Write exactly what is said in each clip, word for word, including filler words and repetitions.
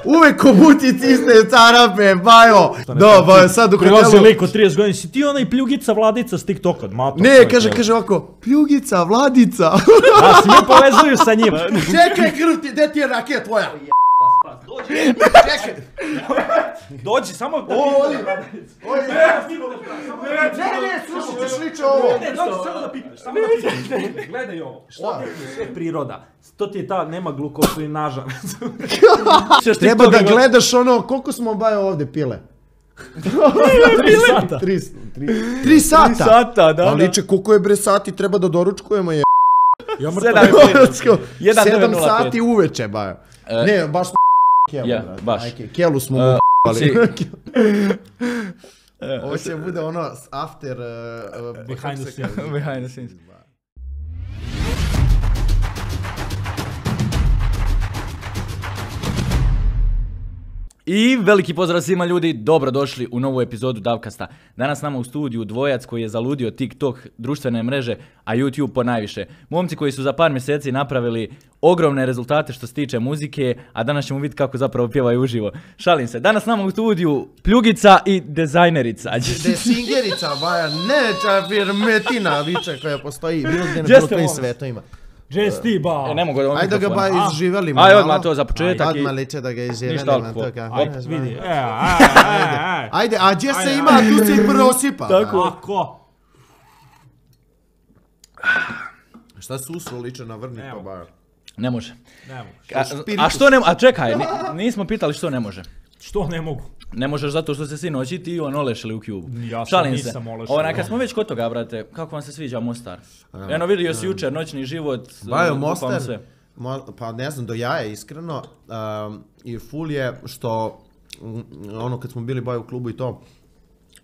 Uvek ko buti cisne carape, bajo. Da, bajo, sad u hotelu... Prilazi lik od trideset godina, si ti onaj pljugica Vladica s TikToka, mato. Ne, kaže, kaže ovako, pljugica, Vladica. Da, svi me povezuju sa njima. Čekaj, krv ti, gde ti je rakija tvoja? Dođi. Čekaj. Dođi, samo da Ovdje. pipneš. Ne, ne, slušaj ćeš liče ovo. Ne, dođi, samo da pipneš, samo da pipneš. Gledaj ovo, što ti je sve priroda. To ti je ta, nema glukosilinaža. Treba da gledaš ono, koliko smo bajo ovdje pile? Tri sata. Tri, tri, tri sata? Tri sata, da, Pa da. liče, koliko je bre sati, treba da doručkujemo je... Sedam sati uveče, bajo. Ne, baš smo kelu, Ja, brate. baš. Ajke, kelu smo mu si- Ovo će bude ono after... uh, Behind the scenes. Behind the scenes. I veliki pozdrav svima ljudi, dobrodošli u novu epizodu Davkasta. Danas nama u studiju dvojac koji je zaludio TikTok, društvene mreže, a YouTube ponajviše. Momci koji su za par mjeseci napravili ogromne rezultate što se tiče muzike, a danas ćemo vidjeti kako zapravo pjevaju uživo. Šalim se, danas nama u studiju Pljugica i dizajnerica. Desingerica, baja, neča firmetina viče koja postoji bilo gdje na Gdje bilo ste, kojim molim? svetovima. Jess ti ba. E, ne mogu da ovom Ajde da ga mikrofona. ba izživelimo. Aj, malo. odmah to za početak i... Odmah liče da ga Ništa izživelimo. alkohol. to ka- Op, Ajde, vidi. ajde. E, aj, aj, aj. Ajde, a gdje se Ajde, ima, ajde. tu se i prosipa. Tako. Ako? Šta susro liče na vrni pa Evo. baja. Ne može. Ne mogu. A, a što ne... A čekaj, ni- nismo pitali što ne može. Što ne mogu? Ne možeš zato što se sinoć i ti i on olešili u Cubu. Ja sam Šalim nisam se. olešao. Onaj, kad smo već kod toga, brate, kako vam se sviđa Mostar? Eno, vidio si jučer noćni život. Bajo uh, Mostar, bukvalno sve. mo- pa ne znam, do jaja iskreno. Um, I full je što, mm, ono kad smo bili bajo u klubu i to,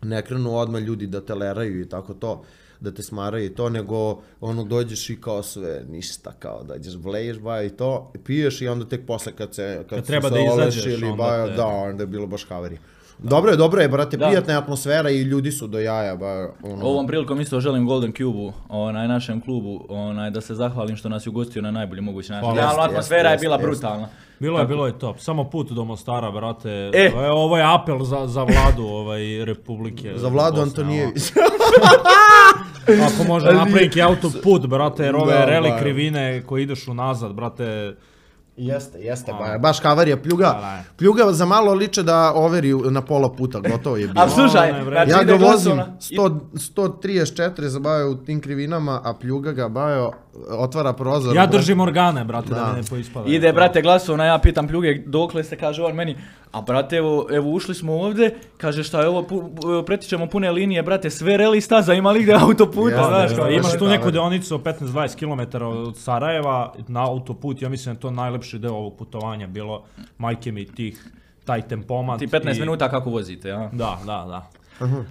ne krenu odmah ljudi da te leraju i tako to, da te smaraju i to, nego ono dođeš i kao sve, ništa, kao dođeš, vleješ bajo i to, piješ i onda tek posle kad se, kad, Kad su treba se da izađeš, olešili, onda bajo, te- da, onda je bilo baš havarija. Dobro je, dobro je, brate, Da. prijatna je atmosfera i ljudi su do jaja, bajo, ono. Ovom prilikom isto želim Golden Cube-u, onaj našem klubu, onaj da se zahvalim što nas je ugostio na najbolji mogući način. Hvala. Realno, Jeste, atmosfera je jeste, bila jeste. brutalna. Bilo je, bilo je top. Samo put do Mostara, brate. E. E, ovo je apel za, za vladu ovaj, Republike. Za Vladu Bosne, Antonijević. ono. Ako može napraviti autoput, brate, jer ove Da, reli ba. krivine koji ideš unazad, brate. Jeste, jeste, ba, baš havarija, pljuga, Da, da. pljuga za malo liče da overi na pola puta, gotovo je bilo. A slušaj, ne, bre. znači Ja ide ga vozim glasovna- sto, sto trideset četiri zabavio u tim krivinama, a pljuga ga bajo, otvara prozor. Ja brate. držim organe, brate, da, Da. mi ne poispada. Ide, brate, glasovna, ja pitam Pljuge dokle se, kaže on meni, a brate, evo, evo ušli smo ovdje, kaže šta je ovo, pu- pretičemo pune linije, brate, sve reli staza, ima li gdje autoputa, Jeste, znaš, jeste, kao, jeste. imaš Imaš tu da, neku da. deonicu od petnaest do dvadeset kilometara od Sarajeva na autoput, ja mislim da je to najlepši deo ovog putovanja bilo, majke mi tih, taj tempomat. ti petnaest i- minuta kako vozite, a? Da, da, da.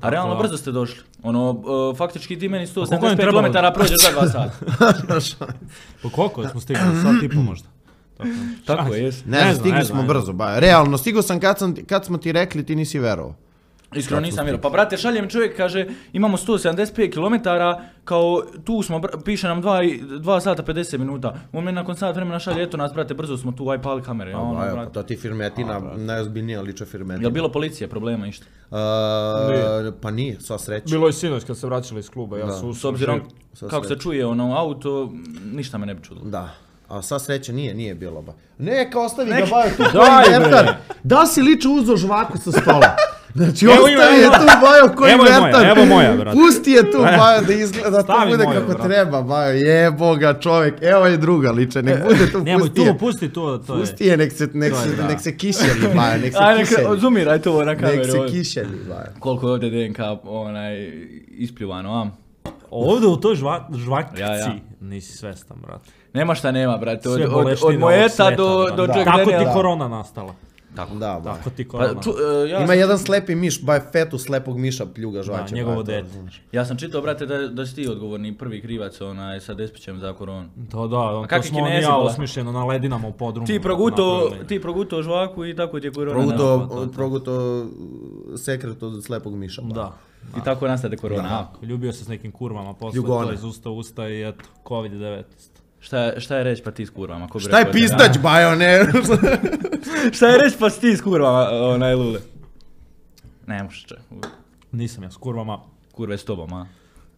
A realno da. brzo ste došli, ono, uh, faktički ti meni sto koliko nam sedamdeset pet trebalo? kilometara prođeš za dva sata. Pa koliko smo stigli? Sat i po možda. Tako, Tako Šta- je, jes. Ne, znam, Ne znam, stigli ne smo znam, brzo, bajo. Realno, stigao sam kad, sam kad smo ti rekli, ti nisi verovao. Iskreno nisam vjerovao. Pa brate, šaljem čovjek, kaže, imamo sto sedamdeset pet kilometara, kao tu smo, br- piše nam dva sata pedeset minuta. On meni nakon sat vremena šalje, eto nas, brate, brzo smo tu, aj pali kamere. Ono, Bajo, pa brate. to ti firmetina, najozbiljnija liče firmetina. Jel bilo policije, problema išta? Uh, pa nije, sva sreća. Bilo je sinoć kad se vraćali iz kluba, ja Da. su S obzirom Sa kako se srećom. čuje ono auto, ništa me ne bi čudilo. Da. A sva sreća nije, nije bilo ba. Neka ostavi ga Nek- bajo tu Daj, koji bre. vertar. Da si liče uzo žvaku sa stola. Znači Evo ostavi ima, je evo. tu bajo koji Evo je moja, vertar. evo moja, brate. Pusti je tu bajo da izgleda, da to Stavi bude moju, kako brate. treba bajo. Jebo ga čovjek, evo je druga liče, nek bude tu, Nemoj pusti je. tu, pusti to, to je. Pusti je, nek se, nek To je, se, da. nek se kišeli bajo, nek se Ajde, kišeli. zumiraj to na kameru. Nek se ovdje. kišeli bajo. Koliko je ovdje D N K onaj, ispljuvano, a? Ovdje u toj žva, žvakci Ja, ja. nisi svestan, brate. Nema šta nema, brate, od, Sve od, boleštine od ovog Moeta sveta, do, brate. do Da. Jack Tako ti Daniela. korona nastala. Tako. Da, bajo. Tako ti Pa, korona. ču, e, ja, Ima sam, jedan slepi miš, bajo fetu slepog miša pljuga Da, žvaće. njegovo bajo, to dete. znaš. ja sam čitao, brate, da, da si ti odgovorni prvi krivac onaj, sa Despićem za koronu. To da, on, to kakvi smo on i Kinezi ja bola? osmišljeno na ledinama u podrumu. Ti proguto, napravili. ti proguto žvaku i tako ti je korona. Proguto, da, to, to. proguto sekret od slepog miša. bajo. Da. I tako nastade korona. a? Ljubio se s nekim kurvama, posle Ljugone. to iz usta u usta i eto, kovid devetnaest. Šta, šta je reći pa ti s kurvama? Ko bi Šta je rekao da- pistać, bajo, ne? Šta je reći pa ti s kurvama, onaj Lule? Ne možeš če. Nisam ja s kurvama. Kurve s tobom, a?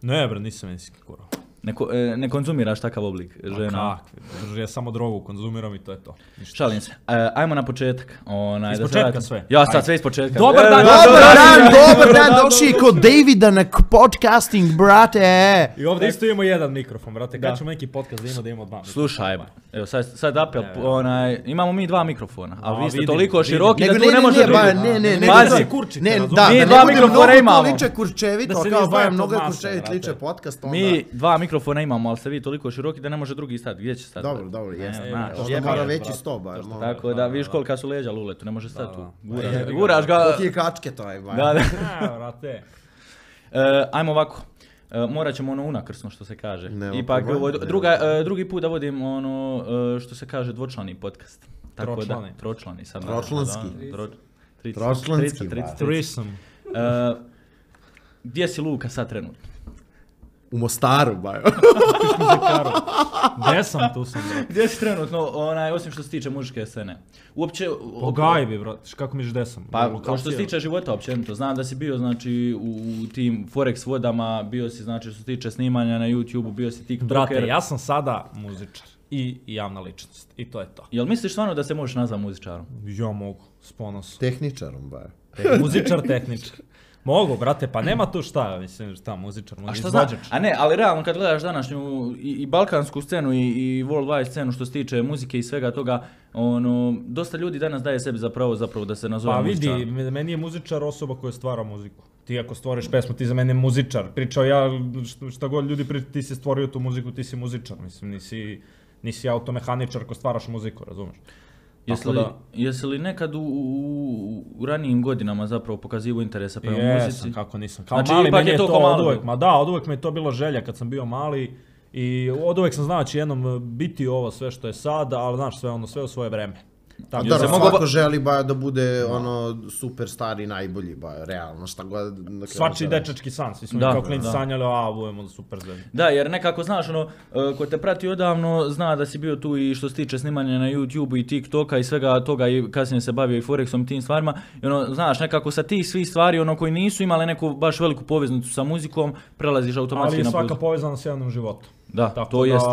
Ne bre, nisam ja s kurvama. Ne, ko- e, ne konzumiraš takav oblik žena? Kakvi, drži, ja samo drogu konzumiram i to je to. Ništa. Šalim se. E, ajmo na početak. Onaj, Iz da se početka vratim. sve? Ja sad Ajde. sve iz početka. Dobar E, dan, dobar Dobar dan, dobar dan, dan, došli kod Davida na k- podcasting, brate. I ovdje isto imamo jedan mikrofon, brate. Da. Kad ćemo neki podcast da imamo da imamo dva mikrofona. Slušaj, evo sad, sad apel, onaj, imamo mi dva mikrofona, a A, vi ste vidim, toliko vidim. široki Nego da tu ne, ne ne, može ne, drugi. ba, ne, ne, ne, Pazi. ne, kurčite, ne, razumiješ? da, Mi da dva ne bude mikrofona mnogo imamo. to liče kurčevito, Da se kao ne izdvaja bajo to mnogo je masa, kurčevit brate. liče podcast, onda... Mi dva mikrofona imamo, ali ste vi toliko široki da ne može drugi stati. Gdje će stati? Dobro, dobro, jeste. znaš, Onda jebi mora ga, veći brate. sto, bajo. mora. Tako da vidiš kolika su leđa Luletu, ne može stati tu. da. Guraš, Jebi ga, guraš ga. Koliki je kačke to je, bajo. Da, da. Ne, brate. E, ajmo ovako. E, morat ćemo ono unakrsno što se kaže. Nema Ipak problema, ovo- nema druga, e, drugi put da vodim ono e, što se kaže dvočlani podcast. Tako Tročlani. da, tročlani sad. Tročlanski. Da, tro- trideset, Tročlanski, trideset, trideset, brate. Threesome. E, gdje si Luka sad trenutno? U Mostaru, bajo. Gdje sam, tu sam, brate. Gdje si trenutno, onaj, osim što se tiče muzičke scene? Uopće... Po gajbi, brate. Kako misliš gdje sam? Pa, Lokacija. kao što se tiče života općenito, znam da si bio, znači, u, u tim Forex vodama, bio si, znači, što se tiče snimanja na YouTube-u, bio si TikToker. Brate, ja sam sada muzičar i javna ličnost. I to je to. Jel misliš stvarno da se možeš nazvati muzičarom? Ja mogu, s ponosom. Tehničarom, bajo. Te, muzičar, tehničar. Mogu, brate, pa nema tu šta, mislim, šta, muzičar, A muzičar, šta znači? izvođač. A ne, ali realno kad gledaš današnju i, i balkansku scenu i, i worldwide scenu što se tiče muzike i svega toga, ono, dosta ljudi danas daje sebi za pravo zapravo da se nazove Pa muzičar. vidi, me- meni je muzičar osoba koja stvara muziku. Ti ako stvoriš pesmu, ti za mene muzičar. Pričao ja, šta, šta god ljudi pričaju, ti si stvorio tu muziku, ti si muzičar. Mislim, nisi, nisi automehaničar ko stvaraš muziku, razumeš? Jesi Tako li, da- jesi li nekad u, u, u ranijim godinama zapravo pokazivao interesa prema Jesam, muzici? kako nisam. Kao Znači, mali ipak meni je je to to ko malo od uvek, bilo. ma da, od uvek mi je to bila želja kad sam bio mali. I od uvek sam znao da će jednom biti ovo sve što je sad, ali znaš sve ono, sve u svoje vreme. Tako Da, se svako mogu ba- želi bajo da bude ono superstar i najbolji, bajo, realno, šta god. na kraju Svačiji se dečački san, svi smo Da, kao klinci da. sanjali, a budemo super zvezde. Da, jer nekako znaš ono, e, ko te prati odavno zna da si bio tu i što se tiče snimanja na YouTube i TikToka i svega toga i kasnije se bavio i Forexom i tim stvarima. I ono, znaš, nekako sa tih svih stvari ono koji nisu imali neku baš veliku poveznicu sa muzikom, prelaziš automatski Ali je na svaka muziku. povezana s javnim životom. Da, Tako to da, jest.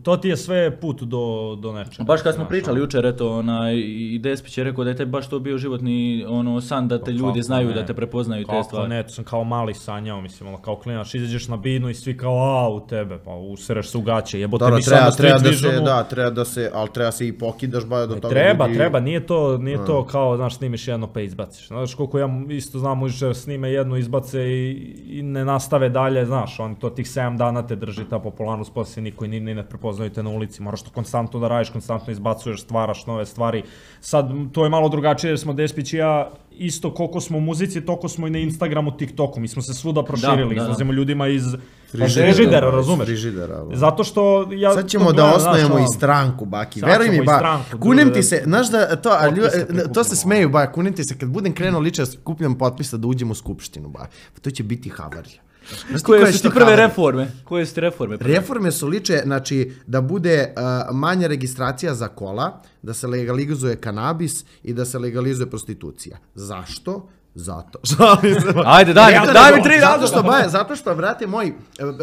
to ti je sve put do, do nečega. Baš kad smo Znaš, pričali ono. jučer, eto, onaj, i Despić je rekao da je tebi baš to bio životni ono, san da te Pa ljudi kako znaju, ne? da te prepoznaju te Kako stvari. ne, to sam kao mali sanjao, mislim, ono, kao klinac, izađeš na binu i svi kao, a, u tebe, pa usereš se u gaće, jebote, Dobro, mi treba, samo treba street da se, visionu. da, treba da se, ali treba se i pokidaš, bajo, do toga Treba, ljudi- treba, nije to, nije to kao, znaš, snimiš jedno pa izbaciš. Znaš, koliko ja isto znam, mužičar snime jedno, izbace i, i ne nastave dalje, znaš, on to tih sedam dana te drži ta popularnost, poslije niko i ni, ni ne prepoznaju te na ulici, moraš to konstantno da radiš, konstantno izbacuješ, stvaraš nove stvari. Sad, to je malo drugačije jer smo Despić i ja, isto koliko smo u muzici, toliko smo i na Instagramu, TikToku, mi smo se svuda proširili, da, da. izlazimo ljudima iz Frižidera, frižidera, iz razumeš? frižidera, ono. Zato što ja... Sad to ćemo da gledam, znaš, osnujemo ono, i stranku, baki. Sad Veruj ćemo mi, i ba, stranku, kunem druže, ti se, znaš da, to, a lju- potpise to se prikupimo. smeju, ba, kunem ti se, kad budem krenuo liče da skupljam potpisa da uđem u skupštinu, ba, pa to će biti havarija. Znaš ti koja Koje je su što ti prve havarija? reforme? Koje su ti reforme? prve? Reforme su liče, znači, da bude uh, manja registracija za kola, da se legalizuje kanabis i da se legalizuje prostitucija. Zašto? Zato. Šalim se. Ajde, daj, Zato daj mi nego- tri zato razloga. što, ba, zato što, brate moj, e,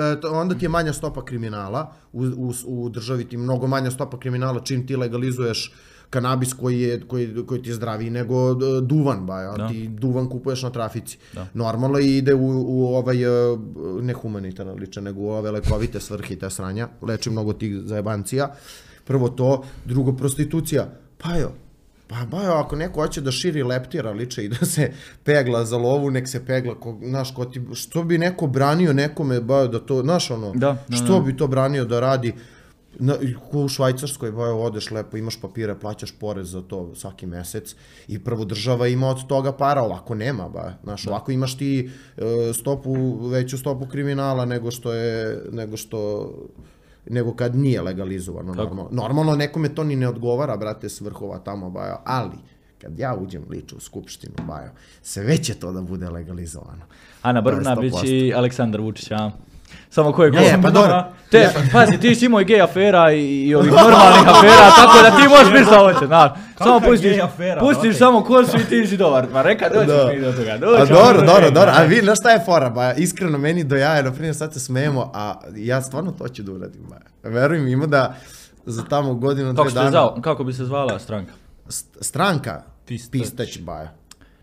e, to- onda ti je manja stopa kriminala, u, u, u državi ti je mnogo manja stopa kriminala čim ti legalizuješ kanabis koji je, koji, koji ti je zdraviji nego e, duvan, ba, a Da. ti duvan kupuješ na trafici. Da. Normalno ide u, u ovaj, e, ne humanitarno liče, nego u ove lekovite svrhe i te sranja, leči mnogo tih zajebancija. Prvo to, drugo prostitucija. Pa jo, pa bajo, ako neko hoće da širi leptira liče i da se pegla za lovu, nek se pegla, ko, znaš, ko ti, što bi neko branio nekome, bajo, da to, znaš, ono, Da, da, što da. bi to branio da radi, na, ko u Švajcarskoj, bajo, odeš lepo, imaš papire, plaćaš porez za to svaki mesec i prvo država ima od toga para, ovako nema, ba, znaš, ovako imaš ti e, stopu, veću stopu kriminala nego što je, nego što, nego kad nije legalizovano, normalno. Normalno nekome to ni ne odgovara, brate, s vrhova tamo, bajo, ali kad ja uđem liču u skupštinu, bajo, sve će to da bude legalizovano. Ana To je Brnabić sto posto. i Aleksandar Vučić, a? Samo ko je ko. Ne, pa dobro. Te, pazi, ti si imao i gej afera i, i ovih normalnih afera, tako da ti možeš biti šta hoće, znaš. Samo pustiš, afera, pustiš samo kosu i ti si dobar. Ma reka, doćemo mi do toga. A Doćemo dobro, do dobro, toga. dobro. A vi, znaš šta je fora, ba, iskreno meni do jaja, na primjer sad se smijemo, a ja stvarno to ću da uradim, ba. Veruj mi, ima da za tamo godinu, Kako, dve ste dana... zvao, kako bi se zvala stranka? St- Stranka? Pistać. Pistać, baja.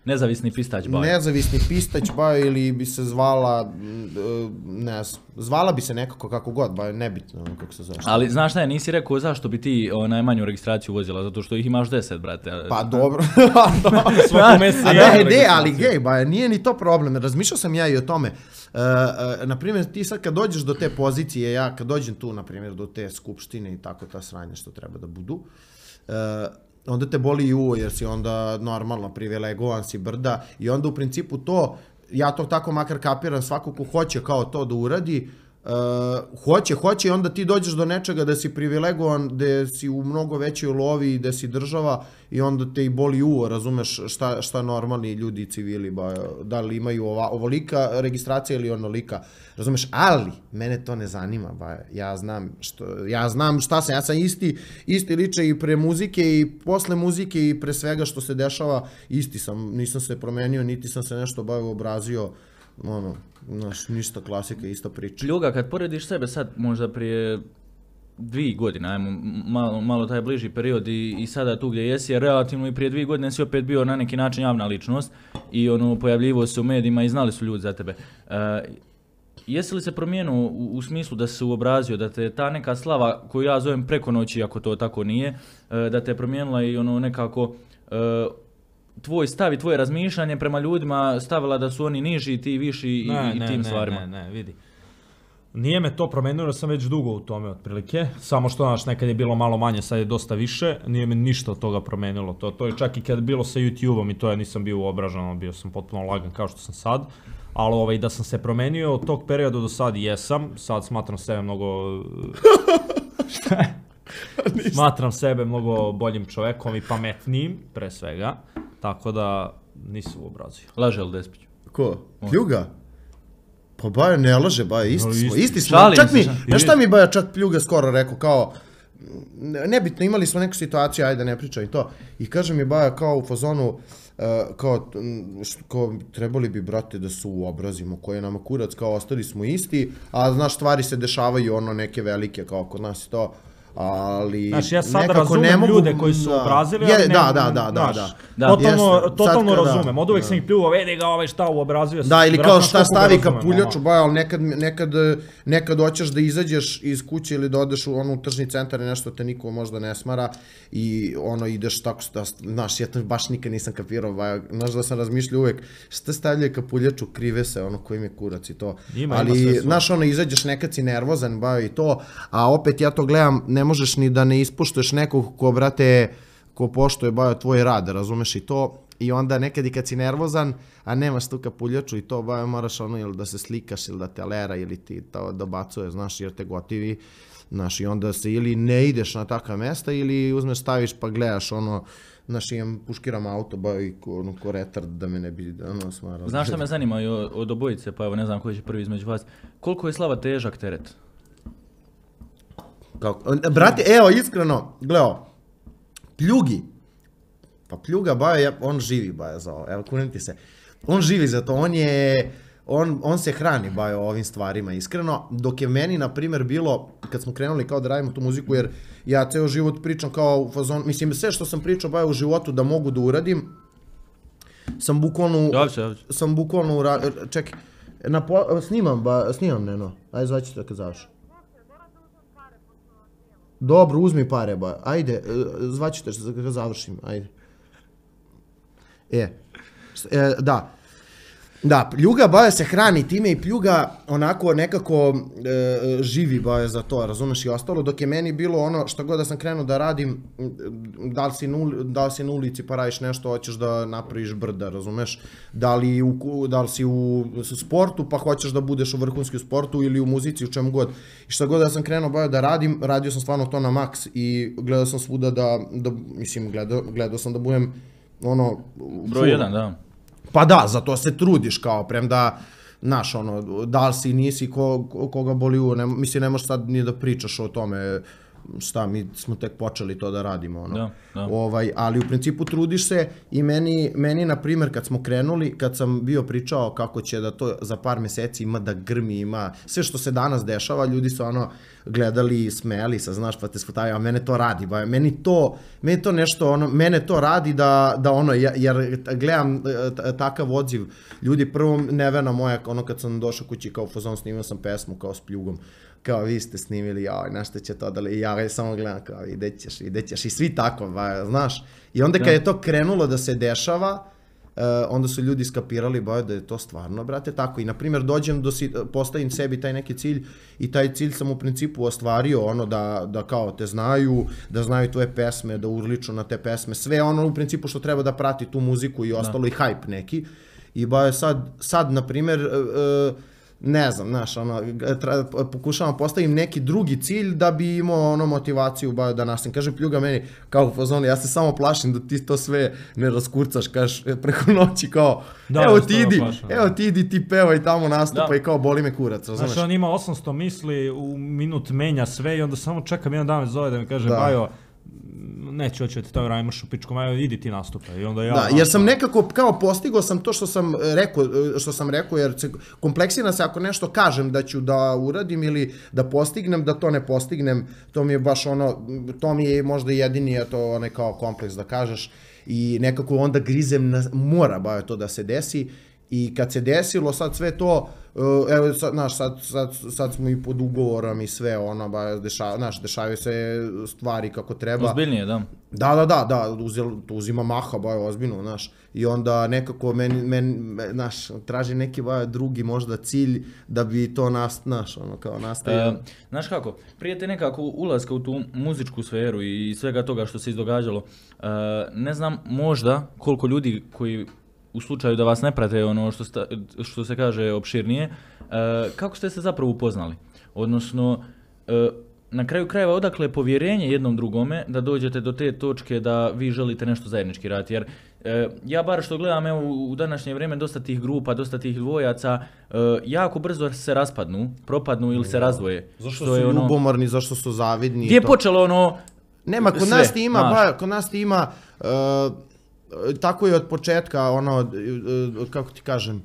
Nezavisni pistać baj. Nezavisni pistać, baja, ili bi se zvala, mm, ne znam, zvala bi se nekako kako god, baja, nebitno ono kako se zove. Ali znaš šta je, nisi rekao zašto bi ti o, najmanju registraciju vozila, zato što ih imaš deset, brate. Pa dobro. Svako mjeseca A jedna ne, ne, registracija. ali gej, ba, nije ni to problem. Razmišljao sam ja i o tome. Uh, uh, naprimjer, ti sad kad dođeš do te pozicije, ja kad dođem tu, naprimjer, do te skupštine i tako ta sranja što treba da budu, uh, onda te boli i uvo jer si onda normalno privilegovan si brda i onda u principu to, ja to tako makar kapiram, svako ko hoće kao to da uradi, Uh, hoće, hoće i onda ti dođeš do nečega da si privilegovan, da si u mnogo većoj lovi, da si država i onda te i boli uvo, razumeš šta, šta normalni ljudi i civili, ba, da li imaju ova, ovolika registracija ili onolika, razumeš, ali mene to ne zanima, ba, ja znam što, ja znam šta sam, ja sam isti, isti liče i pre muzike i posle muzike i pre svega što se dešava, isti sam, nisam se promenio, niti sam se nešto bavio, obrazio, ono, znaš, ništa klasika, ista priča. Ljuga, kad porediš sebe sad, možda prije dvije godine, ajmo malo, malo taj bliži period i, i sada tu gdje jesi, jer relativno i prije dvije godine si opet bio na neki način javna ličnost i ono, pojavljivo se u medijima i znali su ljudi za tebe. Uh, jesi li se promijenio u, u smislu da se uobrazio, da te ta neka slava koju ja zovem preko noći, ako to tako nije, uh, da te je promijenila i ono nekako uh, tvoj stav i tvoje razmišljanje prema ljudima stavila da su oni niži, ti viši i, ne, i ne, tim ne, stvarima? Ne, ne, vidi. Nije me to promenilo, jer sam već dugo u tome otprilike. Samo što, znaš, nekad je bilo malo manje, sad je dosta više. Nije me ništa od toga promenilo. To, to je čak i kad je bilo sa YouTube-om i to ja nisam bio uobražen, bio sam potpuno lagan kao što sam sad. Ali ovaj, da sam se promenio od tog perioda do sad jesam. Sad smatram sebe mnogo... Šta je? Smatram sebe mnogo boljim čovekom i pametnijim, pre svega. Tako da nisam uobrazio. Laže li Despić? Ko? Pljuga? Pa Baja ne laže, Baja, isti No, smo, isti. isti smo. Šalim Čak se, mi, šalim. znaš šta mi Baja čak Pljuga skoro rekao, kao, nebitno, imali smo neku situaciju, ajde ne pričaj to, i kaže mi Baja kao u fazonu, uh, kao, m, što, kao, trebali bi, brate, da se uobrazimo, koji je nama kurac, kao, ostali smo isti, a znaš, stvari se dešavaju, ono, neke velike, kao kod nas i to, ali Znaš, ja sad nekako razumem ne mogu, ljude koji su da. obrazili, Je, ali ne... da, da, da, da, znaš, da. Da. Totalno, Jeste. totalno Sad kada- razumem. Od uvek da. sam ih pljuo, vidi ga ovaj šta uobrazio. Da, ili vjerojatno kao šta koliko ga stavi razumem, kapuljaču, ono. Baja, ali nekad, nekad, nekad hoćeš da izađeš iz kuće ili da odeš u onu tržni centar i nešto te niko možda ne smara i ono ideš tako, da, znaš, ja to baš nikad nisam kapirao, Baja, znaš da sam razmišljao uvek, šta stavljaju kapuljaču, krive se, ono koji mi je kurac i to, Ima, ima ali, sve svoje. znaš, ono, izađeš nekad si nervozan, Baja, i to, a opet ja to gledam, ne možeš ni da ne ispuštuješ nekog ko, brate, ko poštuje, Baja, tvoj rad, razumeš i to. I onda nekad i kad si nervozan, a nemaš tu kapuljaču i to, Baja, moraš ono ili da se slikaš ili da te lera ili ti to dobacuje, znaš, jer te gotivi, znaš, i onda se ili ne ideš na takva mesta ili uzmeš, staviš pa gledaš ono, znaš, imam, puškiram auto, Baja, i ko, ono, ko retard da me ne bi, ono, smara. Znaš šta me zanima i od, od obojice, pa evo ne znam koji će prvi između vas. Koliko je Slava težak teret? Kako? Brate, evo, iskreno, gledao, Pljugi, pa Pljuga, Baja, on živi, Baja, za ovo, evo, kunim ti se, on živi za to, on je, on, on se hrani, Baja, ovim stvarima, iskreno, dok je meni, na primjer, bilo, kad smo krenuli kao da radimo tu muziku, jer ja ceo život pričam kao u fazon, mislim, sve što sam pričao, Baja, u životu da mogu da uradim, sam bukvalno, Javi se, javi se. sam bukvalno, ura- čekaj, na po, snimam, ba, snimam, Neno, ajde zvaći te kad završi. Dobro, uzmi pare, ba. Ajde, e, zvaću te kad završim, ajde. E, e, da. Da, Pljuga, Baja, se hrani time i Pljuga onako nekako e, živi, Baja, za to, razumeš, i ostalo, dok je meni bilo ono, šta god da sam krenuo da radim, da li si, nul, da li si na ulici pa radiš nešto, hoćeš da napraviš brda, razumeš, da li, u, da li si u sportu pa hoćeš da budeš u vrhunski sportu ili u muzici, u čemu god. I šta god da sam krenuo, Baja, da radim, radio sam stvarno to na maks i gledao sam svuda da, da mislim, gledao, gledao sam da budem ono... Broj jedan, da. Pa da, zato se trudiš kao, premda znaš, ono, da li si, nisi, ko, koga boli uvo, ne, mislim, ne možeš sad ni da pričaš o tome, šta, mi smo tek počeli to da radimo, ono. Da, da. Ovaj, ali u principu trudiš se i meni, meni, na primjer, kad smo krenuli, kad sam bio pričao kako će da to za par meseci ima da grmi, ima sve što se danas dešava, ljudi su ono gledali i smejali se, znaš, pa te skutavaju, a mene to radi, ba, meni to, meni to nešto, ono, mene to radi da, da ono, jer gledam takav odziv ljudi, prvo Nevena moja, ono kad sam došao kući kao fazon, snimao sam pesmu kao s Pljugom, kao vi ste snimili, jao, na što će to da li, ja samo gledam kao ide ćeš, ide ćeš i svi tako, ba, znaš. I onda kad je to krenulo da se dešava, uh, onda su ljudi skapirali, ba, da je to stvarno, brate, tako. I na primjer dođem, do si, postavim sebi taj neki cilj i taj cilj sam u principu ostvario, ono da, da kao te znaju, da znaju tvoje pesme, da urliču na te pesme, sve ono u principu što treba da prati tu muziku i ostalo, da. I hype neki. I ba, sad, sad na primjer, uh, ne znam, znaš, ono, tra, pokušavam postavim neki drugi cilj da bi imao ono motivaciju ba, da nastavim. Kaže Pljuga meni, kao u fazonu, ja se samo plašim da ti to sve ne raskurcaš, kažeš, preko noći, kao, da, evo ti idi, plašam, evo ti idi, ti pevaj tamo nastupa da. I kao boli me kurac, razumeš? Znaš, on ima osamsto misli, u minut menja sve i onda samo čekam jedan dan zove da mi kaže, da. Bajo, neću hoću ti to rajmaš u pičku, majo, idi ti nastupa. I onda ja, da, jer sam nekako kao postigao sam to što sam rekao, što sam rekao, jer se kompleksira se ako nešto kažem da ću da uradim ili da postignem, da to ne postignem, to mi je baš ono, to mi je možda jedini, je to onaj kao kompleks da kažeš i nekako onda grizem, na, mora ba to da se desi. I kad se desilo sad sve to, evo, sad, znaš, sad, sad, sad smo i pod ugovorom i sve, ono, ba, deša, znaš, dešavaju se stvari kako treba. Ozbiljnije, da. Da, da, da, da, uzel, to uzima maha, ba, ozbiljno, znaš. I onda nekako, meni, meni, znaš, traži neki, ba, drugi možda cilj da bi to nas, znaš, ono, kao nastavio. E, znaš kako, prije te nekako ulaska u tu muzičku sferu i svega toga što se izdogađalo, e, ne znam možda koliko ljudi koji u slučaju da vas ne prate ono što, sta, što se kaže opširnije, e, kako ste se zapravo upoznali? Odnosno, e, na kraju krajeva odakle je povjerenje jednom drugome da dođete do te točke da vi želite nešto zajednički raditi? Jer e, ja bar što gledam evo, u današnje vrijeme dosta tih grupa, dosta tih dvojaca, e, jako brzo se raspadnu, propadnu ili se razdvoje. Zašto su ono, ljubomorni, zašto su zavidni? Gdje je počelo ono... Nema, kod sve, nas ti ima, ba, kod nas ti ima... Uh, tako je od početka, ono, kako ti kažem,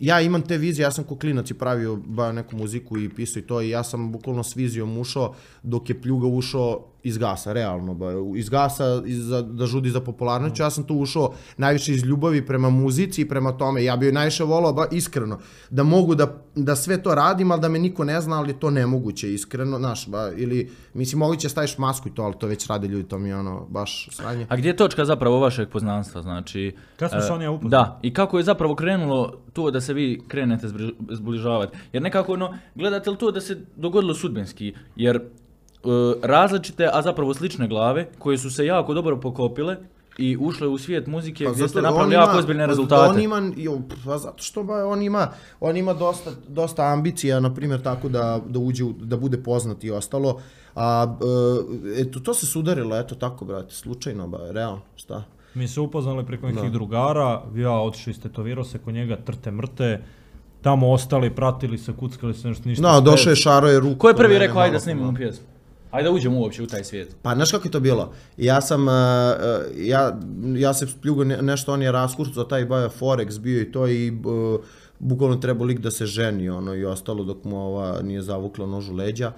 ja imam te vizije, ja sam ko klinac i pravio ba, neku muziku i pisao i to i ja sam bukvalno s vizijom ušao dok je Pljuga ušao iz gasa, realno, ba, iz gasa iz, da žudi za popularnoću, ja sam tu ušao najviše iz ljubavi prema muzici i prema tome, ja bi najviše volao, ba, iskreno, da mogu da, da sve to radim, ali da me niko ne zna, ali to nemoguće, iskreno, znaš, ba, ili, mislim, moguće staviš masku i to, ali to već rade ljudi, to mi je ono, baš sranje. A gdje je točka zapravo vašeg poznanstva, znači... Kad smo se oni upoznali? Da, i kako je zapravo krenulo to da se vi krenete zbližavati, jer nekako, ono, gledate li to da se dogodilo sudbinski, jer različite, a zapravo slične glave koje su se jako dobro pokopile i ušle u svijet muzike pa gdje ste napravili jako ozbiljne rezultate. On ima, jo, pa zato što ba, on ima, on ima dosta, dosta ambicija, na primjer, tako da, da uđe, da bude poznat i ostalo. A, eto, to se sudarilo, eto tako, brate, slučajno, ba, realno, šta? Mi se upoznali preko nekih da. drugara, ja otišao istetovirao se kod njega, trte mrte, tamo ostali, pratili se, kuckali se, nešto ništa. No, došao je, šaro je ruku. Ko je prvi rekao, ajde da snimimo pjesmu? Ajde da uđemo uopće u taj svijet. Pa, znaš kako je to bilo? Ja sam, uh, ja, ja se Pljugo nešto, on je raskurcao, taj baja Forex bio i to i uh, bukvalno trebao lik da se ženi, ono, i ostalo dok mu ova nije zavukla nožu leđa.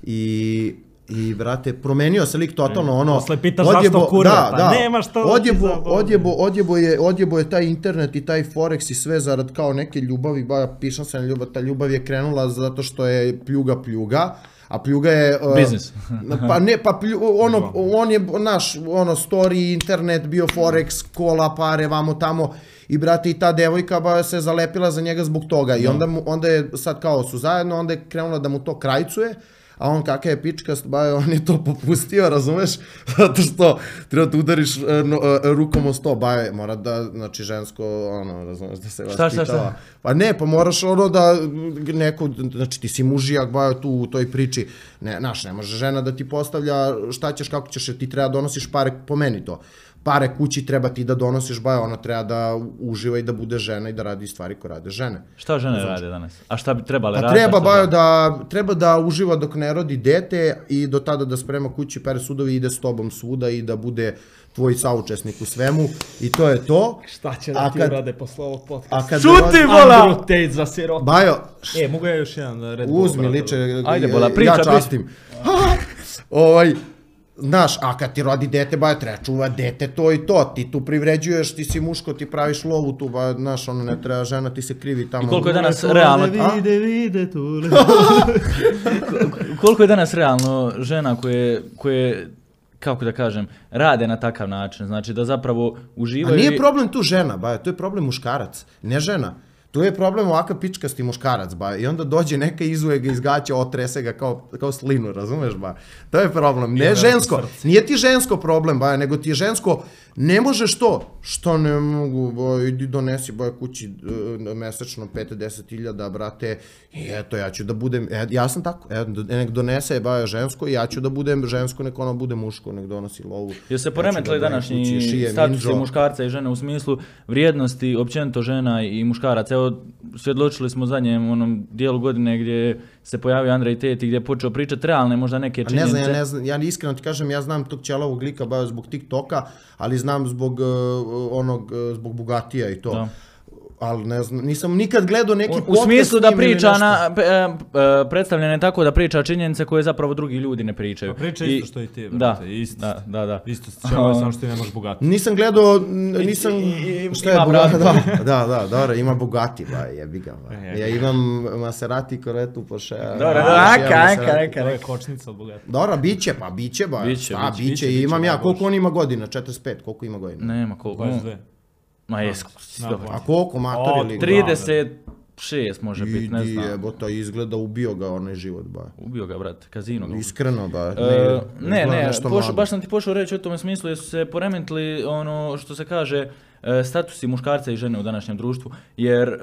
I... I, brate, promenio se lik totalno, ono... Posle pitaš zašto kurve, da, pa da, nema što... Odjebo, odjebo, odjebo, je, odjebo je taj internet i taj Forex i sve zarad kao neke ljubavi, ba, pišam se na ljubav, ta ljubav je krenula zato što je Pljuga Pljuga, a Pljuga je... Uh, biznis. Pa ne, pa plju, ono, on je, naš, ono, story, internet, bio Forex, kola, pare, vamo tamo, i, brate, i ta devojka ba, se zalepila za njega zbog toga, i onda, mu, onda je sad kao su zajedno, onda je krenula da mu to krajcuje, a on kakav je pičkast, ba, on je to popustio, razumeš? Zato što treba da udariš no, rukom o sto, ba, mora da, znači, žensko, ono, razumeš, da se vas šta, šta, šta? Pa ne, pa moraš ono da neko, znači ti si mužijak, ba, tu u toj priči, ne, znaš, ne može žena da ti postavlja šta ćeš, kako ćeš, ti treba donosiš pare, po meni to. pare kući, treba ti da donosiš, bajo, ona treba da uživa i da bude žena i da radi stvari koje rade žene. Šta žene znači, rade danas? A šta bi trebale pa raditi? Treba, bajo, da, treba da uživa dok ne rodi dete i do tada da sprema kući, pere sudovi i ide s tobom svuda i da bude tvoj saučesnik u svemu i to je to. Šta će da ti kad, urade posle ovog podcasta? Šuti, bola! Andrew Tate za sirota. Bajo, e, mogu ja još jedan Red Bull? Uzmi, liče, ajde, bola, priča, ja častim. ovaj, znaš, a kad ti rodi dete, bajo, treba čuva dete, to i to, ti tu privređuješ, ti si muško, ti praviš lovu tu, bajo, znaš, ono ne treba žena, ti se krivi tamo. I koliko je danas realno... Vide, vide, tu. Koliko je danas realno žena koje, koje kako da kažem, rade na takav način, znači da zapravo uživaju... A nije problem tu žena, bajo, to je problem muškarac, ne žena. Tu je problem ovakav pičkasti muškarac, ba, i onda dođe neka izuje ga iz gaća, otrese ga kao, kao slinu, razumeš, ba? To je problem, ne žensko, nije ti žensko problem, ba, nego ti je žensko, ne možeš to, što ne mogu, ba, idi donesi, ba, kući uh, mesečno pet do deset hiljada, brate, i eto, ja ću da budem, e, ja sam tako, e, nek donese, ba, žensko, i ja ću da budem žensko, nek ono bude muško, nek donosi lovu. Jel se poremetili ja današnji statusi muškarca i žene u smislu vrijednosti, općenito žena i muškaraca? Evo, svjedočili smo zadnjem onom dijelu godine gdje se pojavio Andrej Tate i gdje je počeo pričati realne možda neke činjenice. Ne znam, ja ne znam, ja iskreno ti kažem, ja znam tog ćelavog lika baš zbog TikToka, ali znam zbog uh, onog, uh, zbog Bugatija i to. Da. Ali ne znam, nisam nikad gledao neki podcast. U smislu da priča na, uh, predstavljene je tako da priča činjenice koje zapravo drugi ljudi ne pričaju. Pa priča isto što i ti, brate. Da, isto, da, da, da. Isto ćelo, samo što ti nemaš Bugatti. Nisam gledao, nisam... I, i, šta je Bugatti? Da, da, da, dobro, ima Bugatti, ba, jebi ga, ba. Ja imam Maserati, Corvettu, Porsche. Dobro, aka, aka, aka. To je kočnica od Bugatti. Dobro, biće, pa biće, ba. Biće, da, biće, biće, imam ja. Koliko on ima godina? četrdeset pet, koliko ima godina? Nema, koliko. dvadeset dve. Ma jes, a koliko matori ili? trideset šest može biti, ne znam. Idi jebota, izgleda ubio ga onaj život, ba. Ubio ga, brate, kazino ga. Iskreno, ba. Ne, ne, ne pošo, baš sam ti pošao reći o tome smislu, jer su se poremetili ono što se kaže statusi muškarca i žene u današnjem društvu, jer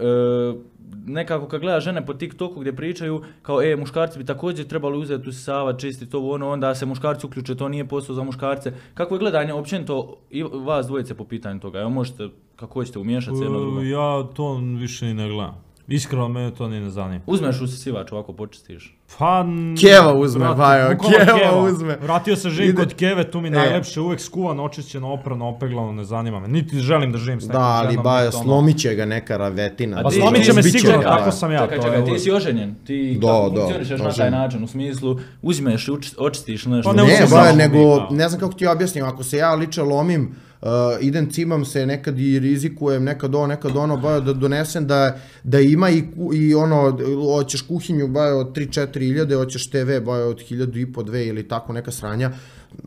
nekako kad gleda žene po TikToku gdje pričaju kao e, muškarci bi također trebali uzeti usisavati, čistiti ovo ono, onda se muškarci uključe, to nije posao za muškarce. Kako je gledanje općenito i vas dvojice po pitanju toga? Evo možete, kako hoćete umiješati se jedno drugo? Ja to više i ne gledam. Iskreno, mene to ni ne zanima. Uzmeš usisivač, ovako počistiš? Pa... Keva uzme, bajo, Keva uzme. Vratio se živim kod Keve, tu mi najlepše, uvek skuvano, očišćeno, oprano, opeglano, ne zanima me. Niti želim da živim s nekom ženom. Da, ali bajo, slomit će ga neka ravetina. Pa slomit će me sigurno, kako sam ja. Čekaj, čekaj, ti si oženjen, ti funkcionišeš na taj način, u smislu, uzmeš i očistiš nešto. Ne, bajo, nego, ne znam kako ti objasnim, ako se ja liče lomim, Uh, idem, cimam se, nekad i rizikujem, nekad ovo, nekad ono, bajo, da donesem da, da ima i, i ono, hoćeš kuhinju, bajo, od tri četiri hiljade, hoćeš te ve, bajo, od hiljadu i po, dve ili tako neka sranja,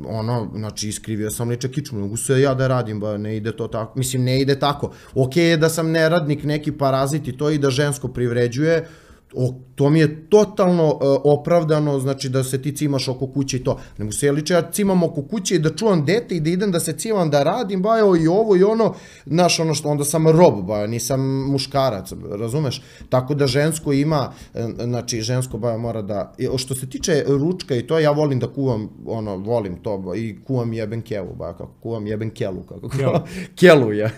ono, znači, iskrivio sam liče kičmu, mogu se ja da radim, bajo, ne ide to tako, mislim, ne ide tako. Okej je da sam neradnik, neki parazit i to i da žensko privređuje, O, to mi je totalno uh, opravdano, znači da se ti cimaš oko kuće i to. Ne mogu se liče, ja cimam oko kuće i da čuvam dete i da idem da se cimam, da radim, bajo, i ovo i ono, znaš, ono što, onda sam rob, bajo, nisam muškarac, razumeš? Tako da žensko ima, znači, žensko, bajo, mora da, što se tiče ručka i to, ja volim da kuvam, ono, volim to, bajo, i kuvam jeben kevu, bajo, kako kuvam jeben kelu, kako kuvam, kelu je.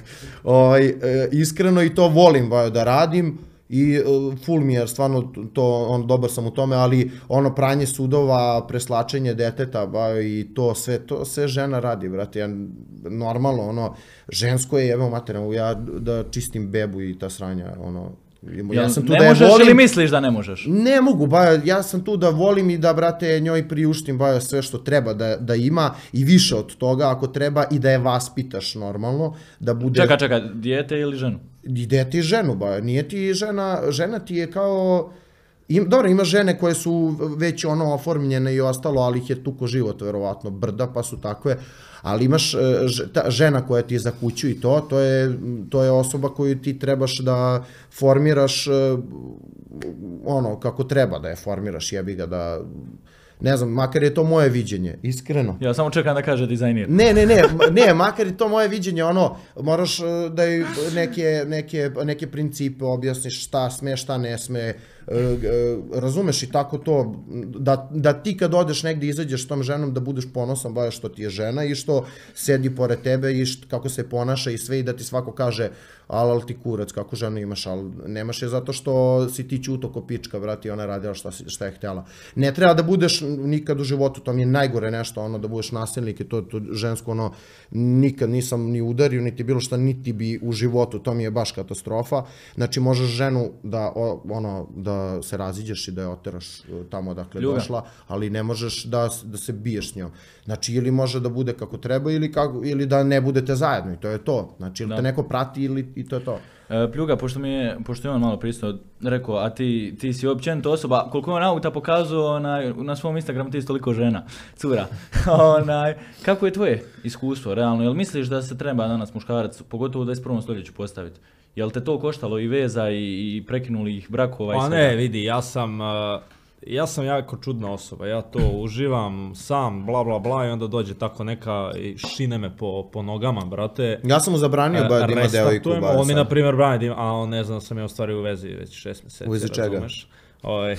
Ovaj, iskreno i to volim, bajo, da radim. I uh, full mi je, stvarno, to, on, dobar sam u tome, ali ono pranje sudova, preslačenje deteta, ba, i to sve, to sve žena radi, brate, ja, normalno, ono, žensko je, evo materijalno, ja da čistim bebu i ta sranja, ono, ja sam tu ne da je možeš volim, ili misliš da ne možeš? Ne mogu, ba, ja sam tu da volim i da, brate, njoj priuštim, ba, sve što treba da, da ima i više od toga ako treba i da je vaspitaš normalno, da bude... Čeka, čeka, dijete ili ženu? I dete i ženu, ba, nije ti žena, žena ti je kao, im, dobro, ima žene koje su već ono oformljene i ostalo, ali ih je tuko život, verovatno, brda, pa su takve, ali imaš ta žena koja ti je za kuću i to, to je, to je osoba koju ti trebaš da formiraš ono, kako treba da je formiraš, jebi ga da... Ne znam, makar je to moje viđenje, iskreno. Ja samo čekam da kaže dizajnir. Ne, ne, ne, ne, makar je to moje viđenje, ono, moraš da neke, neke, neke principe objasniš šta sme, šta ne sme, razumeš i tako to, da, da ti kad odeš negdje izađeš s tom ženom da budeš ponosan baš što ti je žena i što sedi pored tebe i što, kako se ponaša i sve i da ti svako kaže al, al ti kurac, kako ženu imaš, al nemaš je zato što si ti ćuto ko pička, brati, ona radila šta, šta je htjela. Ne treba da budeš nikad u životu, to mi je najgore nešto, ono, da budeš nasilnik i to, to žensko, ono, nikad nisam ni udario, niti bilo šta, niti bi u životu, to mi je baš katastrofa. Znači, možeš ženu da, ono, da se raziđeš i da je oteraš tamo odakle došla, ali ne možeš da, da se biješ s njom. Znači, ili može da bude kako treba, ili, kako, ili da ne budete zajedno i to je to. Znači, ili te neko prati ili i to je to. E, Pljuga, pošto mi je, pošto je on malo pristao rekao, a ti, ti si općenito osoba, koliko je on auta pokazao na, na svom Instagramu, ti si toliko žena, cura. Onaj, kako je tvoje iskustvo, realno? Jel misliš da se treba danas muškarac, pogotovo u dvadeset prvom stoljeću, postaviti? Jel te to koštalo i veza i, i prekinulih brakova i sve? Pa svega? ne, vidi, ja sam... Uh... Ja sam jako čudna osoba, ja to uživam sam, bla bla bla i onda dođe tako neka i šine me po, po nogama, brate. Ja sam mu zabranio ba, da ima devojku. On mi na primjer brani da ima, a on ne znam da sam ja u stvari u vezi već šest mjeseci. U vezi čega? Ovaj,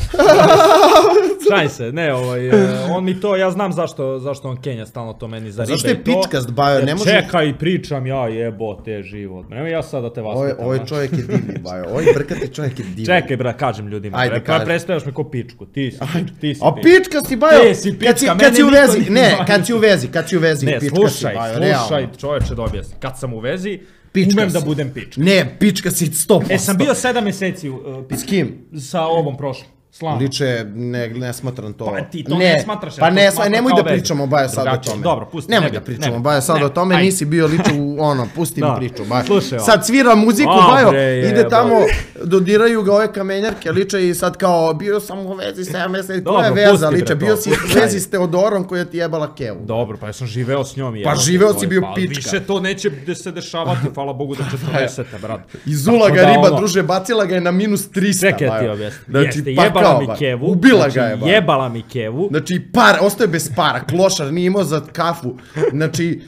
šaj se, ne, ovaj, on mi to, ja znam zašto, zašto on Kenja stalno to meni zaribe. Zašto je pičkast, Bajo, ne može... Čekaj, pričam ja, jebote život, nemoj ja sad da te vaspitam. Ovaj čovjek je divni, Bajo, ovaj brkati čovjek je divni. Čekaj, bra, kažem ljudima, ajde, pa predstavljaš me ko pičku, ti si, ti si a pička si, Bajo, ti si pička, kad si u vezi, ne, kad si u vezi, kad si u vezi, ne, pička slušaj, si, Bajo, slušaj, realno. čovječe da objasnim, kad sam u vezi, pička umem si. da budem pička. Ne, pička si sto posto. E, sam bio sedam mjeseci uh, s kim? Sa ovom prošlom. Slavno. Liče, ne, ne smatram to. Pa ti to ne, ne smatraš. Pa ne, smatra nemoj da pričamo, Baja, sad o tome. Dobro, pusti. Nemoj da pričamo, Baja, sad o tome, nisi bio liče u ono, pusti mi priču, Baja. Slušaj, sad svira muziku, Bajo, ide tamo, dodiraju ga ove kamenjarke, liče i sad kao, bio sam u vezi sedam mjeseci, koja je veza, liče, bio si u vezi s Teodorom koja ti jebala kevu. Dobro, pa ja sam živeo s njom. Pa živeo si bio pička. Više to neće se dešavati, hvala Bogu da četrdesete, brat. Izula ga riba, druže, bacila ga je na minus trista, Čekaj ti objasnim. Jeste, jebala mi kevu. Ubila ga je, ba. Jebala mi kevu. Znači, par, ostaje bez para, klošar, nije imao za kafu. Znači,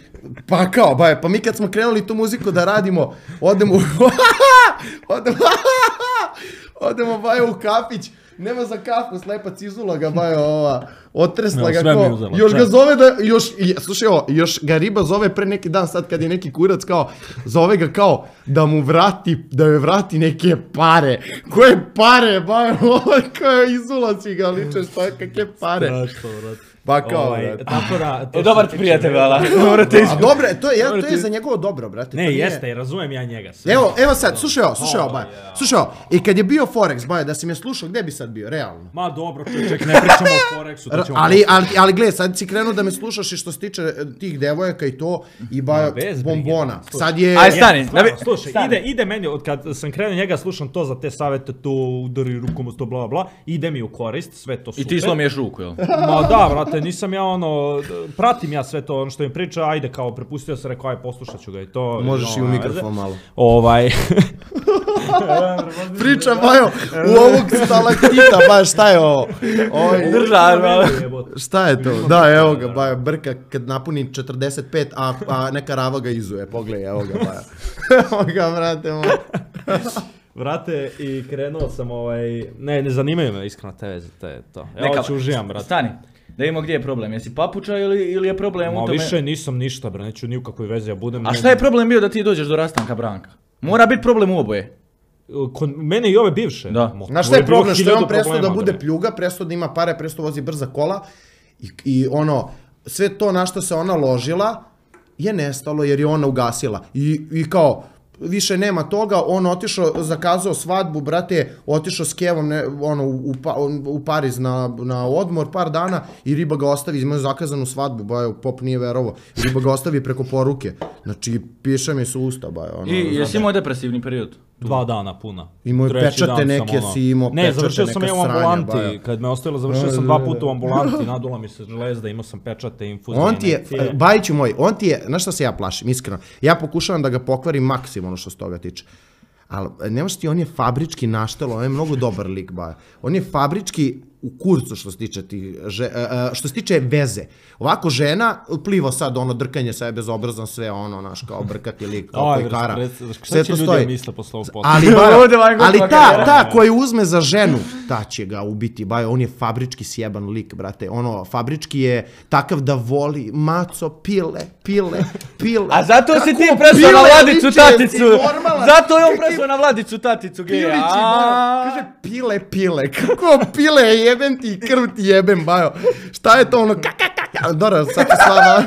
pa kao, baje, pa mi kad smo krenuli tu muziku da radimo, odemo, odemo, odemo, baje, u kafić, nema za kafu, slepac izula ga, baje, ova, otresla no, ga ko, uzela, još čak. Ga zove da, još, slušaj ovo, još ga riba zove pre neki dan, sad kad je neki kurac kao, zove ga kao da mu vrati, da joj vrati neke pare. Koje pare, baje, ovo, kao izula si ga liče, šta, kakve pare. Strašno, vrat. Pa kao, ovaj, tako da, e, dobar ti prijatelj, vala. A dobro, to je, ja, to je za njegovo dobro, brate. Ne, jeste, razumijem ja njega. Sve. Evo, evo sad, slušaj ovo, slušaj ovo, Baja. Slušaj ovo, i kad je bio Forex, Baja, da si me slušao, gdje bi sad bio, realno? Ma dobro, ček, ne pričamo o Forexu, to ćemo... Ali, ali, ali gledaj, sad si krenuo da me slušaš i što se tiče tih devojaka i to, i Baja, bombona. Sad je... Aj, stani, slušaj, ide, ide meni, od kad sam krenuo njega, slušam to za te savete, to udari rukom, to bla bla, ide mi u korist, sve to super. I ti slomiješ ruku, jel? Ma da, brate, nisam ja ono, pratim ja sve to, ono što im priča, ajde kao prepustio se, rekao, aj poslušat ću ga i to. Možeš i u mikrofon malo. Ovaj... Priča, Bajo, u ovog stalaktita, Bajo, šta je ovo? Držar, šta je to? Da, evo ga, Bajo, brka kad napuni četrdeset pet, a, a neka rava ga izuje, pogledaj, evo ga, Bajo. Evo ga, brate, moj. Vrate, i krenuo sam ovaj... Ne, ne zanimaju me iskreno te veze, te to. Ja hoću uživam, brate. Stani. Da vidimo gdje je problem, jesi papuča ili, ili je problem Ma, u tome? Ma više nisam ništa, bre, neću ni u kakvoj vezi ja budem. A šta je problem bio da ti dođeš do rastanka Branka? Mora biti problem u oboje. Kod mene i ove bivše. Da. Znaš šta je problem? Što je on prestao da bude pljuga, prestao da ima pare, prestao vozi brza kola i, i ono, sve to na što se ona ložila je nestalo jer je ona ugasila. I, i kao... Više nema toga, on otišao, zakazao svadbu, brate, otišao s Kevom ne, ono, u, pa, u Pariz na, na odmor par dana i riba ga ostavi, imaju zakazanu svadbu, bajo, pop nije verovo, riba ga ostavi preko poruke, znači piše mi su usta, bajo. Ono, I jesi imao depresivni period? Dva dana puna. Imao je pečate neke, ono, si imao ne, pečate završio neka sam sranja, u ambulanti, bajo. Kad me ostavilo, završio sam dva puta u ambulanti, nadula mi se žlezda, imao sam pečate, infuzije, on ti je, Bajiću moj, on ti je, znaš šta se ja plašim, iskreno, ja pokušavam da ga pokvarim maksimalno što se toga tiče. Ali, nemaš ti, on je fabrički naštelo, on je mnogo dobar lik, Baja. On je fabrički u kurcu što se tiče ti, že, uh, što se tiče veze. Ovako žena pliva sad ono drkanje sve bezobrazno, sve ono naš kao brkati lik, kao koji kara. Šta će ljudi misle posle ovog podcasta? Ali, ba, ali ta, ta koja uzme za ženu, ta će ga ubiti, bajo, on je fabrički sjeban lik, brate. Ono, fabrički je takav da voli maco, pile, pile, pile. A zato si ti presao na Vladicu Taticu. Zato je on presao na Vladicu Taticu. Kaže pile, pile. Kako pile, jebem ti, krv ti jebem, bajo. Šta je to ono, kakakaka. Dobro, sad to slava,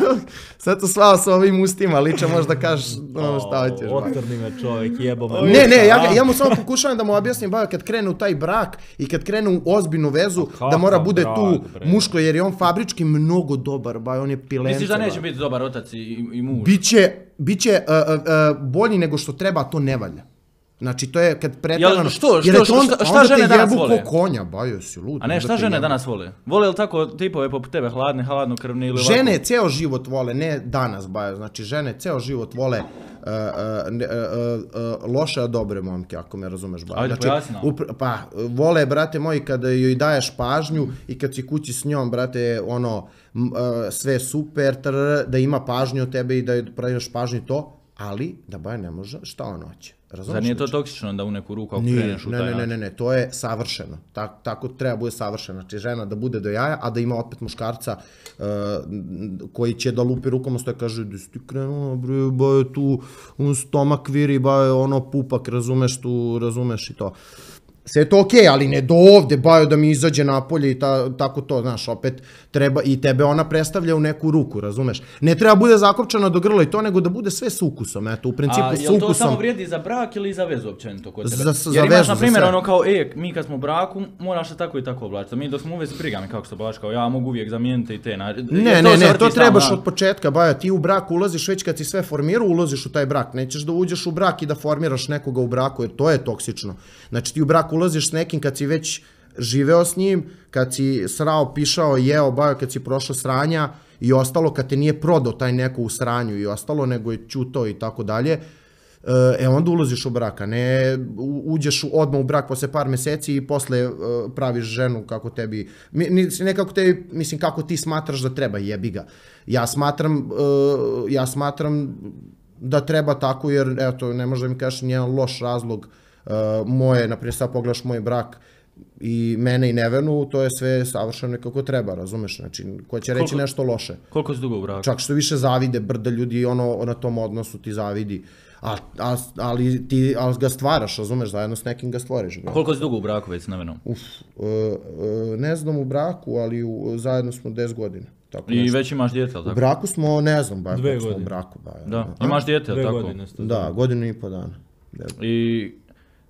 sad to slava sa ovim ustima, liče možda kažeš ono šta hoćeš. Otrni me čovjek, jebom. Ne, ne, ja, ja mu samo pokušavam da mu objasnim, bajo, kad krene u taj brak i kad krene u ozbiljnu vezu, da mora bude tu muško, jer je on fabrički mnogo dobar, bajo, on je pilenca. Misliš da neće biti dobar otac i, i muž? Biće, biće uh, uh, bolji nego što treba, a to ne valja. Znači, to je kad pretjerano... Što, što, što, šta, šta žene danas vole? Onda te jebu ko konja, bajo, si lud. A ne, šta žene danas vole? Vole li tako tipove poput tebe, hladne, hladnokrvne ili ovako? Žene ceo život vole, ne danas, bajo. Znači, žene ceo život vole uh, uh, uh, uh, loše, a dobre momke, ako me razumeš, bajo. Ajde, znači, pojasni nam. Upr pa, vole, brate moji, kada joj daješ pažnju i kad si kući s njom, brate, ono, uh, sve super, trr, da ima pažnju od tebe i da joj praviš pažnju to, ali da bajo ne može, šta on hoće. Razumeš? Zar nije to toksično da u neku ruku ako kreneš u taj način? Ne, ne, ne, ne, to je savršeno. Tak, tako treba bude savršeno. Znači žena da bude do jaja, a da ima opet muškarca uh, koji će da lupi rukom, stoje kaže, da si ti krenula, bre, ba je tu un stomak viri, ba je ono pupak, razumeš tu, razumeš i to. Sve je to okej, ali ne do ovde, bajo da mi izađe napolje i ta, tako to, znaš, opet treba i tebe ona predstavlja u neku ruku, razumeš? Ne treba bude zakopčana do grla i to, nego da bude sve s ukusom, eto, u principu s ukusom. A je li to samo vrijedi za brak ili za vezu općenito kod tebe? Za, za Jer imaš, vezu, na primjer, za ono kao, e, mi kad smo u braku, moraš se tako i tako oblačiti. Mi dok smo u vezi prigami, kako se oblači, kao ja mogu uvijek zamijeniti i te. Na... Ne, ne, ne, to trebaš od početka, bajo, ti u brak ulaziš već kad si sve formirao, ulaziš u taj brak. Nećeš da uđeš u brak i da formiraš nekoga u braku, jer to je toksično. Znači ti u brak ulaziš s nekim kad si već živeo s njim, kad si srao, pišao, jeo, bajo, kad si prošao sranja i ostalo, kad te nije prodao taj neko u sranju i ostalo, nego je ćutao i tako dalje, e, onda ulaziš u brak, a ne uđeš odmah u brak posle par meseci i posle praviš ženu kako tebi, ne kako tebi, mislim kako ti smatraš da treba, jebi ga. Ja smatram, ja smatram da treba tako, jer, eto, ne možda mi kažeš nijedan loš razlog. Uh, moje, naprijed sad pogledaš moj brak i mene i Nevenu, to je sve savršeno kako treba, razumeš, znači, ko će reći koliko, nešto loše. Koliko si dugo u braku? Čak što više zavide, brda ljudi ono na tom odnosu ti zavidi, a, a, ali ti ali ga stvaraš, razumeš, zajedno s nekim ga stvoriš. Bro. Koliko si dugo u braku već s Nevenom? Uf, uh, uh, ne znam u braku, ali u, zajedno smo deset godina. Tako I nešto. već imaš dijete, ali tako? U braku smo, ne znam, ba, Dve smo godine. u braku. Ba, da, a? Imaš dijete, ali tako? Godine ste da, godinu i po dana. I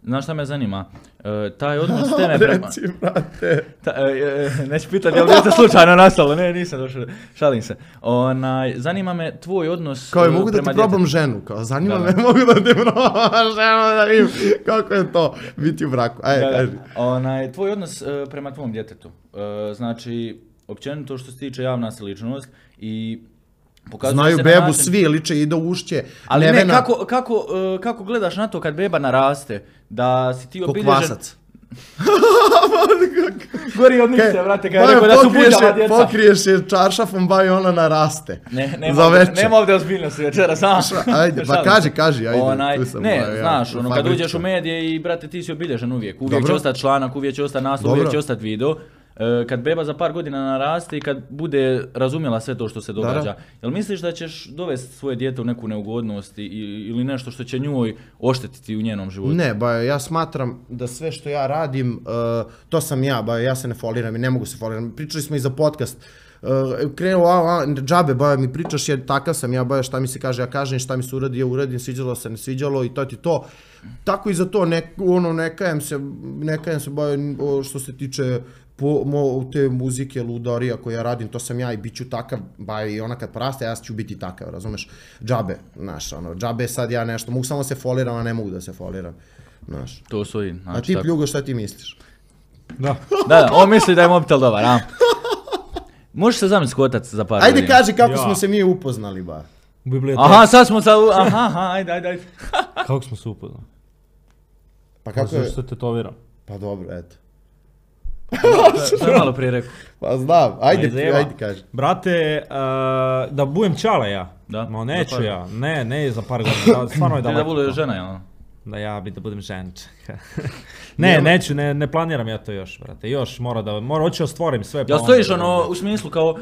znaš šta me zanima? E, taj odnos s teme prema... Reci, brate. Ta, e, e, neću pitati, je li dijete slučajno nastalo? Ne, nisam došao, šalim se. Onaj, zanima me tvoj odnos kao, prema mogu da ti djetetu. Probam ženu, kao, zanima da, me, da. mogu da ti probam ženu, da vidim kako je to biti u braku. Ajde, da, kaži. Onaj, tvoj odnos e, prema tvom djetetu. E, znači, općenito što se tiče javna si ličnost i pokazuje znaju se bebu način... svi, liče i do ušće. Ali Nevena... ne, kako, kako, uh, kako gledaš na to kad beba naraste? Da si ti obilježen... Kokvasac. Gori od nice, brate, kada je rekao da su buđava djeca. Pokriješ je čaršafom, ba i ona naraste. Ne, nema, ovdje, nema ovdje ozbiljnosti večera, sam. Ajde, pa kaži, kaži, ajde. Onaj, tu sam, ne, ba, znaš, ja, ono, kad uđeš u medije i, brate, ti si obilježen uvijek. Uvijek Dobro. će ostati članak, uvijek će ostati naslov, uvijek će ostati video. Kad beba za par godina naraste i kad bude razumjela sve to što se događa, da. Jel misliš da ćeš dovesti svoje dijete u neku neugodnost i, ili nešto što će njoj oštetiti u njenom životu? Ne, ba, ja smatram da sve što ja radim, uh, to sam ja, ba, ja se ne foliram i ne mogu se foliram. Pričali smo i za podcast. Uh, krenuo, a, a, džabe, ba, mi pričaš jer takav sam ja, ba, šta mi se kaže, ja kažem, šta mi se uradi, ja uradim, sviđalo se, ne sviđalo i to ti to. Tako i za to, ne, ono, ne kajem se, ne kajem se, ba, što se tiče po mo, te muzike, ludarija koje ja radim, to sam ja i bit ću takav, ba i ona kad poraste, ja ću biti takav, razumeš? Džabe, znaš, ono, džabe sad ja nešto, mogu samo se foliram, a ne mogu da se foliram, znaš. To stoji, znači. A ti, tako. Pljugo, šta ti misliš? Da. Da, da, on misli da je mobitel dobar, a? Možeš se zamisliti kotac za par ajde godina. kaži kako ja. smo se mi upoznali, ba. U biblioteci. Aha, sad smo sa... Aha, aha, ajde, ajde, ajde. Kako smo se upoznali? Pa kako je? Zašto se tetoviram? Pa dobro, eto. To je malo prije rekao. Pa znam, ajde, Ma izjeba. ajde kaži. Brate, uh, da budem čale ja. Da, Ma za neću par- ja, ne, ne za par godina, da, stvarno je Ti da daleko bude to. žena, jel? Da ja bi da budem ženče. ne, neću, ne, ne planiram ja to još, brate. Još mora da, mora, hoću ostvorim sve. Jel pa stojiš onda- ono u smislu kao uh,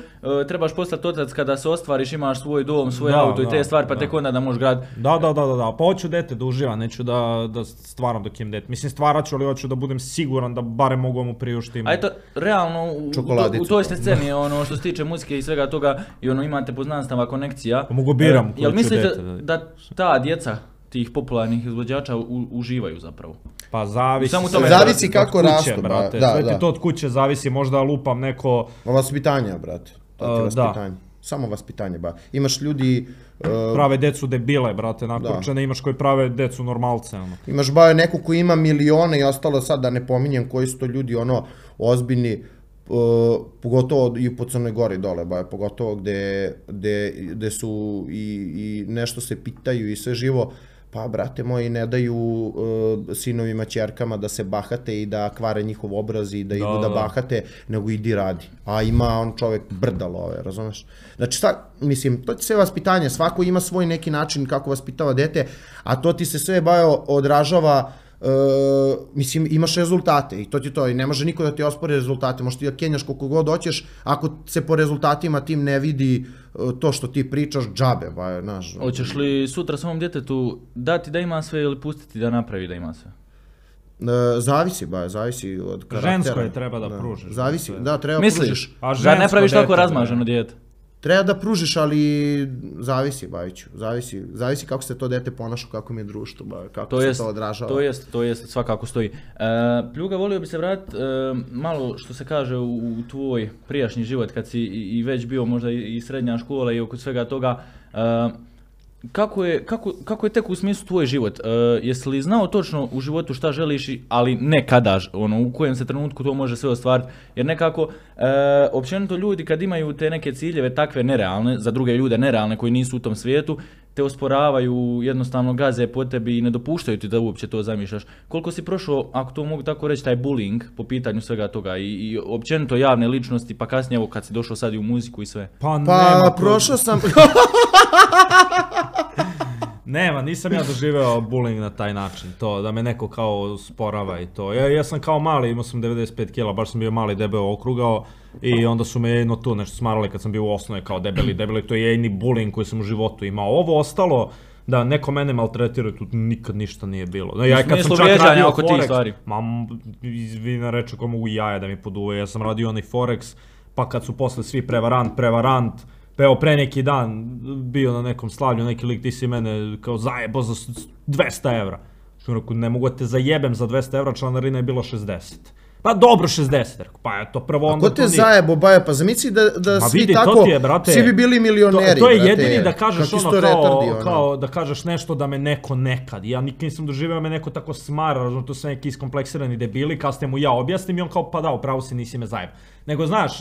trebaš postati otac kada se ostvariš, imaš svoj dom, svoj Da, auto i te da, stvari pa da. tek onda da možeš grad. Da, da, da, da, da, pa hoću dete da uživam, neću da, da stvaram dok imam dete. Mislim stvarat ću, ali hoću da budem siguran da barem mogu mu priuštim. A eto, realno, u, u, to, Čokoladicu. u toj ste sceni, ono što se tiče muzike i svega toga, i ono imate poznanstava, konekcija. Pa mogu biram E, koju Jel ću mislite dete da- da ta djeca tih popularnih izvođača u, uživaju zapravo? Pa zavisi. Samo u tome sve zavisi od kako kuće, rastu, ba, brate. da, Sve da. ti to od kuće zavisi, možda lupam neko... Vaspitanje, brate. To ti je Uh, da. vaspitanje. Samo vaspitanje, ba. Imaš ljudi, uh, prave decu debile, brate, Da. nakurčene, imaš koji prave decu normalce, ono. imaš ba neko koji ima milione i ostalo sad da ne pominjem koji su to ljudi ono ozbiljni, uh, pogotovo i po Crnoj Gori dole, ba, pogotovo gde, gde, gde su i, i nešto se pitaju i sve živo. Pa, brate moji, ne daju uh, sinovima, ćerkama da se bahate i da kvare njihov obraz i da idu da, da. bahate, nego idi radi. A ima on čovjek brda love, razumeš? Znači, šta, mislim, to ti sve vaspitanje, svako ima svoj neki način kako vaspitava dete, a to ti se sve bajo odražava. Uh, mislim, imaš rezultate i to ti to, i ne može niko da ti ospori rezultate, možeš ti da kenjaš koliko god hoćeš, ako se po rezultatima tim ne vidi uh, to što ti pričaš, džabe, ba, znaš. Hoćeš li sutra svom djetetu dati da ima sve ili pustiti da napravi da ima sve? Uh, zavisi, ba, zavisi od karaktera. Žensko je treba da pružiš, Zavisi, sve. da, treba Misliš? pružiš. A Da žensko ne praviš dete, tako bre. razmaženo dijete? Treba da pružiš, ali zavisi, Bajiću, zavisi, zavisi kako se to dete ponaša, kako mi je društvo, ba, kako To se jest, to odražava. to jest, to jest, svakako stoji. E, Pljuga, volio bi se vratiti e, malo što se kaže u, u tvoj prijašnji život kad si i, i već bio možda i, i srednja škola i oko svega toga. E, kako, je, kako, kako je tek u smislu tvoj život? E, jesi li znao točno u životu šta želiš, i- ali ne kada, ž- ono, u kojem se trenutku to može sve ostvariti? Jer nekako, e, općenito ljudi kad imaju te neke ciljeve takve nerealne, za druge ljude nerealne koji nisu u tom svijetu, te osporavaju, jednostavno gaze po tebi i ne dopuštaju ti da uopće to zamišljaš. Koliko si prošao, ako to mogu tako reći, taj bullying po pitanju svega toga i, i općenito javne ličnosti, pa kasnije evo kad si došao sad i u muziku i sve? Pa, Pa, nema, ko- prošao sam... Nema, nisam ja doživeo bullying na taj način, to da me neko kao sporava i to. Ja, ja sam kao mali, imao sam devedeset pet kila, baš sam bio mali, debeo, okrugao i onda su me jedno tu nešto smarali kad sam bio u osnovi kao debeli, debeli, to je jedini bullying koji sam u životu imao. Ovo ostalo, da neko mene maltretira, tu nikad ništa nije bilo. No, ja U kad sam smislu čak vrijeđanja radio oko tih Forex, stvari. ma, izvina reče ko mogu jaja da mi poduve, ja sam radio onaj Forex, pa kad su posle svi prevarant, prevarant, pa evo pre neki dan bio na nekom slavlju, neki lik ti si mene kao zajebo za dvesta evra. Što rekao, ne mogu da te zajebem za dvesta evra, članarina je bilo šezdeset. Pa dobro šezdeset, rekao, pa eto prvo onda Ko te to nije. zajebo, Baja, pa zamisli da, da Ma svi vidi, to tako, ti je, brate, svi bi bili milioneri, To, to je brate. jedini da kažeš Kakvi ono su to kao, retardi, ono. kao da kažeš nešto da me neko nekad. Ja nikad nisam doživio da me neko tako smara, razumno, to su neki iskompleksirani debili, kasnije mu ja objasnim i on kao pa da, upravo si nisi me zajeb. Nego znaš,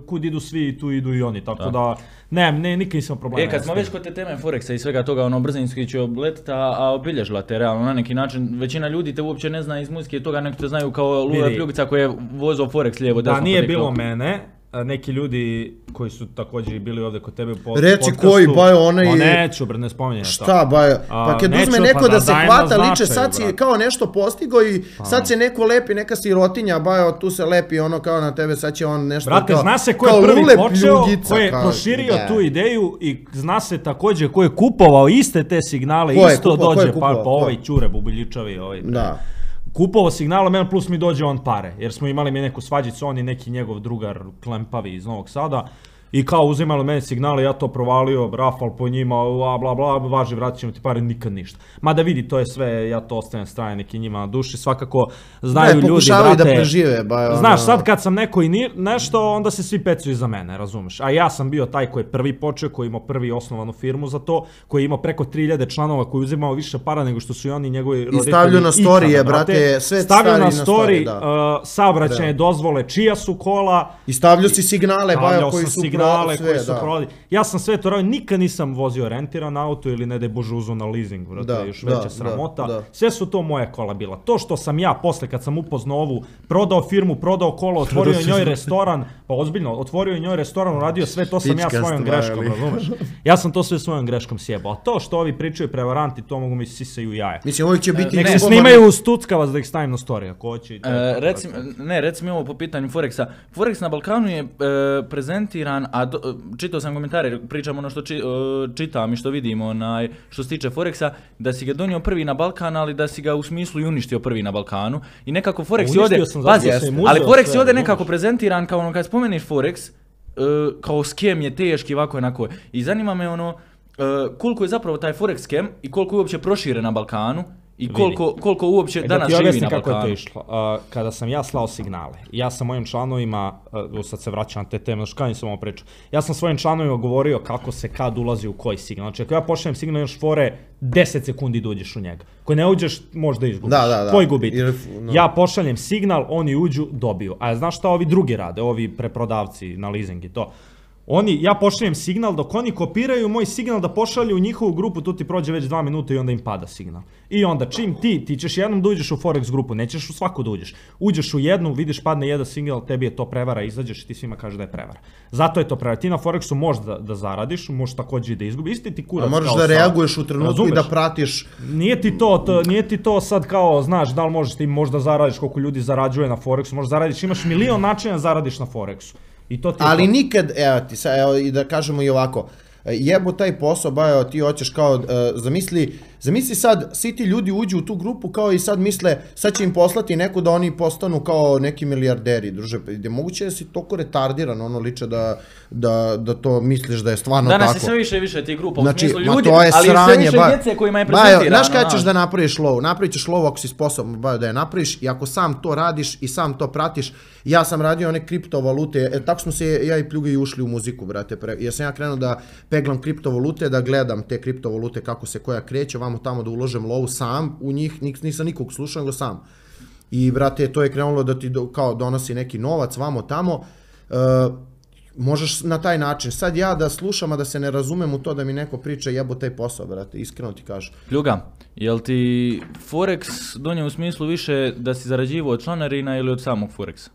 kud idu svi, tu idu i oni, tako da, da ne, ne, nikad nisam problema. E, kad smo već kod te teme Forexa i svega toga, ono, brzinski će obletiti, a, a obilježila te realno na neki način. Većina ljudi te uopće ne zna iz muzike i toga, nek te znaju kao Lule Vidi. Pljugica koji je vozao Forex lijevo desno. Da nije po bilo TikToku. mene, a neki ljudi koji su također bili ovdje kod tebe u pod- Reci podcastu. koji, Bajo, onaj Ma je- neću, bre, ne spominjem to. Šta, Baja? A, Pa kad neću, uzme pa neko da da se dajem hvata, na liče, značaju, sad si brate. kao nešto postigo i sad se neko lepi, neka sirotinja, Baja, tu se lepi ono kao na tebe, sad će on nešto Brate, kao... zna se ko je kao prvi Lule počeo, Pljugica, ko je kao- proširio ne. tu ideju i zna se također ko je kupovao iste te signale, Ko je isto kupovao, ko je dođe, kupovao, pa, pa ko? ovaj Ćure Bubiljičavi, ovaj. Da. Kupovao signala, men plus mi dođe on pare, jer smo imali mi neku svađicu, on i neki njegov drugar Klempavi iz Novog Sada. I kao uzimali meni signale, ja to provalio, rafal po njima, bla bla bla, važi, vratit ćemo ti pare, nikad ništa. Mada vidi, to je sve, ja to ostavim strane neki njima na duši, svakako znaju Ne, ljudi, pokušavaju brate. da prežive, ba, Znaš, ono- sad kad sam neko i ni, nešto, onda se svi pecuju za mene, razumeš? A ja sam bio taj koji je prvi počeo, koji je imao prvi osnovanu firmu za to, koji je imao preko tri hiljade članova, koji je uzimao više para nego što su i oni njegovi roditelji. stavljaju na ikada, storije, brate, sve stavljaju stavi na na story, story, da. uh, saobraćajne dozvole, čija su kola, I stavljaju si signale, Baja, stavljao koji sam su signale signale sve, koji su da. prodali. Ja sam sve to radio, nikad nisam vozio rentiran auto ili ne daj Bože uzeo na leasing, brate, Da, još da, veća da, sramota. da. Sve su to moja kola bila. To što sam ja posle kad sam upoznao ovu, prodao firmu, prodao kolo, otvorio njoj restoran, pa ozbiljno, otvorio njoj restoran, uradio sve, to sam ja Pička svojom stvar, greškom, ali. razumeš? Ja sam to sve svojom greškom sjebao. A to što ovi pričaju prevaranti, to mogu mi sisaju jaja. Mislim, uvijek će biti... Nek se ljubomoran- snimaju u Stuckavac da ih stavim na story, ako hoće. i to je E, to, recim, brate. ne, reci mi ovo po pitanju Forexa. Forex na Balkanu je e, prezentiran, a do, čitao sam komentare, pričam ono što či, e, čitam i što vidim, onaj, što se tiče Forexa, da si ga donio prvi na Balkan, ali da si ga u smislu i uništio prvi na Balkanu. I nekako Forex je Uništio ovdje, sam zato pazi, što sam im ali uzeo Forex sve, je ovdje razumeš? nekako prezentiran kao ono kad spomeniš Forex, e, kao skem je teški, ovako je onako. I zanima me ono, e, koliko je zapravo taj Forex skem i koliko je uopće proširen na Balkanu i koliko, koliko uopće E, danas da ti živi objasnim na kako je to Balkanu. išlo. Uh, kada sam ja slao signale, ja sam mojim članovima, uh, sad se vraćam na te teme, znaš kada sam ovo pričao, ja sam svojim članovima govorio kako se kad ulazi u koji signal. Znači ako ja pošaljem signal još fore, deset sekundi da uđeš u njega. Ako ne uđeš, možda izgubiš. Da, da, da. Tvoj gubitak. Jer, no. Ja pošaljem signal, oni uđu, dobiju. A znaš šta ovi drugi rade, ovi preprodavci na leasing i to? Oni, ja pošaljem signal, dok oni kopiraju moj signal da pošalju u njihovu grupu, tu ti prođe već dva minuta i onda im pada signal. I onda čim ti, ti ćeš jednom da uđeš u Forex grupu, nećeš u svaku da uđeš. Uđeš u jednu, vidiš padne jedan signal, tebi je to prevara, izađeš i ti svima kažeš da je prevara. Zato je to prevara. Ti na Forexu možeš da, da zaradiš, možeš također i da izgubiš. Isti ti kurac A moraš kao da sad. reaguješ u trenutku Razumeš? i da pratiš. Nije ti to, to, nije ti to sad kao, znaš, da li možeš ti možda zaradiš koliko ljudi zarađuje na Forexu, možeš zaradiš, imaš milion načina da zaradiš na Forexu. I to ti je Ali to. nikad, evo ti, sad, evo i da kažemo i ovako, jebo taj posao, ba, evo ti hoćeš kao, uh, zamisli, zamisli sad, svi ti ljudi uđu u tu grupu kao i sad misle, sad će im poslati neko da oni postanu kao neki milijarderi, druže, je moguće da si toliko retardiran, ono liče da, da, da to misliš da je stvarno Danas tako. je sve više i više tih grupa, Znači, u smislu ma ljudi, to je ali sranje, sve više ba- djece kojima je Bajo, prezentirano. znaš kada ćeš znaš. da napraviš lovu? Napravit ćeš lovu ako si sposoban, Bajo, da je napraviš i ako sam to radiš i sam to pratiš. Ja sam radio one kriptovalute, e, tako smo se ja i Pljuga i ušli u muziku, brate. Pre, jer sam ja krenuo da peglam kriptovalute, da gledam te kriptovalute kako se koja kreće, vamo tamo da uložem lovu sam u njih, nik, nisam nikog slušao, nego sam. I, brate, to je krenulo da ti do, kao donosi neki novac, vamo tamo. E, možeš na taj način. Sad ja da slušam, a da se ne razumem u to da mi neko priča jebo taj posao, brate, iskreno ti kažem. Pljuga, jel ti Forex donio u smislu više da si zarađivao od članarina ili od samog Forexa?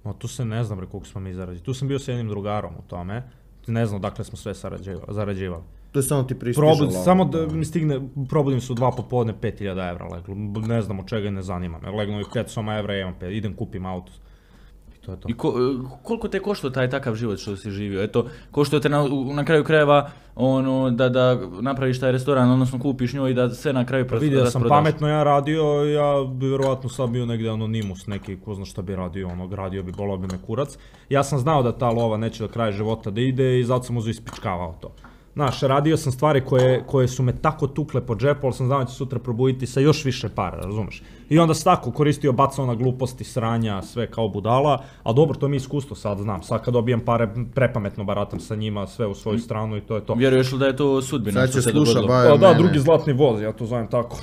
No, tu se ne znam bre koliko smo mi zarađivali. Tu sam bio s jednim drugarom u tome. Ne znam dakle smo sve sarađivali. zarađivali. To je samo ti pristiže Probud, lova, samo da mi stigne, probudim se u dva popodne, pet hiljada evra leglo. Ne znam od čega, ne zanima me. Legnu i pet soma evra, imam pet, idem kupim auto. I to je to. I ko, koliko te koštao taj takav život što si živio? Eto, koštao te na, na kraju krajeva ono, da, da napraviš taj restoran, odnosno kupiš njoj i da sve na kraju Pa vidio sam pametno ja radio, ja bi vjerovatno sad bio negdje anonimus neki, ko zna šta bi radio, ono, gradio bi, bolao bi me kurac. Ja sam znao da ta lova neće do kraja života da ide i zato sam uzeo ispičkavao to. Znaš, radio sam stvari koje, koje su me tako tukle po džepu, ali sam znao da će sutra probuditi sa još više para, razumeš? I onda sam tako koristio, bacao na gluposti, sranja, sve kao budala, a dobro, to mi je iskustvo sad znam, sad kad dobijem pare, prepametno baratam sa njima, sve u svoju stranu i to je to. Vjeruješ li da je to sudbina Sad što će se sluša, dogodilo? Bajo, O, da, mene. drugi zlatni voz, ja to zovem tako.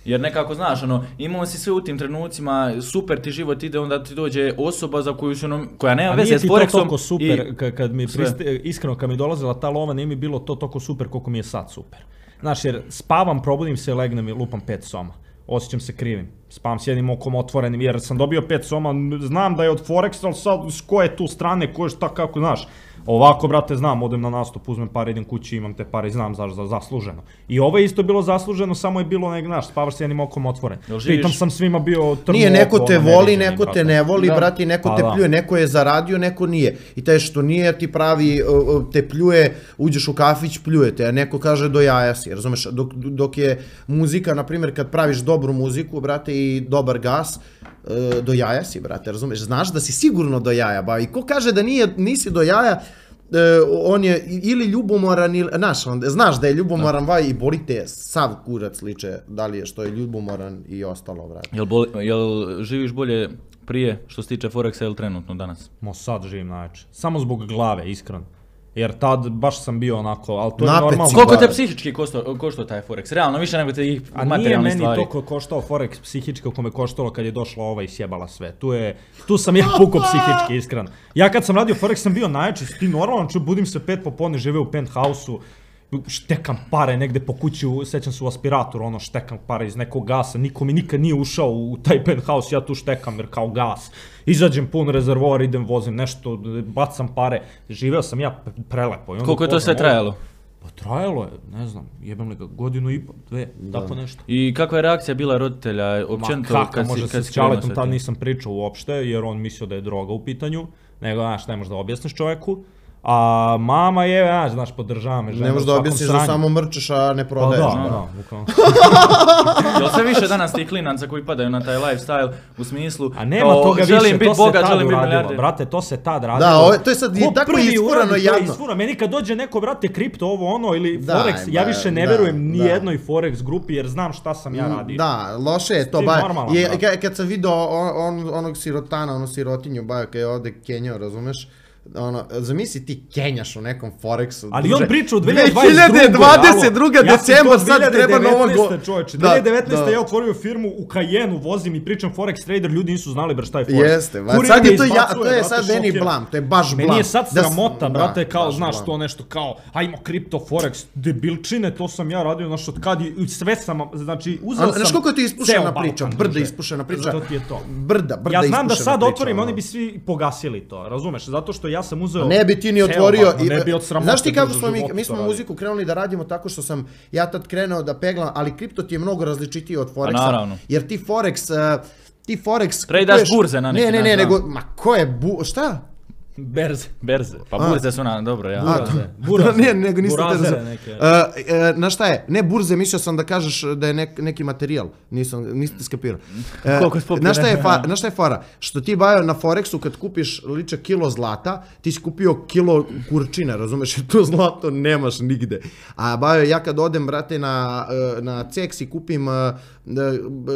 Jer nekako znaš, ono, imao si sve u tim trenucima, super ti život ide, onda ti dođe osoba za koju su, ono, koja nema A veze nije s ti to Forexom toliko super, i- ka- kad mi sve. priste, iskreno kad mi dolazila ta lova, nije mi bilo to toliko super koliko mi je sad super. Znaš, jer spavam, probudim se, legnem i lupam pet soma. Osjećam se krivim. Spavam s jednim okom otvorenim, jer sam dobio pet soma, znam da je od Forexa, ali sad s koje tu strane, koje šta, kako, znaš. Ovako, brate, znam, odem na nastup, uzmem pare, idem kući, imam te pare i znam za, za zasluženo. I ovo je isto bilo zasluženo, samo je bilo nek, znaš, spavaš s jednim okom otvoren. Jel živiš- Pritom sam svima bio trnu Nije, neko oko, te ono, voli, neviđeni, neko te brate. ne voli, Da. brati, neko Pa te da. pljuje, neko je zaradio, neko nije. I taj što nije ti pravi, uh, uh, te pljuje, uđeš u kafić, pljuje te, a neko kaže do jaja si, razumeš? Dok, dok je muzika, na primjer, kad praviš dobru muziku, brate, i dobar gas, uh, do jaja si, brate, razumeš? Znaš da si sigurno do jaja, ba, i ko kaže da nije, nisi do jaja, Uh, on je ili ljubomoran ili, znaš, on, znaš da je ljubomoran, vaj, i boli te sav kurac liče, da li je što je ljubomoran i ostalo, brate. Jel, bol, jel živiš bolje prije što se tiče Forexa ili trenutno danas? Mo sad živim najjače. Samo zbog glave, iskreno. Jer tad baš sam bio onako, ali to je Napet normalno. si. Koliko te psihički koštao, koštao taj Forex? Realno, više nego te ih A nije materijalne meni stvari. toliko koštao Forex psihički kako me koštalo kad je došla ova i sjebala sve. Tu, je, tu sam ja puko psihički, iskreno. Ja kad sam radio Forex sam bio najjači, ti normalno, ču, budim se pet popodne, žive u penthausu, štekam pare negde po kući, sećam se u aspiratoru, ono štekam pare iz nekog gasa, niko mi nikad nije ušao u taj penthouse, ja tu štekam jer kao gas. Izađem pun rezervoar, idem, vozim nešto, bacam pare, živeo sam ja prelepo. I onda Koliko je to sve upoznam trajalo? ovo. Pa trajalo je, ne znam, jebem li ga, godinu i po, dve, tako nešto. I kakva je reakcija bila roditelja, općenito Ma kako, kad si, može kad se si s krenuo Čaletom sa tad tim? nisam pričao uopšte, jer on mislio da je droga u pitanju, nego, znaš, ne možeš da objasniš čoveku. A mama je, znaš, znaš, podržava me žena Ne možeš u da svakom objasniš da sranju. samo mrčeš, a ne Pa prodaješ. da, da, da, bukvalno. Jel sve više danas tih klinaca koji padaju na taj lifestyle u smislu A nema kao, toga želim više, biti to se bogat, tad želim biti uradilo, milijarder. brate, to se tad radilo. Da, ovo- to je sad i Ko tako prvi isfurano uradi, to je jadno. isfurano. Meni kad dođe neko, brate, kripto, ovo ono, ili Da, Forex, ja ba, više ne da, verujem ni da. jednoj Forex grupi, jer znam šta sam ja radio. Da, loše je to. Ti Ba, normalan, je, brate. kad, kad sam video on, on, onog sirotana, onu sirotinju, ba, kad je ovde kenjao, razumeš? Ono, zamisli ti kenjaš u nekom Forexu. Ali druže, on priča u dve hiljade dvadeset druge. dve hiljade dvadeset druge alo. Ja sam decembar, to sad treba novo go... dvije hiljade devetnaeste čoveče, Da, dvije hiljade devetnaeste da. ja otvorio firmu u Cayenneu, vozim i pričam Forex trader, ljudi nisu znali bre šta je Forex. Jeste, ba, Kurir sad me je to, ja, izbacuje, to je brate, sad meni šoker. blam, to je baš blam. Meni je sad Da s- sramota, da, brate, kao, baš znaš, blam. to nešto kao, ajmo kripto, Forex, debilčine, to sam ja radio, znaš, od kad je, i sve sam, znači, uzeo A, sam znaš koliko je to ispušena ceo priča, Balkan, brda druže. ispušena priča. To ti je to. Brda, brda Ja znam da ispušena sad priča, otvorim, ono. oni bi svi pogasili to, razumeš? Zato što ja sam uzeo... Ne bi ti ni ceo otvorio. Balkan, ne bi od sramote, Znaš ti kako druže, smo mi, životu mi to smo radio. muziku krenuli da radimo tako što sam ja tad krenuo da peglam, ali kripto ti je mnogo različitiji od Forexa. naravno. Jer ti Forex, uh, ti Forex... Tradaš kupuješ- burze na neki Ne, ne, ne, način, nego, ma ko je bu... Šta? Berze. Berze. Pa A. burze su na, dobro, ja. Buraze. Buraze. Ne, nego nisam te Burazere razumio. neke. Uh, uh, na šta je? Ne burze, mislio sam da kažeš da je nek, neki materijal. Nisam, niste skapirao. Uh, Koliko si popio, na šta je ne? fa, na šta je fora? Što ti bajo na Forexu kad kupiš liče kilo zlata, ti si kupio kilo kurčina, razumeš? Jer to zlato nemaš nigde. A bajo, ja kad odem, brate, na, uh, na C E X i kupim uh,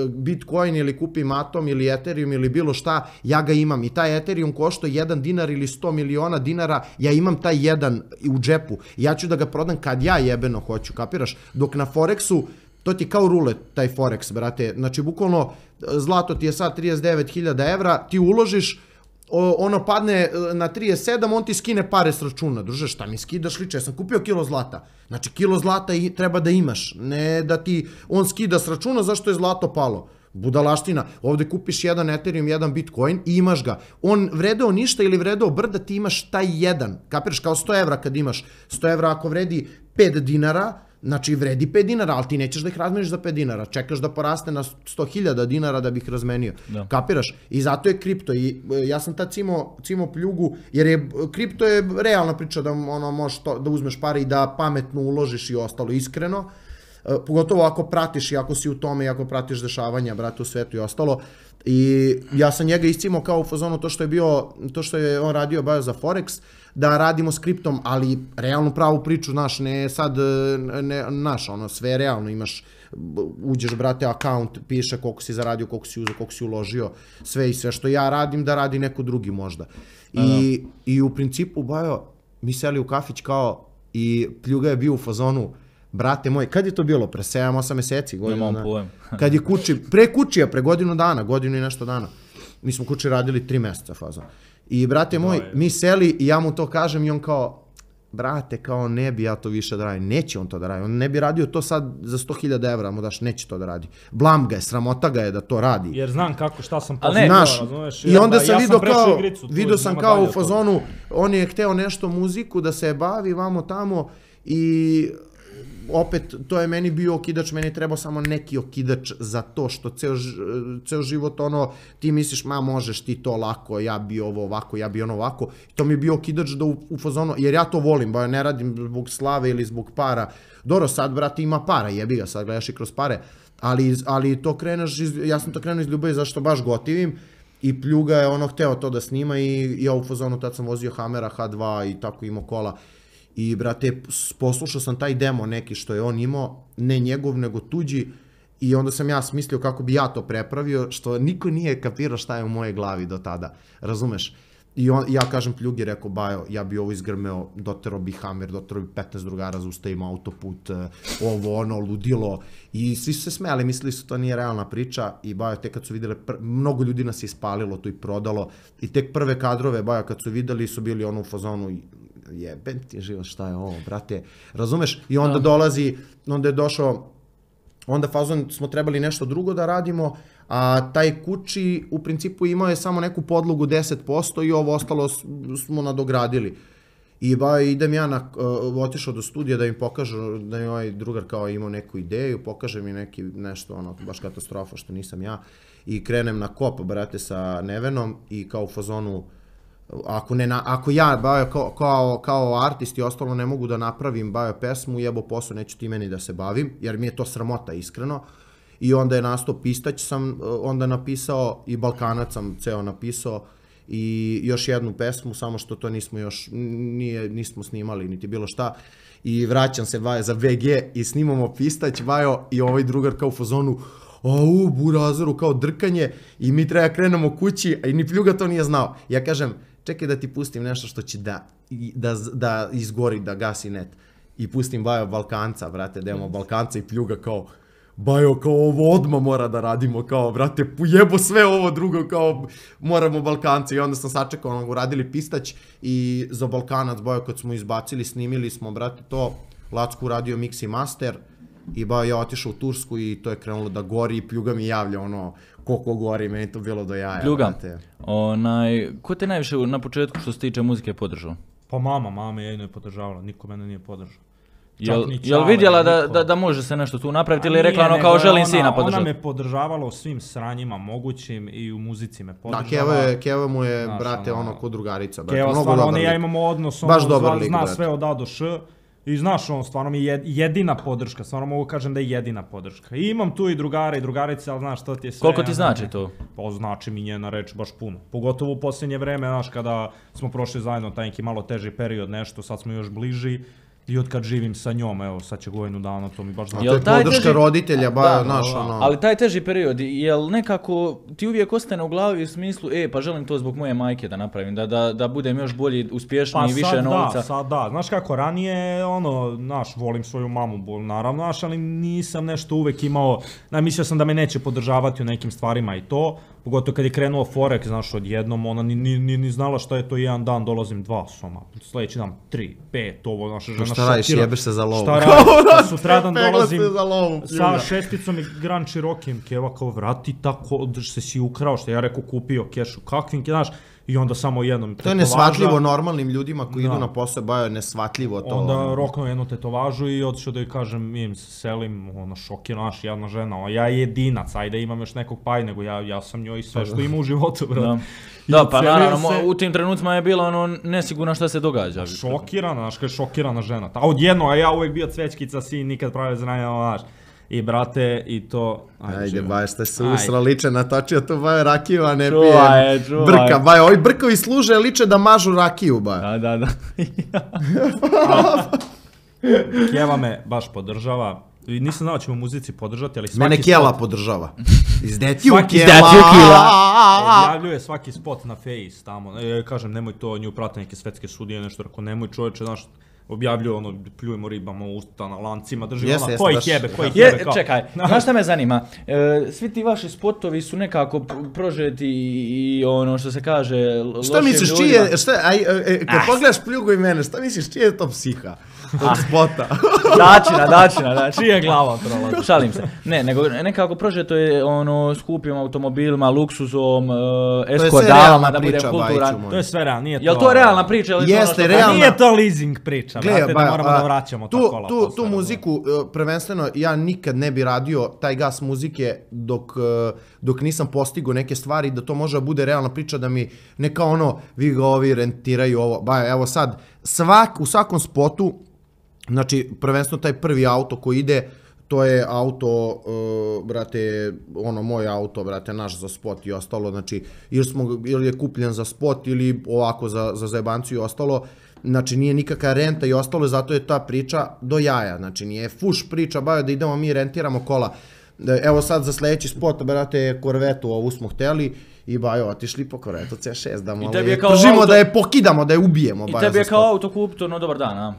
Bitcoin ili kupim Atom ili Ethereum ili bilo šta, ja ga imam. I taj Ethereum košta jedan dinar ili sto miliona dinara, ja imam taj jedan u džepu. Ja ću da ga prodam kad ja jebeno hoću, kapiraš? Dok na Forexu, to ti je kao rulet, taj Forex, brate. Znači, bukvalno, zlato ti je sad trideset devet hiljada evra, ti uložiš, o, ono padne na trideset sedam, on ti skine pare s računa. Druže, šta mi skidaš liče? Ja sam kupio kilo zlata. Znači, kilo zlata i treba da imaš. Ne da ti on skida s računa zašto je zlato palo. Budalaština. Ovde kupiš jedan Ethereum, jedan Bitcoin i imaš ga. On vredeo ništa ili vredeo brda, ti imaš taj jedan. Kapiraš, kao sto evra kad imaš. sto evra ako vredi pet dinara, znači vredi pet dinara, ali ti nećeš da ih razmeniš za pet dinara. Čekaš da poraste na sto hiljada dinara da bi ih razmenio. Da. Kapiraš? I zato je kripto. I e, ja sam tad cimo, cimo pljugu, jer je kripto je realna priča da ono možeš to, da uzmeš pare i da pametno uložiš i ostalo iskreno. E, pogotovo ako pratiš i ako si u tome i ako pratiš dešavanja, brate, u svetu i ostalo. I ja sam njega iscimo kao u fazonu to što je bio, to što je on radio baš za Forex, da radimo s kriptom, ali realnu pravu priču, znaš, ne sad, ne, znaš, ono, sve je realno, imaš, uđeš, brate, account, piše koliko si zaradio, koliko si uzeo, koliko si uložio, sve i sve što ja radim, da radi neko drugi možda. I, i u principu, bajo, mi seli u kafić kao, i Pljuga je bio u fazonu, brate moj, kad je to bilo? Pre sedam osam meseci, godinu Nemam dana. pojem. Kad je kući, pre kućija, pre godinu dana, godinu i nešto dana. Mi smo kući radili tri meseca fazon. I brate moj, mi seli i ja mu to kažem i on kao, brate, kao ne bi ja to više da radim. Neće on to da radi. On ne bi radio to sad za sto hiljada evra, mu daš, neće to da radi. Blam ga je, sramota ga je da to radi. Jer znam kako, šta sam Ali ne, postigao, Znaš, razumeš? i onda ja sam vidio prešao kao, igricu, tu, vidio sam nema kao dalje u od toga. fazonu, on je hteo nešto muziku da se bavi vamo tamo i opet, to je meni bio okidač, meni je trebao samo neki okidač za to što ceo, ž- ceo život, ono, ti misliš, ma možeš ti to lako, ja bi ovo ovako, ja bi ono ovako, i to mi je bio okidač da u, u fazonu, jer ja to volim, ba ne radim zbog slave ili zbog para, dobro, sad, brate, ima para, jebi ga, sad gledaš i kroz pare, ali, ali to kreneš, iz, ja sam to krenuo iz ljubavi zašto baš gotivim, i Pljuga je ono hteo to da snima i ja u fazonu tad sam vozio Hammera H dva i tako imao kola. I, brate, poslušao sam taj demo neki što je on imao, ne njegov, nego tuđi, i onda sam ja smislio kako bi ja to prepravio, što niko nije kapirao šta je u moje glavi do tada, razumeš? I on, ja kažem Pljugi, rekao, Bajo, ja bi ovo izgrmeo, dotero bi Hammer, dotero bi petnaest drugara, zaustavimo autoput, ovo, ono, ludilo. I svi su se smijali, mislili su to nije realna priča i Bajo, tek kad su vidjeli, mnogo ljudi nas je ispalilo to i prodalo. I tek prve kadrove, Bajo, kad su vidjeli, su bili ono u fazonu, jebem ti život, šta je ovo, brate, razumeš? I onda dolazi, onda je došao, onda fazon smo trebali nešto drugo da radimo, a taj Kući u principu imao je samo neku podlogu deset posto i ovo ostalo smo nadogradili. I ba, idem ja na, uh, otišao do studija da im pokažu, da je ovaj drugar kao imao neku ideju, pokaže mi neki nešto, ono, baš katastrofa što nisam ja. I krenem na kop, brate, sa Nevenom i kao u fazonu, ako, ne, ako ja, Bajo, kao, kao, kao artist i ostalo ne mogu da napravim Bajo pesmu, jebo posao, neću ti meni da se bavim, jer mi je to sramota, iskreno. I onda je nastao Pistać sam onda napisao i Balkanac sam ceo napisao i još jednu pesmu, samo što to nismo još, nije, nismo snimali niti bilo šta. I vraćam se Bajo za V G i snimamo Pistać, Bajo, i ovaj drugar kao u fazonu, au, burazeru, kao drkanje i mi treba krenemo kući, a i ni Pljuga to nije znao. Ja kažem, čekaj da ti pustim nešto što će da, da, da izgori, da gasi net. I pustim Bajo Balkanca, brate, da imamo Balkanca i Pljuga kao, Bajo, kao ovo odmah mora da radimo, kao, brate, jebo sve ovo drugo, kao, moramo Balkanca. I onda sam sačekao, ono, uradili Pistać i za Balkanac, Bajo, kad smo izbacili, snimili smo, brate, to, Lacko uradio mix i master i Bajo, ja otišao u Tursku i to je krenulo da gori i Pljuga mi javlja, ono, koliko gori, meni to bilo do jaja, Pljuga, brate. onaj, ko te najviše na početku što se tiče muzike podržao? Pa mama, mama je jedno je podržavala, niko mene nije podržao. Jel, jel vidjela da, da, da može se nešto tu napraviti ili je rekla ono kao želim sina podržati? Ona me podržavala u svim sranjima mogućim i u muzici me podržava. Da, Keva, je, Keva mu je, znaš, brate, ono, ko drugarica, brate, Keva, mnogo stvarno, dobar lik. Ja imamo odnos, ono, zna, lik, zna sve od A do Š i znaš, on stvarno mi je jedina podrška, stvarno mogu kažem da je jedina podrška. I imam tu i drugare i drugarice, ali znaš, to ti je sve... Koliko ti znači to? Pa znači mi njena reč baš puno. Pogotovo u posljednje vreme, znaš, kada smo prošli zajedno taj neki malo teži period, nešto, sad smo još bliži. I od kad živim sa njom, evo, sad će godinu dana, to mi baš znači. To je podrška teži... roditelja, ba, znaš, ono... Ali taj teži period, jel nekako ti uvijek ostane u glavi u smislu, e, pa želim to zbog moje majke da napravim, da, da, da budem još bolji, uspješniji, pa više novca. Pa sad da, znaš kako, ranije, ono, znaš, volim svoju mamu, naravno, znaš, ali nisam nešto uvijek imao, na, mislio sam da me neće podržavati u nekim stvarima i to, pogotovo kad je krenuo Forex, znaš, odjednom, ona ni, ni, ni, ni znala šta je to, jedan dan dolazim dva soma, sljedeći dan tri, pet, ovo, naša žena šta radiš, jebeš se za lovu. Šta radiš, sutradan dolazim sa šesticom i Grand Cherokee'em, Keva kao vrati tako, se si ukrao, što ja rekao kupio kešu, kakvim, znaš, i onda samo jednom tetovaža. To je nesvatljivo normalnim ljudima koji idu na posao, Bajo je nesvatljivo to. Onda roknuo jednu tetovažu i otišao da joj kažem, im se selim, ona šokira, naš, jedna žena, ja je jedinac, ajde imam još nekog paj, nego ja, ja sam njoj sve što ima u životu, bro. Da, pa naravno, u tim trenucima je bilo ono nesigurno šta se događa. Šokirana, znaš, kad je šokirana žena. A odjedno, a ja uvijek bio cvečkica, sin, nikad pravi znanja, znaš. I brate, i to... Ajde, ajde Bajo, ste se usra liče natočio tu, Bajo, rakiju, a ne čuvaj, pijem čuvaj. Brka. Bajo, ovi brkovi služe liče da mažu rakiju, Bajo. Da, da, da. Kjeva me baš podržava. I nisam znao da ćemo muzici podržati, ali svaki Mene Kjela spot... podržava. Izdetiju Kjela. Objavljuje svaki spot na Face tamo. E, kažem, nemoj to, nju prate neke svetske sudije, nešto, ako nemoj čovječe, znaš, objavljuju ono, pljujemo ribama u usta na lancima, držimo yes, ono, koji jebe, koji jebe, kao. Čekaj, znaš šta me zanima, e, svi ti vaši spotovi su nekako prožeti i ono što se kaže lošim ljudima. Šta misliš, čije, šta, aj, e, kad ah. pogledaš Pljugu i mene, šta misliš, čije je to psiha? Od spota. Dačina, dačina, dačina. Čije glava trola? Šalim se. Ne, nego nekako prožeto je ono skupim automobilima, luksuzom, uh, eskodalama, da budem kulturan. To je sve realno, nije to... Jel to realna priča? Ili jeste, to realna. Nije to leasing priča, Gle, brate, ba, da moramo a, da vraćamo tu, ta kola. Tu, tu muziku, prvenstveno, ja nikad ne bi radio taj gas muzike dok, dok nisam postigao neke stvari, da to može da bude realna priča, da mi neka ono, vi ga ovi rentiraju ovo. Ba, evo sad, svak, u svakom spotu, znači, prvenstveno taj prvi auto koji ide, to je auto, uh, brate, ono, moj auto, brate, naš za spot i ostalo, znači, ili, smo, ili je kupljen za spot ili ovako za, za zajebanciju i ostalo, znači, nije nikakva renta i ostalo, zato je ta priča do jaja, znači, nije fuš priča, Bajo, da idemo mi rentiramo kola. evo sad za sledeći spot, brate, korvetu ovu smo hteli, i bajo, otišli po korvetu C šest, da malo je pržimo, auto... da je pokidamo, da je ubijemo. I tebi je kao auto kupito, no dobar dan, a?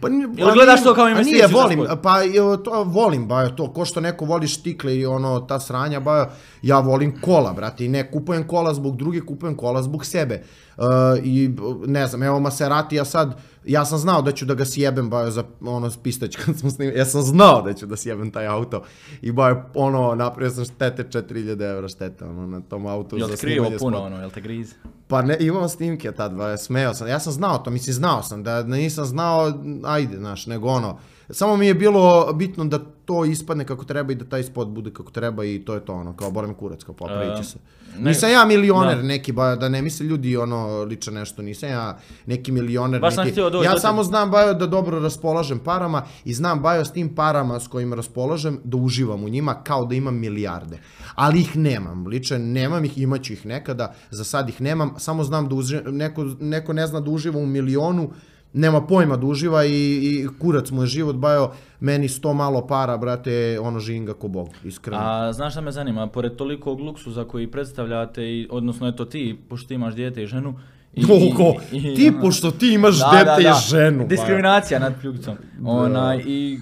Pa, Ili gledaš to kao investiciju? Nije, volim, pa to volim, bajo, to, ko što neko voli štikle i ono, ta sranja, bajo, ja volim kola, brate, i ne kupujem kola zbog drugih, kupujem kola zbog sebe. Uh, I ne znam, evo Maserati, ja sad, ja sam znao da ću da ga sjebem, bajo, za ono pistać kad smo snimali, ja sam znao da ću da sjebem taj auto i bajo, ono, napravio sam štete četiri hiljade evra štete, ono, na tom autu. Jel te krivo puno, ono, jel te grize? Pa ne, imam snimke tad, bajo, smeo sam, ja sam znao to, mislim, znao sam, da nisam znao, ajde, znaš, nego ono, samo mi je bilo bitno da to ispadne kako treba i da taj spot bude kako treba i to je to ono, kao bole me kurac, kao popravit će se. Nisam ja milioner neki, ba, da ne misle ljudi ono liče nešto, nisam ja neki milioner neki. Ja samo znam, bajo, da dobro raspolažem parama i znam, bajo, s tim parama s kojima raspolažem da uživam u njima kao da imam milijarde. Ali ih nemam, liče, nemam ih, imaću ih nekada, za sad ih nemam, samo znam da uživam, neko, neko ne zna da uživa u milionu, nema pojma da uživa i, i kurac mu je život, bajo, meni sto malo para, brate, ono živim ga ko Bog, iskreno. A znaš šta me zanima, pored tolikog luksuza koji predstavljate, i, odnosno eto ti, pošto ti imaš dijete i ženu, I, Oko, i, i, ti, ono, pošto ti imaš da, dete da, da. i ženu. Diskriminacija nad pljugicom. Ona, i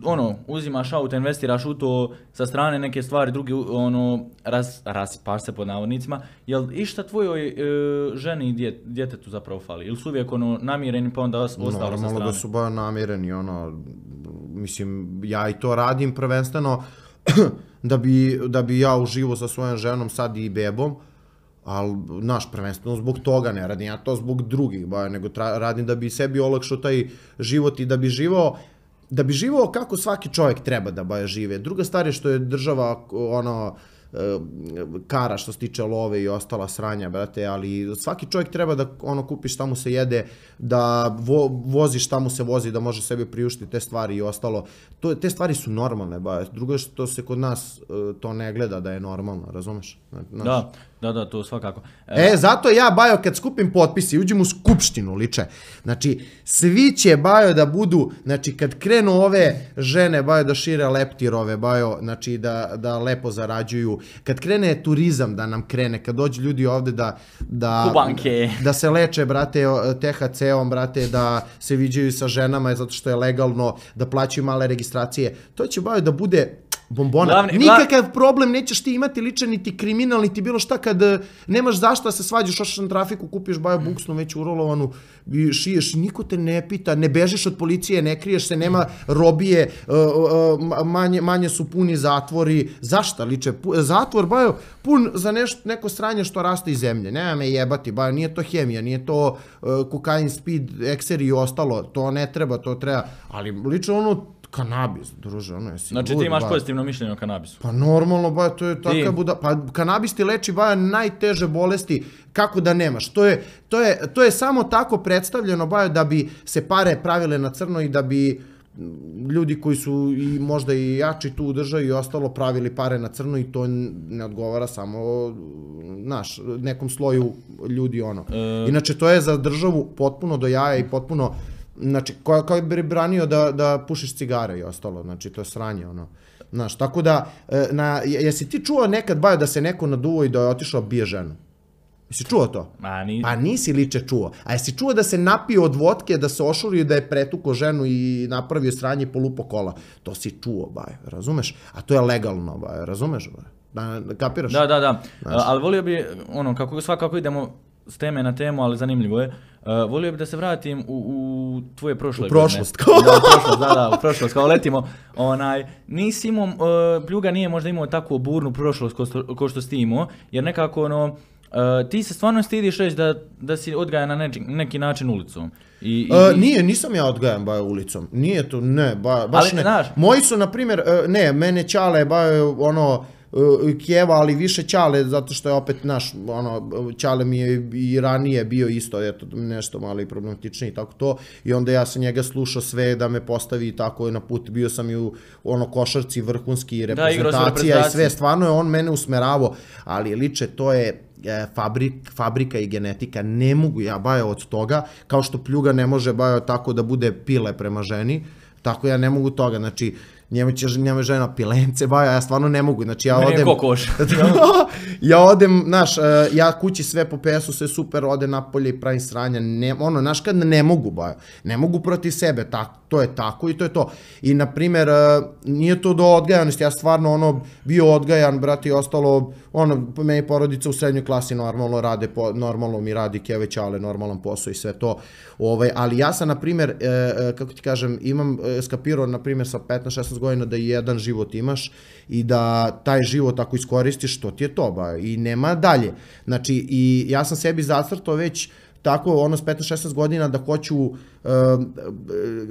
ono, uzimaš auto, investiraš u to, sa strane neke stvari, drugi, ono, ras, raspaš se pod navodnicima. Jel išta tvojoj e, ženi i djet, djetetu zapravo fali? Ili su uvijek ono, namireni pa onda ostalo sa strane? Normalno da su baš namireni, ono, mislim, ja i to radim prvenstveno da bi, da bi ja uživo sa svojom ženom, sad i bebom. Ali, naš, prvenstveno zbog toga, ne radim ja to zbog drugih, ba, nego tra, radim da bi sebi olakšao taj život i da bi živao, da bi živao kako svaki čovjek treba da ba, žive. Druga stvar je što je država, ono, kara što se tiče love i ostala sranja, brate, ali svaki čovjek treba da ono kupi šta mu se jede, da vo, vozi šta mu se vozi, da može sebi priuštiti te stvari i ostalo. To, te stvari su normalne, ba. Drugo je što se kod nas to ne gleda da je normalno, razumeš? Znaš? Da, da, da, to svakako. E, zato ja, bajo, kad skupim potpisi, uđem u skupštinu, liče. Znači, svi će, bajo, da budu, znači, kad krenu ove žene, bajo, da šire leptirove, bajo, znači, da, da lepo zarađuju, kad krene turizam da nam krene, kad dođu ljudi ovde da, da, da se leče, brate, te ha ce-om, brate, da se viđaju sa ženama zato što je legalno, da plaćaju male registracije, to će, bajo, da bude bombona. Glavni, nikakav gla... problem nećeš ti imati ličan, niti kriminal, niti bilo šta kad nemaš zašto da se svađaš, ošaš na trafiku, kupiš bajo buksnu već urolovanu i šiješ, niko te ne pita, ne bežiš od policije, ne kriješ se, nema robije, manje, manje su puni zatvori. Zašta liče? Zatvor, bajo, pun za nešto, neko sranje što raste iz zemlje. Nema me jebati, bajo, nije to hemija, nije to kokain, speed, ekseri i ostalo, to ne treba, to treba, ali liče ono, kanabis, druže, ono je si... Znači ti imaš pozitivno mišljenje o kanabisu? Pa normalno, baja, to je taka buda... Pa kanabis ti leči, baja, najteže bolesti, kako da nemaš. To je, to je, to je samo tako predstavljeno, baja, da bi se pare pravile na crno i da bi ljudi koji su i možda i jači tu u državi i ostalo pravili pare na crno i to ne odgovara samo, znaš, nekom sloju ljudi, ono. E... Inače, to je za državu potpuno do jaja i potpuno... Znači, kao bi branio da, da pušiš cigare i ostalo, znači, to je sranje, ono. Znaš, tako da, na, jesi ti čuo nekad, bajo, da se neko naduo i da je otišao bije ženu? Jesi čuo to? Ma, nis... Pa nisi liče čuo. A jesi čuo da se napio od vodke, da se ošurio, da je pretuko ženu i napravio sranje i polupo kola? To si čuo, bajo, razumeš? A to je legalno, bajo, razumeš, bajo? Da, kapiraš? Da, da, da. Znaš. Ali volio bi, ono, kako svakako idemo s teme na temu, ali zanimljivo je. Uh, volio bi da se vratim u, u tvoje prošle godine. U prošlost. Da, u prošlost, da, da, u prošlost, kao letimo. Onaj, nisi imao, uh, Pljuga nije možda imao takvu burnu prošlost ko što, ko što si imao, jer nekako, ono, uh, ti se stvarno stidiš reći da, da si odgajan na neči, neki način ulicom. I, i, uh, nije, nisam ja odgajan bajo ulicom. Nije to, ne, ba, baš ali, ne. Znaš, moji su, na primjer, uh, ne, mene Ćale bajo, ono, Kijeva, ali više Ćale, zato što je opet naš, ono, Ćale mi je i ranije bio isto, eto, nešto malo i problematičniji, tako to, i onda ja sam njega slušao sve da me postavi i tako na put, bio sam i u ono košarci vrhunski reprezentacija da, i sve, stvarno je on mene usmeravao, ali liče, to je fabrik, fabrika i genetika, ne mogu ja bajo od toga, kao što Pljuga ne može bajo tako da bude pile prema ženi, tako ja ne mogu toga, znači, njemu će njemu žena pilence, baja, ja stvarno ne mogu, znači ja Meni je odem... kokoš. ja odem, znaš, ja kući sve po pesu, sve super, ode napolje i pravim sranja, ne, ono, znaš, kad ne mogu, baja, ne mogu protiv sebe, tak, to je tako i to je to. I, na primjer, nije to do odgajanosti, ja stvarno, ono, bio odgajan, brate, i ostalo, ono, meni porodica u srednjoj klasi normalno rade, po, normalno mi radi keve ćale, normalan posao i sve to, ovaj, ali ja sam, na primjer, e, kako ti kažem, imam skapirao, na primjer, sa petnaest šesnaest godina da jedan život imaš i da taj život ako iskoristiš, to ti je to, ba, i nema dalje. Znači, i ja sam sebi zacrtao već tako, ono, s petnaest šesnaest godina da hoću, uh,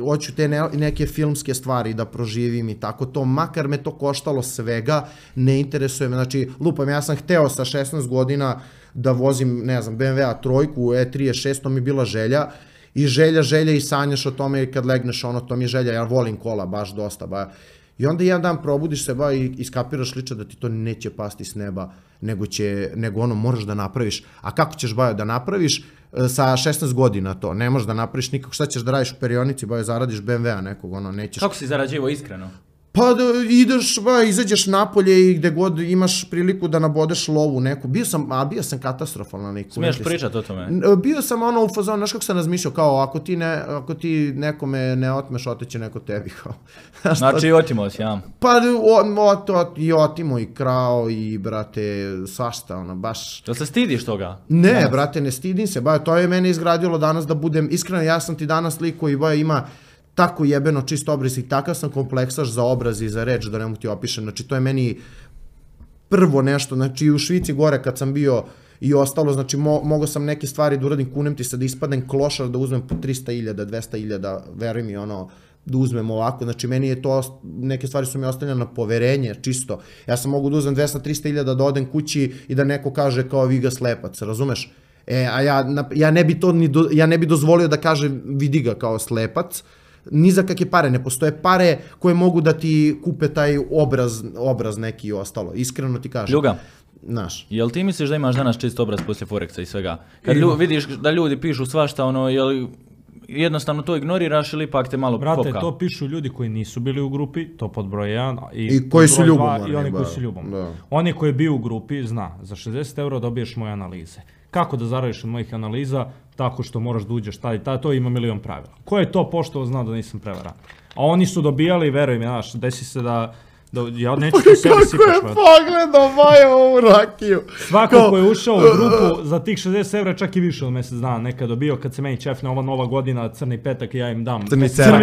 hoću te ne, neke filmske stvari da proživim i tako to, makar me to koštalo svega, ne interesuje me, znači, lupam, ja sam hteo sa šesnaest godina da vozim, ne znam, B M W-a trojku, E trideset šest, to mi je bila želja, i želja, želja i sanjaš o tome kad legneš, ono, to mi je želja, ja volim kola baš dosta, ba. I onda jedan dan probudiš se, ba, i iskapiraš lično da ti to neće pasti s neba, nego će, nego ono, moraš da napraviš. A kako ćeš, ba, da napraviš sa šesnaest godina to? Ne možeš da napraviš nikako, šta ćeš da radiš u perionici, ba, zaradiš B M W-a nekog, ono, nećeš. Kako si zarađivo iskreno? Pa da ideš, ba, izađeš napolje i gde god imaš priliku da nabodeš lovu neku. Bio sam, a bio sam katastrofalan neku. Smiješ pričat o tome? Bio sam ono u fazonu, znaš kako sam razmišljao, kao ako ti, ne, ako ti nekome ne otmeš, oteće neko tebi, kao. Znači otimo si, ja? Pa o, o, to, i otimo i krao i, brate, svašta, ono, baš... Jel se stidiš toga? Ne, danas? Brate, ne stidim se, ba, to je mene izgradilo danas da budem, iskreno, ja sam ti danas lik koji, ba, ima tako jebeno čist obraz i takav sam kompleksaš za obraz i za reč, da ne mogu ti opišem, znači to je meni prvo nešto, znači u Švici gore kad sam bio i ostalo, znači mo, mogao sam neke stvari da uradim, kunem ti se da ispadnem klošar, da uzmem po trista hiljada, dvesta hiljada, veruj mi, ono, da uzmem ovako, znači meni je to, neke stvari su mi ostavljene na poverenje, čisto, ja sam mogu da uzmem dvesta trista hiljada, da odem kući i da neko kaže kao vi ga slepac, razumeš? E, a ja, ja, ne bi to ni do, ja ne bi dozvolio da kaže vidi ga kao slepac, ni za kakve pare, ne postoje pare koje mogu da ti kupe taj obraz, obraz neki i ostalo, iskreno ti kažem. Ljuga, znaš. Jel ti misliš da imaš danas čist obraz poslije Forexa i svega? Kad lju, vidiš da ljudi pišu svašta, ono, jel jednostavno to ignoriraš ili ipak te malo Brate, popka? to pišu ljudi koji nisu bili u grupi, to pod broj jedan. I, I koji su ljubomorni. I oni koji su ljubomorni. Oni koji je bio u grupi, zna, za šezdeset eura dobiješ moje analize. Kako da zaradiš od mojih analiza? Tako što moraš da uđeš tada i tada, to ima milion pravila. Ko je to poštovo zna da nisam prevaran? A oni su dobijali, veruj mi, znaš, desi se da, da ja neću to sebi sipaš. Kako je pogledao Maja ovu rakiju. Svako ko je ušao u grupu za tih šezdeset eura, čak i više od mjesec dana nekad dobio, kad se meni čefne ova nova godina, crni petak, ja im dam. Crni cerak.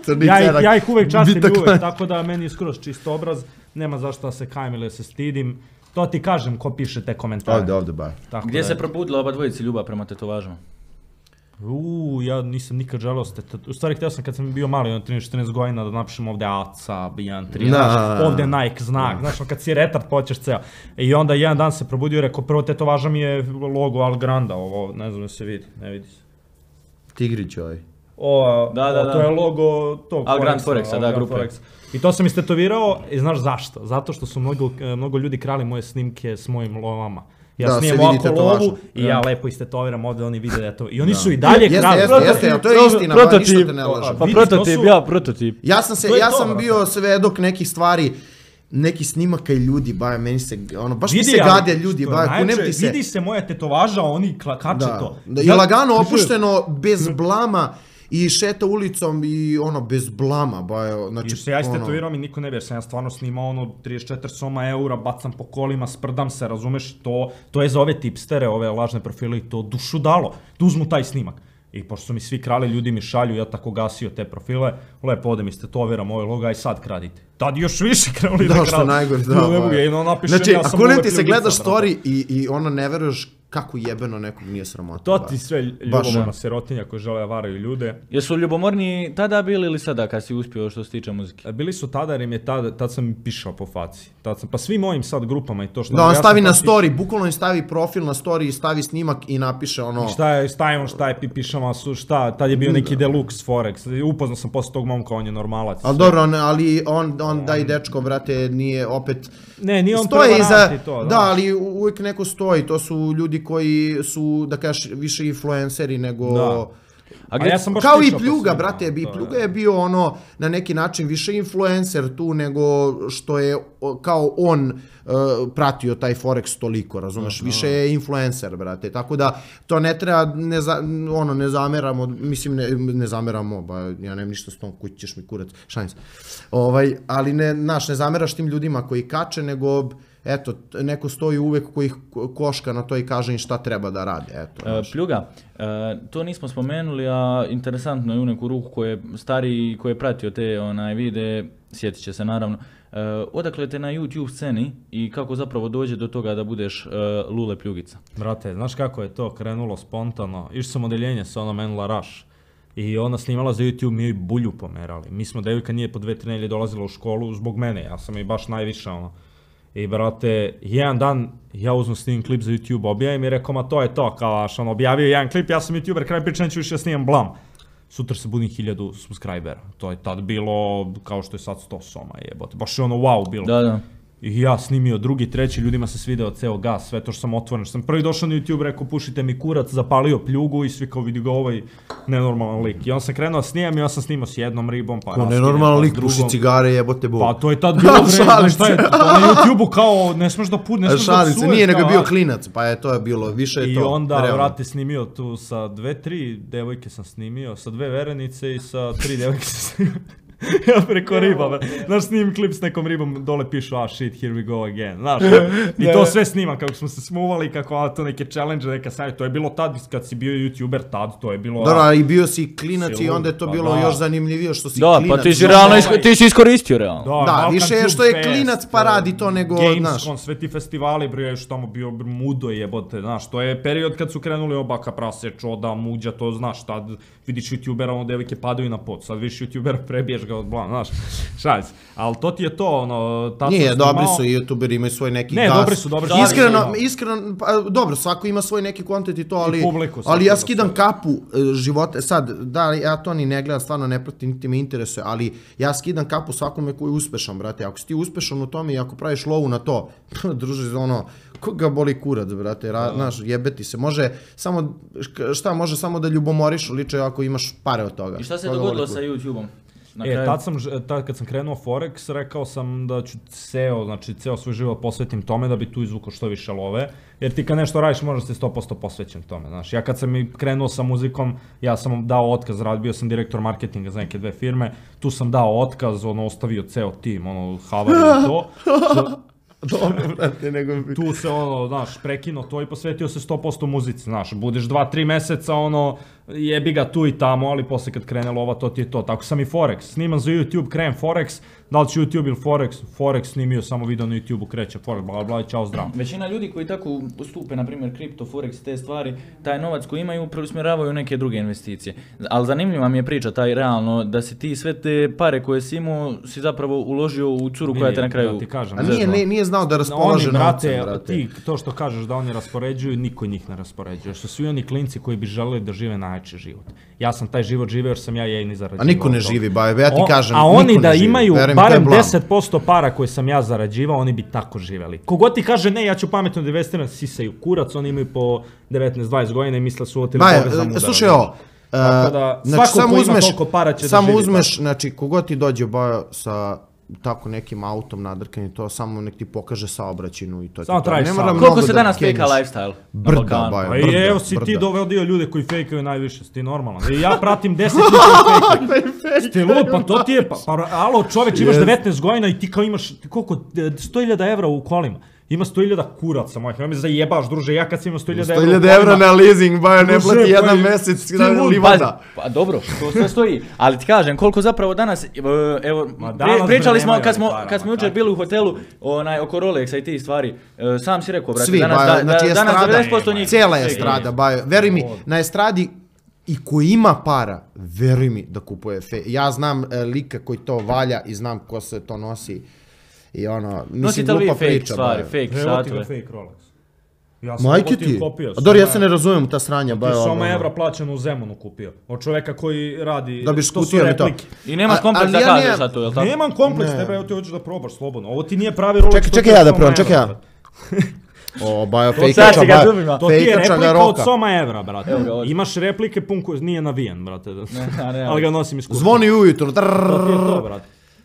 Crni ja, cerak. ja ih uvek častim i uvek, tako da meni je skroz čist obraz, nema zašto da se kajem ili da se stidim. To ti kažem ko piše te komentare. Ovdje, ovdje, bar. Gdje se probudila oba dvojici ljubav prema tetovažama? Uuu, ja nisam nikad želeo s tetovažama. U stvari, htio sam kad sam bio mali, ono trinaest četrnaest godina, da napišem ovdje Aca, Bijan tri, znaš, ovdje Nike znak, znaš, kad si retard, poćeš ceo. I onda jedan dan se probudio i rekao, prvo tetovaža mi je logo Algranda, ovo, ne znam da se vidi, ne vidi se. Tigrić ovaj. O, da, da, o, to je logo tog Algrand Forexa, da, grupe. Forex. I to sam istetovirao i znaš zašto? Zato što su mnogo, mnogo ljudi krali moje snimke s mojim lovama. Ja da, snijem ovako lovu i ja lepo istetoviram ovdje, oni vide da to. I oni da. Su i dalje jeste, krali. Jeste, jeste, jeste, to je istina, ba, ništa te ne lažem. Pa prototip, ja prototip. Ja sam, se, ja sam bio svedok nekih stvari, neki snimaka i ljudi, ba, meni se, ono, baš mi se gade ljudi, ba, kunem ti se. Vidi se moja tetovaža, oni kače to. Da, i lagano opušteno, bez blama. I šeta ulicom i ono, bez blama, ba, znači... I se ja istetoviram i niko ne bi, jer sam ja stvarno snimao ono trideset četiri soma eura, bacam po kolima, sprdam se, razumeš, to, to je za ove tipstere, ove lažne profile i to dušu dalo, da uzmu taj snimak. I pošto su mi svi krali, ljudi mi šalju, ja tako gasio te profile, lepo odem istetoviram ove loga i sad kradite. Tad još više krenuli da krali. Da, što najgore, da, ba. Znači, ako ne ti se gledaš story i, i ono ne veruješ kako jebeno nekog nije sramota. To ti sve ljubomorna sirotinja koji žele varaju ljude. Jesu ljubomorni tada bili ili sada kad si uspio što se tiče muzike? Bili su tada jer im je tada, tad sam pišao po faci. Tad sam, pa svim mojim sad grupama i to što... Da, on ja stavi na story, piš... bukvalno im stavi profil na story i stavi snimak i napiše ono... I šta je, stavimo šta je pišama, šta, tad je bio neki Deluxe Forex. Upoznao sam posle tog momka, on je normalac. Ali dobro, on, ali on, on da i dečko, brate, nije opet... Ne, nije on prevaranti to. Da, ali uvijek neko stoji, to su ljudi koji su, da kažeš, više influenceri nego... Da. A A ja sam baš Kao i pričao po Pljuga, svima, brate, i to Pljuga je bio ono, na neki način više influencer tu nego što je o, kao on uh, pratio taj Forex toliko, razumeš, više je influencer, brate, tako da to ne treba, ne, za, ono, ne zameramo, mislim, ne, ne zameramo, ba, ja nemam ništa s tom, kući ćeš mi kurac, šalim se, ovaj, ali ne, naš, ne zameraš tim ljudima koji kače, nego eto, neko stoji uvek koji ih koška na to i kaže im šta treba da rade. Eto, e, Pljuga, e, to nismo spomenuli, a interesantno je u neku ruku koji je stariji, koji je pratio te onaj vide, sjetit će se naravno. E, odakle te na YouTube sceni i kako zapravo dođe do toga da budeš e, Lule Pljugica? Brate, znaš kako je to krenulo spontano? Išao sam odeljenje sa onom Enla Rush. I ona snimala za YouTube, mi joj bulju pomerali. Mi smo, devojka nije po dve, tri nelje dolazila u školu zbog mene, ja sam i baš najviše ono. I brate, jedan dan ja uzmem snimim klip za YouTube, objavim i rekao, ma to je to, kao aš, on objavio jedan klip, ja sam YouTuber, kraj priča, neću više snimam blam. Sutra se budim hiljadu subscribera, to je tad bilo kao što je sad sto soma jebote, baš je ono wow bilo. Da, da. I ja snimio drugi, treći, ljudima se svideo ceo gas, sve to što sam otvoren, što sam prvi došao na YouTube, rekao pušite mi kurac, zapalio Pljugu i svi kao vidi ga ovaj nenormalan lik. I on sam krenuo snimam i ja sam snimao s jednom ribom, pa raskinem, nenormalan pa lik, puši cigare, jebote bo. Pa to je tad bilo vreme, šta je, to na YouTubeu kao ne smeš da put, ne smeš da psuješ. Nije, nego je bio klinac, pa je to je bilo, više je I to. I onda, vrate, snimio tu sa dve, tri devojke sam snimio, sa dve verenice i sa tri devojke sam snimio. Ja preko riba, znaš, snimim klip s nekom ribom, dole pišu, ah shit, here we go again, znaš, i to sve snimam, kako smo se smuvali, kako a, to neke challenge, neka sajt, to je bilo tad, kad si bio YouTuber, tad, to je bilo... Da, i bio si klinac i onda je to bilo još zanimljivije što si klinac. Da, pa ti si realno, ti si iskoristio realno. Da, više je što je klinac pa radi to nego, znaš. Gamescom, sve ti festivali, brio, što tamo bio mudo jebote, znaš, to je period kad su krenuli obaka, prase, čoda, muđa, to znaš, tad vidiš YouTubera, ono, devojke padaju na pod, sad vidiš YouTubera, prebiješ ga od blan, znaš, šalj se. Ali to ti je to, ono, tad nije, dobri su youtuberi, imaju svoj neki ne, gas. Ne, dobri su, dobri su. Iskreno, iskreno, pa, dobro, svako ima svoj neki kontent i to, ali, I publiku, ali ja skidam kapu živote, sad, da, ja to ni ne gledam, stvarno ne pratim, niti me interesuje, ali ja skidam kapu svakome koji je uspešan, brate, ako si ti uspešan u tome i ako praviš lovu na to, druži, ono, koga boli kurac, brate, ra, znaš, jebeti se, može samo, šta, može samo da ljubomoriš liče ako imaš pare od toga. I šta se dogodilo sa YouTubeom? E, tad sam, tad kad sam krenuo Forex, rekao sam da ću ceo, znači ceo svoj život posvetim tome da bi tu izvukao što više love, jer ti kad nešto radiš možda si sto posto posvećen tome, znaš. Ja kad sam i krenuo sa muzikom, ja sam dao otkaz, rad, bio sam direktor marketinga za neke dve firme, tu sam dao otkaz, ono, ostavio ceo tim, ono, havari i to. Dobro, brate, nego... Tu se, ono, znaš, prekinuo to i posvetio se sto posto muzici, znaš, budeš dva, tri meseca, ono, jebi ga tu i tamo, ali posle kad krene lova, to ti je to. Tako sam i Forex, snimam za YouTube, krenem Forex, da li će YouTube ili Forex, Forex snimio samo video na YouTubeu, kreće Forex, bla bla, čao, zdravo. Većina ljudi koji tako ustupe, na primjer, kripto, Forex, te stvari, taj novac koji imaju preusmjeravaju neke druge investicije. Ali zanimljiva mi je priča, taj realno, da si ti sve te pare koje si imao, si zapravo uložio u curu koja te na kraju... Da ti kažem, a nije, nije, nije znao da raspolaže novcem, brate. Ti, to što kažeš da oni raspoređuju, niko njih ne raspoređuje. Što svi oni klinci koji bi želeli da žive najjači život. Ja sam taj život živeo jer sam ja jedini zarađivao. A niko ne živi, ba, ja ti kažem, a oni niko da ne živi. Imaju Verujem, barem deset posto para koje sam ja zarađivao, oni bi tako živeli. Kogod ti kaže ne, ja ću pametno da investiram, sisaju kurac, oni imaju po devetnaest dvadeset godina i misle su otili porez za mudara. Slušaj ovo, da, znači, svako ko ima toliko para će da živi. Samo uzmeš, znači, kogod ti dođe ba sa tako nekim autom nadrkani, to samo nek ti pokaže saobraćajnu i to. Samo trajiš sam. Koliko se danas fejka lifestyle? Brda, baja, brda. I evo si ti dovedio ljude koji fejkaju najviše, si ti normalan. I ja pratim deset ljudi koji fejkaju. Sti lud, pa to ti je, pa alo čoveč, imaš devetnaest godina i ti kao imaš, koliko, sto hiljada evra u kolima. Ima sto hiljada kuraca mojih, nema me zajebaš, druže, ja kad sam imao sto hiljada evra... sto hiljada evra na leasing, bajo, ne plati jedan mesec na livada. Pa dobro, to sve stoji, ali ti kažem, koliko zapravo danas, evo, pričali smo, kad smo jučer bili u hotelu, oko Rolexa i tih stvari, sam si rekao, brate, danas devedeset posto njih... Cijela je estrada, bajo, veruj mi, na estradi i ko ima para, veruj mi da kupuje fe. Ja znam lika koji to valja i znam ko se to nosi. I ono, mislim, glupa priča. Stvari, fake satove. Fake Rolex. Ja sam Majke ti? Kopio. A dobro, ja se ne razumijem ta sranja. Ti su oma evra plaćeno u Zemunu kupio. Od čoveka koji radi... Da bi škutio mi to. I nemaš kompleks da kažeš za to, jel tako? Nemam kompleks, tebe, evo ti hoćeš da probaš slobodno. Ovo ti nije pravi Rolex. Čekaj, čekaj ja da probam, čekaj ja. O, bajo, sad fejkača, si ga bajo. zubima. To ti je Fejkača ga replika od roka. Soma Evra, brate. Evo ga ovdje. Imaš replike pun ko... Nije navijen, brate. a ne, Ali ga nosim iz kuće. Zvoni ujutru. To ti je to, brate.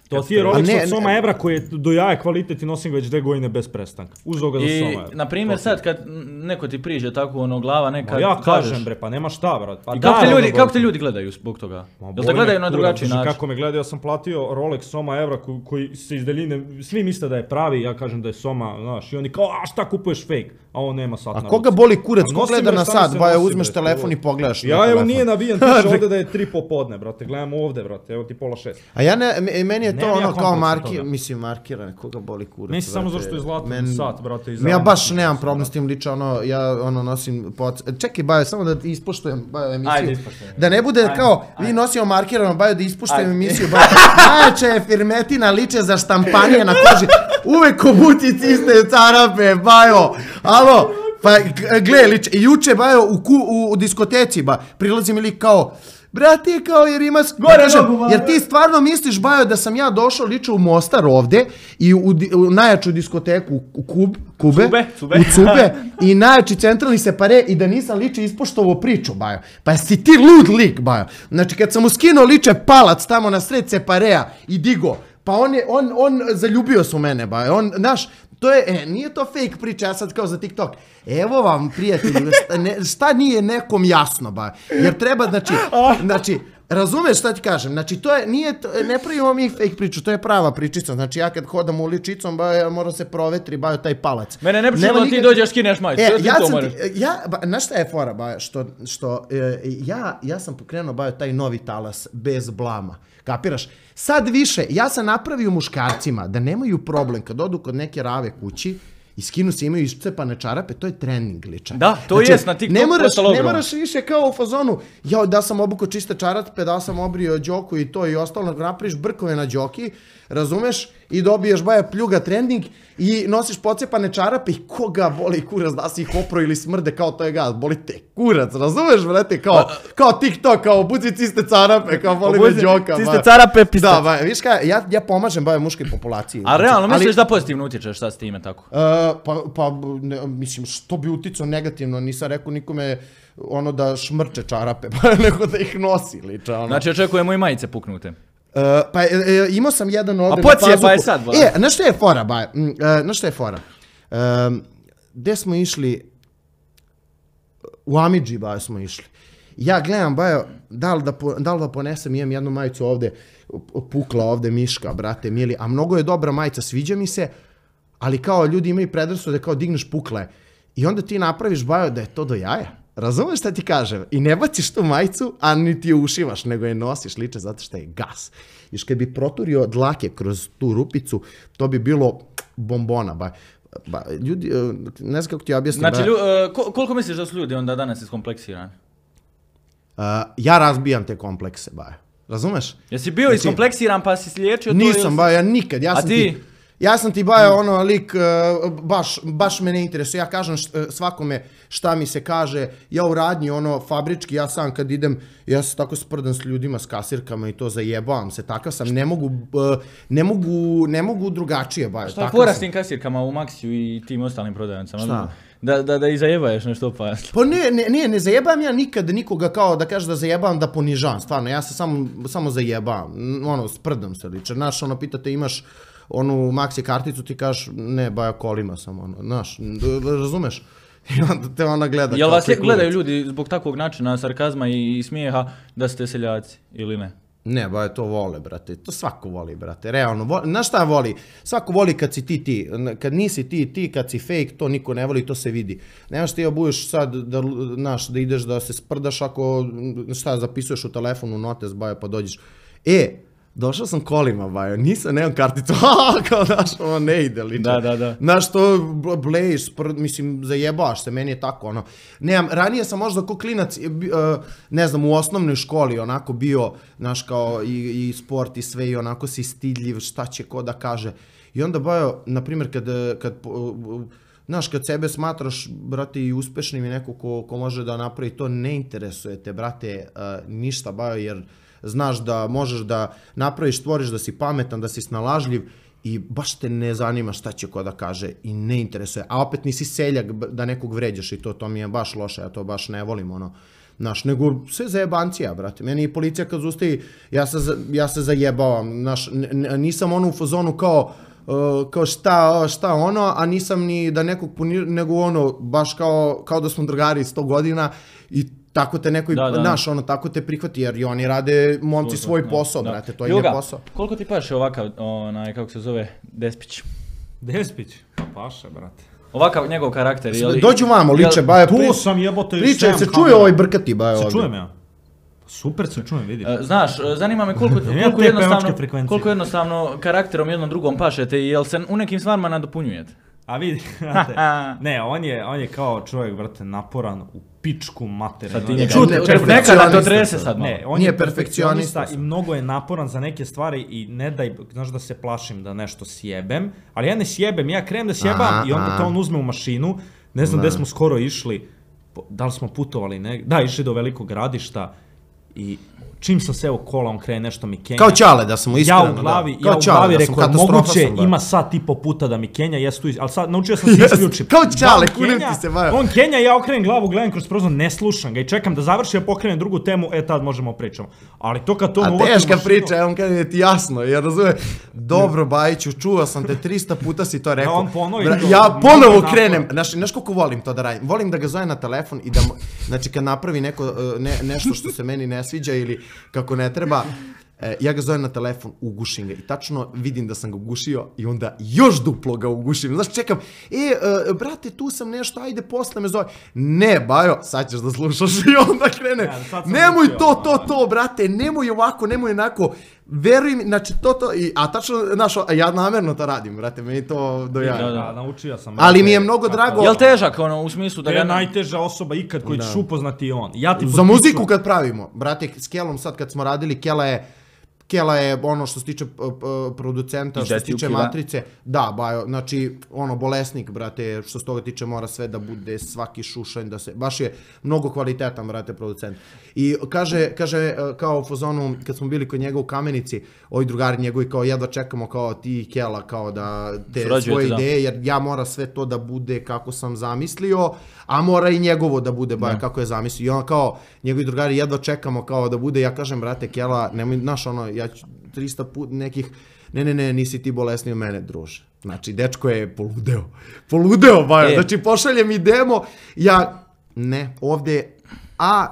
To ti je Rolex ne, od Soma ne. Evra koji je do jaja kvalitet i nosim ga već dve godine bez prestanka. Uzeo ga za I, Soma Evra. na primjer, sad kad neko ti priđe tako ono glava neka, Ma ja kažeš. kažem bre, pa nema šta, brate. Pa I kako te, daj, ljudi, ono, kako te ljudi gledaju zbog toga? Ma, Jel boli te me gledaju na kurac, drugačiji znači, način? Kako me gledaju, ja sam platio Rolex Soma Evra koji, koji se iz daljine, svi misle da je pravi, ja kažem da je Soma, znaš, i oni kao, a šta kupuješ fake? A on nema sat A na koga ruci. boli kurac? A Ko nosim, gleda bre, na šta mi sat? se Bajo, nosi, uzmeš bre, telefon i to? pogledaš na Ja, evo, telefon. nije navijan, piše ovdje da je tri popodne, brate, gledam ovdje, brate, evo ti pola šest. A ja ne, me- meni je to Nemam ja ono kao kompleksa marki, toga. mislim markirane, koga boli kurac. Meni se samo brate. zašto je zlatan Men- sat, brate, i Ja zelenac baš mi nemam se, problem brate. s tim lično, ono, ja ono nosim poc... Čekaj, Bajo, samo da ispuštujem Bajo emisiju. Ajde, ispuštujem. Da ne bude Ajde, kao, ajde. vi nosimo markirano, Bajo, da ispuštujem Ajde. emisiju, Bajo. Najjača je firmetina, liče za štampanije na koži. Uvek obuci ciste carape, Bajo. Alo, pa g- gle, liče, juče, Bajo, u, ku, u, u diskoteci, ba, prilazi mi lik kao, brate, kao jer imaš... Gore kažem, nogu, Bajo. jer ti stvarno misliš, Bajo, da sam ja došao liče u Mostar ovde i u, di- u najjaču diskoteku u Kub, Kube, Cube, Cube. u Cube i najjači centralni separe i da nisam liče ispoštovao priču, Bajo. Pa si ti lud lik, Bajo. Znači, kad sam mu skinuo liče palac tamo na sred separea i digo, pa on je, on, on zaljubio se u mene, Bajo. On, znaš, to je, e, nije to fake priča, ja sad kao za TikTok. Evo vam, prijatelji, šta, ne, šta nije nekom jasno, Bajo. Jer treba, znači, znači, razumeš šta ti kažem? Znači, to je, nije, to, ne pravimo mi fake priču, to je prava pričica. Znači, ja kad hodam uličicom, Bajo, ja moram se provetri, Bajo, taj palac. Mene ne Nema pričamo da ti nikak- dođeš, skineš majicu. E, Sve ti ja to sam moraš. ti, ja, ba, znaš šta je fora, Bajo, što, što e, ja, ja sam pokrenuo, Bajo, taj novi talas bez blama, kapiraš? Sad više, ja sam napravio muškarcima da nemaju problem kad odu kod neke rave kući i skinu se, imaju iscepane čarape, to je trening ličan. Da, to jest na TikToku ne moraš, postalo ne ogromno. moraš više kao u fazonu, ja da sam obukao čiste čarape, da sam obrio đoku i to i ostalo, napraviš brkove na đoki, razumeš, i dobiješ Bajo pljuga trending i nosiš pocepane čarape i koga boli kurac da si ih opro ili smrde kao to je gaz, boli te kurac, razumeš, brate, kao, kao TikTok, kao buci ciste čarape, kao boli me Obuci đoka. ciste Bajo. carape, pista. Da, Bajo, viš kaj, ja, ja pomažem Bajo muškoj populaciji. A realno, Ali- misliš da pozitivno utječeš sad s time tako? Uh, pa, pa ne, mislim, što bi uticao negativno, nisam rekao nikome ono da šmrče čarape, pa nego da ih nosi, liča, ono. Znači, očekujemo i majice puknute. Uh, pa e, e, imao sam jedan ovdje A pocije, pa je sad, Bajo. E, znaš šta je fora, Bajo? Mm, uh, znaš šta je fora? Um, gde smo išli? U Amidži, Bajo, smo išli. Ja gledam, Bajo, da li da, po, da, li da ponesem, imam jednu majicu ovde, pukla ovde miška, brate, mili, a mnogo je dobra majica, sviđa mi se, ali kao ljudi imaju predrasude, kao digneš pukle. I onda ti napraviš, Bajo, da je to do jaja. Razumeš šta ti kažem? I ne baciš tu majicu, a ni ti je ušivaš, nego je nosiš, liče zato što je gas. Još kad bi proturio dlake kroz tu rupicu, to bi bilo bombona, Bajo. Ba, ljudi, e, ne znam kako ti objasnim. Znači, Bajo. lju, e, ko- koliko misliš da su ljudi onda danas iskompleksirani? Uh, ja razbijam te komplekse, Bajo. Razumeš? Jesi bio Znači, iskompleksiran pa si sliječio to? Nisam, ili si- Bajo, ja nikad. Ja A sam ti? ti... Ja sam ti, Bajo, ono, lik, uh, baš, baš me ne interesuje. Ja kažem št, svakome šta mi se kaže. Ja u radnji, ono, fabrički, ja sam kad idem, ja se tako sprdam s ljudima, s kasirkama i to zajebavam se. Takav sam, ne mogu, uh, ne mogu, ne mogu drugačije, Bajo. Šta je takav fora sam. s tim kasirkama u Maxiju i tim ostalim prodavnicama? Šta? Da, da, da i zajebaješ nešto pa... Pa ne, ne, ne, ne zajebam ja nikad nikoga kao da kažeš da zajebam, da ponižavam, stvarno, ja se samo, samo zajebam, ono, sprdam se liče, znaš, ono, pitate imaš onu Maxi karticu, ti kažeš, ne, Bajo, kolima sam, ono, znaš, razumeš? I onda te ona gleda Jel kao vas ti gledaju kurac. ljudi zbog takvog načina sarkazma i, i smijeha da ste seljaci ili ne? Ne, Bajo, to vole, brate, to svako voli, brate, realno, voli, znaš šta voli? Svako voli kad si ti ti, kad nisi ti ti, kad si fake, to niko ne voli, to se vidi. Nemaš ti obuješ sad, da, znaš, da ideš da se sprdaš ako, šta, zapisuješ u telefonu notes, Bajo, pa dođeš. E, došao sam kolima, Bajo, nisam, nemam karticu, kao, znaš, ono ne ide, liče. Da, da, da. Znaš, to blejiš, sprd, mislim, zajebaš se, meni je tako, ono. Nemam, ranije sam možda ko klinac, uh, ne znam, u osnovnoj školi, onako bio, znaš, kao i, i sport i sve, i onako si stidljiv, šta će ko da kaže. I onda, Bajo, na primjer, kad, kad uh, znaš, kad sebe smatraš, brate, i uspešnim i neko ko, ko može da napravi to, ne interesuje te, brate, uh, ništa, Bajo, jer znaš da možeš da napraviš, stvoriš da si pametan, da si snalažljiv i baš te ne zanima šta će ko da kaže i ne interesuje, a opet nisi seljak da nekog vređaš i to, to mi je baš loše, ja to baš ne volim, ono, znaš, nego sve zajebancija, brate, meni i policija kad zustavi, ja se, ja se zajebavam, znaš, nisam ono u fazonu kao, Uh, kao šta, šta ono, a nisam ni da nekog punir, nego ono, baš kao, kao da smo drugari sto godina i tako te neko, da, da. Naš, ono, tako te prihvati, jer i oni rade, momci, svoj da, posao, da. Brate, to Juga, je posao. Koliko ti paše ovakav, onaj, kako se zove, Despić? Despić? Pa paše, brate. Ovakav njegov karakter, je li... Dođu vamo, liče, baje, tu sam jebote... Pričaj, se čuje ovaj brkati, baje ovdje. Se čujem ja. Super se čujem, vidiš. Znaš, zanima me koliko, koliko, jednostavno, koliko jednostavno karakterom jednom drugom pašete i jel se u nekim stvarima nadopunjujete? A vidi, ne, on je, on je kao čovjek, brate, naporan u pičku materiju. Sad ti njega, nekada to trese sad malo. Ne, on je perfekcionista i mnogo je naporan za neke stvari i ne daj, znaš da se plašim da nešto sjebem, ali ja ne sjebem, ja krenem da sjebam i onda to on uzme u mašinu, ne znam gde smo skoro išli, da li smo putovali, ne, da, išli do Velikog Gradišta. I čim sam seo kola, on krene nešto mi kenja. Kao Čale, da sam iskreno. Ja u glavi, ja u glavi rekao, moguće ima sad i po puta da mi kenja, ja tu, ali sad naučio sam se isključiti. Kao Čale, kunem ti se, bajo. On kenja, ja okrenem glavu, gledam kroz prozor, ne slušam ga i čekam da završi, ja pokrenem drugu temu, e tad možemo pričamo. Ali to kad to mu uvati u mašinu... A teška priča, on kaže ti jasno, jer razume, dobro Bajiću, čuo sam te, tristo puta si to rekao. Ja ponovo krenem, znaš koliko volim to da radim, volim da ga zove na telefon i da, znači kad napravi neko, nešto što se meni ne sviđa ili kako ne treba, e, ja ga zovem na telefon, ugušim ga i tačno vidim da sam ga ugušio i onda još duplo ga ugušim. Znaš, čekam, e, e, brate, tu sam nešto, ajde, posle me zove. Ne, Bajo, sad ćeš da slušaš i onda krene. Ja, nemoj učio, to, to, to, brate, nemoj ovako, nemoj onako. Veruj mi, znači to, to, i, a tačno, znaš, ja namerno to radim, brate, meni to dojaje. Da, da, naučio sam. Ali mi je mnogo drago. Jel težak, ono, u smislu da ga... Je najteža osoba ikad koji ćeš upoznati on. Ja ti za muziku kad pravimo, brate, s Kelom sad kad smo radili, Kela je, Kela je ono što se tiče producenta, što se tiče Matrice, da, Bajo, znači, ono, bolesnik, brate, što se toga tiče mora sve da bude, svaki šušanj, da se, baš je mnogo kvalitetan, brate, producent. I kaže, kaže, kao u fazonu, kad smo bili kod njega u Kamenici, ovi drugari njegovi, kao jedva čekamo, kao ti i Kela, kao da te svoje ideje, jer ja mora sve to da bude kako sam zamislio, a mora i njegovo da bude, Bajo, kako je zamislio. I on kao, njegovi drugari jedva čekamo kao da bude, ja kažem, brate, Kela, nemoj, znaš, ono, ja ću tristo put nekih, ne, ne, ne, nisi ti bolesni od mene, druže. Znači, dečko je poludeo, poludeo, Bajo, e. Znači, pošalje mi demo, ja, ne, ovdje, a,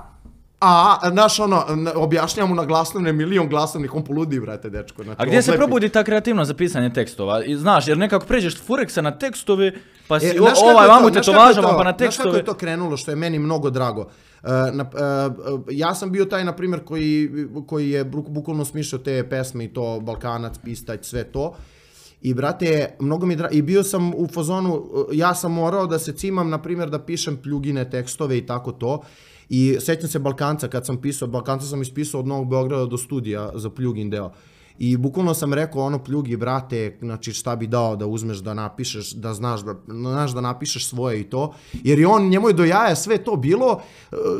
a, znaš, ono, objašnjam mu na glasnovne, milion glasnovnih, on poludi, brate, dečko. Znači, a gdje se probudi ta kreativnost za pisanje tekstova? I, znaš, jer nekako pređeš Fureksa na tekstove, pa si e, ovaj vamo te to važamo, pa na tekstove. Znaš kako je to krenulo, što je meni mnogo drago? Uh, na, uh, ja sam bio taj, na primjer, koji, koji je bukvalno smišljao te pesme i to, Balkanac, Pistać, sve to. I, brate, mnogo mi drago, i bio sam u fazonu, ja sam morao da se cimam, na primjer, da pišem Pljugine tekstove i tako to. I sećam se Balkanca, kad sam pisao, Balkanca sam ispisao od Novog Beograda do studija za Pljugin deo. I bukvalno sam rekao ono, Pljugi, brate, znači šta bi dao da uzmeš da napišeš, da znaš da, znaš da napišeš svoje i to. Jer i on, njemu je do jaja sve to bilo,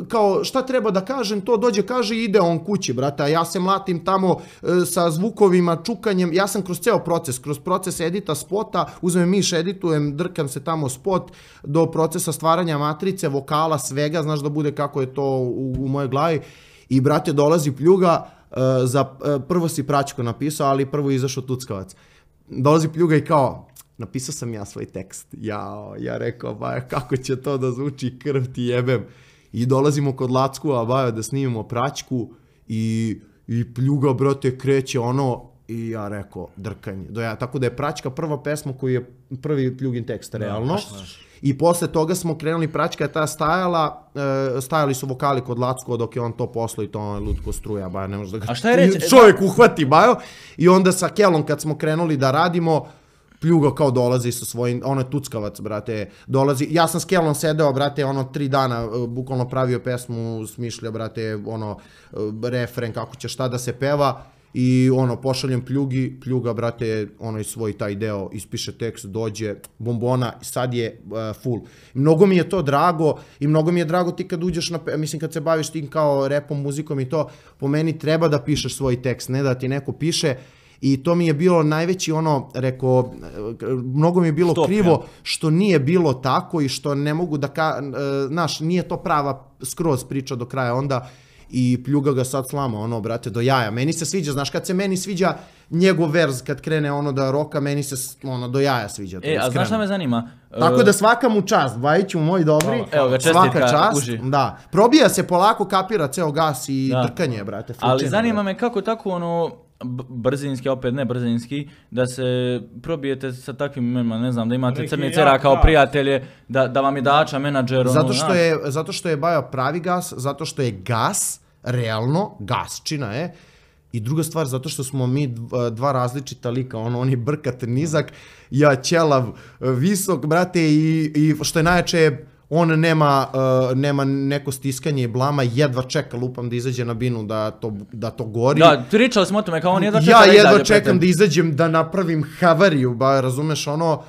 kao šta treba da kažem, to dođe, kaže i ide on kući, brate. A ja se mlatim tamo sa zvukovima, čukanjem, ja sam kroz ceo proces, kroz proces edita spota, uzmem miš, editujem, drkam se tamo spot, do procesa stvaranja matrice, vokala, svega, znaš da bude kako je to u, u mojoj glavi. I, brate, dolazi Pljuga, za, prvo si Praćko napisao, ali prvo je izašao Tuckavac. Dolazi Pljuga i kao, napisao sam ja svoj tekst. Jao, ja rekao, Bajo, kako će to da zvuči, krv ti jebem. I dolazimo kod Lackova, Bajo, da snimimo Praćku i, i Pljuga, brate, kreće ono, i ja rekao, drkanje. Ja, tako da je Praćka prva pesma koji je prvi Pljugin tekst, realno. I posle toga smo krenuli, Praćka je ta stajala, e, stajali su vokali kod Lackova dok je on to poslo i to on je lutko struja, Bajo, ne može da ga a šta je reći? Čovjek uhvati, Bajo. I onda sa Kelom kad smo krenuli da radimo, Pljuga kao dolazi sa svojim, ono je Tuckavac, brate, dolazi, ja sam s Kelom sedeo, brate, ono tri dana, bukvalno pravio pesmu, smišljao, brate, ono, refren, kako će šta da se peva. I ono, pošaljem Pljugi, Pljuga, brate, ono i svoj taj deo, ispiše tekst, dođe, bombona, sad je uh, full. Mnogo mi je to drago i mnogo mi je drago ti kad uđeš na, mislim kad se baviš tim kao repom, muzikom i to, po meni treba da pišeš svoj tekst, ne da ti neko piše. I to mi je bilo najveći ono, rekao, mnogo mi je bilo Stop, krivo ja. što nije bilo tako i što ne mogu da, ka, znaš, nije to prava skroz priča do kraja onda i pljuga ga sad slama, ono, brate, do jaja. Meni se sviđa, znaš, kad se meni sviđa njegov verz, kad krene ono da roka, meni se, ono, do jaja sviđa. E, a znaš šta me zanima? Tako da svaka mu čast, Bajiću moj dobri, Evo ga, čestitka, svaka čast, uži. da. Probija se polako, kapira ceo gas i Da. trkanje, brate. Ali fručine, zanima brate. me kako tako ono b- brzinski, opet ne brzinski, da se probijete sa takvim imenima, ne znam, da imate Neki crni jak cera kao gas. prijatelje, da, da vam je dača, menadžer, ono, Zato što znaš. je, zato što je Bajo pravi gas, zato što je gas, realno, gasčina je, i druga stvar, zato što smo mi dva, dva različita lika, ono, on je brkat nizak, ja ćelav visok, brate, i, i što je najjače, on nema, uh, nema neko stiskanje i blama, jedva čeka, lupam, da izađe na binu, da to, da to gori. Da, pričali smo o tome, kao on jedva čeka Ja da jedva izađe čekam pred da izađem, da napravim havariju, ba, razumeš, ono,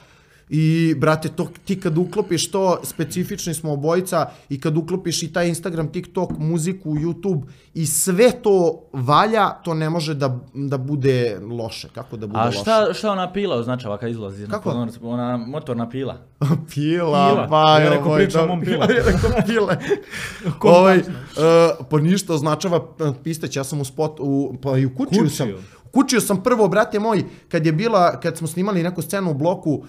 i, brate, to, ti kad uklopiš to, specifični smo obojica, i kad uklopiš i taj Instagram, TikTok, muziku, YouTube, i sve to valja, to ne može da, da bude loše. Kako da bude A loše? šta, šta ona pila označava kad izlazi? Kako? Na pozornicu? Ona motorna pila. Pila, Pila. pa Ja jo, rekao, moj, pričam da- on pila. Ja rekao pile. Ovaj, uh, pa ništa označava uh, pistać, ja sam u spot, u, pa i u kućiju Kućiju. sam. Kućio sam prvo, brate moj, kad je bila, kad smo snimali neku scenu u bloku, um,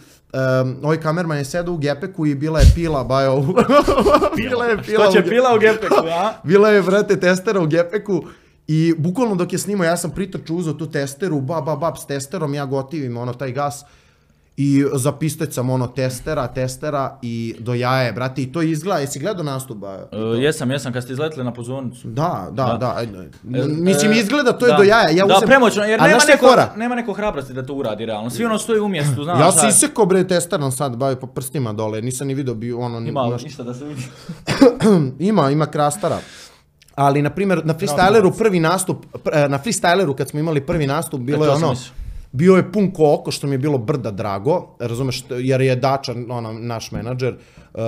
ovaj kamerman je sedao u gepeku i bila je pila, bajo. bila je pila. Što će u ge- pila u gepeku, a? Bila je, brate, testera u gepeku i bukvalno dok je snimao, ja sam pritrčao, uzeo tu testeru, ba, ba, bab, s testerom, ja gotivim ono, taj gas. I za pistać sam ono testera, testera i do jaje, brate, i to izgleda, jesi gledao nastup, ba? E, jesam, jesam, kad ste izletili na pozornicu. Da, da, Da. da, ajde. E, Mislim, e, izgleda, to je da. do jaja. Ja da, uzem- premoćno, jer A nema znaš šta je neko, fora? nema neko hrabrosti da to uradi realno. Svi ono stoji u mjestu, znaš. Ja šta sam je. isekao bre testerom sad, bavi po prstima dole, nisam ni vidio bi ono... ni- Ima znaš- ništa da se vidi. ima, ima krastara. Ali, na primjer, na freestyleru prvi nastup, pr- na freestyleru kad smo imali prvi nastup, bilo E, je to sam ono, mislio. bio je pun ko oko, što mi je bilo brda drago, razumeš, jer je Dača, ono, naš menadžer, uh,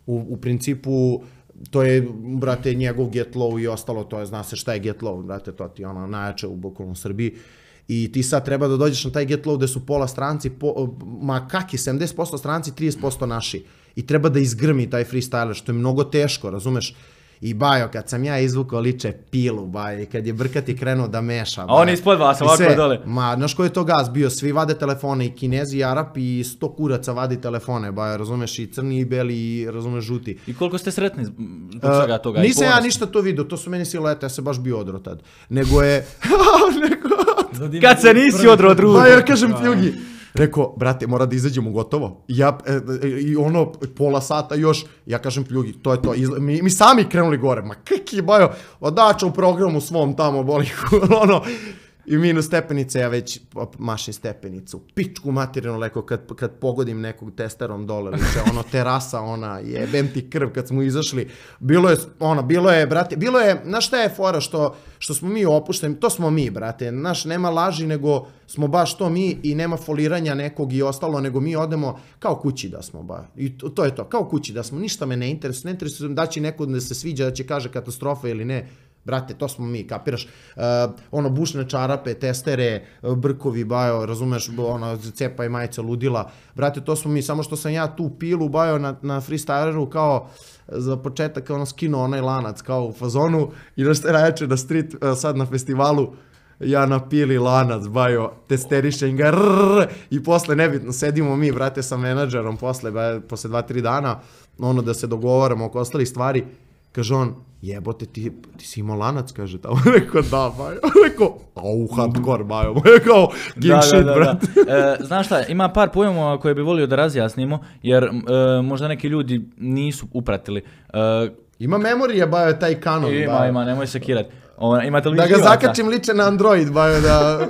u, u principu, to je, brate, njegov Get Low i ostalo, to je, zna se šta je Get Low, brate, to ti je ono najjače u bukvalno Srbiji. I ti sad treba da dođeš na taj Get Low gde su pola stranci, po, ma kaki, sedamdeset posto stranci, trideset posto naši. I treba da izgrmi taj freestyler, što je mnogo teško, razumeš? I Bajo, kad sam ja izvukao liče pilu, Bajo, i kad je Brkati krenuo da meša. A on ispod vas, I ovako sve. dole. Ma, znaš koji je to gas bio? Svi vade telefone, i Kinezi, i Arapi, i sto kuraca vadi telefone, Bajo, razumeš, i crni, i beli, i razumeš, žuti. I koliko ste sretni zbog Uh, svega toga? I nisam ja ponosni? ništa to vidio, to su meni silete, ja se baš bio odro tad. Nego je... Nego... Kad se nisi odro od ruku. Pa ja kažem ti, Jugi, rekao, brate, mora da izađemo gotovo. Ja, e, e, i ono, pola sata još, ja kažem Pljugi, to je to. Izla, mi, mi sami krenuli gore, ma kaki bajo, odača u programu svom tamo, boli, ono, i minus stepenice, ja već mašim stepenicu. Pičku materinu, leko, kad, kad pogodim nekog testerom dole, liče, ono, terasa, ona, jebem ti krv kad smo izašli. Bilo je, ono, bilo je, brate, bilo je, znaš šta je fora, što, što smo mi opušteni, to smo mi, brate, znaš, nema laži, nego smo baš to mi i nema foliranja nekog i ostalo, nego mi odemo kao kući da smo, ba. I to, to je to, kao kući da smo, ništa me ne interesuje, ne interesuje da će neko da se sviđa, da će kaže katastrofa ili ne. Brate, to smo mi, kapiraš, uh, ono, bušne čarape, testere, uh, brkovi, Bajo, razumeš, ono, cepa i majica ludila, brate, to smo mi, samo što sam ja tu pilu, Bajo, na, na freestyleru, kao, za početak, ono, skinuo onaj lanac, kao u fazonu, i da ste najjače na street, uh, sad na festivalu, ja napili lanac, Bajo, testerišem ga, rrrr, i posle, nebitno, sedimo mi, brate, sa menadžerom, posle, ba, posle dva, tri dana, ono, da se dogovaramo oko ostalih stvari, kaže on, jebote, ti, ti si imao lanac, kaže tamo. Rekao, da, Bajo. Rekao, au, hardcore, Bajo. Rekao, king Da, shit, da, da, brate. da. E, znaš šta, ima par pojmova koje bi volio da razjasnimo, jer e, možda neki ljudi nisu upratili. E, Ima memorija, Bajo, taj kanon, ima, Bajo. ima, nemoj se kirat. O, imate li Da ga živaca? zakačim liče na Android, Bajo, da...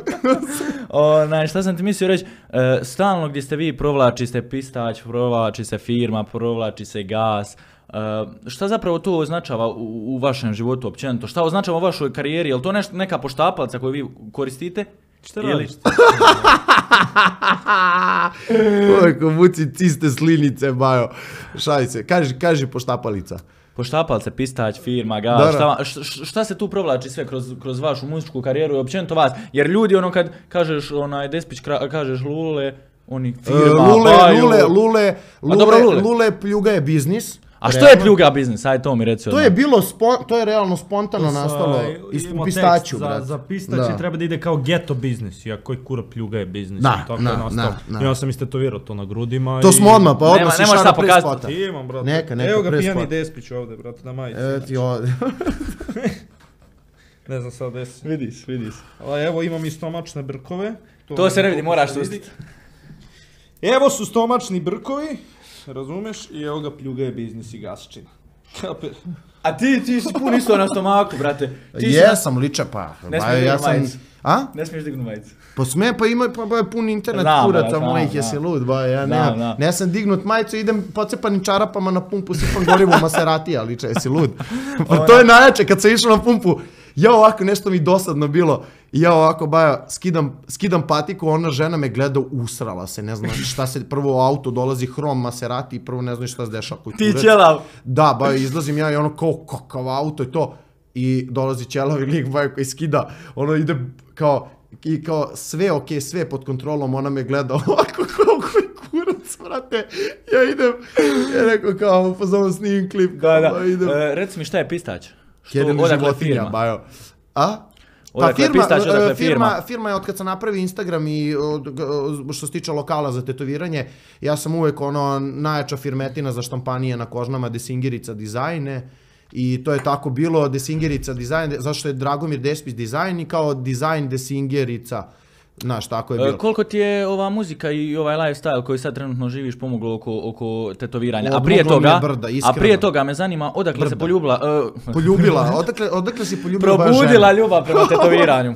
Onaj, šta sam ti mislio reći, e, stalno gdje ste vi provlači se pistać, provlači se firma, provlači se gas. E, šta zapravo to označava u, u vašem životu općenito? Šta označava u vašoj karijeri? Je li to nešto, neka poštapalica koju vi koristite? Šta Ili- radiš? Oj, ko muci ciste slinice, Bajo. Šali se. Kaži, kaži poštapalica. Poštapalce, Pistać, firma, Gal, Da, šta, da. šta, šta se tu provlači sve kroz, kroz vašu muzičku karijeru i općenito vas? Jer ljudi ono kad kažeš onaj Despić, kra- kažeš Lule, oni firma, Uh, Lule, Baju. Lule, Lule, Lule, dobro, Lule. Lule pljuga je biznis. A što realno. je pljuga biznis? Ajde to mi reci To odmah. je bilo, spo, to je realno spontano To sa- nastalo iz imamo u pistaću, tekst brat. Za, za pistaći Da. treba da ide kao geto biznis, iako je kura pljuga je biznis. Da, i tako da, je nastao. da, da. Ja sam istetovirao to na grudima. To i... smo odmah, pa Nema- odmah si nemaš šara šta pre pokazati. spota. Imam, brate. Neka, neka, Evo ga pre pijani spota. Despić ovde, brate, na majici. E, ti ovdje. Ne znam sad desi. Vidiš, vidiš. A evo imam i stomačne brkove. To se ne vidi, moraš se vidi. sustiti. Evo su stomačni brkovi, razumeš? I evo ga pljuga je biznis i gasčina. Kaper. A ti, ti si pun isto na stomaku, brate. Ti si Jesam, liče pa. Ne ba, smiješ ja dignuti sam... majicu. A? Ne smiješ dignuti majicu. Pa sme, pa ima pa, pa pun internet Znam, kuraca znam, mojih, znam. jesi lud, ba, ja Znam, nemam, znam. ne sam dignut majicu, idem pocepanim čarapama na pumpu, sipam gorivo u Maseratija, liče, jesi lud. Pa to je najjače, kad sam išao na pumpu, ja ovako, nešto mi dosadno bilo, i ja ovako, baja, skidam, skidam patiku, ona žena me gleda, usrala se, ne znam šta se, prvo u auto dolazi hrom Maserati i prvo ne znam šta se dešava. koji Ti kurac. ćelav. Da, baja, izlazim ja i ono kao kakav auto i to, i dolazi ćelavi lik, baja, koji skida, ono ide kao, i kao sve ok, sve pod kontrolom, ona me gleda ovako kao koji kurac, brate, ja idem, ja rekao kao, pozovem snimim klip, Da, kao, da. ba, idem. E, reci mi šta je Pistać? Što, Jedini odakle životinja, firma? bajo. A? Odakle firma, Pistać, odakle e, firma? firma, firma je od kad sam napravio Instagram i od, g- što se tiče lokala za tetoviranje, ja sam uvek ono najjača firmetina za štampanije na kožnama, Desingerica dizajne. I to je tako bilo, Desingerica dizajn, zašto je Dragomir Despić dizajn i kao dizajn Desingerica, znaš, tako je bilo. E, koliko ti je ova muzika i ovaj lifestyle koji sad trenutno živiš pomoglo oko, oko tetoviranja? A prije Odmoglo mi je toga, brda, a iskreno. prije toga me zanima odakle se Brda. poljubila, e, Poljubila, odakle, odakle si poljubila baš probudila ženu? ljubav prema tetoviranju.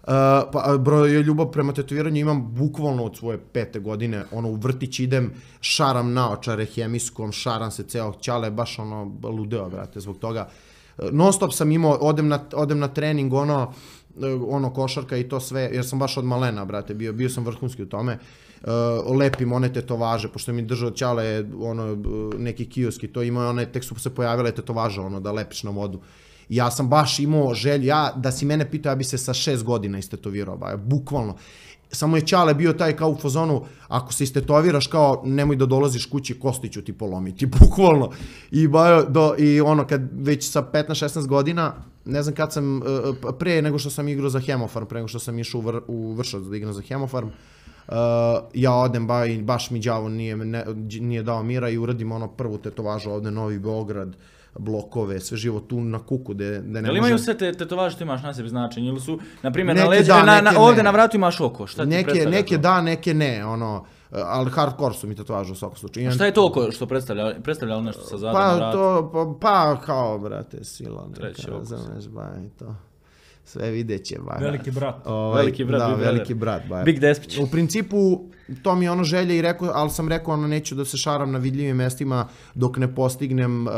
Uh, pa bro, je ljubav prema tetoviranju imam bukvalno od svoje pete godine, ono u vrtić idem, šaram naočare hemijskom, šaram se ceo ćale, baš ono ludeo, brate, zbog toga. Uh, non stop sam imao, odem na, odem na trening, ono, uh, ono košarka i to sve, jer sam baš od malena, brate, bio, bio sam vrhunski u tome. Uh, lepim one tetovaže, pošto mi držao ćale, ono, uh, neki kioski, to ima one, tek su se pojavile tetovaže, ono, da lepiš na vodu. Ja sam baš imao želju, ja, da si mene pitao, ja bi se sa šest godina istetovirao, ba, bukvalno. Samo je Ćale bio taj kao u fazonu, ako se istetoviraš kao, nemoj da dolaziš kući, kosti ću ti polomiti, bukvalno. I, ba, do, i ono, kad već sa petnaest šesnaest godina, ne znam kad sam, uh, pre nego što sam igrao za Hemofarm, pre nego što sam išao u, vr, u Vršac da igram za Hemofarm, Uh, ja odem ba, i baš mi đavo nije, ne, nije dao mira i uradim ono prvu tetovažu ovde, Novi Beograd, blokove, sve živo tu na kuku, de, de ne Jel može... imaju sve te tetovaže što imaš na sebi značenje? Ili su, na primjer, Neke na leđu, da, na, na, neke ovde ne. na vratu imaš oko? Šta ti Neke, predstavlja neke to? da, neke ne, ono, ali hardcore su mi tetovaže u svakom slučaju. A šta je to oko što predstavlja? Predstavlja li nešto sa zadom na Pa vratu? to, pa, pa kao, brate, sila neka, Treći okus. razumeš, ba, i to. Sve vidjet će, ba. Veliki brat. Ovaj, Veliki brat, da, Big Brother. veliki brat, ba. Big Despić. U principu, to mi je ono želje i rekao, ali sam rekao, ono, neću da se šaram na vidljivim mestima dok ne postignem, uh,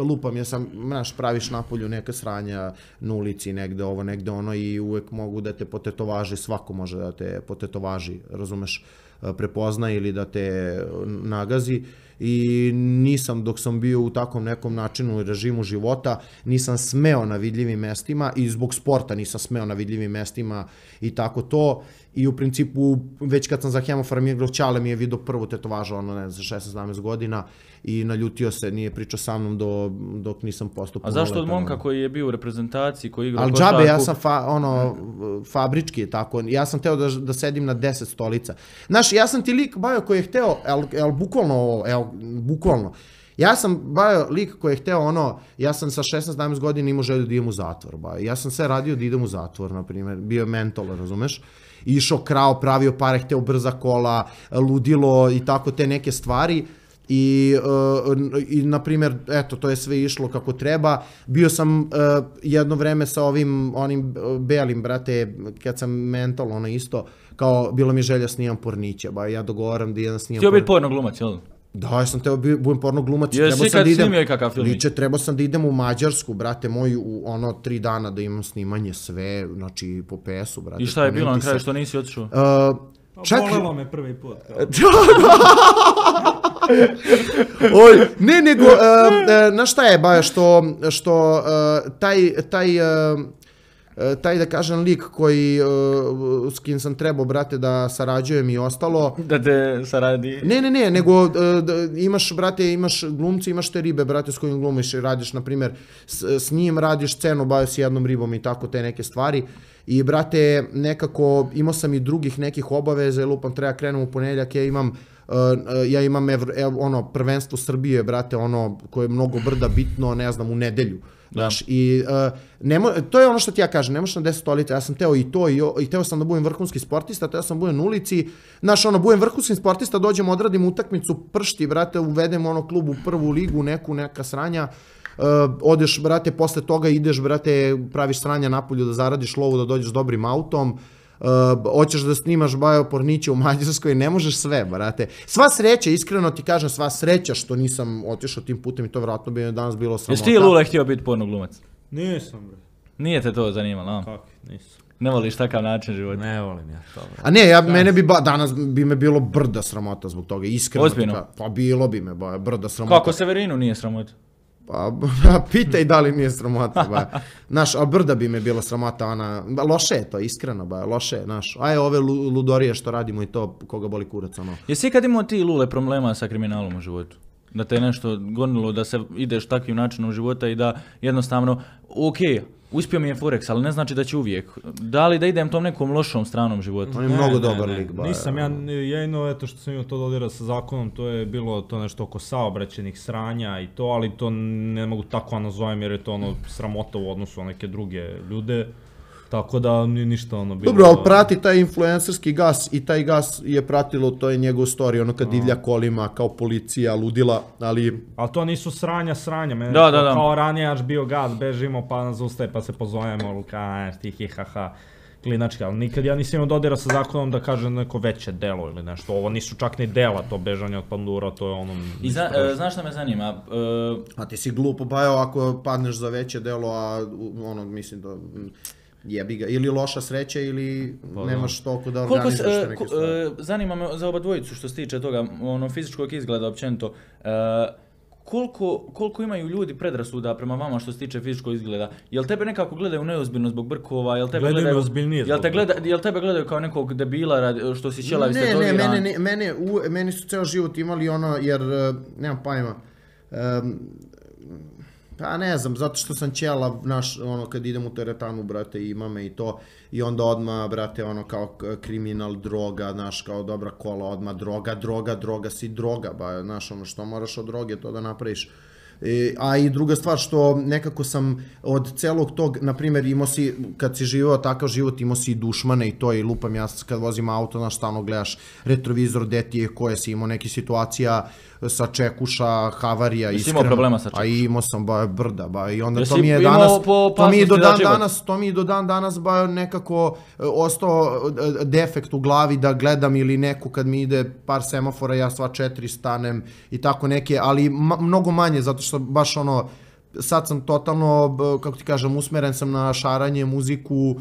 lupam, ja sam, znaš, praviš napolju neka sranja na ulici, negde ovo, negde ono i uvek mogu da te potetovaži, svako može da te potetovaži, razumeš, uh, prepozna ili da te nagazi. I nisam, dok sam bio u takvom nekom načinu i režimu života, nisam smeo na vidljivim mestima i zbog sporta nisam smeo na vidljivim mestima i tako to. I u principu, već kad sam za Hemofarm igrao, Ćale mi je vidio prvu tetovažu, ono, ne znam, šesnaest sedamnaest godina i naljutio se, nije pričao sa mnom do, dok nisam postao A zašto od punoletan, momka ono. koji je bio u reprezentaciji, koji igrao Ali košarku? džabe, ja sam fa, ono, fabrički, tako, ja sam teo da, da sedim na deset stolica. Znaš, ja sam ti lik, Bajo, koji je hteo, el, el, bukvalno ovo, el, bukvalno, ja sam, Bajo, lik koji je hteo, ono, ja sam sa šesnaest sedamnaest godina imao želju da idem u zatvor, Bajo. Ja sam sve radio da idem u zatvor, na primjer, bio je mentol, razumeš? Išao krao, pravio pare, hteo brza kola, ludilo i tako te neke stvari. I, uh, i na primjer, eto, to je sve išlo kako treba. Bio sam uh, jedno vreme sa ovim, onim belim, brate, kad sam mental, ono isto, kao, bilo mi želja snimam porniće, ba, ja dogovaram da jedan snimam Htio biti porniće. porno glumac, jel? Da, ja sam teo bi- budem porno glumac. Jesi trebao sam ikad da idem- snimio i kakav filmić? Liče, trebao sam da idem u Mađarsku, brate moj, u ono tri dana da imam snimanje sve, znači po pesu, brate. I šta je bilo na poneti kraju se. što nisi otišao? Uh, Čak... Volelo me prvi put. Oj, ne, nego, uh, uh, na šta je, ba, što, što uh, taj, taj, uh, taj, da kažem, lik koji, uh, s kim sam trebao, brate, da sarađujem i ostalo. Da te saradi. Ne, ne, ne, nego uh, imaš, brate, imaš glumci, imaš te ribe, brate, s kojim glumiš i radiš, na primjer, s, s njim radiš scenu, bajo s jednom ribom i tako te neke stvari. I, brate, nekako, imao sam i drugih nekih obaveza, lupam, treba krenem u ponedjeljak, ja imam, uh, ja imam evro, ev, ono, prvenstvo Srbije, brate, ono, koje je mnogo brda bitno, ne znam, u nedelju. Znaš, i uh, nemo, to je ono što ti ja kažem, ne možeš na deset stolica, ja sam teo i to, i, i teo sam da budem vrhunski sportista, teo sam da budem na ulici, znaš, ono, budem vrhunski sportista, dođem, odradim utakmicu, pršti, brate, uvedem ono klub u prvu ligu, neku, neka sranja, uh, odeš, brate, posle toga ideš, brate, praviš sranja napolju da zaradiš lovu, da dođeš dobrim autom, Uh, hoćeš da snimaš Bajo Porniće u Mađarskoj, ne možeš sve, brate. Sva sreća, iskreno ti kažem, sva sreća što nisam otišao tim putem i to vratno bi danas bilo sramota. Jesi ti, Lule, htio biti porno glumac? Nisam, bre. Nije te to zanimalo, a? Kako, nisam. Ne voliš takav način života? Ne volim ja to, bre. A ne, ja, mene bi ba, danas bi me bilo brda sramota zbog toga, iskreno. Ozbiljno? Ka, pa bilo bi me, ba, brda sramota. Kako Severinu nije sramota? Pa, pitaj da li nije sramota, ba. Znaš, a brda bi me bila sramota, ona, ba, loše je to, iskreno, ba, loše je, znaš. Aj, ove ludorije što radimo i to, koga boli kurac, ono. Jesi ikad imao ti, Lule, problema sa kriminalom u životu? Da te je nešto gonilo, da se ideš takvim načinom života i da jednostavno, okej, uspio mi je Forex, ali ne znači da će uvijek. Da li da idem tom nekom lošom stranom života? On je ne, mnogo ne, dobar ne, lik, ba. Nisam ja, jedino, eto što sam imao to dodira sa zakonom, to je bilo to nešto oko saobraćenih sranja i to, ali to ne mogu tako nazovem jer je to ono sramota u odnosu na neke druge ljude. Tako da nije ništa ono bilo... Dobro, ali prati taj influencerski gas i taj gas je pratilo, to je njegov story, ono kad no. divlja kolima, kao policija, ludila, ali... Ali to nisu sranja, sranja, meni da, da, da. Kao ranije aš bio gas, bežimo pa nas ustaje pa se pozovemo, luka, stihi, haha, klinački, ali nikad ja nisam imao dodira sa zakonom da kažem neko veće delo ili nešto, ovo nisu čak ni dela, to bežanje od pandura, to je ono... I za, e, znaš šta me zanima? E... A ti si glupo, Bajo, ako padneš za veće delo, a ono, mislim da... Jebi ga, ili loša sreća ili pa, nemaš toliko da organizuješ te neke stvari. Uh, zanima me za oba dvojicu što se tiče toga, ono, fizičkog izgleda općenito, uh, koliko, koliko imaju ljudi predrasuda prema vama što se tiče fizičkog izgleda? Jel tebe nekako gledaju neozbiljno zbog brkova? Jel tebe gledaju ozbiljnije zbog jel, gleda, jel tebe gledaju kao nekog debila što si ćelavi ne, stetoviran? Ne, mene, ne, mene, u, meni su ceo život imali ono, jer, uh, nemam pojma, um, pa ne znam, zato što sam ćela, naš, ono, kad idem u teretanu, brate, ima me i to, i onda odmah, brate, ono, kao kriminal, droga, znaš, kao dobra kola, odmah droga, droga, droga, si droga, ba, znaš, ono, što moraš od droge to da napraviš. E, a i druga stvar što nekako sam od celog tog, na primjer, imao si, kad si živeo takav život, imao si i dušmane i to, i lupam ja kad vozim auto, znaš, stalno gledaš retrovizor, detije koje si imao neke situacija sa čekuša, havarija, iskreno. Jesi imao problema sa čekuša? A imao sam, ba, brda, ba, i onda to mi je danas, to mi je do dan danas, to mi je do dan danas, ba, nekako ostao defekt u glavi da gledam ili neku kad mi ide par semafora, ja sva četiri stanem i tako neke, ali ma, mnogo manje, zato što baš ono, sad sam totalno, kako ti kažem, usmeren sam na šaranje, muziku,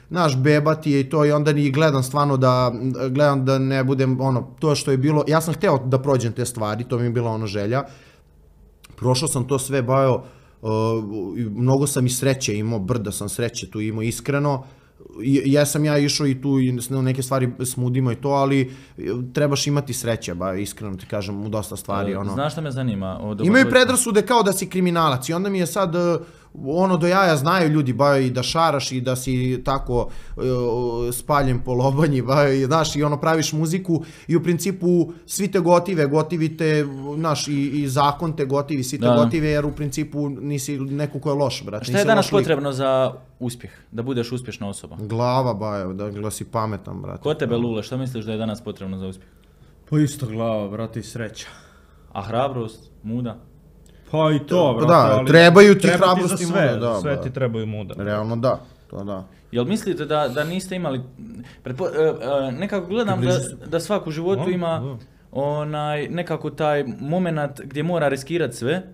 naš bebati i to, i onda ni gledam stvarno da, gledam da ne budem, ono, to što je bilo, ja sam hteo da prođem te stvari, to mi je bila ono želja, prošao sam to sve, Bajo, mnogo sam i sreće imao, brda sam sreće tu imao, iskreno, ja sam ja išao i tu i neke stvari smudimo i to, ali trebaš imati sreće, ba, iskreno ti kažem, u dosta stvari. Ono. Znaš šta me zanima? Imaju predrasude kao da si kriminalac i onda mi je sad, ono, do jaja znaju ljudi, ba, i da šaraš i da si tako spaljen po lobanji, ba, i, znaš, i ono, praviš muziku i u principu svi te gotive, gotivi te, znaš, i, i zakon te gotivi, svi te da. Gotive, jer u principu nisi neko ko je loš, brate. Šta je danas potrebno za uspjeh, da budeš uspješna osoba? Glava, Bajo, da, da si pametan, brate. Ko tebe, Lule, šta misliš da je danas potrebno za uspjeh? Pa isto glava, brate, i sreća. A hrabrost, muda? Pa i to, brate, da, ali trebaju ti hrabrost i muda, da, sve ti trebaju muda. Realno da, to da. Jel mislite da, da niste imali, pretpo, uh, uh, nekako gledam da, da svak u životu ima onaj, nekako taj moment gdje mora riskirati sve,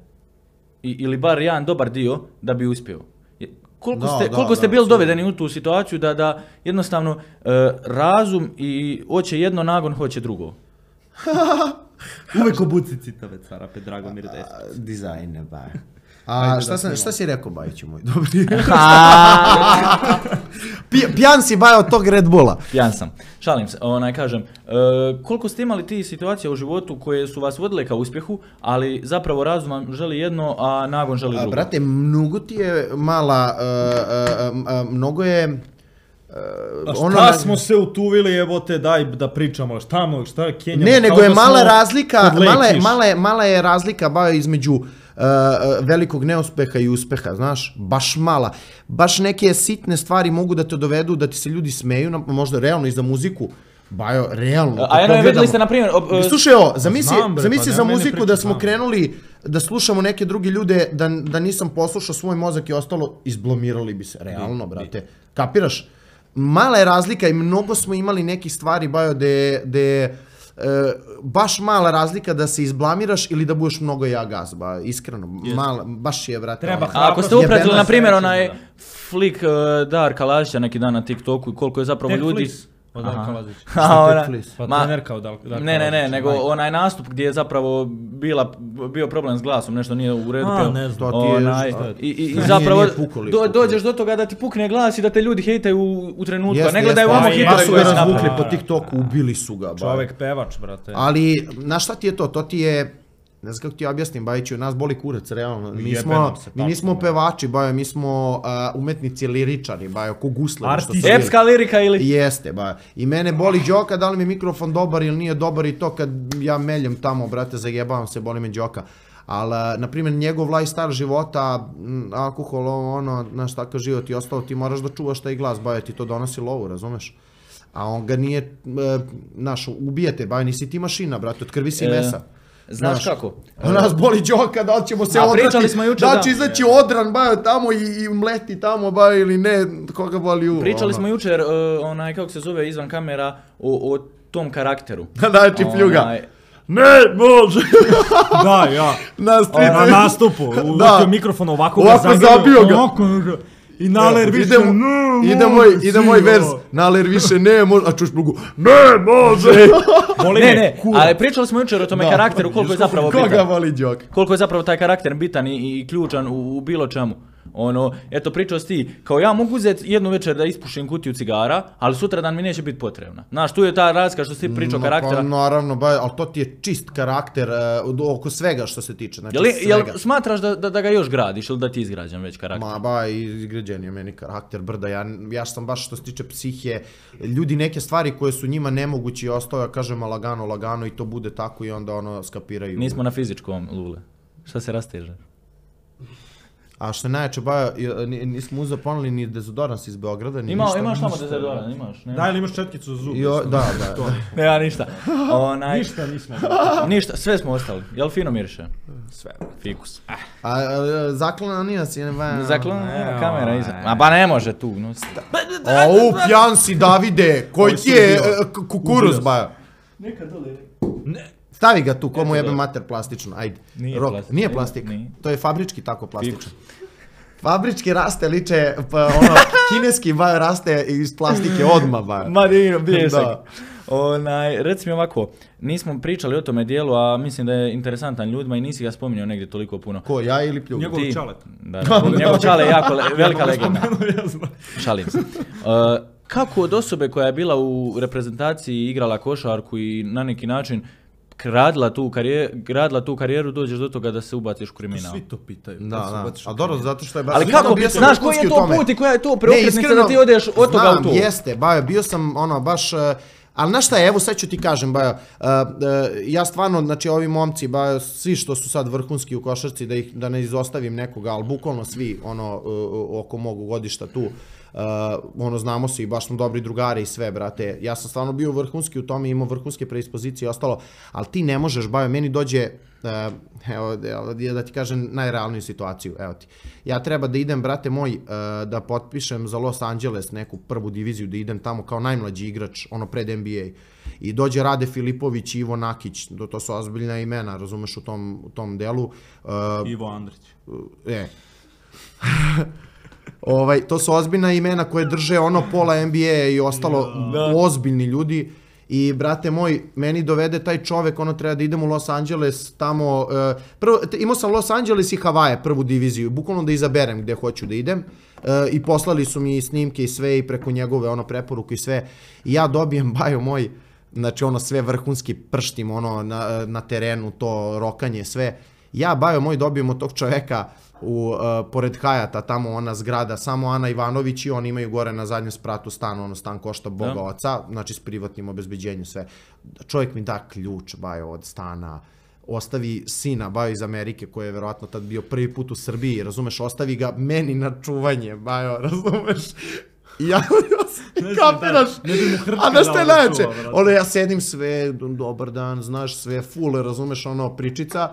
i, ili bar jedan dobar dio da bi uspio. koliko Da, ste, da, koliko ste da, bili sigurno. dovedeni u tu situaciju da, da jednostavno e, razum i hoće jedno, nagon hoće drugo? Uvek obuci citave cara, pe Dragomir Desić. Dizajne, ba. A šta, sam, šta si rekao, Bajiću moj, dobri? Pi- Pijan si, Bajo, od tog Red Bulla. Pijan sam. Šalim se, onaj kažem, e, koliko ste imali ti situacija u životu koje su vas vodile ka uspjehu, ali zapravo razum vam želi jedno, a nagon želi A, drugo? brate, mnogo ti je mala, uh, uh, uh, mnogo je... A šta ono- smo se utuvili, jebote, daj da pričamo, šta mo, šta je Kenja? Ne, nego kao je da mala smo razlika, kod mala je, lečiš. mala je, mala je razlika Bajo između uh, uh, velikog neuspeha i uspeha, znaš, baš mala. Baš neke sitne stvari mogu da te dovedu, da ti se ljudi smeju, na- možda realno i za muziku. Bajo, realno. A jedno je vidjeli ste, na primjer... Slušaj ovo, zamisli, Znam, bre, zamisli pa za nema meni muziku priče, da smo znam. krenuli da slušamo neke druge ljude, da, da nisam poslušao svoj mozak i ostalo, izblomirali bi se, realno, brate. Kapiraš? Mala je razlika i mnogo smo imali nekih stvari, Bajo, de, de e, baš mala razlika da se izblamiraš ili da budeš mnogo ja gaz, ba, iskreno, mala, baš je, brate. Treba ono. A ako ste Jebena upratili, na primjer, sreća, onaj da. flik uh, Darka Lazića neki dan na TikToku i koliko je zapravo Tek ljudi... Flis od Darka Lazića. A, Šta ona- tek Flis? Pa Ma- trenerka od Darka Lazića. Ne, ne, ne, nego majke. onaj nastup gdje je zapravo bila, bio problem s glasom, nešto nije u redu. A, peo. ne znam. To ti je- Onaj, šta je? i, i, i Nije- zapravo nije pukao lik, do, pukao. dođeš do toga da ti pukne glas i da te ljudi hejtaju u, u trenutku, a Jeste, ne gledaju jeste, vamo a, hitove baš su koje ga se razvukli naprave. po TikToku, ubili su ga, Bajo. Čovek pevač, brate. Ali, znaš šta ti je to? To ti je, ne znam kako ti objasnim, Bajiću, nas boli kurac, realno. Mi, Jebe smo, nam se, mi tačno, nismo da. pevači, Bajo, mi smo uh, umetnici liričari, Bajo, ko gusle. Artisti. Epska lirika ili... Jeste, Bajo. I mene boli Đoka, da li mi je mikrofon dobar ili nije dobar i to kad ja meljem tamo, brate, zajebavam se, boli me Đoka. Ali, na primjer, njegov lifestyle života, m, alkohol, ovo, ono, znaš, takav život i ostalo, ti moraš da čuvaš taj glas, Bajo, ti to donosi lovu, razumeš? A on ga nije, e, znaš, ubijete, Bajo, nisi ti mašina, brate, od krvi si E, mesa. Znaš kako? A nas boli Đoka, da li ćemo se A odrati, pričali smo jučer da li da- će izaći odran, Bajo, tamo i, i mleti tamo, Bajo, ili ne, koga boli uvo. Pričali ono. smo jučer, uh, onaj, kako se zove, izvan kamera, o, o tom karakteru. Znači, pljuga. Onaj, Ne, može. Da, ja. Na strici. Na nastupu, uvukio mikrofon ovako ga Ovako zagrebio, zabio ga. ovako ga- I naler više, ide, mu- ne, ide može, moj, ide moj svi, vers, ono. naler više ne može, a čuš plugu, ne može. Boli ne, me, ne, kurac. ali pričali smo jučer o tome Da. karakteru, koliko je zapravo Koga bitan. voli Đok? Koliko je zapravo taj karakter bitan i, i ključan u, u bilo čemu. Ono, eto pričao si ti, kao ja mogu uzeti jednu večer da ispušim kutiju cigara, ali sutra dan mi neće biti potrebna. Znaš, tu je ta razlika što si ti pričao No, karaktera. Pa, naravno, ba, ali to ti je čist karakter uh, oko svega što se tiče. Znači, Jel, jel svega. smatraš da, da, da ga još gradiš ili da ti je izgrađen već karakter? Ma ba, izgrađen je meni karakter brda, ja, ja sam baš što se tiče psihe, ljudi neke stvari koje su njima nemogući i ostao, ja kažem, a lagano, lagano i to bude tako i onda ono skapiraju. Nismo na fizičkom, Lule. Šta se rasteže? A što je najjače, ba, i- nismo uzeo poneli ni dezodorans iz Beograda, ni Ima, ništa. imaš tamo dezodoran, imaš? Nema. Daj li imaš četkicu za zub? I o- da, da, da. Nema ništa. Onaj, Ništa nismo. ništa, sve smo ostali. Jel fino miriše? Sve. Fikus. Ah, A, a zaklana nije si, ne ba. Zaklon, ne, nema kamera ovaj. iza. A ba ne može tu. No. Au, pjan si, Davide, koji ti je e, k- kukuruz, ba. Neka dole. Ne. Stavi ga tu, komu Eto, jebe da. mater plastično, ajde. Nije Rok, plastik. Nije plastik, Nije. to je fabrički tako plastično. Fabrički raste liče, pa ono, kineski ba raste iz plastike odmah, ba. Ma divno, bljesak. Da. Onaj, reci mi ovako, nismo pričali o tome dijelu, a mislim da je interesantan ljudima i nisi ga spominjao negdje toliko puno. Ko, ja ili pljuga? Njegov Ti- čalet. Da, da. Njegov čale je jako le- velika legenda. Ja znam. Šalim se. Uh, kako od osobe koja je bila u reprezentaciji i igrala košarku i na neki način gradila tu karijeru, gradila tu karijeru, dođeš do toga da se ubaciš u kriminal? Svi to pitaju. Da, kad se da, ubaciš u a dobro, kriminal. zato što je baš... Ali iskreno, kako, bio sam znaš koji vrhunski je u to tome. put i koja je to Ne, preokretnica iskreno, da ti odeš od toga znam, u to? jeste, Bajo, bio sam ono baš, eh, ali znaš šta je, evo sad ću ti kažem, Bajo, eh, eh, ja stvarno, znači ovi momci, Bajo, svi što su sad vrhunski u košarci, da ih, da ne izostavim nekoga, ali bukvalno svi, ono, eh, oko mog godišta tu, Uh, ono, znamo se i baš smo dobri drugari i sve, brate. Ja sam stvarno bio vrhunski u tome, imao vrhunske predispozicije i ostalo, ali ti ne možeš, Bajo, meni dođe, uh, evo, evo, da ti kažem najrealniju situaciju, evo ti. Ja treba da idem, brate moj, uh, da potpišem za Los Angeles neku prvu diviziju, da idem tamo kao najmlađi igrač, ono pred N B A. I dođe Rade Filipović i Ivo Nakić, to, to su ozbiljna imena, razumeš, u tom, u tom delu. Uh, Ivo Andrić. e. Ovaj, to su ozbiljna imena koje drže ono pola N B A i ostalo Da. ozbiljni ljudi. I, brate moj, meni dovede taj čovek, ono treba da idem u Los Angeles, tamo, uh, prvo, te- imao sam Los Angeles i Havaje, prvu diviziju, bukvalno da izaberem gde hoću da idem, uh, i poslali su mi snimke i sve i preko njegove, ono, preporuku i sve, i ja dobijem, bajo moj, znači, ono, sve vrhunski prštim, ono, na, na terenu, to rokanje, sve, ja, bajo moj, dobijem od tog čoveka, u, uh, pored Hajata, tamo ona zgrada, samo Ana Ivanović i oni imaju gore na zadnjem spratu stan, ono stan košta Boga Da. oca, znači s privatnim obezbeđenjem sve. Čovjek mi da ključ, bajo, od stana, ostavi sina, bajo iz Amerike, koji je verovatno tad bio prvi put u Srbiji, razumeš, ostavi ga meni na čuvanje, bajo, razumeš? I ja, Ne znam, kapiraš, da, ne bi mu hrčke a znaš šta je dao da najveće? čuva, brate. Ono, ja sedim sve, dobar dan, znaš, sve full, razumeš, ono, pričica,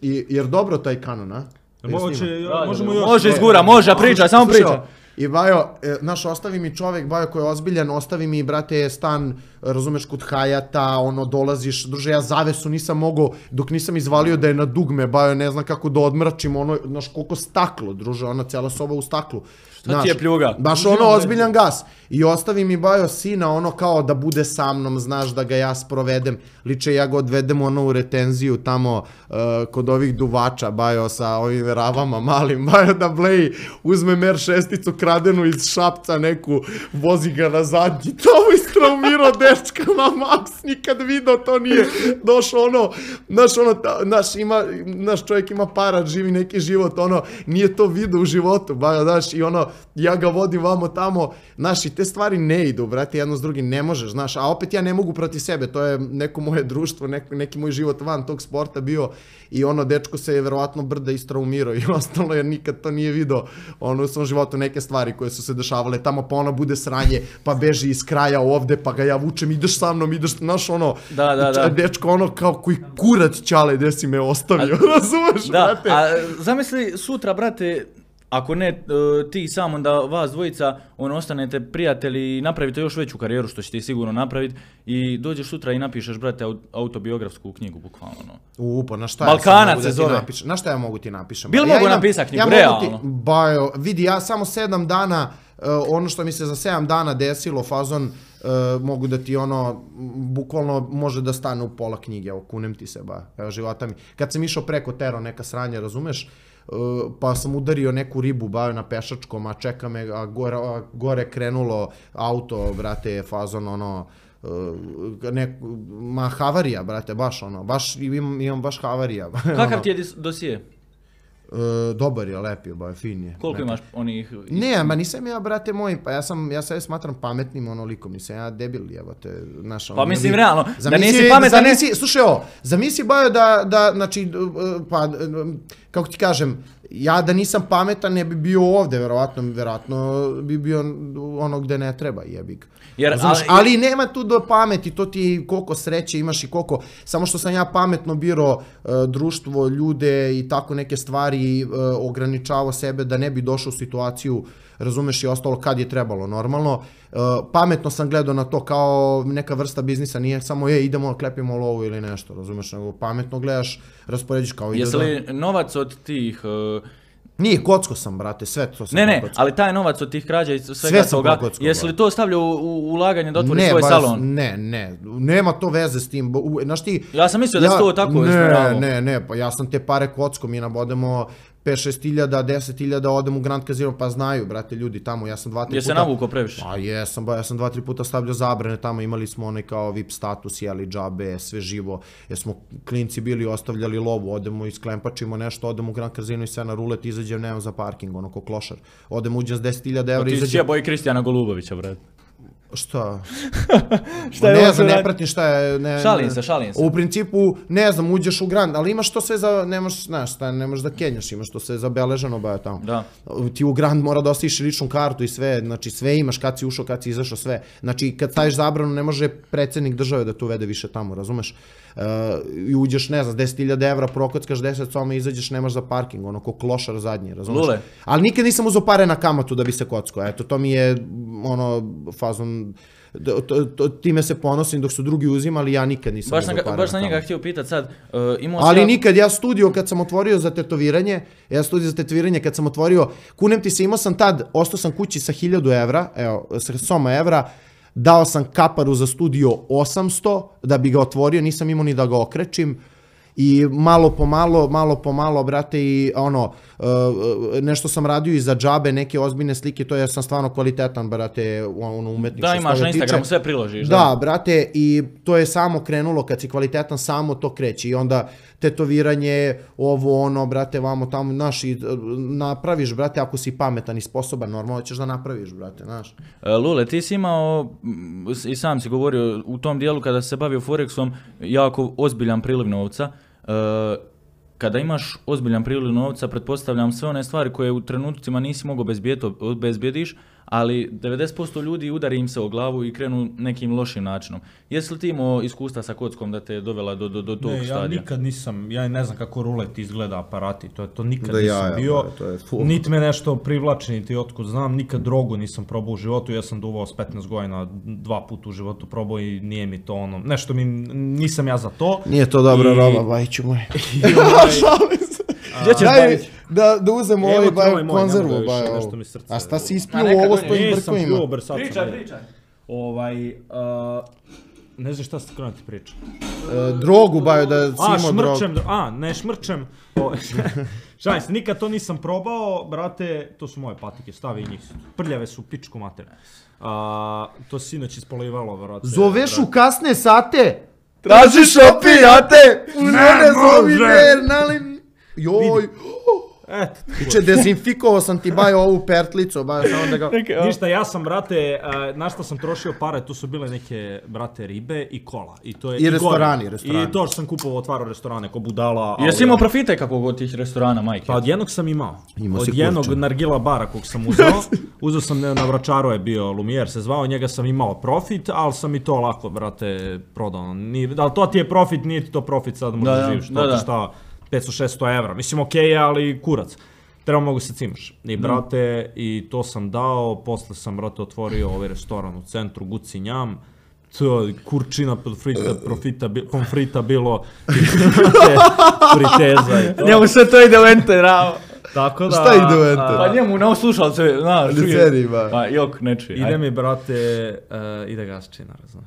i, jer dobro taj kanon, a? Moće, Da, možemo da, još... može izgura, može, priča, samo Slušaj, priča. I bajo, e, znaš, ostavi mi čovek, bajo, koji je ozbiljan, ostavi mi, brate, stan, razumeš, kod Hajata, ono, dolaziš, druže, ja zavesu nisam mogao, dok nisam izvalio da je na dugme, bajo, ne znam kako da odmračim, ono, znaš, koliko staklo, druže, ona cijela soba u staklu. Šta ti je pljuga? Baš ono, ozbiljan gas. I ostavi mi, bajo, sina, ono, kao da bude sa mnom, znaš, da ga ja sprovedem. Liče, ja ga odvedem, ono, u retenziju, tamo, uh, kod ovih duvača, bajo, sa ovim ravama malim, bajo, da bleji, uzme mer šesticu kradenu iz Šapca neku, vozi ga na zadnji, tamo istraumirao dečka na maks, nikad video to nije, došao ono, znaš, ono, ta, naš, ima, naš čovjek ima para, živi neki život, ono, nije to video u životu, bajo, znaš, i ono, ja ga vodim vamo tamo, znaš, i te stvari ne idu, brate, jedno s drugim, ne možeš, znaš, a opet ja ne mogu protiv sebe, to je neko moje društvo, neko, neki moj život van tog sporta bio, i ono, dečko se je verovatno brda istraumirao i ostalo, jer nikad to nije video, ono, u svom životu neke stvari koje su se dešavale tamo, pa ona bude sranje, pa beži iz kraja ovde, pa ga ja vučem, ideš sa mnom, ideš, znaš, ono, Da, da, da. dečko, ono, kao koji kurac čale, gde si me ostavio, razumeš, Da, brate? a zamisli sutra, brate, ako ne uh, ti sam, onda vas dvojica, ono, ostanete prijatelji i napravite još veću karijeru, što će ti sigurno napraviti, i dođeš sutra i napišeš, brate, au- autobiografsku knjigu, bukvalno, ono. U, pa na šta Balkanac ja sad mogu se da ti zove. napišem? Na šta ja mogu ti napišem? Bil Ja mogu imam- napisat knjigu, ja mogu realno? Ti, bajo, vidi, ja samo sedam dana, uh, ono što mi se za sedam dana desilo, fazon, uh, mogu da ti ono, m, bukvalno može da stane u pola knjige, evo, kunem ti se, ba, evo, života mi. Kad sam išao preko tero neka sranja, razumeš, Uh, pa sam udario neku ribu, bajo na pešačkom, a čeka me, a gore, a gore krenulo auto, brate, fazon, ono, uh, nek, ma havarija, brate, baš ono, baš imam, imam baš havarija. Kakav ono, ti je dis- dosije? Uh, dobar je, lep je, ba, fin je. Koliko lep je. imaš onih... Ne, ma nisam ja, brate moj, pa ja sam, ja sebe smatram pametnim onolikom, nisam ja debil, evo te, znaš, ono, Pa mislim, ljudi- realno, da Zamisli- nisi pametan, ne- zamisli, slušaj ovo, zamisli, bajo, da, da, znači, uh, pa, uh, kako ti kažem, ja da nisam pametan ne bi bio ovde, verovatno, verovatno bi bio ono gde ne treba, jebi ga. Jer, Razumeš? ali- ali nema tu do pameti, to ti koliko sreće imaš i koliko, samo što sam ja pametno birao uh, društvo, ljude i tako neke stvari, uh, ograničavao sebe da ne bi došao u situaciju, razumeš, i ostalo kad je trebalo, normalno. Uh, pametno sam gledao na to kao neka vrsta biznisa, nije samo je idemo klepimo lovu ili nešto, razumeš, nego pametno gledaš, rasporediš kao ide Jesi da- li novac od tih... uh, Nije, kocko sam, brate, sve to sam Ne, ne, pokocko. ali taj novac od tih krađa i svega Sve sam toga, pokockao, jesi li brate. to stavljao u, u ulaganje da otvoriš Ne, svoj baš- salon? Ne, ne, nema to veze s tim. bo- u- Znaš ti... Ja sam mislio da si to tako Ne, usmeravao. ne, ne, pa ja sam te pare kocko, mi nabodemo pet šest hiljada, deset hiljada, odem u Grand Casino, pa znaju, brate, ljudi tamo, ja sam dva, tri Jesi puta... se navukao previše? Pa jesam, ba, ja sam dva, tri puta stavljao zabrane, tamo imali smo onaj kao V I P status, jeli džabe, sve živo, jer smo klinci bili ostavljali lovu, odemo isklempačimo nešto, odemo u Grand Casino i sve na rulet, izađem, nemam za parking, ono ko klošar. Odem uđem s deset hiljada Pa evra, ti si izađem... jebo i Kristijana Golubovića, brate. Šta? Šta je ne ovo znam, sad? ne pratim šta je... Ne, Šalim ne- se, šalim se. U principu, ne znam, uđeš u Grand, ali imaš to sve za, nemaš, znaš, šta, ne možeš da kenjaš, imaš to sve zabeleženo, baje tamo. Da. Ti u Grand mora da ostaviš ličnu kartu i sve, znači sve imaš, kad si ušao, kad si izašao, sve. Znači, kad staviš zabranu, ne može predsjednik države da te uvede više tamo, razumeš? Uh, I uđeš, ne znam, s deset hiljada evra, prokockaš deset soma, izađeš, nemaš za parking, ono, ko klošar zadnji, razumeš? Lule. Ali nikad nisam uzeo pare na kamatu da bi se kockao, eto, to mi je, ono, fazon to, to, to, time se ponosim dok su drugi uzimali, ja nikad nisam Baš, uzeo na, para baš na tamo. njega htio pitat sad, uh, imao Ali ja... nikad, ja studio kad sam otvorio za tetoviranje, ja studio za tetoviranje kad sam otvorio, kunem ti se, imao sam tad, ostao sam kući sa hiljadu evra, evo, sa soma evra, dao sam kaparu za studio osamsto da bi ga otvorio, nisam imao ni da ga okrećim. I malo po malo, malo po malo, brate, i ono, uh, nešto sam radio i za džabe, neke ozbiljne slike, to je, sam stvarno kvalitetan, brate, ono, umetnik. Da, imaš na Instagramu, sve priložiš. Da, da, brate, i to je samo krenulo, kad si kvalitetan, samo to kreće. I onda tetoviranje, ovo, ono, brate, vamo tamo, znaš, i napraviš, brate, ako si pametan i sposoban, normalno ćeš da napraviš, brate, znaš. Lule, ti si imao, i sam si govorio, u tom dijelu kada se bavio Forexom, jako ozbiljan priliv novca. Uh, kada imaš ozbiljan priliv novca, pretpostavljam sve one stvari koje u trenutcima nisi mogao obezbjediš, ali devedeset posto ljudi udari im se o glavu i krenu nekim lošim načinom. Jesi li ti imao iskustva sa kockom da te je dovela do, do, do tog ne, stadija? Ja nikad nisam, ja ne znam kako rulet izgleda aparati, to, to nikad da nisam ja, ja, bio, to je niti me nešto privlači, niti otkud znam, nikad drogu nisam probao u životu, ja sam duvao s petnaest godina, dva puta u životu probao i nije mi to ono, nešto mi, nisam ja za to. Nije to dobra I... roba, Bajiću moj. Gdje ćeš Daj, da, da uzemo ovaj baj, konzervu, baj, baj, nešto mi srce. a šta si isplio A neka ovo s donje. tvojim Nisam brkovima? pio, ber, sad sam Pričaj, vidio. pričaj. Ovaj, uh, ne znam šta ste krenuti priča. E, drogu, baju, da si A, imao drogu. šmrčem, a, ne šmrčem. O, šalim se, nikad to nisam probao, brate, to su moje patike, stavi i njih. Prljave su pičku mater. A, to si sinoć ispolivalo, brate. Zoveš u kasne sate? Tražiš opijate? Ne može! Nali... Joj! Eto, Iče, dezinfikovao sam ti baj ovu pertlicu, baj, samo da ga... ništa, ja sam, brate, uh, na što sam trošio pare, tu su bile neke, brate, ribe i kola. I, to je, I restorani, gore. restorani. I to što sam kupovao, otvarao restorane, ko budala. Jesi imao profite kakvog od tih restorana, majke? Pa od jednog sam imao. Imao od si jednog kurča. nargila bara kog sam uzeo. Uzeo sam, na Vračaru je bio Lumijer se zvao, njega sam imao profit, ali sam i to lako, brate, prodao. Nije, ali to ti je profit, nije ti to profit sad možda Da, živiš. da, To da. ti šta, petsto šesto evra. Mislim, okej je, ali kurac. Treba mogu se cimaš. I brate, i to sam dao, posle sam, brate, otvorio ovaj restoran u centru, Guci Njam. To je kurčina profita, profita, bi- pomfrita bilo, brate, friteza i to. Njemu sve to ide u enter, rao. Tako da... Šta ide u enter? a, Pa njemu na slušalce, znaš, čuje. Liceri, ba. Pa jok, ne čuje. Ide Ajde. mi, brate, uh, ide gas činar, znaš.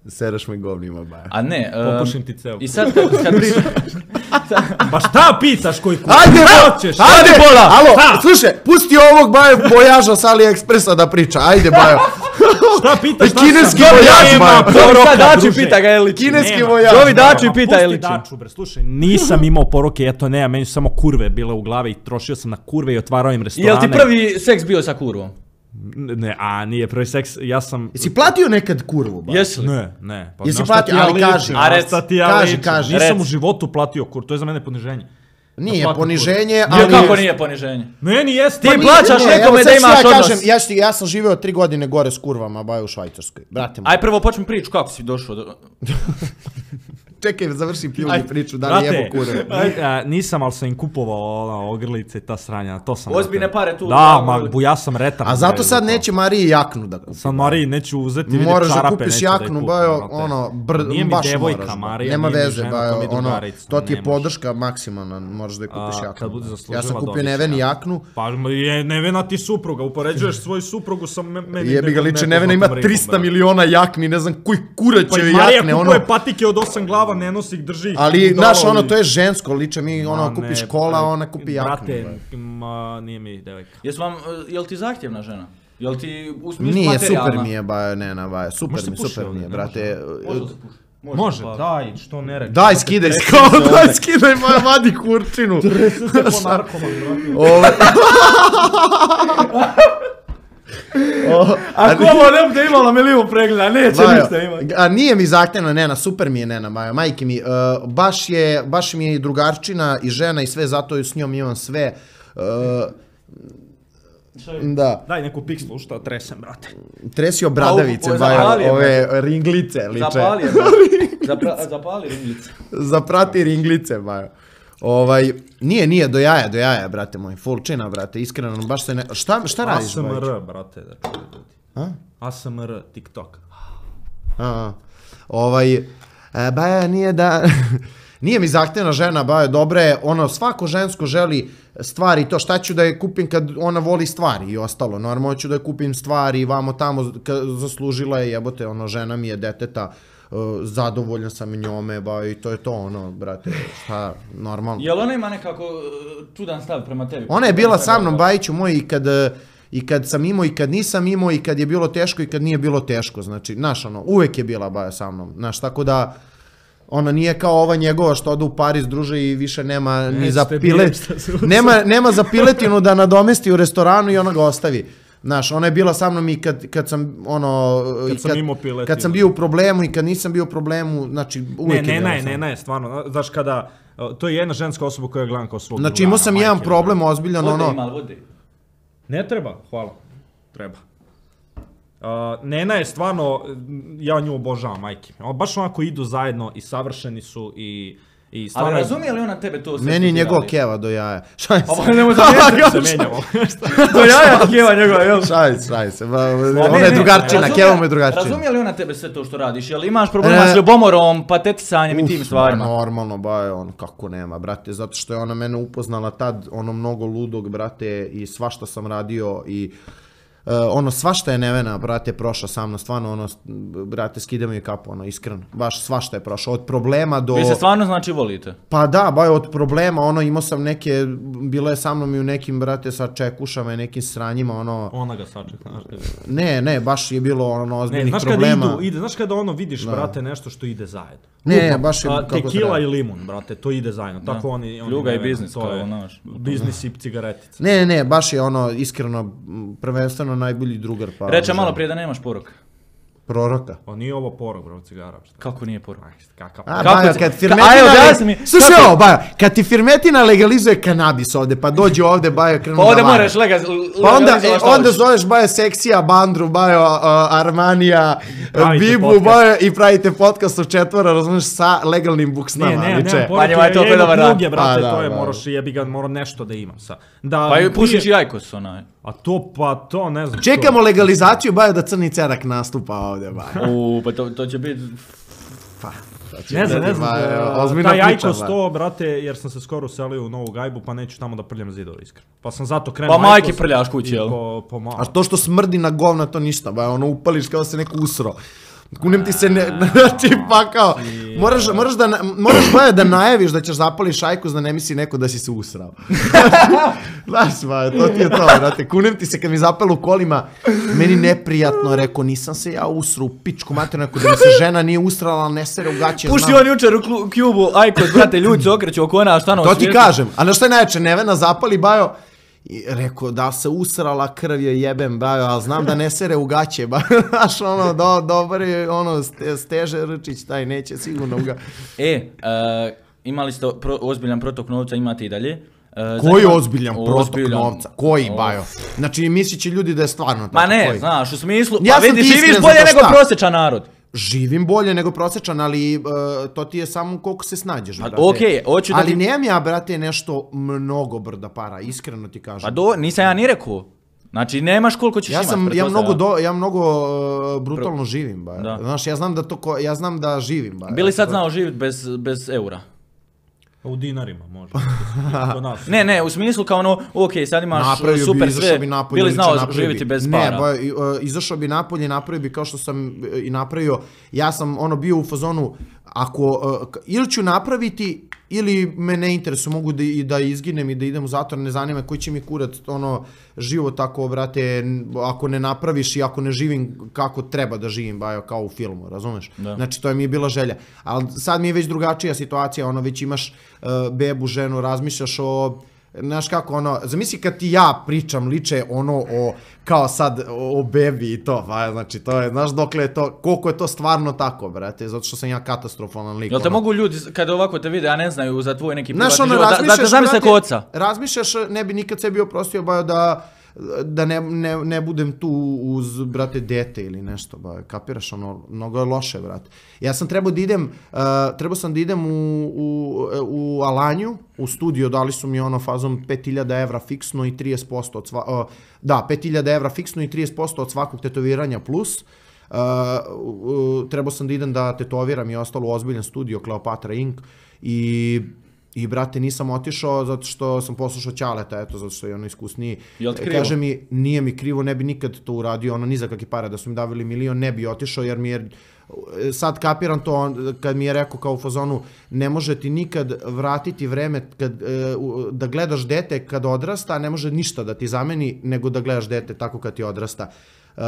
Sereš me govnima, baj. A ne, um, Popušim ti ceo. i sad kad, kad pričaš... Pa šta pitaš koji kur... Ajde, Šta bo, hoćeš? ajde, pola! Alo, Šta? slušaj, pusti ovog baje bojaža s AliExpressa da priča, ajde bajo. Šta pitaš? Šta Kineski sam? vojaž, Nema bajo. Dobro, poroka, sad Dači druže. pita ga je li Kineski Nema. vojaž. Zovi Daču i Ma, pita je li pusti Daču, bre, slušaj, nisam imao poroke, ja to nema, meni su samo kurve bile u glavi i trošio sam na kurve i otvarao im restorane. Jel ti prvi seks bio sa kurvom? Ne, a nije prvi seks, ja sam... Jesi platio nekad kurvu, bajo? Jesi li? Ne, ne. Pa Jesi na šta platio, ti ja ali ličim, kaži. na A rec, šta ti ja kaži, ličim? kaži. Nisam Rec. u životu platio kur, to je za mene poniženje. Nije plati poniženje, Ali ali... kako nije poniženje? Meni jeste. Ti Pa nije- plaćaš Ne, nekome evo, da sad ću imaš ja odnos. kažem, ja, ti- ja sam živeo tri godine gore s kurvama, bajo u Švajcarskoj. Brate moj. Aj prvo počni priču, kako si došao do... Čekaj, završim pljuni Ajde, priču, da li brate, jebo kurve. ni- a, nisam, ali sam im kupovao ona, ogrlice i ta sranja, to sam... Ozbiljne brate. pare tu, Da, da, ma, ogrli- bu, ja sam retar. A zato bre, sad za to. neće Mariji jaknu da kupi. Sad Mariji neću uzeti, vidi Moraš da čarape, kupiš neću da ih jaknu, kupim, bajo, brate. ono, br, Nije mi baš devojka, moraš. Marija, Nema nije mi veze, žena, bajo, to mi je ono, drugarica, to ti je ne može. podrška maksimalna, možeš da je kupiš A, jaknu. kad bude ja zaslužila, sam kupio dobit će Neveni jaknu. jaknu, Pa je Nevena ti supruga, upoređuješ svoju suprugu sa me- meni. jebi ga nekom liče, Nevena ima nepoznatom trista rikom, brate. miliona jakni, ne znam koji kurac Pa će i jakne, Marija ono. kupuje patike od osam glava, ne nosi ih, drži ih. Ali, budala znaš, ono, i- to je žensko, liče mi, ono, Ma kupiš ne, kola, pa, ona kupi jaknu. Brate, bajo. ma, nije mi devojka. Jesu vam, e, jel ti zahtjevna žena? Jel ti u smislu Nije, materijalna? super mi je, bajo, ne, na, bajo, super Može se mi, puši super mi ovdje, je, ne brate. Može li se pušiti? Može, pa- daj, što ne rekao. Daj, skidaj, kao, daj, skidaj, moja vadi kurčinu. po narkoman, brate. Ove, Ako ovo ne bude imalo milijun pregleda, neće Bajo, ništa imati. a nije mi zahtevno, Nena, super mi je Nena, Bajo, majke mi, uh, baš je, baš mi je i drugarčina i žena i sve, zato s njom imam sve. Uh, da, Daj neku pikslu, šta tresem, brate. tresio bradavice, A, u- Bajo, zapali je, ove ringlice liče. Zapali je, Zapra- zapali ringlice. Zaprati ringlice, Bajo. Ovaj, nije, nije, do jaja, do jaja, brate moj, full čina, brate, iskreno, baš se ne, šta, šta radiš, Bajo? A S M R, brate, da čuje ljudi. A? A S M R TikTok. A, ovaj, e, baja nije da... Nije mi zahtevna žena, baja, dobra je, ono, svako žensko želi stvari, to šta ću da je kupim kad ona voli stvari i ostalo, normalno ću da je kupim stvari, vamo tamo, zaslužila je, jebote, ono, žena mi je deteta, uh, zadovoljan sam njome, baja, i to je to, ono, brate, šta, normalno. Jel ona ima nekako čudan stav prema tebi? Ona je bila sa mnom, Bajiću moj, i kad... I kad sam imao i kad nisam imao i kad je bilo teško i kad nije bilo teško, znači, znaš, ono, uvek je bila baja sa mnom, znaš, tako da, ona nije kao ova njegova što ode u Pariz, druže, i više nema ni za pilet, nema, nema za piletinu da nadomesti u restoranu i ona ga ostavi. Znaš, ona je bila sa mnom i kad, kad sam, ono, kad, i sam imao piletinu. Kad sam bio u problemu i kad nisam bio u problemu, znači, uvek ne, je bila ne, sa mnom. Ne, ne, ne, stvarno, znaš kada, to je jedna ženska osoba koja je gledam kao svog znači, imao sam jedan problem ozbiljan, vode ono... Ima, vode. Ne treba, hvala. Treba. Uh, Nena je stvarno, ja nju obožavam, majke. Baš onako idu zajedno i savršeni su i... I ali razumije li ona tebe to sve? Meni njegov keva do jaja. Šaj se. Ovo nemoj da se menjamo. Do jaja ti keva njegova, jel? Šaj se, šaj se. Ona je drugarčina, keva mu je drugarčina. Razumije li ona tebe sve to što radiš? Jel imaš problema s ljubomorom, patetisanjem i tim stvarima? Normalno, ba, on kako nema, brate. Zato što je ona mene upoznala tad, ono mnogo ludog, brate, i svašta sam radio i... Uh, ono, svašta je Nevena, brate, prošla sa mnom, stvarno, ono, brate, skidamo je kapu, ono, iskreno, baš svašta je prošla, od problema do... Vi se stvarno, znači, volite? Pa da, ba, od problema, ono, imao sam neke, bilo je sa mnom i u nekim, brate, sa čekušama i nekim sranjima, ono... Ona ga sačeka, znaš kada... Ne, ne, baš je bilo, ono, ozbiljnih ne, znaš problema. Kada idu, ide, znaš kada ono vidiš, da. Brate, nešto što ide zajedno. Ne, Lupa, baš je a, kako tekila treba. I limun, brate, to ide zajedno, da. Tako oni... oni Ljuga ne, i biznis, to kao je, naš. Biznis i cigaretice. Ne, ne, baš je ono, iskreno, prvenstveno najbolji drugar. Pa, reče malo prije da nemaš poruka. Proroka. Pa nije ovo porok, bro, cigara. Kako nije porok? Kakav A, Baja, kad Firmetina... Slušaj ovo, Baja, kad ti Firmetina legalizuje kanabis ovde, pa dođe ovde, Baja, krenu da vare. Pa ovde moraš legalizovati Pa onda, e, onda zoveš Baja Seksija, Bandru, Baja uh, Armanija, Bibu, Baja i pravite podcast u četvora, razumiješ, sa legalnim buksnama. Ne, ne, ne, pa njima je to predobar rad. Brate, to je, moraš, jebi ga, mora nešto da imam sa. Da, pa pušiš i Ajkos, onaj. A to, pa to, ne znam. Čekamo legalizaciju, Baja, da Crni Cerak nastupa ovdje, Baja. Uuu, pa to, to će biti... Pa, ne znam, ne znam, uh, taj Ajkos to, brate, jer sam se skoro uselio u Novu Gajbu, pa neću tamo da prljam zidove, iskreno. Pa sam zato krenuo pa majke prljaš kući, jel? Po, po A to što smrdi na govna, to ništa, Baja, ono upališ kao se neko usro. Kunem ti se ne, znači pa kao, moraš, moraš da, moraš Baja da najaviš da ćeš zapališ Ajkos da ne misli neko da si se usrao. Znaš, Baja, to ti je to, brate, kunem ti se kad mi zapalo u kolima, meni neprijatno, rekao, nisam se ja usro u pičku materinu, rekao da mi se žena nije usrala, ali ne sere u gaće, pušti on jučer u Cubu, Ajkos, brate, ljudi se okreću oko ona, šta nam to ti kažem, a na što je najveće, Nevena zapali, Bajo, i rekao, da se usrala krv je jebem, Bajo, ali znam da ne sere u gaće, Bajo, znaš, ono, do, dobar je, ono, Steže Rčić, taj neće sigurno ga. E, uh, imali ste pro, ozbiljan protok novca, imate i dalje. Uh, Koji zanima... ozbiljan protok ozbiljan. novca? Koji, oh. Bajo? Znači, mislit će ljudi da je stvarno tako. Ma ne, koji? Znaš, u smislu, ja pa vidi, živiš bolje nego šta? Prosječan narod. Živim bolje nego prosječan, ali uh, to ti je samo koliko se snađeš, brate. Okej, hoću da ali ti... nemam ja, brate, nešto mnogo brda para, iskreno ti kažem. Pa do, nisam ja ni rekao. Znači, nemaš koliko ćeš ja imat. Sam, ja mnogo, do, ja mnogo uh, brutalno Pro... živim, ba. Da. Znaš, ja znam da, to ko, ja znam da živim, ba. Bili sad znao živjeti bez, bez eura? U dinarima može. ne, ne, u smislu kao ono, ok, sad imaš napravio super bi, sve, bi napolje, bili znao živjeti bez para. Ne, ba, uh, izašao bi napolje i napravio bi kao što sam i napravio, ja sam ono bio u fazonu, ako, uh, ili ću napraviti, ili me ne interesuje, mogu da, i da izginem i da idem u zatvor, ne zanima koji će mi kurat ono, život tako, brate, ako ne napraviš i ako ne živim kako treba da živim, bajo, kao u filmu, razumeš? Da. Znači, to je mi je bila želja. Ali sad mi je već drugačija situacija, ono, već imaš uh, bebu, ženu, razmišljaš o... Znaš kako, ono, zamisli kad ti ja pričam liče ono o, kao sad, o, o bebi i to, ba, znači, to je, znaš dokle je to, koliko je to stvarno tako, brate, zato što sam ja katastrofalan lik. Jel te ono. Mogu ljudi, kada ovako te vide, a ne znaju za tvoj neki privatni život, da, da te zamisle ko oca? Razmišljaš, ne bi nikad sebi oprostio, bajo, da da ne, ne, ne budem tu uz, brate, dete ili nešto, ba, kapiraš, ono, mnogo je loše, brate. Ja sam trebao da idem, uh, trebao sam da idem u, u, u Alanju, u studio, dali su mi ono fazom pet hiljada evra fiksno i trideset posto od sva, uh, da, pet hiljada evra fiksno i trideset posto od svakog tetoviranja plus. Uh, uh, trebao sam da idem da tetoviram i ostalo u ozbiljan studio Kleopatra Ink i I, brate, nisam otišao zato što sam poslušao Ćaleta, eto, zato što je ono iskusniji. Jel ti krivo? Kaže mi, nije mi krivo, ne bi nikad to uradio, ono, ni za kakve pare, da su mi davili milion, ne bi otišao, jer mi je, sad kapiram to, kad mi je rekao kao u fazonu, ne može ti nikad vratiti vreme kad, da gledaš dete kad odrasta, ne može ništa da ti zameni, nego da gledaš dete tako kad ti odrasta. Uh,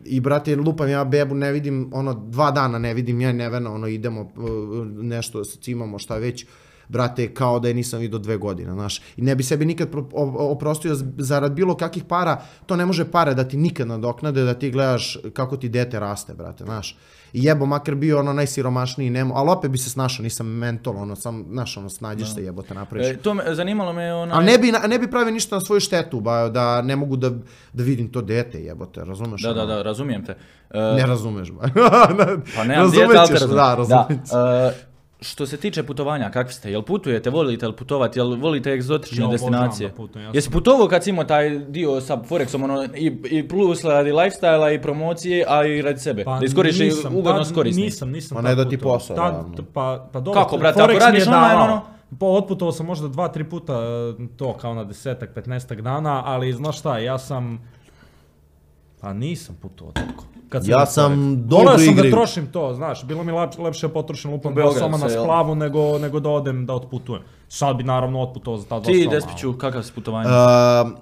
I, brate, lupam ja bebu, ne vidim, ono, dva dana ne vidim, ja nevena, ono, idemo, uh, nešto cimamo, šta već, brate, kao da je nisam vidio dve godine, znaš. I ne bi sebi nikad oprostio zarad bilo kakvih para, to ne može pare da ti nikad nadoknade, da ti gledaš kako ti dete raste, brate, znaš. I jebo, makar bio ono najsiromašniji, nemo, ali opet bi se snašao, nisam mentol, ono, sam, znaš, ono, snađeš no. se, jebo, te napraviš. E, to me, zanimalo me ono... A ne bi, ne bi pravio ništa na svoju štetu, ba, da ne mogu da, da vidim to dete, jebo te, razumeš? Da, ono? da, da, razumijem te. Uh, ne razumeš, ba. Pa nemam djete, ali te razumijem. Da, razumijem. Da. Uh, Što se tiče putovanja, kakvi ste? Jel putujete, volite li putovati, jel volite egzotične ja, destinacije? Da putujem, ja Jesi sam... putovao kad si imao taj dio sa Forexom, ono, i, i plus radi lifestyle-a i promocije, a i radi sebe? Pa da iskoriš ugodno korisni. Nisam, nisam. Pa ne da ti posao. Tad, pa, pa dobro, kako, brate, ako radiš online, ono? Pa otputovao sam možda dva, tri puta to kao na desetak, petnaestak dana, ali znaš šta, ja sam... Pa nisam putovao toliko. Kad ja sam dobro Voleo sam igri. da trošim to, znaš, bilo mi lepše, lepše potrošim lupom dva soma na splavu nego, nego da odem da otputujem. Sad bi naravno otputovao za ta dva Ti, soma. Ti, Despiću, kakav si putovanje? Uh,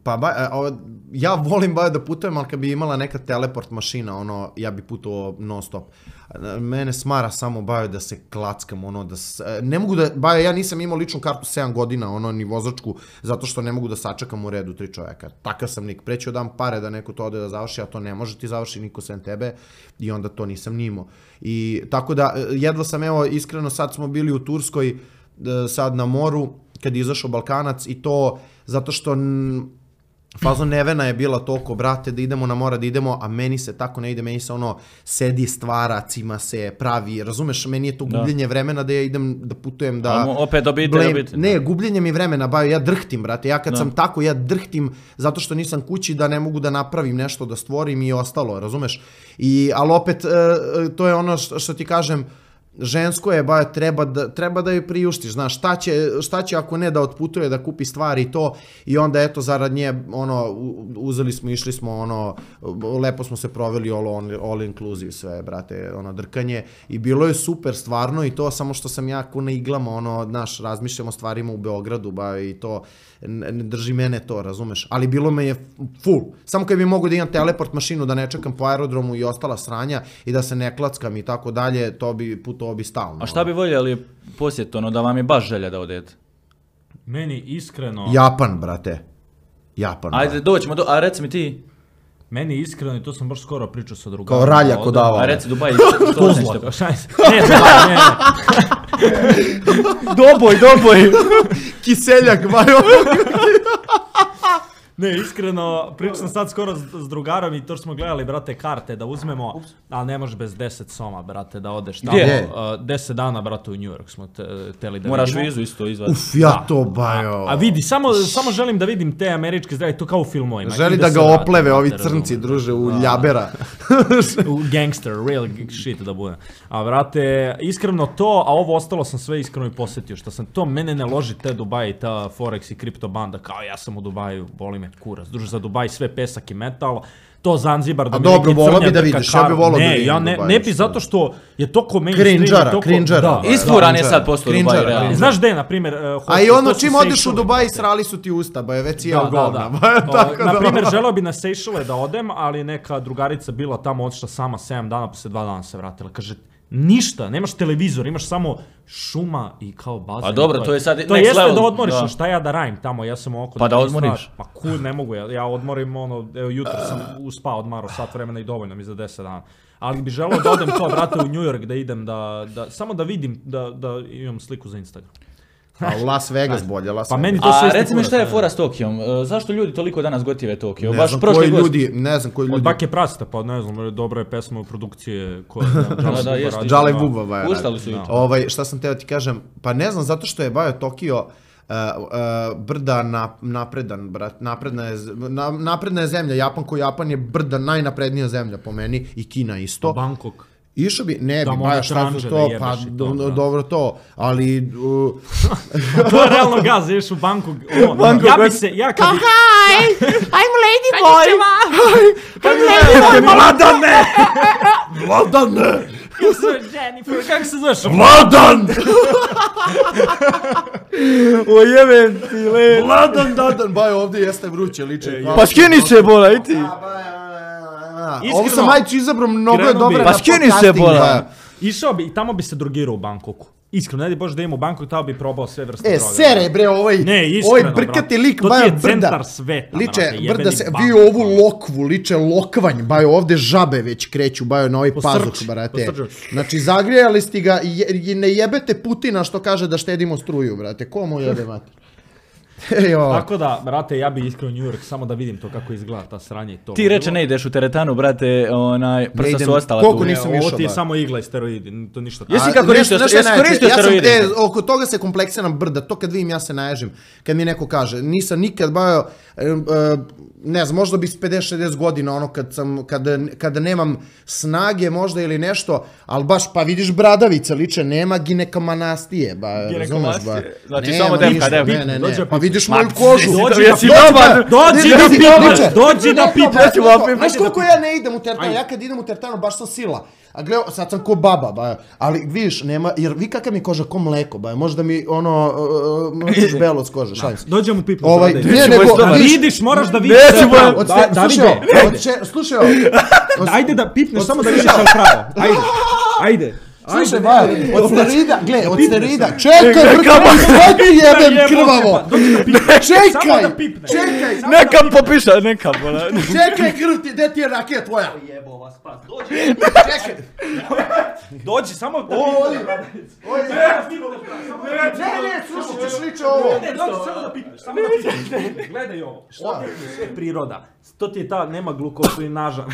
pa ba, uh, ja volim ba da putujem, ali kad bi imala neka teleport mašina, ono, ja bi putovao non stop. Mene smara samo ba da se klackam, ono, da se, ne mogu da, ba ja nisam imao ličnu kartu sedam godina, ono, ni vozačku, zato što ne mogu da sačekam u redu tri čoveka. Takav sam lik, preću dam pare da neko to ode da završi, a to ne može ti završi niko sem tebe i onda to nisam ni imao. I tako da, jedva sam, evo, iskreno, sad smo bili u Turskoj, sad na moru, kad je izašao Balkanac i to zato što fazon nevena je bila toliko, brate, da idemo na mora, da idemo, a meni se tako ne ide, meni se ono sedi, stvara, cima se, pravi, razumeš, meni je to gubljenje vremena da ja idem, da putujem, da... A, opet dobiti, blame, dobiti. Ne, gubljenje mi vremena, ba, ja drhtim, brate, ja kad no. sam tako, ja drhtim zato što nisam kući da ne mogu da napravim nešto, da stvorim i ostalo, razumeš, i, ali opet, to je ono što, što ti kažem, žensko je, ba, treba da, treba da joj priuštiš, znaš, šta će, šta će ako ne da otputuje, da kupi stvari i to, i onda eto zarad nje, ono, uzeli smo, išli smo, ono, lepo smo se proveli all, all, all inclusive sve, brate, ono, drkanje, i bilo je super stvarno i to, samo što sam jako na iglama, ono, znaš, razmišljamo stvarima u Beogradu, ba, i to, ne, ne drži mene to, razumeš, ali bilo me je full, samo kad bi mogu da imam teleport mašinu, da ne čekam po aerodromu i ostala sranja i da se ne klackam i tako dalje, to bi putovao bi stalno. A šta bi voljeli posjetiti, ono, da vam je baš želja da odete? Meni iskreno... Japan, brate. Japan. Ajde, brate. doćemo do... A reci mi ti... Meni iskreno, i to sam baš skoro pričao sa drugarom. Kao ralja kod Avala. A reci Dubaj, što nećete? Ne, Dubaj, ne. Doboj, doboj! Kiseljak, bajo. Ne, iskreno, pričao sam sad skoro s, s drugarom i to što smo gledali, brate, karte da uzmemo, Ups. ali ne možeš bez deset soma, brate, da odeš tamo. Gdje? Uh, deset dana, brate, u New York smo te, teli da Moraš vidimo. vizu isto izvaditi. Uf, ja da. to bajo. A, a vidi, samo, samo želim da vidim te američke zdrave, to kao u filmovima. Želi da, da ga vrati, opleve ovi crnci, razum, druže, u da, ljabera. U gangster, real shit da bude. A, brate, iskreno to, a ovo ostalo sam sve iskreno i posjetio, što sam to, mene ne loži te Dubai, ta Forex i kripto banda, kao ja sam u Dubaju, boli me kurac, druže, za Dubaj sve pesak i metal, to Zanzibar da mi neki crnja drka vidiš, ja bi volao da vidim ja ne, Dubaj, ne bi zato što je toko mainstream. Krinđara, toko, krinđara. Da, isfuran je sad postao Dubaj, realno. Znaš gde, na primjer... Uh, a i ono čim odeš u Dubaj, srali su ti usta, ba je već jeo govna. Na primjer, želeo bi na Seychelle da odem, ali neka drugarica bila tamo, otišla sama sedam dana, pa se dva dana se vratila. Kaže, ništa, nemaš televizor, imaš samo šuma i kao bazen. A dobro, to je sad to jeste level, da odmoriš, da. Šta ja da radim tamo, ja sam oko... Pa da odmoriš. Pa kud, ne mogu, ja, ja odmorim, ono, evo, jutro sam uspao, odmaro sat vremena i dovoljno mi za deset dana. Ali bi želeo da odem to, brate, u New York, da idem, da, da, samo da vidim, da, da imam sliku za Instagram. A u Las Vegas bolje, Las Pa Vegas. meni to sve A isto reci mi kurac, šta je ne. fora s Tokijom? E, Zašto ljudi toliko danas gotive Tokio? Ne Baš znam prošli koji gost- ljudi, ne znam koji Od ljudi. Bake Prasta, pa ne znam, dobra je pesma u produkcije koja Da, da, jeste. Džale Buba, baja. Ustali su juče. Ovaj, šta sam teo ti kažem, pa ne znam, zato što je Bajo Tokio Uh, uh, brda na, napredan, brat, napredna je, z- na, napredna je zemlja, Japan ko Japan je brda najnaprednija zemlja po meni i Kina isto. Bangkok. Išao bi, ne Da bi, mu Bajo one šta tranže su da to, jebeš pa i to, do- da. dobro to, ali... Uh, To je realno gaz, ideš u Bangkok. ono, Bangkok, ja bi Bangkok. se, ja kad bi... Hi, I'm Lady Boy. I'm Lady Boy. Vladane! Vladane! Kako se zoveš, Jennifer, kako se zoveš? Vladan! O jebem ti, le. Vladan, Dadan, Bajo, ovdje jeste vruće, liče. Pa skini se, bola, i ti. Ovo sam majče izabrao, mnogo je krenuo bi- dobra Pa na skini se, podcasting, bola. Bajo. Išao bi i tamo bi se drogirao u Bangkoku. Iskreno, ne di Bože da imam u Bangkoku, tamo bi probao sve vrste E, droga. sere bre, ovaj, Ne, iskreno, ovaj brkati brate. lik, To ti Bajo, je brda. centar sveta, Liče, brate, jebeni brda se, vi Bangkok. ovu lokvu, liče lokvanj, Bajo, ovde žabe već kreću, Bajo, na ovaj Posrči, pazuh, brate. posrči. Znači, zagrijali ste ga i, je- i ne jebete Putina što kaže da štedimo struju, brate. Ko mu jebe mater? Ejo. Tako da, brate, ja bi iskreno New York samo da vidim to kako izgleda ta sranje i to. Ti reče ne ideš u teretanu, brate, onaj, prsa idem. su ostala Koliko tu. nisam Ovo išao, ti je ba. samo igla i steroidi, to ništa. Jesi A, kako nešto- koristio- nešto jesi najjače, koristio ja sam, steroide? e, oko toga se kompleksiram brda, to kad vidim ja se naježim. Kad mi neko kaže, nisam nikad Bajo, e, e, ne znam, možda bi s pedeset šezdeset godina, ono kad sam, kada, kada nemam snage možda ili nešto, ali baš, pa vidiš bradavice liče, nema ginekomanastije, ba, razumeš, ba. Ginekomastije. Znači, Nema samo devka, ništa, devka. Ne, ne, Dođe ne, pa pa vidiš Ma, moju kožu. dođi Dođi da da dobar. Dođi Ne, da vidi, pipaš, liče. dođi da Ne, pipaš. pa, Dođi da pipaš. Znaš koliko ja ne idem u teretanu, ja kad idem u teretanu baš sam sila. A gle, sad sam ko baba, ba, ali vidiš, nema, jer vi kakav mi je koža, ko mleko, ba, možda mi ono, mrčiš belo s kože, šalim se. Dođem u pipu. Ovaj, sada ne, ideš. nego, stomak. vidiš, Vidiš, moraš da vidiš. Neću, sve boja. pravo. od Da- ste, Davide, slušaj, ajde. od še, slušaj, Ajde da pipneš Od- samo da slušaj. vidiš sve pravo. Ajde, ajde. slušaj, ba, od sterida, gle, od sterida, čekaj, brkamo, sad ti jebem krvavo, Dođi da pipneš. Samo čekaj, da pipneš. čekaj, Samo da Neka pipneš. popiša, neka, bola. čekaj, krv ti, gde ti je rakija tvoja? Jebo vas pas. Dođi. Čekaj, Dođi, samo da Ovdje. pipneš. Ovdje. Ne, ne, slušaj, ćeš liče ovo. Ne, dođi, samo da pipneš. Samo da pipneš. Gledaj ovo. Šta? Sve je priroda. To ti je ta, nema glukozu i naža.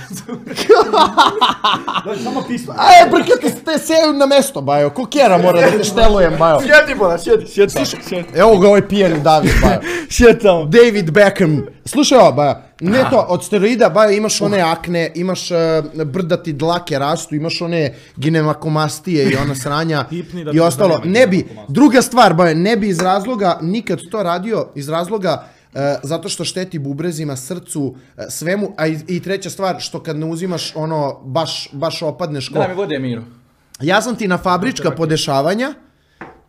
Dođi, samo pipneš. Aj, brkati ste seju na mesto, bajo, ko kjera mora da te štelujem, bajo. Sjeti, bola, sjeti, sjeti. Sjeti, Evo ga ovaj pijeni David, bajo. sjeti tamo. David Beckham. Slušaj ovo, bajo, ne to, od steroida, bajo, imaš one akne, imaš uh, brdati dlake rastu, imaš one ginemakomastije i ona sranja Pipni da i bi- ostalo. da nema Ne bi, ginekomastie. druga stvar, bajo, ne bi iz razloga nikad to radio, iz razloga uh, zato što šteti bubrezima, srcu, uh, svemu, a i, i treća stvar, što kad ne uzimaš ono, baš, baš opadneš ko... Daj mi vode, Miro. Ja sam ti na fabrička podešavanja,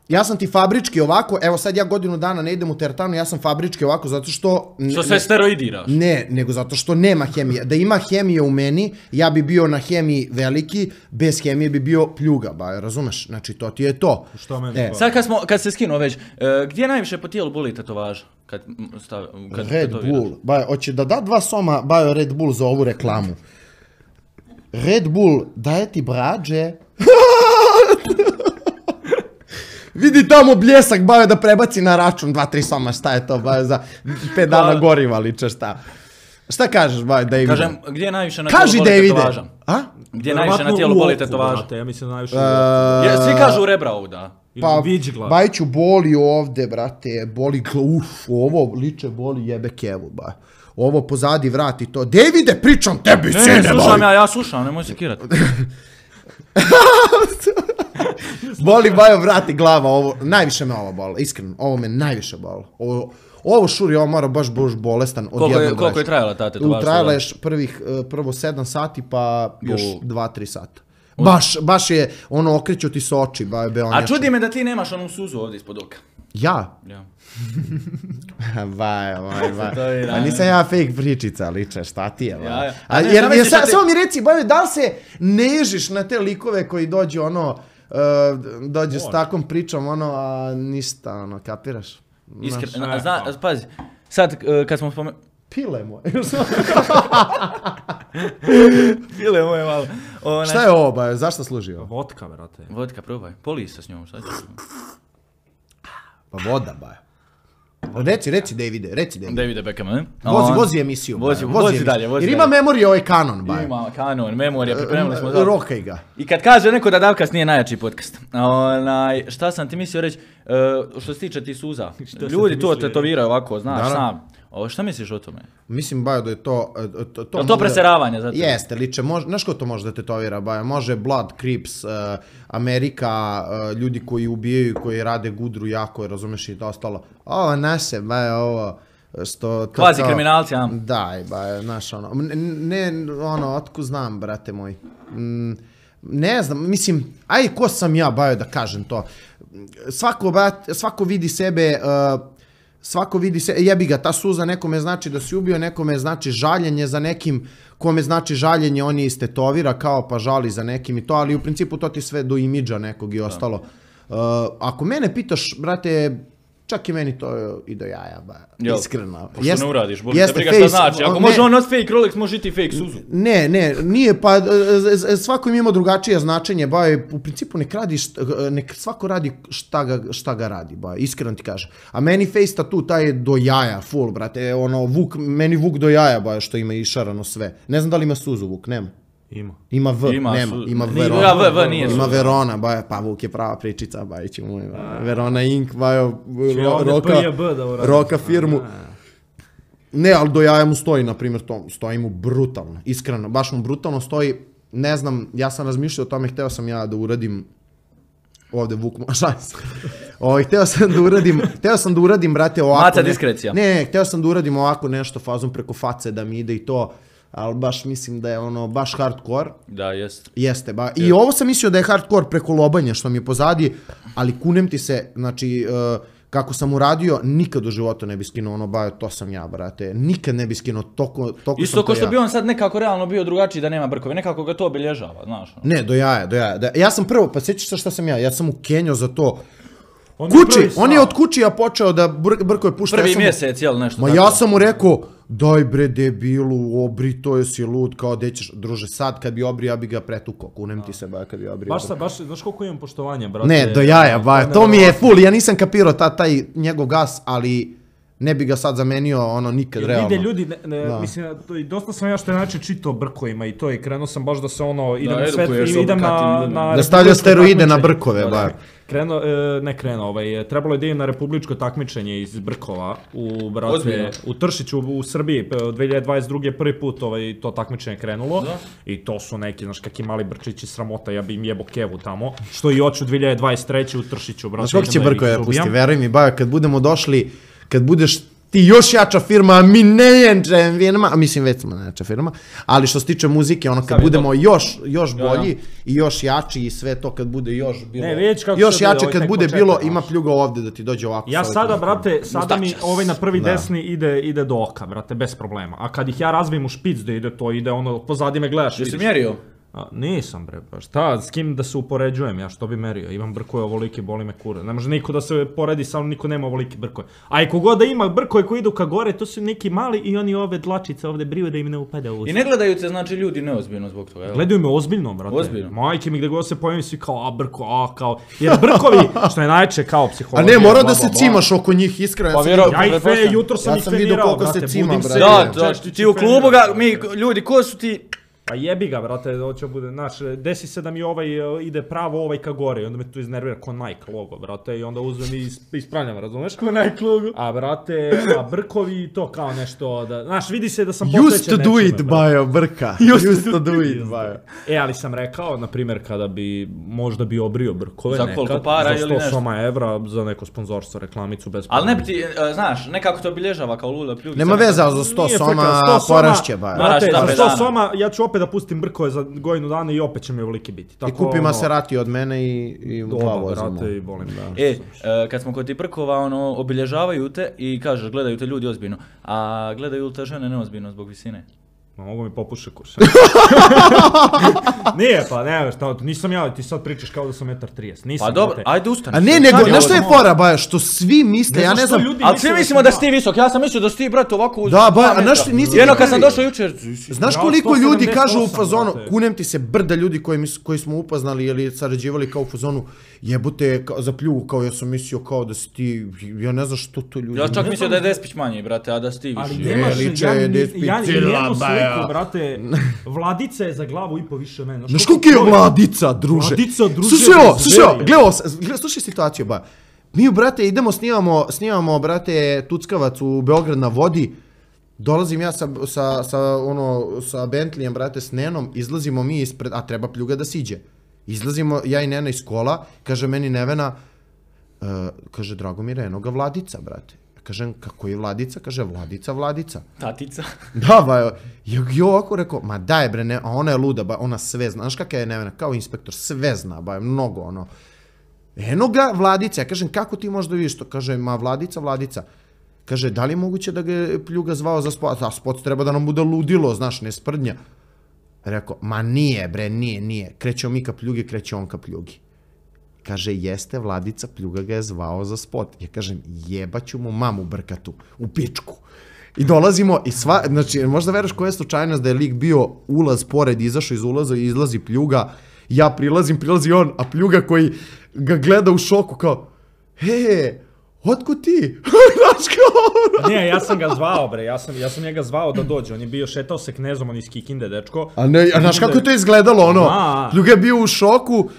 ja sam ti fabrički ovako, evo sad ja godinu dana ne idem u teretanu, ja sam fabrički ovako zato što... n- Što sve steroidiraš. Ne, nego zato što nema hemije. Da ima hemije u meni, ja bi bio na hemiji veliki, bez hemije bi bio pljuga, ba, razumeš? Znači, to ti je to. Što meni E, to? Sad kad smo, kad se skinuo već, e, gdje najviše po tijelu boli tetovaža? Kad m, stav, kad Red tetoviraš? Bull, ba, hoće da da dva soma, bajo Red Bull za ovu reklamu. Red Bull daje ti brađe. Vidi tamo bljesak, bajo da prebaci na račun dva, tri soma, šta je to, bajo za pet dana Hvala. goriva liče, šta? Šta kažeš, bajo, David? Kažem, gdje najviše na Kaži, tijelu boli Davide. tetovaža? A? Gdje najviše na Verovatno tijelu u boli oku, tetovaža? brate, ja mislim najviše u E, oku. Je, svi kažu u rebra ovda. Ili Pa, viđi glavu. Bajiću boli ovde, brate, boli glavu, uf, ovo liče boli jebe kevu, ba. Ovo pozadi vrati to. Davide, pričam tebi, Ne, sine, ne, slušam boli. ja, ja slušam, nemoj se kirat. Boli, bajo, vrati glava, ovo, najviše me ovo boli, iskreno, ovo me najviše boli. Ovo, ovo šuri, ovo mora baš baš bolestan od Koliko je, jednog koliko je leša. trajala ta tetovaža? Trajala je š- prvih, eh, prvo sedam sati, pa još U. dva, tri sata. Baš, baš je, ono, okreću ti se oči, bajo, be on A čudi me da ti nemaš onu suzu ovdje ispod oka. Ja? Ja. Vaj, vaj, vaj. To je, Pa da. nisam ja fake pričica, liče, šta ti je, vaj. Ja, ja. A, A ne, jer, zamisli jer šta sa, ti- samo mi reci, bajo, da li se nežiš na te likove koji dođu, ono, uh, dođu s takvom pričom, ono, a ništa, ono, kapiraš? Iskreno, Znaš, a e, zna, pa. pazi, sad e, kad smo spomenuli... Pile moje. Ile moje malo. Ona, Šta je ovo, bajo, zašto služi ovo? Vodka, brate. Vodka, probaj. Poli sa s njom, sad ću. Pa voda, baja. Reci, reci Davide, reci Davide. Davide Beckham, ne? Vozi, On- vozi emisiju. Vozi, baja, vozi emisiju. dalje, vozi Jer ima dalje. memorije ovaj kanon, baja. Ima kanon, memorija, pripremili smo za... Rokaj ga. I kad kaže neko da Davkast nije najjači podcast, onaj, šta sam ti mislio reći, uh, što se tiče ti suza, ljudi to tetoviraju ovako, znaš, Da, da. sam. O, šta misliš o tome? Mislim, baja, da je to... e, To, to, To, to preseravanje za tebe? Jeste, liče, može, znaš ko to može da tetovira, baja? Može Blood, Crips, uh, Amerika, uh, ljudi koji ubijaju, koji rade gudru jako, razumeš i to ostalo. Ovo naše, baja, ovo... Što, to Kvazi kao- kriminalci, a? Daj, ba, znaš, ono, ne, ne, ono, otku znam, brate moj. Mm, ne znam, mislim, aj, ko sam ja, bajo, da kažem to. Svako, brate, svako vidi sebe, uh, svako vidi se, jebi ga, ta suza nekome znači da si ubio, nekome znači žaljenje za nekim, kome znači žaljenje, on je istetovira kao pa žali za nekim i to, ali u principu to ti sve do imidža nekog i ostalo. Uh, ako mene pitaš, brate, čak i meni to i do jaja, ba, Jel? iskreno. Pošto Jest- ne uradiš, boli te jeste briga šta face- znači. Ako ne- može on nositi fake Rolex, može i ti fake suzu. Ne, ne, nije, pa e, e, svako ima drugačije značenje, ba, je, u principu nek radi, št- nek svako radi šta ga, šta ga radi, ba, iskreno ti kažem. A meni face tattoo taj je do jaja, full, brate, ono, Vuk, meni Vuk do jaja, ba, što ima išarano sve. Ne znam da li ima suzu Vuk, nema. Ima. Ima V, Ima nema, su- ima Nije- Verona. ja, V, V nije Ima suza. Verona, ba, pa Vuk je prava pričica, ba, ići moj, ba. Verona Ink, ba, jo, Će ovdje roka, P J B da uradi. roka firmu. Ne, ali do jaja mu stoji, na primjer, to stoji mu brutalno, iskreno, baš mu brutalno stoji, ne znam, ja sam razmišljao o tome, hteo sam ja da uradim, ovde Vuk, šalim se, ovaj, hteo sam da uradim, hteo sam da uradim, brate, ovako, Maca ne- diskrecija. ne, ne, hteo sam da uradim ovako nešto fazom preko face, da mi ide i to, ali baš mislim da je ono, baš hardcore, Da, jest. jeste, ba, i ovo sam mislio da je hardcore preko lobanja, što mi je pozadi, ali kunem ti se, znači, uh, kako sam uradio, nikad u životu ne bi skinuo ono, ba, to sam ja, brate, nikad ne bi skinuo, toko, toko Isto sam ko to što ja. bi on sad nekako realno bio drugačiji da nema brkove, nekako ga to obilježava, znaš. ono. Ne, do jaja, do jaja. Da, ja sam prvo, pa sjećaš se šta sam ja, ja sam u Kenjo za to. On je Kući, prvi on je stao. od kućija počeo da br brkove pušta. Prvi ja sam mu- mjesec, jel, nešto Ma tako. ja sam mu rekao, daj bre debilu, obri, to jesi lud, kao gde ćeš, druže, sad kad bi obri, ja bi ga pretukao, kunem ti se, ba, kad bi obri. Baš, sa, baš, znaš koliko imam poštovanja, brate. Ne, do jaja, ba, ne, to mi je ne, full, ja nisam kapirao ta, taj njegov gas, ali ne bi ga sad zamenio, ono, nikad, Jer realno. vide ljudi, ne, ne, Da. mislim, to, i dosta sam ja što je način čitao brkovima i to i krenuo sam baš da se ono, idem na sve, edukuješ se o idem na, brkatim ljudima. na Da stavlja republičko steroide na takmičenje. brkove, Da, ba. da. Krenuo, e, ne krenuo, ovaj, trebalo je da idem na republičko takmičenje iz Brkova u, brate, Ozbiljno? u Tršiću u Srbiji, p- dvije hiljade dvadeset druge prvi put ovaj, to takmičenje krenulo Da. i to su neki, znaš, kakvi mali brčići sramota, ja bi im jebo kevu tamo, što i hoću dvije hiljade dvadeset treće u Tršiću, brate. Znaš kako će idem da ih brkove da izubijam. pusti, veruj mi, ba, kad budemo došli, kad budeš ti još jača firma, a mi ne jača firma, a mislim već smo jača firma, ali što se tiče muzike, ono kad Sam je budemo to. još, još Ja, ja. bolji i još jači i sve to kad bude još bilo, Ne, vidjet ću kako još će da bude, jače ovo je kad tek bude početak, bilo, znaš. ima pljuga ovde da ti dođe ovako. Ja sa sada, ovim- brate, sada mi Mustačas. ovaj na prvi Da. desni ide, ide do oka, brate, bez problema. A kad ih ja razvijem u špic da ide to, ide ono, pozadi me gledaš, Jesi vidiš. mjerio? A, nisam bre, pa šta, s kim da se upoređujem, ja što bi merio, imam brkove ovolike, boli me kura. Ne može niko da se poredi, samo niko nema ovolike brkove. A i kogod da ima brkove koji idu ka gore, to su neki mali i oni ove dlačice ovde briju da im ne upada u usta. I ne gledaju te, znači, ljudi neozbiljno zbog toga, jel? Gledaju me ozbiljno, brate. Ozbiljno? Majke mi gde god se pojavim svi kao, a brko, a kao. Jer brkovi, što je najče kao A psihologija. ne, mora bla, da se bla, bla. cimaš oko njih, iskreno. Pa ja sam vjero- vidio- Ja ih fe, Pretpostavljam. jutro sam Ja ih sam vidio trenirao, koliko se brate, cima, budim brate. se. Da, da, češčić ti u i klubu trenirao. ga, mi, ljudi, ko su ti... Pa jebi ga, brate, hoće bude, znaš, desi se da mi ovaj e, ide pravo ovaj ka gore i onda me tu iznervira ko Nike logo, brate, i onda uzmem i is- ispravljam, razumeš? Ko Nike logo. A, brate, a brkovi i to kao nešto, da, znaš, vidi se da sam Used posvećen to do nečime, it, brate. bajo, brka. Used to do it, bajo. E, ali sam rekao, na primjer, kada bi, možda bi obrio brkove Za nekad, koliko para za ili nešto? sto soma evra, za neko sponzorstvo, reklamicu, bez Ali ne bi problema. ti, e, znaš, nekako to obilježava kao lula pljugi. Nema veze, ali za sto Nije soma frka, sto soma, porašće, bajo. Moraš Brate, da za pre sto dana. soma ja ću opet da pustim brkove za godinu dana i opet će mi ovoliki biti. I Tako, kupi ono, Maserati od mene i, i dva Doba, vozimo. brate, i volim da. E, e, kad smo kod ti brkova, ono, obilježavaju te i kažeš, gledaju te ljudi ozbiljno, a gledaju li te žene neozbiljno zbog visine? Ma mogu mi popuše kurš. Nije, pa ne, šta, nisam ja, ti sad pričaš kao da sam metar trideset. Nisam. Pa dobro, ajde ustani. A ne, nego, znaš što je fora, baja, što svi misle, ja ne znam... Ali svi mislimo da si ti visok, ja sam mislio da si ti, brate, ovako uz... Da, baja, a znaš, nisi... Jedno kad sam došao jučer... Znaš koliko ljudi kažu u fazonu, kunem ti se brda ljudi koji smo upoznali ili sarađivali kao u fazonu, jebote za pljugu, kao ja sam mislio kao da si ti, ja ne znam što to ljudi... Ja čak mislio da je Despić manji, brate, a da si ti više. Ali nemaš, ja njenu sliku, brate, Vladica je za glavu i po više mene. Znaš koliko je Vladica, druže? Vladica, druže, slušaj ovo, slušaj ovo, gledaj, slušaj situaciju, ba. Mi, brate, idemo, snimamo, snimamo, brate, Tuckavac u Beograd na vodi, dolazim ja sa, sa, sa, ono, sa Bentleyem, brate, s Nenom, izlazimo mi ispred, a treba pljuga da siđe. Izlazimo, ja i Nena iz kola, kaže meni Nevena, uh, kaže, Dragomire, eno ga Vladica, brate. Kažem, kako je Vladica? Kaže, Vladica, Vladica. Tatica. Da, ba, i ovako rekao, ma daj bre, ne, a ona je luda, ba, ona sve zna. Znaš kakav je Nevena, kao inspektor, sve zna, ba, mnogo, ono. Eno ga Vladica, ja kažem, kako ti možda vidiš to? Kaže, ma Vladica, Vladica. Kaže, da li je moguće da ga je pljuga zvao za spot? A spot treba da nam bude ludilo, znaš, ne sprdnja. Rekao, ma nije bre, nije, nije. Krećemo mi ka pljugi, kreće on ka pljugi. Kaže, jeste Vladica, pljuga ga je zvao za spot. Ja kažem, jebaću mu mamu brkatu, u pičku. I dolazimo i sva, znači, možda veraš koja je slučajnost da je lik bio ulaz pored, izašao iz ulaza i izlazi pljuga. Ja prilazim, prilazi on, a pljuga koji ga gleda u šoku kao, he, otko ti? Znaš kao... Ne, ja sam ga zvao, bre, ja sam, ja sam njega zvao da dođe, on je bio šetao se Knezom, on iz Kikinde, dečko. A ne, a znaš kako je to izgledalo, ono, pljuga je bio u šoku,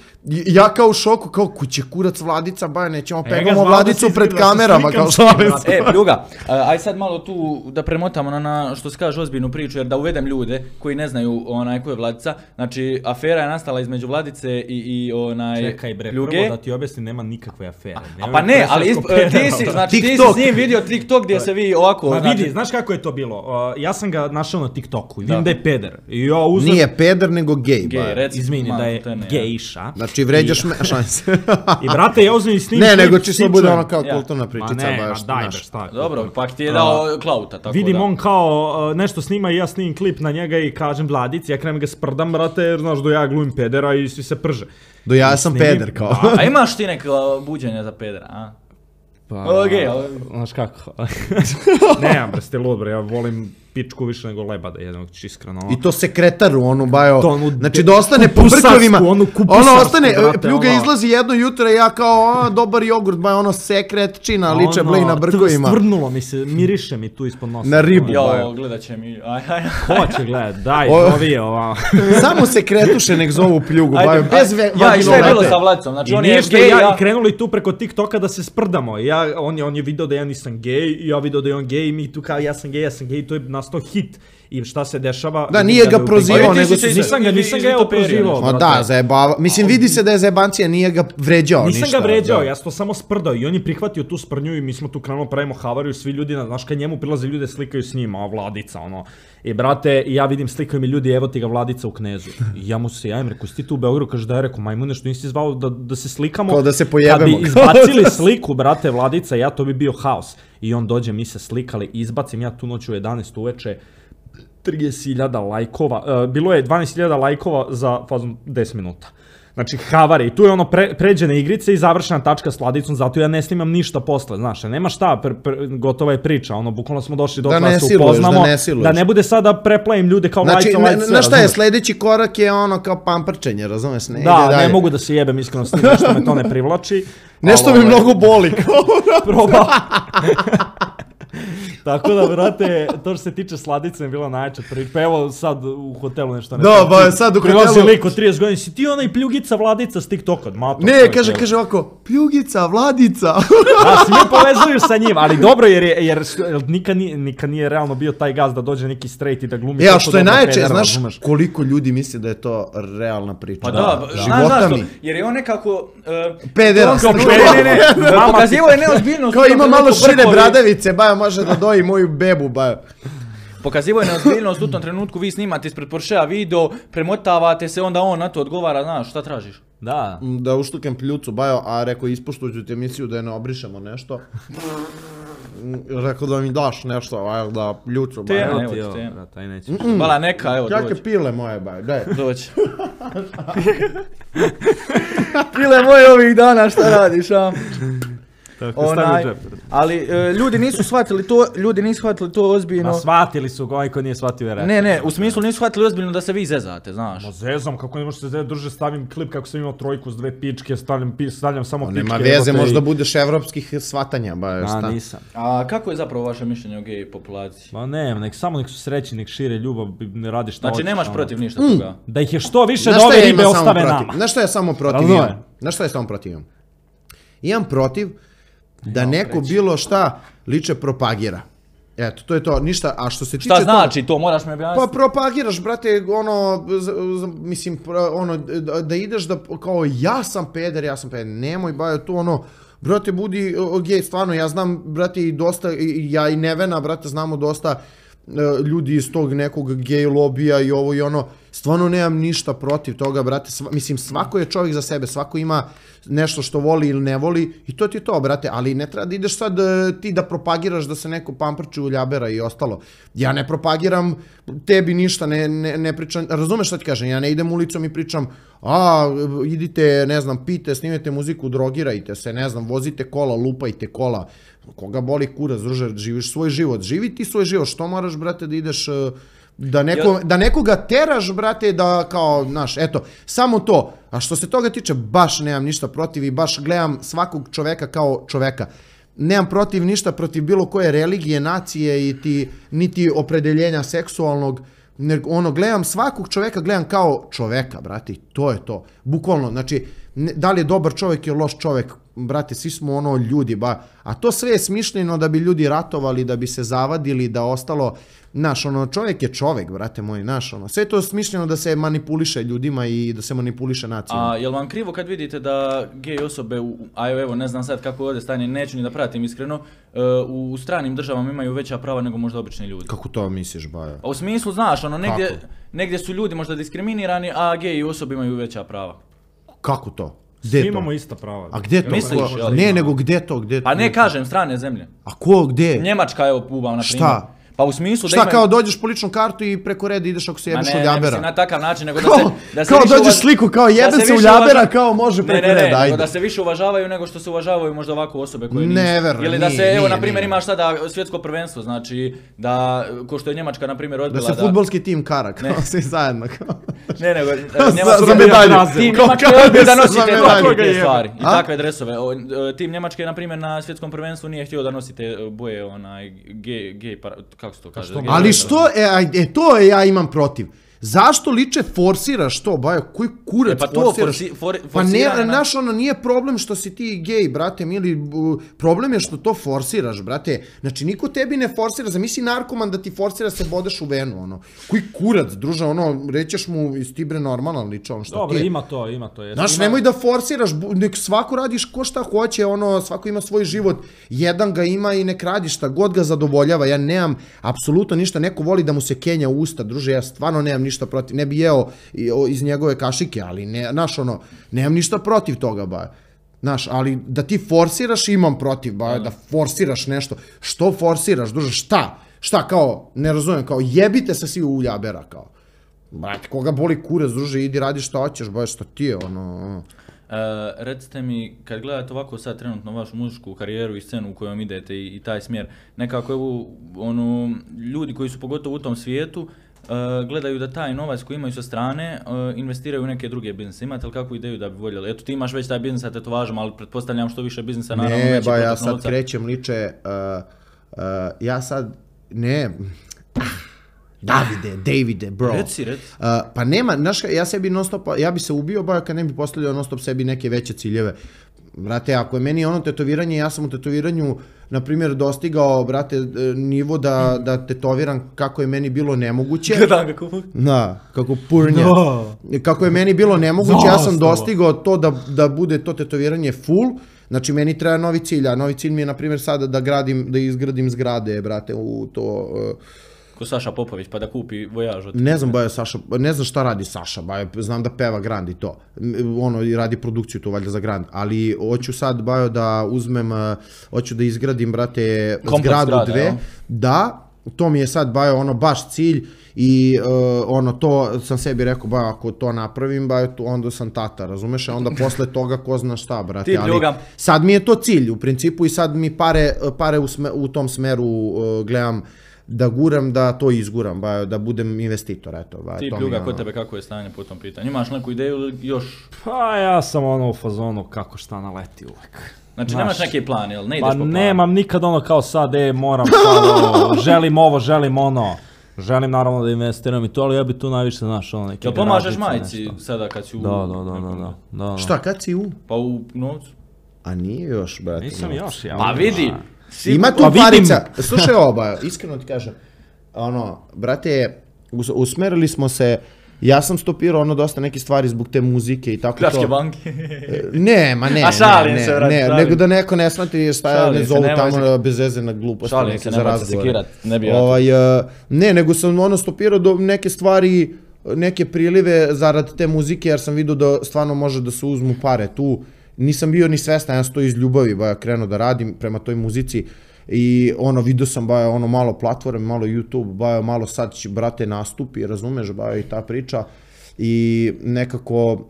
ja kao u šoku, kao kuće kurac Vladica, ba, nećemo pegamo Vladicu pred kamerama, kao šalim se. E, pljuga, aj sad malo tu da premotamo na, na što se kaže ozbiljnu priču, jer da uvedem ljude koji ne znaju onaj ko je Vladica, znači afera je nastala između Vladice i, i onaj Čekaj bre, pljuge. Prvo da ti objasnim, nema nikakve afere. A pa ne, ali isp, ti si, znači ti si s njim vidio TikTok gdje se vi ovako... Ma vidi, znaš kako je to bilo, uh, ja sam ga našao na TikToku i vidim da je peder. I ja uzem... Nije peder, nego gej, gej, ba. Izmini, da je gejša. Znači, vređaš me, šanse. I brate, ja uzmem i snimim Ne, nego čisto bude ono kao kulturna pričica, ma ne, baš, ma daj, znaš. šta. Dobro, pak ti je dao klauta, tako da. Vidim on kao nešto snima i ja snimim klip na njega i kažem Vladici, ja krenem ga sprdam, brate, jer znaš do ja glumim pedera i svi se prže. Do ja sam peder, kao. A imaš ti neka buđenja za pedera, a? Pa, znaš kako. Ne, bre, ste lud, bre, ja volim pičku više nego lebada, jednog iskreno. I to sekretaru, onu, bajo, znači da ostane po brkovima, ono ostane, pljuga izlazi jedno jutro i ja kao, dobar jogurt, bajo, ono sekretčina, liče blej na brkovima. Stvrdnulo mi se, miriše mi tu ispod nosa. Na ribu, jo, bajo. Gledat će mi, aj, aj. Hoće gledat, daj, zovi je ovamo. Samo sekretuše nek zovu pljugu, bajo, bez vaginovrata. Ja, i šta je bilo sa Vladicom, znači on je gej, ja. I krenuli tu preko TikToka da se sprdamo, ja, on je, on je video da ja nisam gej, i ja video da je on gej, i mi tu kao ja sam gej, ja sam gej, to je nastao hit. I šta se dešava? Da, nije ga prozivao, nego se... Nisam ga, nisam ga ja prozivao. Ma da, zajebava. Mislim, vidi se da je zajebancija, nije ga vređao ništa. Nisam ga vređao, ja sam to samo sprdao i on je prihvatio tu sprnju i mi smo tu krenuo pravimo havariju, svi ljudi, znaš kad njemu prilaze ljude slikaju s njima, a Vladica, ono. I brate, ja vidim slikaju mi ljudi, evo ti ga Vladica u Knezu. I ja mu se javim, rekao, si ti tu u Beogradu, kaže da je, rekao, majmune, što nisi zvao da, da se slikamo. Kao da se pojebemo. Kad bi izbacili sliku, brate, Vladica, ja, to bi bio haos. I on dođe, mi se slikali, izbacim ja tu noć u jedanaest uveče, trideset hiljada lajkova, uh, bilo je dvanaest hiljada lajkova za fazom deset minuta. Znači, havari, i tu je ono pre, pređene igrice i završena tačka s Vladicom, zato ja ne snimam ništa posle, znaš, nema šta, pre, pre, gotova je priča, ono, bukvalno smo došli do da se upoznamo, da ne, da ne bude sad da preplavim ljude kao znači, lajca, lajca, znaš šta je, sledeći korak je ono kao pamprčenje, razumeš, ne da, ide dalje. Ne mogu da se jebem iskreno s tim, nešto me to ne privlači. Nešto mi mnogo boli. Proba. Tako da, brate, to što se tiče Sladice je bila najjača priča. Pa evo sad u hotelu nešto ne. Da, ba, sad u hotelu. Prilazi lik od trideset godina, si ti onaj Pljugica Vladica s TikToka? Ne, kaže, kaže ovako, Pljugica, Vladica. Da, svi me povezuju sa njim, ali dobro jer, je, jer nikad nije, nikad nije realno bio taj gaz da dođe neki straight i da glumi. Ja, što je najče, znaš razumeš. Koliko ljudi misli da je to realna priča. Pa da, života mi. Jer je on nekako... Uh, Pederast. Ne, ne, ne, pokazivo je neozbiljnost. Kao ima malo šire bradavice, baja može da doji moju bebu, baja. Pokazivo je neozbiljnost u tom trenutku, vi snimate ispred Porschea video, premotavate se, onda on na to odgovara, znaš, šta tražiš? Da. Da uštukam pljucu, bajo, a rekao ispuštuću ti emisiju da je ne obrišemo nešto. Rekao da mi daš nešto, aj, da pljucu, Te, bajo. evo Ti ti, ovo, te. brat, aj nećeš. Vala neka, evo, Kakve dođi. pile moje, bajo, daj. Dođi. Pile moje ovih dana, šta radiš, a? Tako, Onaj, stavi u džep. ali e, ljudi nisu shvatili to, ljudi nisu shvatili to ozbiljno. Ma shvatili su ga, ovaj ko nije shvatio je rekao. Ne, ne, u smislu nisu shvatili ozbiljno da se vi zezate, znaš. Ma zezam, kako ne možeš se zezati, druže, stavim klip kako sam imao trojku s dve pičke, stavljam, pi- stavljam samo O, pičke. nema veze, evo te možda i- budeš evropskih shvatanja, bajo, A, šta. nisam. A kako je zapravo vaše mišljenje o gej populaciji? Ma ne, nek samo nek su srećni, nek šire ljubav, ne radi šta Znači hoćeš, nemaš ono. protiv ništa toga? Da ih je što više Znaš da šta ove ja ribe imam samo ostave protiv? nama. Znaš šta ja samo protiv Razumem. imam? Znaš šta ja samo protiv imam? Imam protiv da neko bilo šta liče propagira. Eto, to je to, ništa, a što se tiče Šta znači to, moraš mi Pa objasniti? propagiraš, brate, ono, z- z- mislim, pro- ono, da, da ideš da, kao, ja sam peder, ja sam peder, nemoj, bajo, tu, ono, brate, budi o, gej, stvarno, ja znam, brate, i dosta, i, ja i Nevena, brate, znamo dosta e, ljudi iz tog nekog gej lobija i ovo i ono, stvarno nemam ništa protiv toga, brate, sva, mislim, svako je čovjek za sebe, svako ima nešto što voli ili ne voli i to ti je to, brate, ali ne treba da ideš sad e, ti da propagiraš da se neko pamprči u ljabera i ostalo. Ja ne propagiram tebi ništa, ne, ne, ne pričam, razumeš šta ti kažem, ja ne idem ulicom i pričam, a, idite, ne znam, pijte, snimajte muziku, drogirajte se, ne znam, vozite kola, lupajte kola, koga boli kurac, druže, živiš svoj život, živi ti svoj život, što moraš, brate, da ideš... e, Da, neko, da nekoga teraš, brate, da kao, znaš, eto, samo to. A što se toga tiče, baš nemam ništa protiv i baš gledam svakog čoveka kao čoveka. Nemam protiv ništa protiv bilo koje religije, nacije i ti, niti opredeljenja seksualnog, nego ono, gledam svakog čoveka, gledam kao čoveka, brate, i to je to. Bukvalno, znači, ne, da li je dobar čovjek ili loš čovjek, brate, svi smo ono ljudi, ba, a to sve je smišljeno da bi ljudi ratovali, da bi se zavadili, da ostalo, znaš, ono, čovjek je čovjek, brate moj, znaš, ono, sve je to smišljeno da se manipuliše ljudima i da se manipuliše nacijama. A jel vam krivo kad vidite da gej osobe, u, a evo ne znam sad kako je ovdje stanje, neću ni da pratim iskreno, e, u stranim državama imaju veća prava nego možda obični ljudi? Kako to misliš, bajo? A u smislu, znaš, ono, negdje, Kako? negdje su ljudi možda diskriminirani, a gej osobe imaju veća prava. Kako to? Gdje Svi to? imamo ista prava. A gdje to? Misliš, Ko- jel? ne, nego gdje to, gdje Pa to? ne kažem, strane zemlje. A ko, gdje? Njemačka je upubao, na primjer. Šta? Pa u smislu da Šta, imaju... kao dođeš po ličnu kartu i preko reda ideš ako se Ma jebeš ne, u ne ljabera? mislim na takav način, nego da Kao, se... Da se kao više dođeš uvaž- sliku, kao da jebe se se u više ljabera, uvaža- kao može Ne, preko ne, ne, reda, nego ajde. da se više uvažavaju nego što se uvažavaju možda ovako osobe koje nisu. Never, Ili da se, nije, evo, nije, na primjer, nije. imaš sada svjetsko prvenstvo, znači da, ko što je Njemačka, na primjer, Da odbila se fudbalski tim kara, kao Ne. svi zajedno, kao. Ne, nego, e, Za- Njemačka... za medalju. Tim Kao Njemačke kada je odbio da se nosi za te medalju. takve te stvari i A? takve dresove. O, e, Tim Njemačke, na primjer, na svjetskom prvenstvu nije htio da nosite boje, onaj, gej, gej, para- kako se to kaže? što Gej Ali dresove. što, e, aj, e, to je ja imam protiv. Zašto liče forsiraš to, bajo, koji kurac E, pa to forsiraš? forsi- for- pa ne, forsiranje na- naš ono, nije problem što si ti gej, brate, mili, bu, problem je što to forsiraš, brate. Znači, niko tebi ne forsira, zamisli narkoman da ti forsira se bodeš u venu, ono. Koji kurac, druže, ono, rećeš mu iz ti bre normalan liče, on šta Dobro, ti je? ima to, ima to. Jes, Znaš, ima... nemoj da forsiraš, bu- nek svako radiš ko šta hoće, ono, svako ima svoj život, jedan ga ima i nek radi šta god ga zadovoljava, ja nemam apsolutno ništa, neko voli da mu se kenja u usta, druže, ja stvarno nemam ništa protiv, ne bi jeo i- o, iz njegove kašike, ali ne, znaš, ono, nemam ništa protiv toga, ba. Znaš, ali da ti forsiraš, imam protiv, ba, da forsiraš nešto, što forsiraš, druže, šta? Šta, kao, ne razumijem, kao, jebite se svi u ljabera, kao. Brate, koga boli kurac, druže, idi radi šta hoćeš, ba, šta ti je, ono, ono. E, recite mi, kad gledate ovako sad trenutno vašu muzičku karijeru i scenu u kojom idete i, i taj smjer, nekako evo, ono, ljudi koji su pogotovo u tom svijetu, e, gledaju da taj novac koji imaju sa strane e, investiraju u neke druge biznise. Imate li kakvu ideju da bi voljeli? Eto, ti imaš već taj biznis sa tetovažama, ali pretpostavljam što više biznisa, naravno, Ne, veći ba, ja protok sad novca. krećem liče, uh, uh, ja sad, ne, Davide, Davide, bro. Reci, reci. Uh, pa nema, znaš, ja sebi non stop, ja bi se ubio, ba, kad ne bi postavljao non stop sebi neke veće ciljeve. Brate, ako je meni ono tetoviranje, ja sam u tetoviranju, na primjer, dostigao, brate, e, nivo da, da tetoviram kako je meni bilo nemoguće. Gledam kako... Da, kako purnja. Kako je meni bilo nemoguće, ja sam dostigao to da, da bude to tetoviranje full. Znači, meni treba novi cilj, a novi cilj mi je, na primjer, sada da gradim, da izgradim zgrade, brate, u to... ko Saša Popović, pa da kupi Vojaž od... Ne znam, bajo Saša, ne znam šta radi Saša, bajo, znam da peva Grand i to. Ono, i radi produkciju tu, valjda za Grand. Ali hoću sad, bajo, da uzmem, hoću da izgradim, brate, Komplet zgradu zgrada, dve. jel? Da, to mi je sad, bajo, ono, baš cilj. I uh, ono, to sam sebi rekao, bajo, ako to napravim, bajo, to, onda sam tata, razumeš? A onda posle toga, ko zna šta, brate. Ti Ali pljuga. sad mi je to cilj, u principu, i sad mi pare, pare u, sme, u tom smeru uh, gledam, da guram, da to izguram, ba, da budem investitor, eto. Ba, Ti to pljuga, mi, kod ono... tebe kako je stanje po tom pitanju? Imaš neku ideju ili još? Pa ja sam ono u fazonu kako šta naleti uvek. Znači Znaš, nemaš neki plan, jel? Ne ideš Pa po planu? nemam nikad ono kao sad, e, moram sad, ovo, želim ovo, želim ono. Želim naravno da investiram i to, ali ja bi tu najviše, znaš, ono, neki Jel pomažeš garažice, majici nešto. sada kad si u... Da, da, da, da, da, da, da. Šta, kad si u? Pa u novcu? A nije još, brate. Nisam no. još, ja. Pa vidi! Si- Ima tu Pa vidim. parica. Slušaj ovo, ba, iskreno ti kažem. Ono, brate, us- usmerili smo se, ja sam stopirao ono dosta neke stvari zbog te muzike i tako Pljačke to. banke. Ne, ma ne, A šalim ne, se, ne, brate, ne, šalim. nego da neko ne shvati šta Šalim ne se, zovu nemoj tamo se- bez veze na gluposti Šalim neke se, za nemoj se razgovore. sekirat, ne bi ja to. Ovaj, uh, ne, nego sam ono stopirao do neke stvari, neke prilive zarad te muzike, jer sam vidio da stvarno može da se uzmu pare tu. Nisam bio ni svestan, ja sam to iz ljubavi, ba ja krenuo da radim prema toj muzici. I ono, vidio sam, ba ono, malo platforme, malo YouTube, ba malo sad će, brate, nastupi, razumeš, ba i ta priča. I nekako,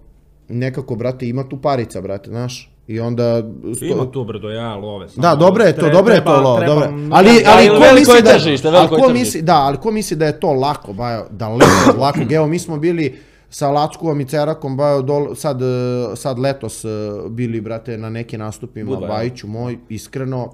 nekako, brate, ima tu parica, brate, znaš. I onda... Ima tu brdo, ja, love. samo Da, dobro je to, tre- dobro je to treba- lo, treba- dobro. Ali, Da, ali ili ko veliko misli je da, tržište, ali veliko je ko tržište. misli, da, ali ko misli da je to lako, bajo, daleko od lako. Evo, mi smo bili sa Lackovom i Cerakom, bajo, dol, sad, eh, sad letos eh, bili, brate, na nekim nastupima, Budva, Bajiću moj, iskreno,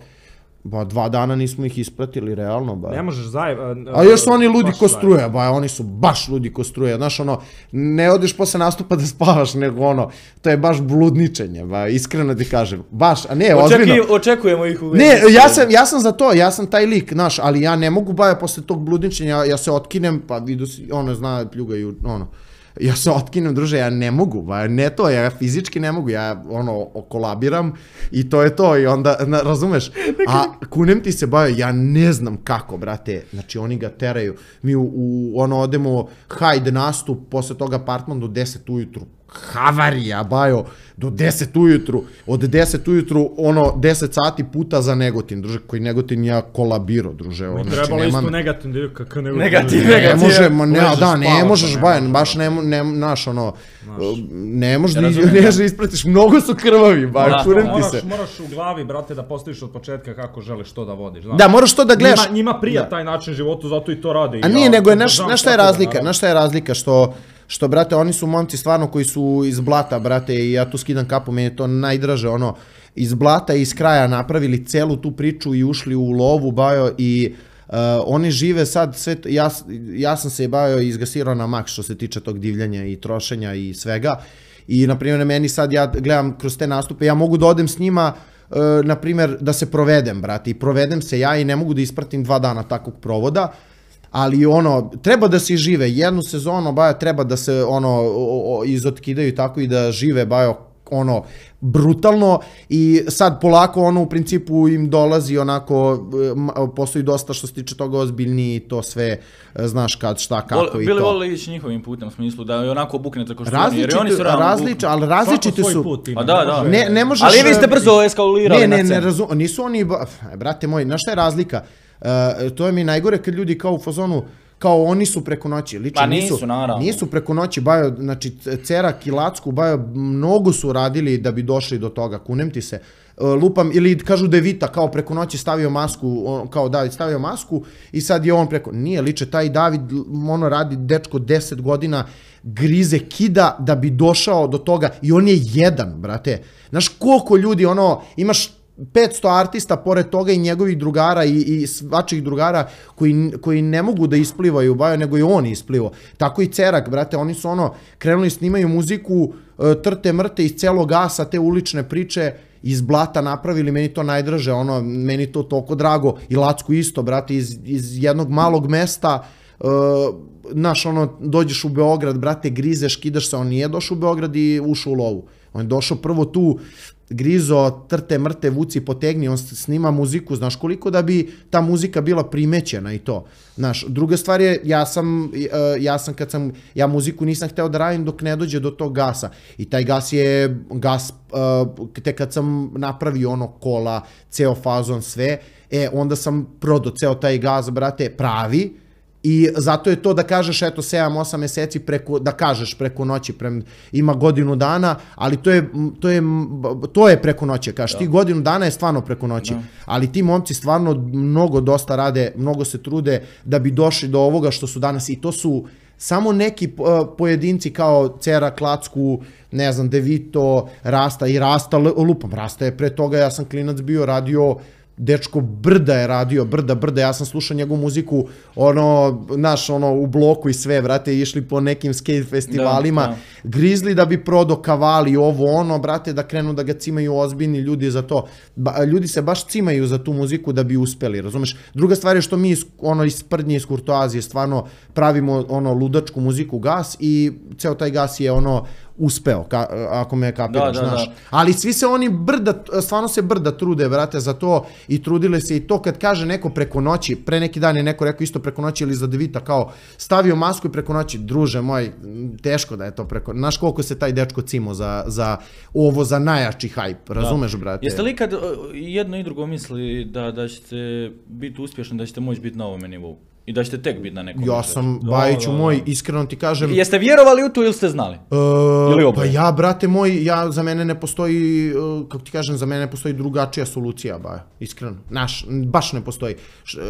ba, dva dana nismo ih ispratili, realno, bajo. Ne možeš zajev... A još su oni ludi baš ko zajev. struje, ba, oni su baš ludi ko struje, znaš, ono, ne odeš posle nastupa da spavaš, nego ono, to je baš bludničenje, ba, iskreno ti kažem, baš, a ne, ozbiljno. Očeki, očekujemo ih u... Ne, ja sam, ja sam za to, ja sam taj lik, znaš, ali ja ne mogu, ba, posle tog bludničenja, ja se otkinem, pa vidu si, ono, zna, pljugaju, ono, ja se otkinem, druže, ja ne mogu, ba, ne to, ja fizički ne mogu, ja, ono, kolabiram i to je to, i onda, na, razumeš, a kunem ti se, ba, ja ne znam kako, brate, znači, oni ga teraju, mi u, u ono, odemo hajde nastup, posle toga apartman do deset ujutru, havarija, bajo, do deset ujutru, od deset ujutru, ono, deset sati puta za Negotin, druže, koji Negotin ja kolabiro, druže, ono, znači, Trebalo nema isto me- negativno, da je kakav nego... Negativ, ne negativ. može, ma ne, Ležeš, da, ne spavaš, možeš, ne baš, možeš, baš ne, ne, naš, ono, ne možeš Ja da razumijem, ne da. možeš da ispratiš, mnogo su krvavi, ba, Da, kurem ti Moraš, se. moraš u glavi, brate, da postaviš od početka kako želiš to da vodiš. Znaš. Da, moraš to da gledaš. Njima, njima prija Da. taj način života, zato i to rade. A I nije, ja nego je, znaš, podržavam znaš šta je svakoga, razlika, naravno. znaš šta je razlika, što, što, brate, oni su momci stvarno koji su iz blata, brate, i ja tu skidam kapu, meni je to najdraže, ono, iz blata i iz kraja napravili celu tu priču i ušli u lovu, bajo, i uh, oni žive sad, sve, t- ja, s- ja sam se, bajo, izgasirao na maks što se tiče tog divljanja i trošenja i svega, i, na primjer, meni sad, ja gledam kroz te nastupe, ja mogu da odem s njima, uh, na primjer, da se provedem, brate, i provedem se ja i ne mogu da ispratim dva dana takvog provoda, ali ono, treba da se žive, jednu sezonu, bajo, treba da se ono, o, o, izotkidaju tako i da žive, bajo, ono, brutalno i sad polako ono u principu im dolazi onako, m- postoji dosta što se tiče toga ozbiljniji i to sve, e, znaš kad, šta, kako Vol- i Bili to. vole ići njihovim putem, u smislu da je onako buknete ko što oni, jer Različiti, oni su realno različ, ali različiti Svako svoj su. put ima, Pa da, da. može- Ne, ne možeš... Ali vi ste e, brzo eskalirali Ne, na ne, ne scenu. razum, nisu oni, ba- brate moj, znaš šta je razlika? E, to je mi najgore kad ljudi kao u fazonu, kao oni su preko noći, lično Pa nisu, nisu, naravno. nisu preko noći, bajo, znači Cerak i Lacku, bajo, mnogo su radili da bi došli do toga, kunem ti se. E, lupam, ili kažu da je Vita kao preko noći stavio masku, on, kao David stavio masku i sad je on preko, nije liče, taj David, ono radi dečko deset godina, grize, kida da bi došao do toga i on je jedan, brate. Znaš koliko ljudi, ono, imaš petsto artista pored toga i njegovih drugara i, i svačih drugara koji, koji ne mogu da isplivaju bajo, nego i on isplivo. Tako i Cerak, brate, oni su ono, krenuli snimaju muziku, e, trte mrte iz celog gasa, te ulične priče, iz blata napravili, meni to najdraže, ono, meni to toliko drago, i Lacku isto, brate, iz, iz jednog malog mesta, e, znaš, ono, dođeš u Beograd, brate, grizeš, kidaš se, on nije došao u Beograd i ušao u lovu. On je došao prvo tu, Grizo, trte, mrte, vuci, potegni, on snima muziku, znaš koliko da bi ta muzika bila primećena i to. Znaš, druga stvar je, ja sam, ja sam kad sam, ja muziku nisam hteo da radim dok ne dođe do tog gasa. I taj gas je, gas, te kad sam napravio ono kola, ceo fazon, sve, e, onda sam prodao ceo taj gas, brate, pravi, i zato je to da kažeš, eto, sedam osam meseci preko, da kažeš preko noći, pre, ima godinu dana, ali to je, to je, to je preko noći, kažeš, ti godinu dana je stvarno preko noći, ali ti momci stvarno mnogo dosta rade, mnogo se trude da bi došli do ovoga što su danas i to su samo neki pojedinci kao Cera, Klacku, ne znam, Devito, Rasta i Rasta, lupam, Rasta je pre toga, ja sam klinac bio, radio dečko Brda je radio, Brda, Brda, ja sam slušao njegovu muziku, ono, naš, ono, u bloku i sve, vrate, išli po nekim skate festivalima, da, da. Grizli da bi prodao Kavali, ovo, ono, brate, da krenu da ga cimaju ozbiljni ljudi za to. Ba, ljudi se baš cimaju za tu muziku da bi uspeli, razumeš? Druga stvar je što mi, ono, iz Sprdnje, iz Kurtoazije, stvarno pravimo, ono, ludačku muziku gas i ceo taj gas je, ono, uspeo, ka, ako me kapiraš, da, da, znaš. Da. Ali svi se oni brda, stvarno se brda trude, brate, za to i trudile se i to kad kaže neko preko noći, pre neki dan je neko rekao isto preko noći ili za Devita, kao stavio masku i preko noći, druže moj, teško da je to preko, znaš koliko se taj dečko cimo za, za ovo, za najjači hajp, razumeš, da. Brate? Jeste li kad jedno i drugo misli da, da ćete biti uspješni, da ćete moći biti na ovome nivou? I da ćete tek biti na nekom. Ja sam, Bajiću moj, iskreno ti kažem... Jeste vjerovali u to ili ste znali? Ili pa ja, brate moj, ja, za mene ne postoji, kako ti kažem, za mene ne postoji drugačija solucija, Baja, iskreno. Naš, baš ne postoji.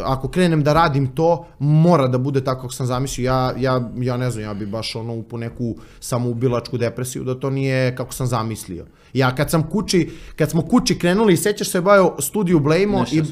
Ako krenem da radim to, mora da bude tako kako sam zamislio. Ja, ja, ja ne znam, ja bi baš ono upo neku samoubilačku depresiju, da to nije kako sam zamislio. Ja kad sam kući, kad smo kući krenuli, sećaš se, Bajo, studiju Blejmo i,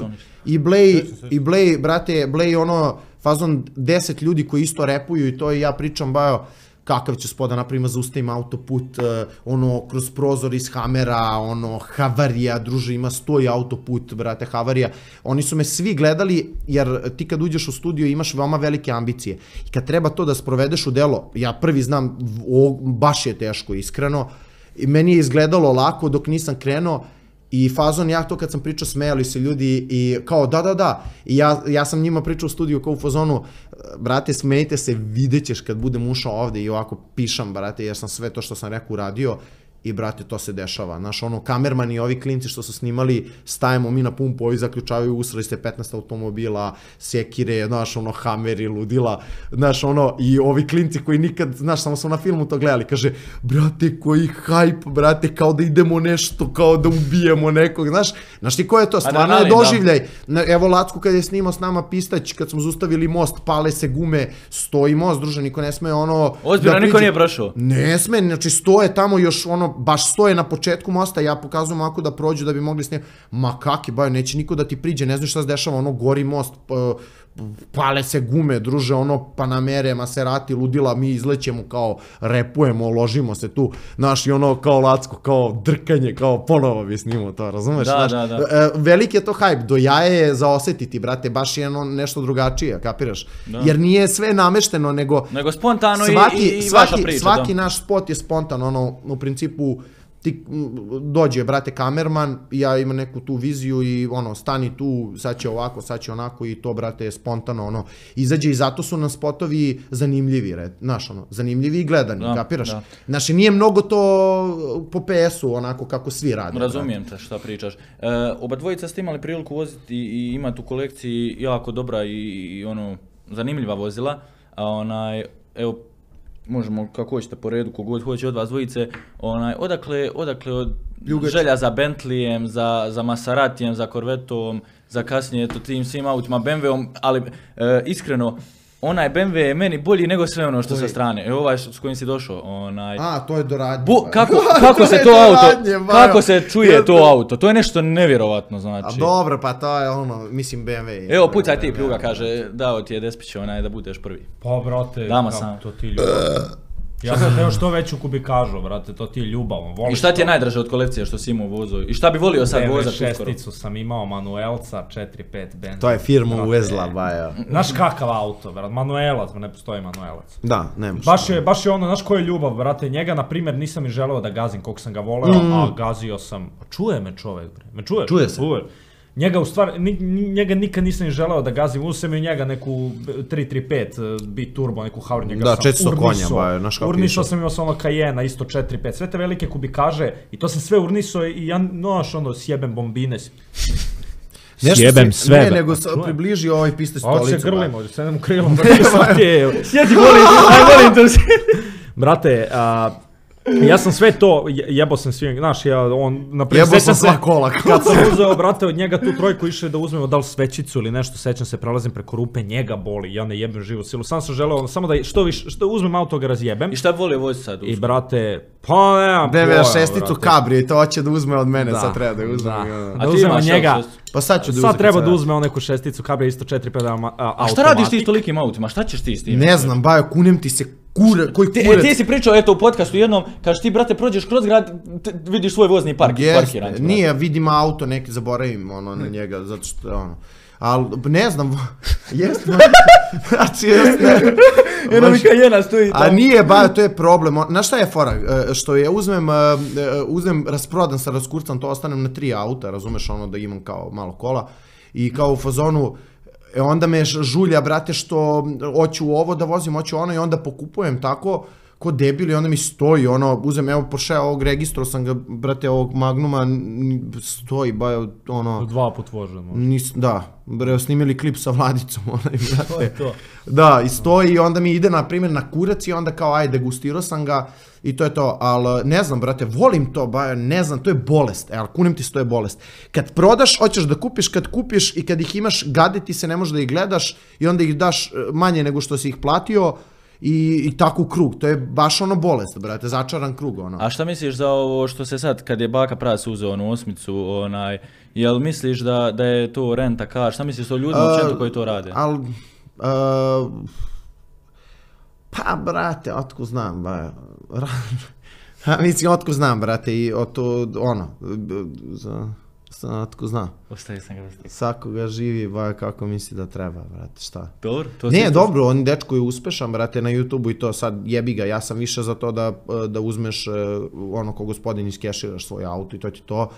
i Blej, i Blej, brate, Blej ono, fazon deset ljudi koji isto repuju i to i ja pričam, Bajo, kakav će spoda napravima, zaustavim autoput, uh, ono, kroz prozor iz Hamera, ono, havarija, druže, ima stoji autoput, brate, havarija. Oni su me svi gledali, jer ti kad uđeš u studio imaš veoma velike ambicije. I kad treba to da sprovedeš u delo, ja prvi znam, o, baš je teško, iskreno, i meni je izgledalo lako dok nisam krenuo, i fazon, ja to kad sam pričao, smejali se ljudi i kao da, da, da, i ja, ja sam njima pričao u studiju kao u fazonu, brate, smejte se, vidjet ćeš kad budem ušao ovde i ovako pišam, brate, jer sam sve to što sam rekao uradio i, brate, to se dešava. Znaš, ono, kamerman i ovi klinci što su snimali, stajemo mi na pumpu, ovi zaključavaju, usrali se petnaest automobila, sekire, znaš, ono, hameri, ludila, znaš, ono, i ovi klinci koji nikad, znaš, samo smo na filmu to gledali, kaže, brate, koji hajp, brate, kao da idemo nešto, kao da ubijemo nekog, znaš, znaš ti ko je to, stvarno je doživljaj. Evo Lacku kad je snimao s nama Pistać, kad smo zaustavili most, pale se gume, stoji most, druže, niko ne sme, ono... Ozbiljno, niko nije prošao? Ne sme, znači stoje tamo još, ono, baš stoje na početku mosta, ja pokazujem ovako da prođu da bi mogli snimati, ma kaki, Bajo, neće niko da ti priđe, ne znaš šta se dešava, ono, gori most, pale se gume, druže, ono, Panamere, Maserati, ludila, mi izlećemo, kao, repujemo, ložimo se tu, znaš, i ono, kao Lacko, kao drkanje, kao ponovo bi snimao to, razumeš? Da, znaš, da, da. Velik je to hajp, do jaje je za osetiti, brate, baš je ono nešto drugačije, kapiraš? Da. Jer nije sve namešteno, nego... Nego spontano svaki, i, i svaki, vaša priča. Svaki da. naš spot je spontan, ono, u principu, ti dođe, brate, kamerman, ja imam neku tu viziju i ono, stani tu, sad će ovako, sad će onako i to, brate, je spontano, ono, izađe i zato su nam spotovi zanimljivi, red, znaš, ono, zanimljivi i gledani, da, kapiraš? Da. Znači, nije mnogo to po P S-u, onako, kako svi rade. Razumijem te šta pričaš. E, oba dvojica ste imali priliku voziti i imati u kolekciji jako dobra i, i ono, zanimljiva vozila, a onaj, evo, možemo kako hoćete po redu, kogod hoće od vas dvojice, onaj, odakle, odakle od Ljugač. Želja za Bentleyem, za, za Maseratijem, za Corvettom, za kasnije to tim svim autima, B M W-om, ali e, iskreno, onaj B M W je meni bolji nego sve ono što sa strane. Evo ovaj s kojim si došao, onaj... A, to je doradnje. Bu, kako, kako se to auto, kako se čuje to auto, to je nešto nevjerovatno, znači. A dobro, pa to je ono, mislim B M W. Evo, pucaj ti, Pljuga kaže, dao ti je Despić onaj da budeš prvi. Pa, brate, Dama sam. To ti ljudi. Ja sam teo što veću kubikažu, brate, to ti je ljubav. I šta ti je najdraže od kolekcije što si imao u vozu? I šta bi volio sad vozati uskoro? šesticu sam imao, Manuelca, četiri pet benzina. To je firma uvezla, baja. Znaš kakav auto, brate, Manuelac, ne postoji Manuelac. Da, nemaš. Baš je, baš je ono, znaš koja je ljubav, brate, njega, na primjer, nisam i želeo da gazim koliko sam ga voleo, mm. a gazio sam, čuje me čovjek, bre, me čuješ? Čuje se. Čuje. Njega u stvari, njega nikad nisam želeo da gazim, uzeo sam i njega neku tri tri pet bit turbo, neku Howard, njega da, sam četiristo konja, ba, naš kako urnisao sam, imao sam ono Cayena, isto četiri pet, sve te velike kubikaže i to sam sve urnisao i ja, noš, ono, sjebem bombine. Sjebem sve. Ne, nego približi ovaj piste stolicu. Ovo se grlimo, ovdje sedem u krilom, sjeti, volim, aj volim to. Brate, ja sam sve to, jebo sam svim, znaš, ja, on, naprijed, jebo sam sva kola. Kad sam uzeo, brate, od njega tu trojku išao da uzmemo da li svećicu ili nešto, sećam se, prelazim preko rupe, njega boli, ja ne jebem živu silu, sam sam želeo, samo da što više, što uzmem auto ga razjebem. I šta bi volio voziti sad? I brate, pa nemam pojma, brate. šesticu Cabrio i to hoće da uzme od mene, sad treba da uzme. Da uzmemo njega, pa sad ću da uzme. Sad treba da uzme neku šesticu Cabrio, isto četiri pet automatik. A šta radiš ti s tolikim autima, šta ćeš ti s tim? Ne znam, bajo, kunem ti se. Kure, koji kurac? E, ti si pričao, eto, u podcastu jednom, kažeš ti, brate, prođeš kroz grad, vidiš svoj vozni park, yes, parkiran. Nije, vidim auto, neki zaboravim, ono, na njega, zato što, ono, ali, ne znam, jest, znači, jest, ne. Jedno mi Cayena stoji tamo. A nije, ba, to je problem, znaš šta je fora, što je, uzmem, uzmem, rasprodan sa raskurcam, to ostanem na tri auta, razumeš, ono, da imam kao malo kola, i kao u fazonu, E onda me žulja, brate, što hoću ovo da vozim, hoću ono i onda pokupujem tako ko debil i onda mi stoji, ono, uzem, evo Porsche ovog registru sam ga, brate, ovog Magnuma, stoji, ba, ono... Dva put vožem. Da, bre, snimili klip sa Vladicom, onaj, brate. To je to. Da, i stoji i onda mi ide, na primjer, na kurac i onda kao, aj, degustirao sam ga i to je to, ali ne znam, brate, volim to, ba, ne znam, to je bolest, e, ali kunim ti se, to je bolest. Kad prodaš, hoćeš da kupiš, kad kupiš i kad ih imaš, gade ti se, ne možeš da ih gledaš i onda ih daš manje nego što si ih platio, I, i tako u krug, to je baš ono bolest, brate, začaran krug, ono. A šta misliš za ovo što se sad, kad je baka Pras uzeo onu osmicu, onaj, jel misliš da, da je to renta car, šta misliš o ljudima općenito koji to rade? Al, uh, pa, brate, otko znam, ba, mislim, otko znam, brate, i o to, ono, za... Otko zna. Ostaje sam ga ostaje. Svakoga živi, ba, kako misli da treba, brate, šta? Dobro, to ne, dobro, on dečko je uspešan, brate, na YouTubeu i to sad jebi ga, ja sam više za to da, da uzmeš ono ko gospodin iskeširaš svoj auto i to ti to,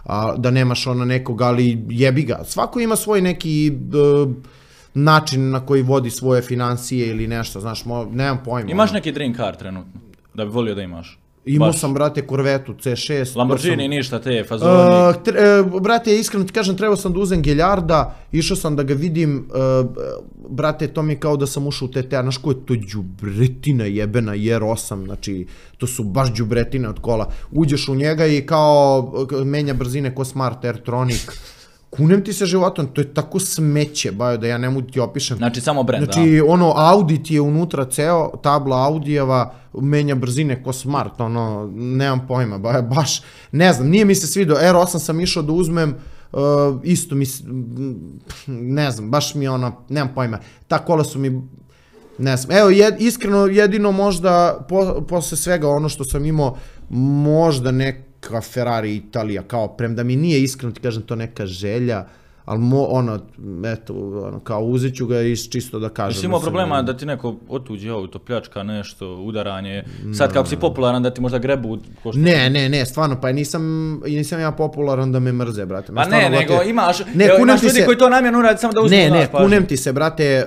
a, da nemaš ono nekog, ali jebi ga. Svako ima svoj neki uh, način na koji vodi svoje financije ili nešto, znaš, mo, nemam pojma. Imaš neki dream car trenutno, da bi volio da imaš? Imao sam, brate, Corvettu C šest. Lamborghini, sam... ništa, te fazoni. Uh, tre, uh, brate, iskreno ti kažem, trebao sam da uzem Geljarda, išao sam da ga vidim, uh, brate, to mi je kao da sam ušao u T T A, znaš ko je to đubretina jebena, jer osam, znači, to su baš đubretine od kola. Uđeš u njega i kao menja brzine ko Smart Airtronic. Kunem ti se životom, to je tako smeće, bajo, da ja ne mogu ti opišem. Znači, samo brand, da. Znači, ono, Audi ti je unutra ceo, tabla Audijeva, menja brzine ko Smart, ono, nemam pojma, bajo, baš, ne znam, nije mi se svidio, R osam sam išao da uzmem, uh, isto mi, ne znam, baš mi ono, nemam pojma, ta kola su mi, ne znam, evo, jed, iskreno, jedino možda, po, posle svega ono što sam imao, možda nek, kao Ferrari Italija, kao premda mi nije iskreno ti kažem to neka želja, ali mo, ono, eto, ono, kao uzet ću ga i čisto da kažem. Jesi imao problema da ti neko otuđi auto, pljačka nešto, udaranje, sad kako si popularan da ti možda grebu košta? Ne, ne, ne, stvarno, pa nisam, nisam ja popularan da me mrze, brate. Pa ne, nego imaš, imaš ljudi koji to namjerno uradi samo da uzmu. Ne, ne, kunem ti se, brate,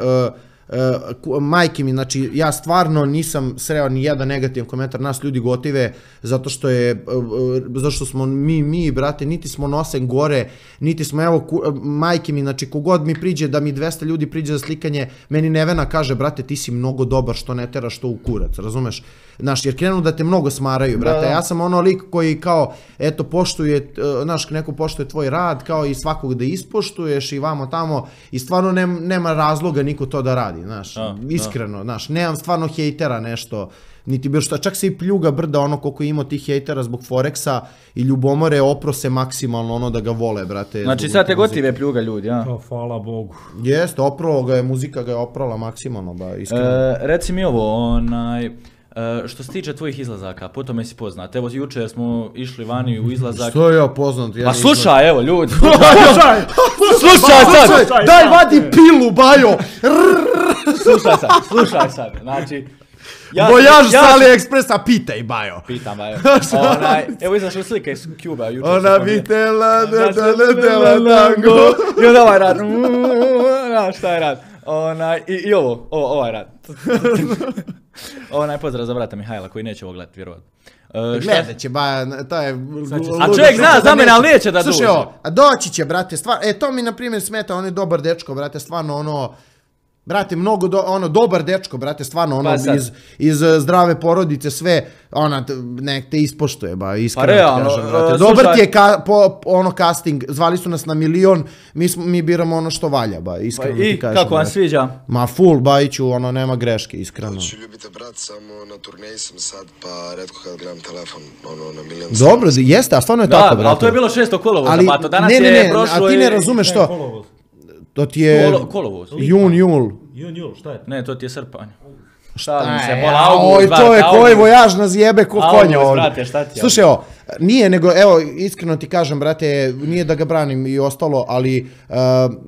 Uh, majke mi, znači ja stvarno nisam sreo ni jedan negativan komentar, nas ljudi gotive zato što je, uh, zato što smo mi, mi brate, niti smo nosen gore, niti smo, evo, ku, uh, majke mi, znači kogod mi priđe, da mi dvesta ljudi priđe za slikanje, meni Nevena kaže, brate, ti si mnogo dobar što ne teraš to u kurac, razumeš? Znaš, jer krenu da te mnogo smaraju, brate, da, da. Ja sam ono lik koji kao, eto, poštuje, uh, znaš, neko poštuje tvoj rad, kao i svakog da ispoštuješ i vamo tamo, i stvarno nema, nema razloga niko to da radi. Znaš, a, iskreno, a. Znaš, nemam stvarno hejtera nešto, niti bilo šta, čak se i pljuga brda ono koliko ima tih hejtera zbog Forexa i ljubomore oprose maksimalno ono da ga vole, brate. Znači sad te gotive pljuga ljudi, ja? To, hvala Bogu. Jeste, opravo ga je, muzika ga je oprala maksimalno, ba, iskreno. E, reci mi ovo, onaj, Uh, što se tiče tvojih izlazaka, po tome si poznat. Evo, jučer smo išli vani u izlazak. Što ja poznat? Ja Pa slušaj, evo, ljudi. Slušaj! Slušaj sad! Slušaj, Daj, sad. vadi pilu, Bajo! Slušaj sad, slušaj sad. Znači, ja, Vojaž ja, sa AliExpressa, pitaj, Bajo. Pitam, evo. Onaj, evo izašli slike iz Cuba jučer. Ona bi tela, da, da, da, tela, tango. I onda ovaj rad. Znaš šta je rad. Onaj, i, i ovo, ovo, ovaj rad. Onaj pozdrav za brata Mihajla koji neće ovo gledati, vjerovatno. Uh, Gledat će, ba, to je... A čovjek zna za mene, ali neće da Slušaj, dođe. ovo, a doći će, brate, stvarno, e, to mi, na primjer, smeta, on je dobar dečko, brate, stvarno, ono, brate, mnogo, do, ono, dobar dečko, brate, stvarno, ono, Pa iz, iz uh, zdrave porodice, sve, ona, t- nek te ispoštuje, ba, iskreno Pa ti realno, kažem, brate. uh, Dobar slušaj- ti je, ka, po, ono, casting, zvali su nas na milion, mi, smo, mi biramo ono što valja, ba, Pa iskreno i ti kažem. kako vam brate. sviđa? Ma, full, Bajiću, ono, nema greške, iskreno. Ću ljubite brat, samo na turneji sam sad, pa redko kad gledam telefon, ono, na milion... Dobro, jeste, a stvarno je Da, tako, brate. ali to je bilo šesto kolovoza, Ali, pa to danas ne, ne, je ne, prošlo a ti ne je- razumeš Ne, što, kolovoz. to ti je Kolo, kolovoz. jun, jul. Jun, jul, šta je to? Ne, to ti je srpanj. Šalim se, Aj, pola a, august, Oj, brate, čovjek, ovaj august. vojaž nas jebe ko August, konja ovdje. brate, šta ti je? Slušaj, evo, nije nego, evo, iskreno ti kažem, brate, nije da ga branim i ostalo, ali uh,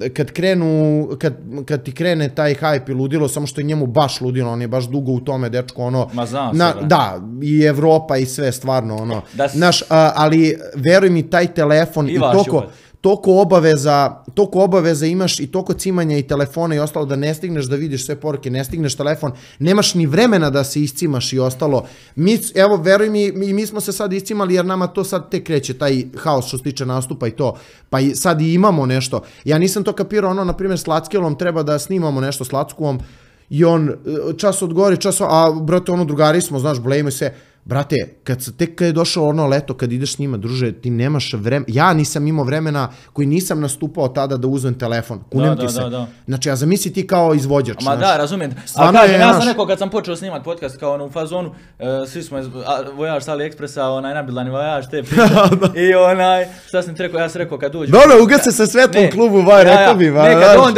kad krenu, kad, kad ti krene taj hype i ludilo, samo što je njemu baš ludilo, on je baš dugo u tome, dečko, ono, Ma znam se, na, brate. da, i Evropa i sve, stvarno, ono, Da s- znaš, uh, ali veruj mi, taj telefon i, I vaš toliko, ljubav. toliko obaveza, toliko obaveza imaš i toliko cimanja i telefona i ostalo da ne stigneš da vidiš sve poruke, ne stigneš telefon, nemaš ni vremena da se iscimaš i ostalo. Mi, evo, veruj mi, mi, mi smo se sad iscimali jer nama to sad tek kreće, taj haos što se tiče nastupa i to, pa i sad i imamo nešto. Ja nisam to kapirao, ono, na primjer, s Lackelom treba da snimamo nešto s Lackom i on čas odgovori, čas, a brate, ono, drugari smo, znaš, blejimo se. Brate, kad se, tek kad je došlo ono leto, kad ideš s njima, druže, ti nemaš vremena, ja nisam imao vremena koji nisam nastupao tada da uzmem telefon, kunem Da, ti da, se. da, da. Znači, a zamisli ti kao izvođač, Ma znaš. da, razumijem. A Stvarno kažem, je, ja sam znaš- rekao kad sam počeo snimat podcast kao ono u fazonu, uh, svi smo iz, a, vojaž sa AliExpressa, onaj nabildani vojaž, te priče. I onaj, šta sam ti rekao, ja sam rekao kad dođu... Dobro, ugase se svetlo u Ne, klubu, vaj, ja, ja, rekao bi, va, ne, kad znaš. on,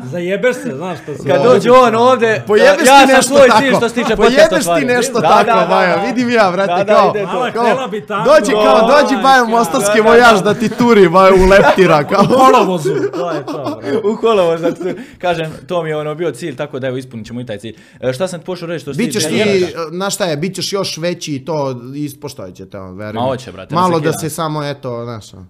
Zajebeš se, znaš što se... kad dođe on ovdje, Pojebeš ja ti sam nešto svoj tako. cilj što se tiče podcasta Pojebeš ti ostvario. nešto Da, tako, da, da, Vaja, da. vidim ja, brate, Da, da, kao, ide to. Mala kao, htjela bi tango. dođe kao, dođi Oj, Vaja kao. mostarski Da, da, vojaž da. da ti turi, Vaja, u leptira, kao. U kolovozu, to je to, brate. U kolovoz, znači, kažem, to mi je ono bio cilj, tako da evo ispunit ćemo i taj cilj. E, šta sam pošao reći što se Bićeš tiče- ti, znaš šta je, bit ćeš još veći i to ispoštovit će te, on, verujem. Ma hoće, brate, Malo ne da sekira. se samo, eto, znaš, ono.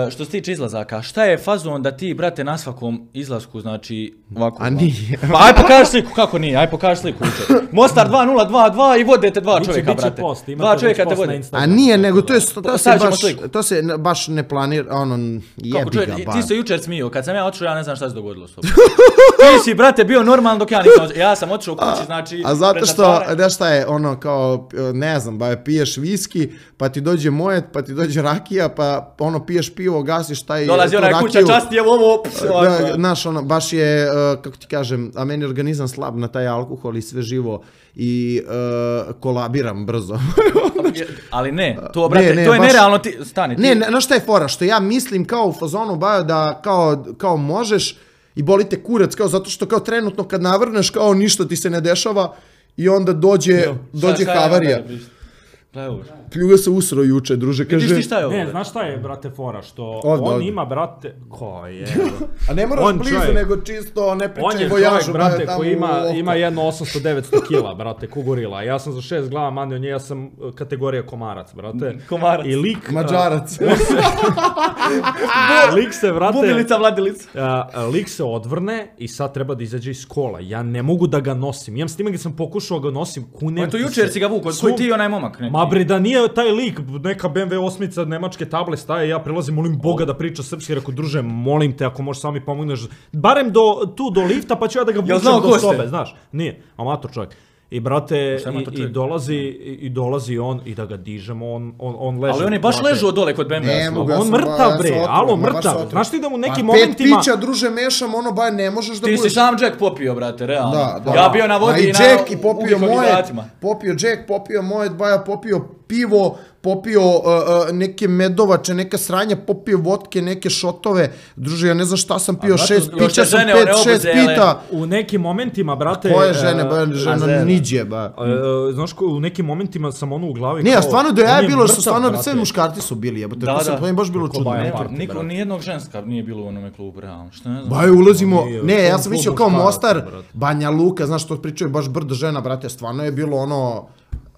E, što se tiče izlazaka, šta je fazon da ti, brate, na svakom izlasku, znači, ovako... A nije. Pa aj pokaži sliku, kako nije, aj pokaži sliku. uče. Mostar dva nula dva dva i vodete dva Biće- čovjeka, biće brate. post, imate Dva već čovjeka te post na vode. Instagramu. A nije, nego to je, to se stavit ćemo baš, sliku. to se ne- baš ne planira, ono, Kako jebi čovjek, ga, ba. ti se jučer smio, kad sam ja otišao, ja ne znam šta se dogodilo s tobom. Ti si, brate, bio normalan dok ja nisam otišao. Ja sam otišao kući, znači... A zato pred što, zatvaranje- znaš šta je, ono, kao, ne znam, ba, piješ viski, pa ti dođe mojet, pa ti dođe rakija, pa ono, piješ pivo, gasiš taj Dolazi tu onaj kuća, rakiju. časti je ovo, ps, ovako. Da, znaš, ono, baš je, uh, kako ti kažem, a meni je organizam slab na taj alkohol i sve živo i uh, kolabiram brzo. Ali ne, to, brate, Ne, ne, to je baš- nerealno, ti, stani, ti... Ne, ne, znaš šta je fora? Što ja mislim kao u fazonu, ba, da kao, kao možeš i boli te kurac, kao zato što kao trenutno kad navrneš, kao ništa ti se ne dešava i onda dođe, dođe Šta- šta je havarija. onda, vidiš? Gledaj ovo. Pljuga se usro juče, druže, kaže... Vidiš ti šta je ovo? Ne, bre? znaš šta je, brate, fora, što Ovdje, on ovdje. ima, brate, ko je, A ne moraš On blizu, čovjek- nego čisto ne on pričaj je vojažu, čovjek, brate, tamo koji u ima, oko. ima jedno osamsto devetsto kila, brate, kugorila. Ja sam za šest glava manje od nje, ja sam uh, kategorija komarac, brate. Komarac. I lik... Mađarac. uh, lik se, brate... Bubilica, vladilica. Uh, lik se odvrne i sad treba da izađe iz kola. Ja ne mogu da ga nosim. Imam snimak gdje sam pokušao ga nosim. Kunem On to ti jučer se. si ga vukao, Su- koji ti i onaj momak, ne? Ma bre, da nije taj lik, neka B M W osmica nemačke table staje, ja prilazim, molim Boga da priča srpski, rekao, druže, molim te, ako možeš sami pomogneš, barem do, tu do lifta, pa ću ja da ga vučem znao ko do ste? sobe, znaš. Nije, amator čovjek. I brate, Šta je amator i, i čovjek? dolazi, i, i dolazi on i da ga dižemo, on, on, on leže. Ali on je baš brate. ležao dole kod B M W. Ne mogu, ja On sam mrtav, ba- ja sam bre, otrovan, alo, ma baš mrtav. otrovan. Znaš ti da u nekim Pa momentima- pet pića, druže, mešam, ono, ba, ne možeš da Ti si budeš... sam Jack popio, brate, realno. Da, da. Ja bio na Ma vodi i i na Jack i popio moje, ugljikohidratima. popio Jack, popio moje, Baja popio pivo, popio uh, uh, neke medovače, neka sranja, popio vodke, neke šotove, druže, ja ne znam šta sam pio, šest pića sam, pet, šest pita. U nekim momentima, brate... Koje žene, ba, žena niđe, ba. Uh, znaš ko, u nekim momentima sam ono u glavi ne, kao... Ne, stvarno da ja je bilo, što stvarno brate. Sve muškarci su bili, jebote, da, to sam, da. to je baš bilo čudno. Niko, nijednog ženska nije bilo u onome klubu, realno, što ne znam. Ba, ulazimo, ne, ja sam mislio kao Mostar, Banja Luka, znaš što pričaju, baš brdo žena, brate, stvarno je bilo ono...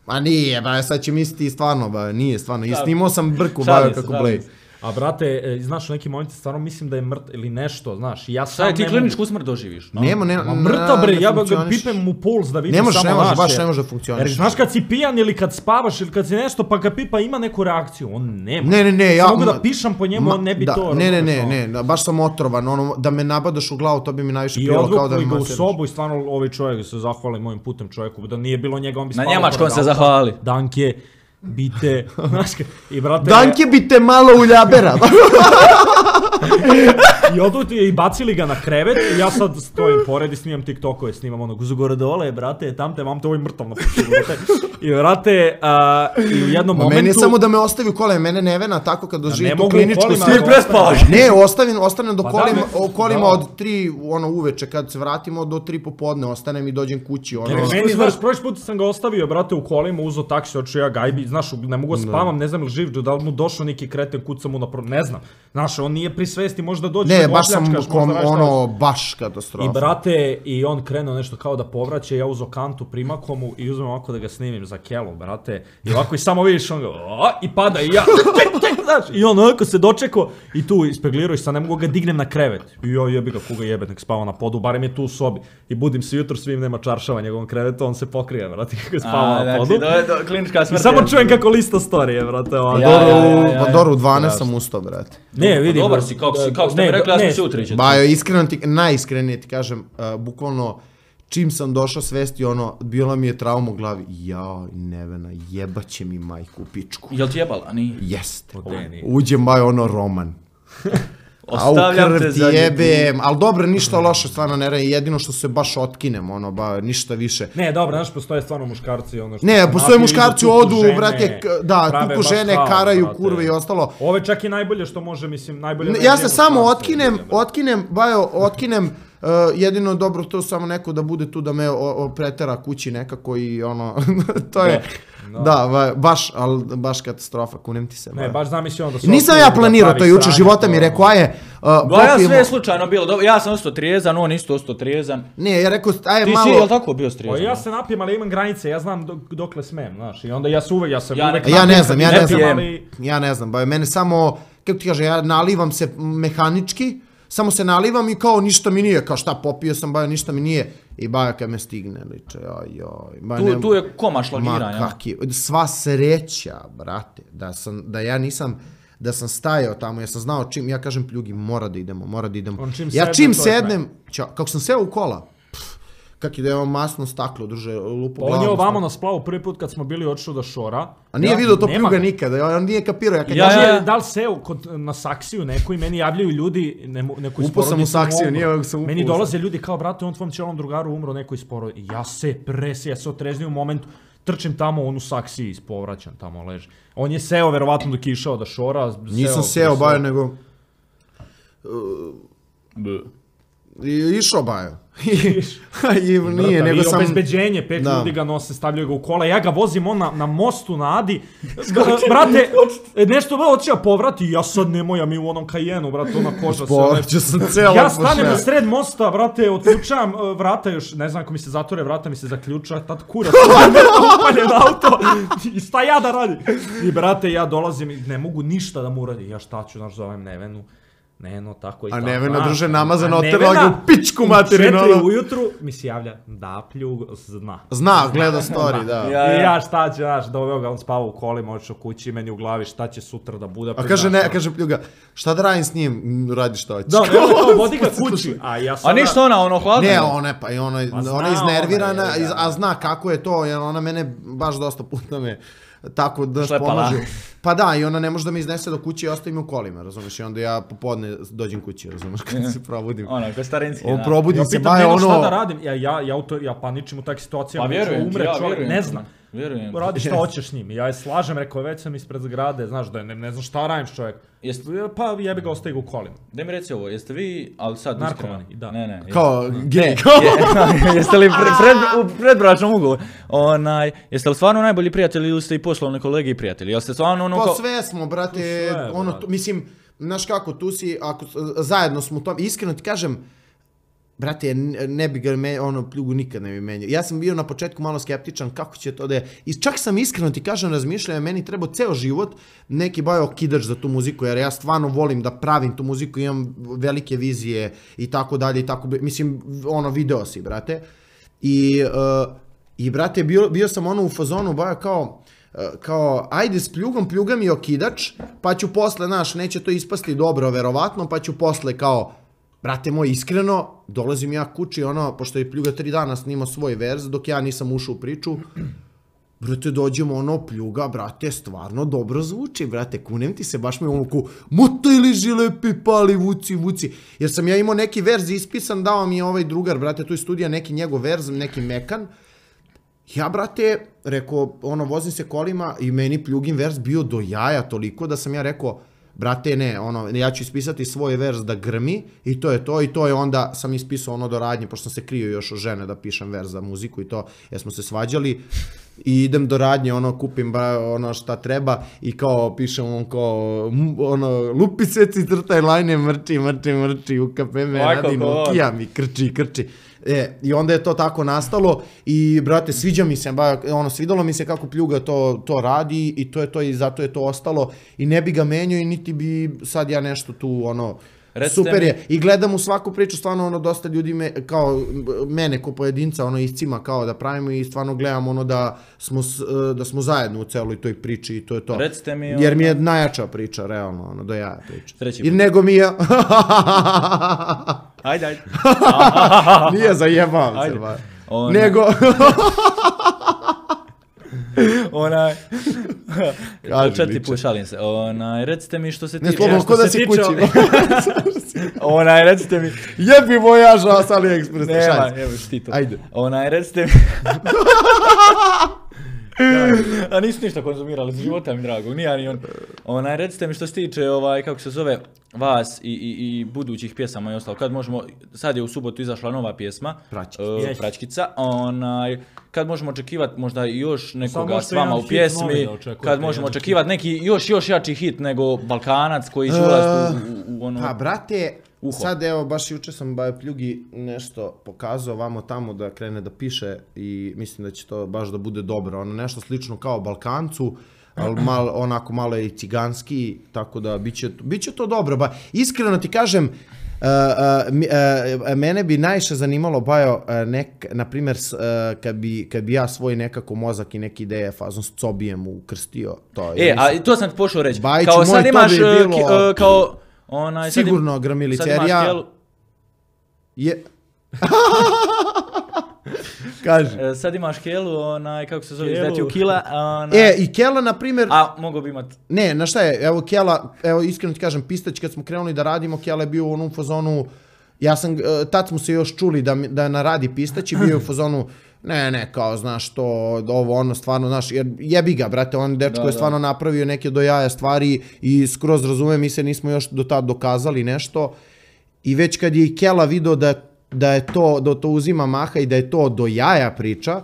A nije, ba, sad će misliti stvarno, ba, nije stvarno, i snimao sam brku, ba, kako blej. A brate, znaš, u nekim momentima stvarno mislim da je mrt ili nešto, znaš, ja sam Šta je, ti kliničku smrt doživiš? Nema, nema, ma mrtav bre, ja ga pipem mu puls da vidim samo naše. Ne može, ne može, baš ne može da funkcioniš. Jer znaš kad si pijan ili kad spavaš ili kad si nešto pa ga pipa ima neku reakciju, on nema. Ne, ne, ne, ja... mogu da pišam po njemu, on ne bi to... Ne, ne, ne, ne, baš sam otrovan, ono, da me nabadaš u glavu, to bi mi najviše prijelo kao da mi masiraš. I odvukli ga u sobu i stvarno ovaj čovjek se zahvali mojim putem čovjeku, da nije bilo njega, on bi spavao. Na njemačkom se zahvali. Danke. Bite, znaš, i brate... Danke bite malo uljabera. I odu ti i bacili ga na krevet i ja sad stojim pored i snimam TikTokove, snimam onog uzgore dole, brate, tam te, vam te ovaj mrtav napušio, brate. I brate, uh, i u jednom Ma momentu... Meni je samo da me ostavi u kolima, mene Nevena tako kad doživi tu kliničku kolima, sliku. prespavaš. Ne, ostavim, ostanem do Pa kolima, da, o kolima da. od tri ono uveče, kad se vratimo do tri popodne, ostanem i dođem kući, ono... Ne, meni, znaš, prošli put sam ga ostavio, brate, u kolima, uzo taksi, očeo ja gajbi, znaš, ne mogu da spavam, ne znam li živ, da li mu došao neki kreten, kuca mu na pro... ne znam. Znaš, on nije pri svesti, možda dođe Ne, da baš sam opljačkaš, kom, možda ono, baš katastrofa. I brate, i on krenuo nešto kao da povraća, ja uzo kantu primakomu i uzmem ovako da ga snimim za kelu, brate. I ovako i samo vidiš, on ga, o, i pada i ja, znaš, i on ovako se dočekao i tu ispeglirao i sad ne mogu ga dignem na krevet. I ja jebi ga, koga jebe, nek spava na podu, barem je tu u sobi. I budim se jutro, svim nema čaršava njegovom krevetu, on se pokrije, brate, kako je spava na podu. Klinička smrt. I samo čujem kako lista storije, brate. Pa dobro, u dvanaest sam ustao, brate. Ne, vidi. Dobar si, kako si, kako ste mi rekli, ja sam se utričati. Bajo, iskreno ti, najiskrenije ti kažem, bukvalno, čim sam došao svesti, ono, bila mi je trauma u glavi. Jao, Nevena, jebaće mi majku u pičku. Jel ti jebala, nije? Jest. Uđem, bajo, ono, Roman. Ostavljam te za jebem, ali dobro, ništa loše, stvarno ne radim, jedino što se baš otkinem, ono, ba, ništa više. Ne, dobro, znaš, postoje stvarno muškarci, ono što... Ne, postoje muškarci, odu, brate, da, tuku žene, karaju, kurve i ostalo. Ovo je čak i najbolje što može, mislim, najbolje... Ja se samo otkinem, otkinem, bajo, otkinem, jedino dobro to samo neko da bude tu da me pretera kući nekako i ono, to je... Da, baš, ali baš katastrofa, kunem ti se. Ne, baš zamisli onda... Nisam ja planirao to juče, života mi rekao, aje... Ja sve je slučajno bilo, ja sam ostao trijezan, on isto ostao trijezan. Ne, ja rekao, aje malo... Ti si, jel tako bio strijezan? Ja se napijem, ali imam granice, ja znam dokle smem, znaš, i onda ja se uvek, ja se uvek... Ja ne znam, ja ne znam, ja ne znam, ba, mene samo, kako ti kaže, ja nalivam se mehanički, samo se nalivam i kao ništa mi nije, kao šta popio sam, bajo, ništa mi nije. I baja kad me stigne, liče, joj, joj. Tu je koma šlagiranja. Ma kaki, sva sreća, brate, da sam, da ja nisam, da sam stajao tamo, ja sam znao čim, ja kažem pljugi, mora da idemo, mora da idemo. Ja čim sednem, kako sam seo u kola, kak je da imam masno staklo, druže, lupo glavom. On je ovamo na splavu prvi put kad smo bili odšao do šora. A nije vidio to pljuga nikada, on nije kapirao. Ja, ja, ja, ja da li seo na saksiju neko i meni javljaju ljudi, neko iz porodice. Upo sam u saksiju, nije sam upo. Meni dolaze ljudi kao, brate, on tvom ćelom drugaru umro, neko iz porodice. Ja se presi, ja se otrezni u momentu, trčim tamo, on u saksiji ispovraćam, tamo leži. On je seo, verovatno dok je išao da šora. Nisam seo, bajo, nego... Išao bajo. I nije, nego sam... I obezbeđenje, pet ljudi ga nose, stavljaju ga u kola, ja ga vozim on na mostu na Adi, brate, nešto veo otiša povrati, ja sad nemoj, ja mi u onom Kajenu, brate, ona koža se... Povrću sam cijela... Ja stanem na sred mosta, brate, otključavam vrata još, ne znam ako mi se zatvore vrata, mi se zaključa, tad kurac, upaljen auto, i šta ja da radim? I brate, ja dolazim i ne mogu ništa da mu uradi, ja šta ću, znaš, zovem Nevenu. Neno, tako i tako. A Nevena, druže, namazano oterala ga u pičku materinu. U četiri ujutru mi se javlja, da pljug zna. Zna, gleda story, da. I ja šta će, znaš, doveo ga, on spava u kolima, odšao kući, meni u glavi šta će sutra da bude. A kaže, ne, kaže pljuga, šta da radim s njim, radi što hoćeš. Da, evo kao, vodi ga kući. A ništa ona, ono hladno. Ne, ona je, pa i ona je iznervirana, a zna kako je to, jer ona mene baš dosta puta me... tako da pomažu. Pa da, i ona ne može da me iznese do kuće i ostavi me u kolima, razumiješ, i onda ja popodne dođem kući, razumiješ, kad se probudim. Ono, kao starinski, da. Probudim se, baje ono... Ja pitam šta da radim, ja paničim u takvih situacijama, umre čovjek, ne znam. Vjerujem. Radi šta hoćeš s njim. Ja je slažem, rekao, već sam ispred zgrade, znaš da je, ne, ne znam šta radim s čovjek. Jest... Pa jebi ga ostaje u kolima. Da mi reci ovo, jeste vi, ali sad narkomani, iskreno... da. Ne, ne. Kao jeste... gej, ne, kao... je, jeste li pre, pred, u predbračnom ugovoru? Onaj, jeste li stvarno najbolji prijatelji ili ste i poslovni kolege i prijatelji? Jel ste stvarno ono Pa kao... sve smo, brate, sve, ono, brate. mislim, znaš kako, tu si, ako zajedno smo u tom, iskreno ti kažem, brate, ne bi ga me, ono, pljugu nikad ne bi menjao. Ja sam bio na početku malo skeptičan kako će to da je. I čak sam iskreno ti kažem razmišljao, meni trebao ceo život neki bajo kidač za tu muziku, jer ja stvarno volim da pravim tu muziku, imam velike vizije i tako dalje i tako, mislim, ono, video si, brate. I, uh, i brate, bio, bio sam ono u fazonu bajo kao, kao, ajde s pljugom, pljuga mi okidač, pa ću posle, znaš, neće to ispasti dobro, verovatno, pa ću posle kao, brate moj, iskreno, dolazim ja kući, ono, pošto je pljuga tri dana snimao svoj verz, dok ja nisam ušao u priču, brate, dođemo, ono, pljuga, brate, stvarno dobro zvuči, brate, kunem ti se, baš me ono ko, motaj liži lepi, pali, vuci, vuci, jer sam ja imao neki verz ispisan, dao mi je ovaj drugar, brate, tu je studija, neki njegov verz, neki mekan, ja, brate, rekao, ono, vozim se kolima i meni pljugin verz bio do jaja toliko da sam ja rekao, brate, ne, ono, ja ću ispisati svoj verz da grmi i to je to i to je onda sam ispisao ono do radnje, pošto sam se krio još od žene da pišem verz za muziku i to, jer smo se svađali i idem do radnje, ono, kupim ono šta treba i kao pišem on kao, ono, lupi sveci, trtaj lajne, mrči, mrči, mrči, ukape me, radino, kija mi, krči, krči. E, i onda je to tako nastalo i, brate, sviđa mi se, ba, ono, svidalo mi se kako pljuga to, to radi i to je to i zato je to ostalo i ne bi ga menjao i niti bi sad ja nešto tu, ono, recite super mi... je. I gledam u svaku priču, stvarno, ono, dosta ljudi me, kao, mene ko pojedinca, ono, iscima kao da pravimo i stvarno gledam, ono, da smo, da smo zajedno u celoj toj priči i to je to. Recite mi, ono... Jer mi je najjača priča, realno, ono, do jaja priča. Treći I nego mi je... Ajde, ajde. Nije, zajebavam se, ba. Ona... Nego... Onaj... Kaži, Četiri put šalim se. Onaj, recite mi što se tiče... Ne, slobodno, ko da si kući. Onaj, recite mi... Jebi vojaža s AliExpress. Nema, evo ti to. Ajde. Onaj, recite mi... A nisu ništa konzumirali, za života mi drago, nije ni on. Onaj, recite mi što se tiče, ovaj, kako se zove, vas i, i, i budućih pjesama i ostalo. Kad možemo, sad je u subotu izašla nova pjesma, Praćkica. Uh, Praćkica, onaj, kad možemo očekivati možda još nekoga s vama u pjesmi, kad možemo očekivati neki još, još jači hit nego Balkanac koji će ulaziti u, u, u ono... Pa, brate, uho. Sad evo, baš juče sam Bajo Pljugi nešto pokazao vamo tamo da krene da piše i mislim da će to baš da bude dobro. Ono nešto slično kao Balkancu, ali mal, onako malo je i ciganski, tako da biće, biće to dobro. Ba, iskreno ti kažem, uh, uh, uh, mene bi najviše zanimalo, Bajo, uh, nek, na primjer, uh, kad, bi, kad bi ja svoj nekako mozak i neke ideje fazom s Cobijem ukrstio. To, e, a to sam ti pošao reći. Bajić, kao sad imaš, bi bilo... ki, uh, kao... Onaj, sigurno im, Gramilica, jer ja... Kjelu... Je... Kaži. E, sad imaš Kelu, onaj, kako se zove, izdati u Kila. Onaj... E, i Kela, na primjer... A, mogo bi imat... Ne, na šta je, evo Kela, evo iskreno ti kažem, Pistać, kad smo krenuli da radimo, Kela je bio u onom fazonu, ja sam, tad smo se još čuli da, da naradi Pistać i bio je u fazonu, ne, ne, kao, znaš, to, ovo, ono, stvarno, znaš, jer jebi ga, brate, on dečko da, je stvarno da. napravio neke do jaja stvari i skroz razume, mi se nismo još do tad dokazali nešto i već kad je i Kela video da, da je to, da to uzima maha i da je to do jaja priča,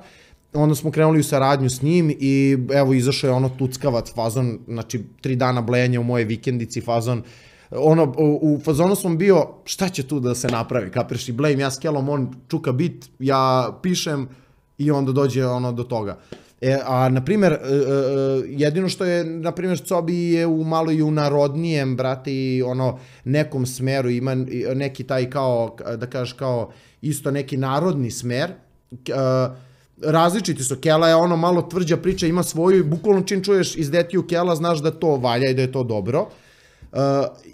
onda smo krenuli u saradnju s njim i evo izašao je ono tuckavac fazon, znači tri dana blejanja u moje vikendici fazon, ono, u, u fazonu sam bio, šta će tu da se napravi, kapiraš i blejim ja s Kelom, on čuka bit, ja pišem i onda dođe ono do toga. E, a, na primjer, jedino što je, na primjer, Cobi je u malo i u narodnijem, brate, i ono, nekom smeru, ima neki taj kao, da kažeš kao, isto neki narodni smer, različiti su, Kela je ono malo tvrđa priča, ima svoju i bukvalno čim čuješ iz Detiju Kela, znaš da to valja i da je to dobro. Uh,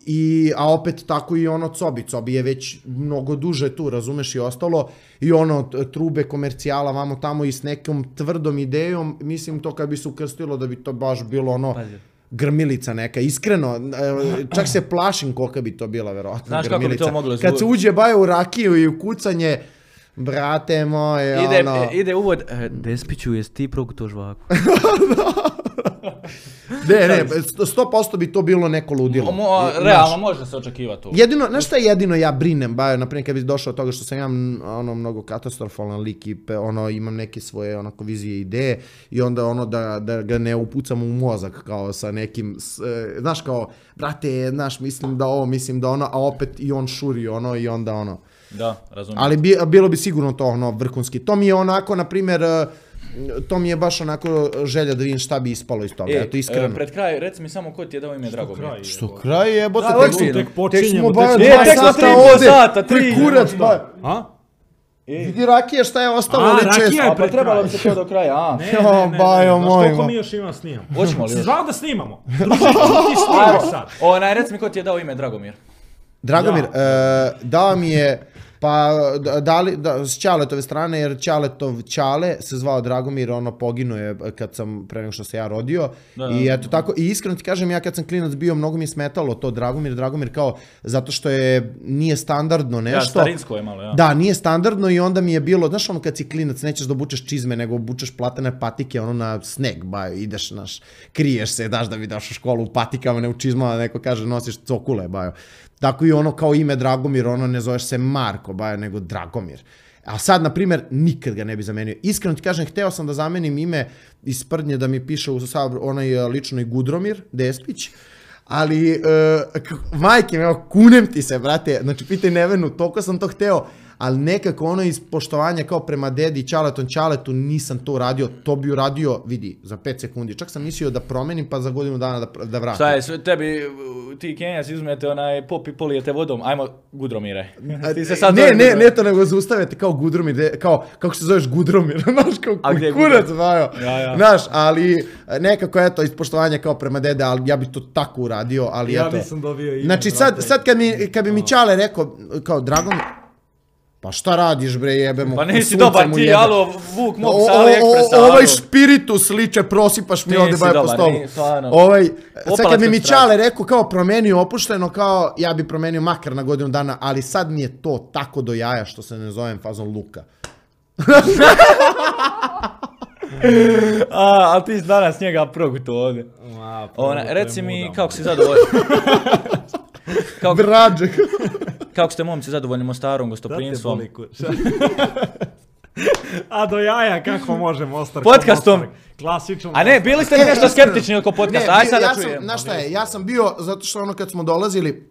i, a opet tako i ono Cobi, Cobi je već mnogo duže tu, razumeš i ostalo, i ono trube komercijala vamo tamo i s nekom tvrdom idejom, mislim to kad bi se ukrstilo da bi to baš bilo ono grmilica neka, iskreno, čak se plašim kolika bi to bila verovatno. Znaš grmilica. kako bi to moglo kad se uđe Bajo u rakiju i u kucanje, brate moje, Ide, ono... ide uvod, e, Despiću, jesi ti progutao žvaku? Ne, ne, sto posto bi to bilo neko ludilo. Mo, realno može se očekivati to. Jedino, znaš šta jedino ja brinem, ba, naprimjer kad bi došao od toga što sam ja ono mnogo katastrofalan lik i pe, ono imam neke svoje onako vizije i ideje i onda ono da, da ga ne upucam u mozak kao sa nekim, s, e, znaš kao, brate, znaš, mislim da ovo, mislim da ono, a opet i on šuri ono i onda ono. Da, razumijem. Ali bi, bilo bi sigurno to ono vrhunski. To mi je onako, na primjer, to mi je baš onako želja da vidim šta bi ispalo iz toga, E, eto iskreno. e, pred kraj, reci mi samo ko ti je dao ime Dragomir. Što kraj je, bote, Da, tek, ozbiljno. tek, Tek počinjemo, smo tek baš smo- E, dva tek smo sata tri i pol ovde. sata, tri. Koji kurac, ba. A? Vidi rakije šta je ostalo A, ovdje rakija često. je A pa pred trebalo kraj. bi se to do kraja, a? Ne, Jo, ne, ne, ne, bajo znaš moj, koliko ma. mi još ima snimamo? Hoćemo li Si još? znao da snimamo? Druže, ti snimi sad. Onaj, reci mi ko ti je dao ime Dragomir. Dragomir, Ja. e, dao mi je, pa da- dali, da, s Ćaletove strane, jer Ćaletov Ćale se zvao Dragomir, ono poginuo je kad sam, pre nego što se ja rodio. Da, I da, eto tako, i iskreno ti kažem, ja kad sam klinac bio, mnogo mi je smetalo to Dragomir, Dragomir kao, zato što je, nije standardno Ja, nešto. starinsko je malo, ja. Da, nije standardno i onda mi je bilo, znaš ono kad si klinac, nećeš da obučeš čizme, nego obučeš platane patike, ono na sneg, bajo, ideš, naš, kriješ se, daš da bi daš u školu u patikama, ne u čizmama, neko kaže nosiš cokule, bajo. Tako i ono kao ime Dragomir, ono ne zoveš se Marko, bajo, nego Dragomir. A sad, na primjer, nikad ga ne bi zamenio. Iskreno ti kažem, hteo sam da zamenim ime iz sprdnje da mi piše u sabor, onaj e, ličnoj Gudromir Despić, ali, e, k- majke, evo, kunem ti se, brate, znači, pitaj Nevenu, toliko sam to hteo, ali nekako ono iz poštovanja kao prema dedi Ćaletom Ćaletu nisam to uradio, to bi uradio, vidi, za pet sekundi. Čak sam mislio da promenim pa za godinu dana da, da vratim. Šta je, sve tebi, ti Kenjac izumete onaj pop i polijete vodom, ajmo Gudromire. Ti se sad ne, zoveš ne, Gudromir. ne to nego zaustavite kao Gudromir, de- kao, kako se zoveš Gudromir, znaš, kao A gdje je kurac, Gudromir? bajo. Ja, ja. Znaš, ali nekako eto, iz poštovanja kao prema dede, ali ja bi to tako uradio, ali Ja eto. nisam dobio ime, Znači sad, brate. sad kad, mi, kad bi mi Ćale rekao, kao Dragon, pa šta radiš bre, jebemo, Pa nisi sunce dobar mu ti, jebe. alo, Vuk mog O- sa o- AliExpressa, o- Ovaj alo. špiritus liče, prosipaš mi Ti ovde nisi baje po dobar, stolu. ni- stvarno. Ovaj, sad Opalac kad bi mi od strane. Ćale rekao kao promeni opušteno, kao ja bi promenio makar na godinu dana, ali sad mi je to tako do jaja što se ne zovem fazon Luka. A, ali ti si danas njega proguto ovdje. Ma, Ona, prvo, to je reci mi muda, kako si zadovoljan. Kako, Vrađek. kako ste momci zadovoljni Mostarom, Da te gostoprinstvom? boli kur- A do jaja kako može Mostar? Podcastom. Mostar, Klasično. A ne, bili ste nešto skeptični oko podcasta, aj bio- sada ja sam, čujem. znaš šta je, ja sam bio, zato što ono kad smo dolazili,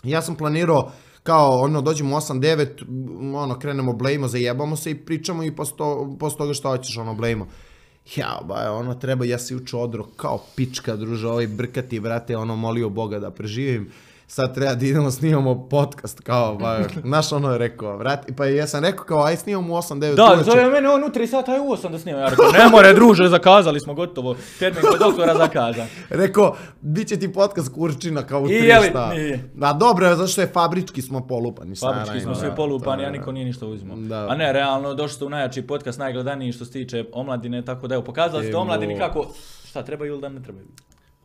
ja sam planirao kao ono dođemo u osam devet, ono krenemo blejimo, zajebamo se i pričamo i posle, to, posle toga što hoćeš ono blejimo. Ja, ba, ono treba, ja se juče odro kao pička, druže, ovaj brkati, brate, ono molio Boga da preživim. Sad treba da idemo snimamo podcast, kao, ba, znaš ono je rekao, brate, pa ja sam rekao kao, aj snimamo u osam devet Da, uveče. zove mene on u tri sata, aj u osam da snimam. Ja rekao, ne more druže, zakazali smo gotovo. Termin kod doktora zakazan. Rekao, bit će ti podcast kurčina kao u I tri je li? šta. Nije. Da, dobro je, zato što je fabrički smo polupani. Fabrički stara, smo da, svi da, polupani, da, a da. niko nije ništa uzimao. Da. A ne, realno, došli ste u najjači podcast, najgledaniji što se tiče omladine, tako da evo, pokazali ste Evo. omladini kako, šta trebaju ili da ne trebaju.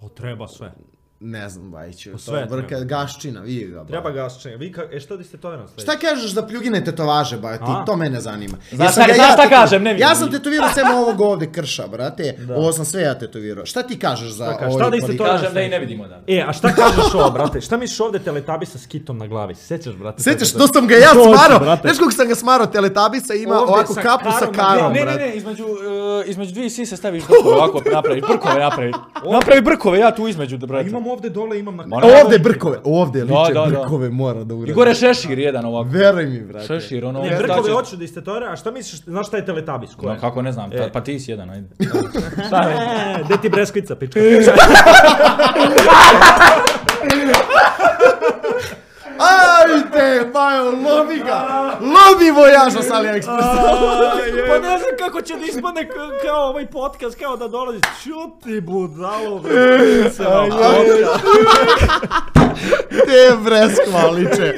O, treba sve. Ne znam, Bajiću, to sve vrka treba. gaščina, vidi ga. ba. Treba gasčenje. Vi ka... E što diste to jedno Šta kažeš za pljugine tetovaže, ba, ti, A? to mene zanima. Znaš Jesam šta- ga znaš šta teto- kažem, ne vidim. Ja sam tetovirao sem ovog ovde krša, brate. Ovo sam sve ja tetovirao. Šta ti kažeš za Šta kažeš? ovaj Šta da iste kvalitet? to- Kažem da i ne vidimo da. E, a šta kažeš ovo, brate? Šta misliš ovde Teletubbies sa kitom na glavi? Sećaš, brate? Sećaš, to to sam ga ja To hoću, smarao. brate. Znaš kako sam ga smarao, Teletabisa ima Ovde ovako sa kapu sa karom na karom, glavi. Ne, ne, brate. ne, između, uh, između dvije sise staviš brkove, ovako napraviš, brkove napraviš. Napravi brkove, ja tu između, da brate. Imam ovde dole, imam na... Ma ne. Ovde brkove, ovde Da, liče da, da. brkove mora da I uradim. gore šešir jedan ovako. Veruj mi, brate. Šešir, ono... Ne, šta brkove ćeš- hoću da istetovira, a šta misliš, znaš šta je Teletubbies? Ko No, je? kako ne znam, E. pa ti si jedan, ajde. Šta je? E, gde ti breskvica, pička? Ajde, Bajo, lovi ga! Lovi vojaža sa AliExpressa! Pa ne znam kako će da ispadne k- kao ovaj podcast, kao da dolazi. Čuti budalo, bre. Te breskva liče.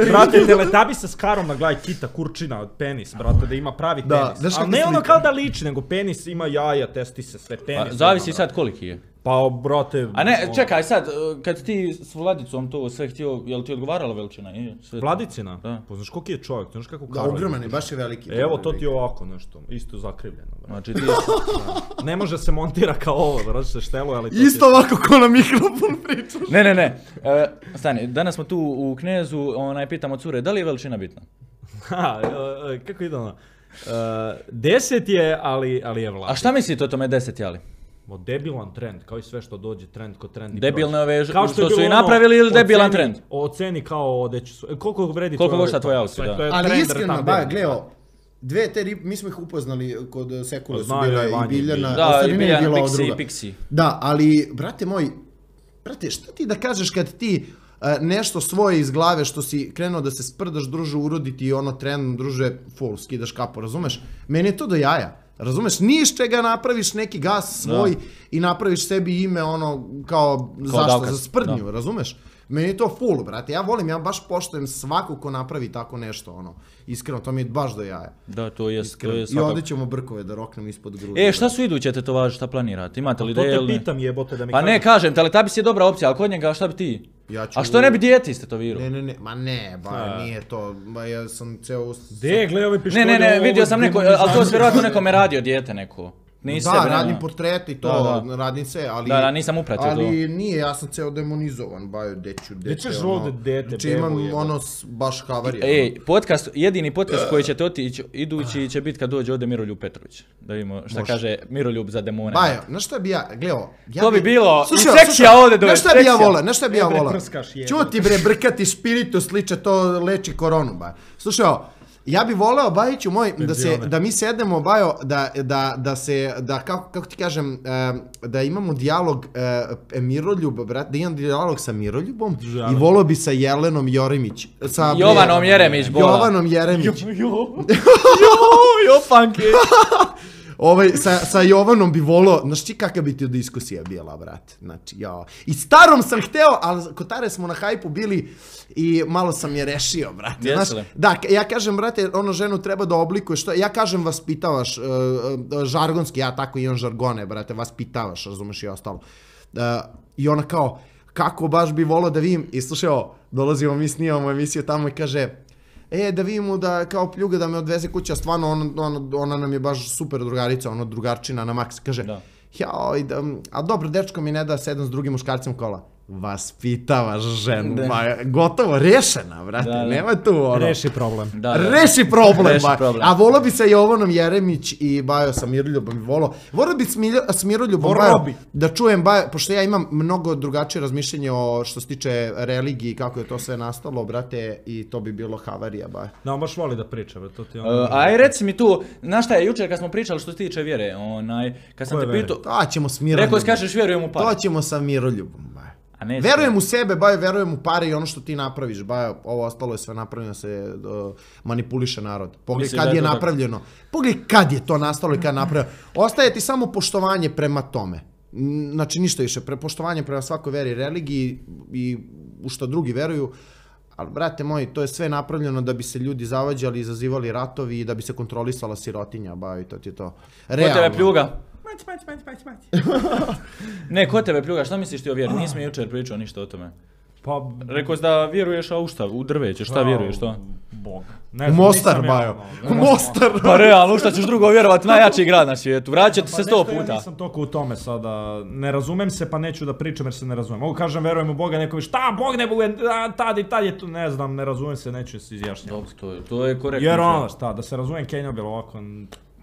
Brate, Teletubbies s karom na glavi kita, kurčina od penis, brate, da ima pravi Da, penis. znaš Ali kako ne ono slika? kao da liči, nego penis ima jaja, testi se, sve Pa, penis. zavisi ima, sad koliki je. Pa, brate... A ne, čekaj sad, kad ti s Vladicom to sve htio, je li ti odgovarala veličina? Vladicina? Da. Pa znaš koliki je čovjek, znaš kako Da, karva. ogroman je, baš je veliki. Evo, to ti je ovako nešto, isto zakrivljeno. Znači ti... Ne može se montira kao ovo, da se šteluje, ali to Isto ovako ko na mikrofon pričaš. Ne, ne, ne. E, stani, danas smo tu u Knezu, onaj, pitamo cure, da li je veličina bitna? Ha, e, kako ide ono? Uh, deset je, ali, ali je vlada. A šta mislite o tome deset jali? O, debilan trend, kao i sve što dođe trend ko trend. Debilne ove kao što, je su bilo i ono, napravili ili debilan oceni- trend? Oceni kao odeći su. E, koliko vredi Koliko tvoj košta auto? tvoj auto, Sve, da. to je Ali trend iskreno, retabilni. ba, gleo, dve te rip, mi smo ih upoznali kod Sekule, su Znaju, bile Vanja i i Biljana, Biljana. Da, ostali i nije Biljana, bila ova Pixi druga. i Pixi. Da, ali, brate moj, brate, šta ti da kažeš kad ti uh, nešto svoje iz glave što si krenuo da se sprdaš, druže, uroditi i ono trendom, druže, full, skidaš kapu, razumeš? Meni je to do jaja. Razumeš, ni iz čega napraviš neki gas svoj Da. i napraviš sebi ime ono kao, zašto, davkaz, za sprdnju, da. razumeš? Meni je to full, brate, ja volim, ja baš poštujem svakog ko napravi tako nešto, ono, iskreno, to mi je baš do jaja. Da, to je, to Iskreno. je I svakako. ovdje ćemo brkove da roknem ispod grudi. E, šta su iduće tetovaže, šta planirate? Imate li To ideje te ili ne? pitam jebote da mi Pa ne, kažeš. kažem, Teletubbies je dobra opcija, ali kod njega šta bi ti? Ja ću- A što ne bi dijete istetovirao? Ne, ne, ne, ma ne, ba, A. nije to, ba, ja sam ceo... De, gle ove Ne, pištolje. ne, ne, ovo vidio sam neko, demonizacija. ali to je vjerojatno nekome radio dijete neko. Nisi Da, sebe, ne, radim ne. portrete i to, Da, da. radim sve, ali... Da, da, nisam upratio Ali nije, ja sam ceo demonizovan, baju, deću, dete, ćeš ono... ovdje dete, Znači bebu imam jebote. ono, s- baš havarija. Ej, podcast, jedini podcast koji ćete otići idući će biti kad dođe ovdje Miroljub Petrović. Da vidimo šta Može. kaže Miroljub za demone. Bajo, znaš šta bi ja, gleo... Ja To bi bilo, Slušaj, i sekcija slušaj, ovdje dođe, Znaš šta bi ja sekcija. vola, znaš šta bi ja E, bre, vola? prskaš, jebe. Čuti bre, brkati spiritus, liče, to leči koronu, ba. Slušaj, ovo, ja bi voleo, Bajiću moj, da, se, Penzione. da mi sednemo, Bajo, da, da, da se, da, kako, kako ti kažem, em, da imamo dijalog e, Miroljub, brat, da imam dijalog sa Miroljubom i voleo bi sa Jelenom Joremić. Sa, Jovanom bre, Jeremić, bola. Jovanom Jeremić. Jo, jo, panke. Ovaj, sa, sa Jovanom bi volao, znaš ti kakva bi ti diskusija bila, brate, znači, ja. I starom sam hteo, ali kod Tare smo na hajpu bili i malo sam je rešio, brate, Jesi znaš. li? Da, k- ja kažem, brate, ono ženu treba da oblikuješ, što, ja kažem vaspitavaš, uh, uh, žargonski, ja tako imam žargone, brate, vaspitavaš, razumeš i ostalo. Uh, I ona kao, kako baš bi volao da vidim, i slušaj ovo, dolazimo, mi snimamo emisiju tamo i kaže, e, da vidimo da kao pljuga da me odveze kuća, stvarno on, on, ona nam je baš super drugarica, ono drugarčina na maks, kaže, Da. jao, da, a dobro, dečko mi ne da sedam s drugim muškarcem u kola. Vaspitavaš ženu, Da. ba, gotovo, rešena, brate, Da, da. nema tu ono. Reši problem. Da, da. Reši problem, Reši ba. problem. A volao bi sa Jovanom Jeremić i Bajo sa Miroljubom i volao. Volao bi s, Miljo, s Miroljubom, Volao Bajo, bi. da čujem Bajo, pošto ja imam mnogo drugačije razmišljenje o što se tiče religiji i kako je to sve nastalo, brate, i to bi bilo havarija, Bajo. Da, on baš voli da priča, bre, to ti ono... Uh, aj reci mi tu, znaš šta je, jučer kad smo pričali što se tiče vjere, onaj, kad sam Koje te vjere? pitao, To ćemo s Miroljubom. rekao si kažeš vjerujem u pare. To ćemo sa Miroljubom, Bajo. A neće. Verujem u sebe, Bajo, verujem u pare i ono što ti napraviš, Bajo, ovo ostalo je sve napravljeno da se uh, manipuliše narod. Pogledaj Misliš kad da je je to tako? napravljeno. Pogledaj kad je to nastalo i kad je napravljeno. Ostaje ti samo poštovanje prema tome. N- Znači ništa više, pre, poštovanje prema svakoj veri i religiji i u što drugi veruju. Ali, brate moji, to je sve napravljeno da bi se ljudi zavađali, izazivali ratovi i da bi se kontrolisala sirotinja, Bajo, i to ti je to. Ko tebe Realno. pljuga? Ne, ko tebe pljuga, šta misliš ti o vjeri? Nisi mi jučer pričao ništa o tome. Pa... Rekao si da vjeruješ, a u šta? U drveće, šta vjeruješ, što? Bog. Ne U znam, Mostar, nisam ja, Bajo. ono, U Mostar. Pa realno, u šta ćeš drugo vjerovati, najjači grad na svijetu, vraćate se Pa sto nešto ja puta. nisam toliko u tome sada, ne razumem se pa neću da pričam jer se ne razumem. Mogu kažem verujem u Boga, neko mi šta Bog ne bude, a, tad i tad je tu, ne znam, ne razumem se, neću se izjašnjati. Dobro, to je, to je korektno. Jer ono, šta, da se razumem Kenja bilo ovako,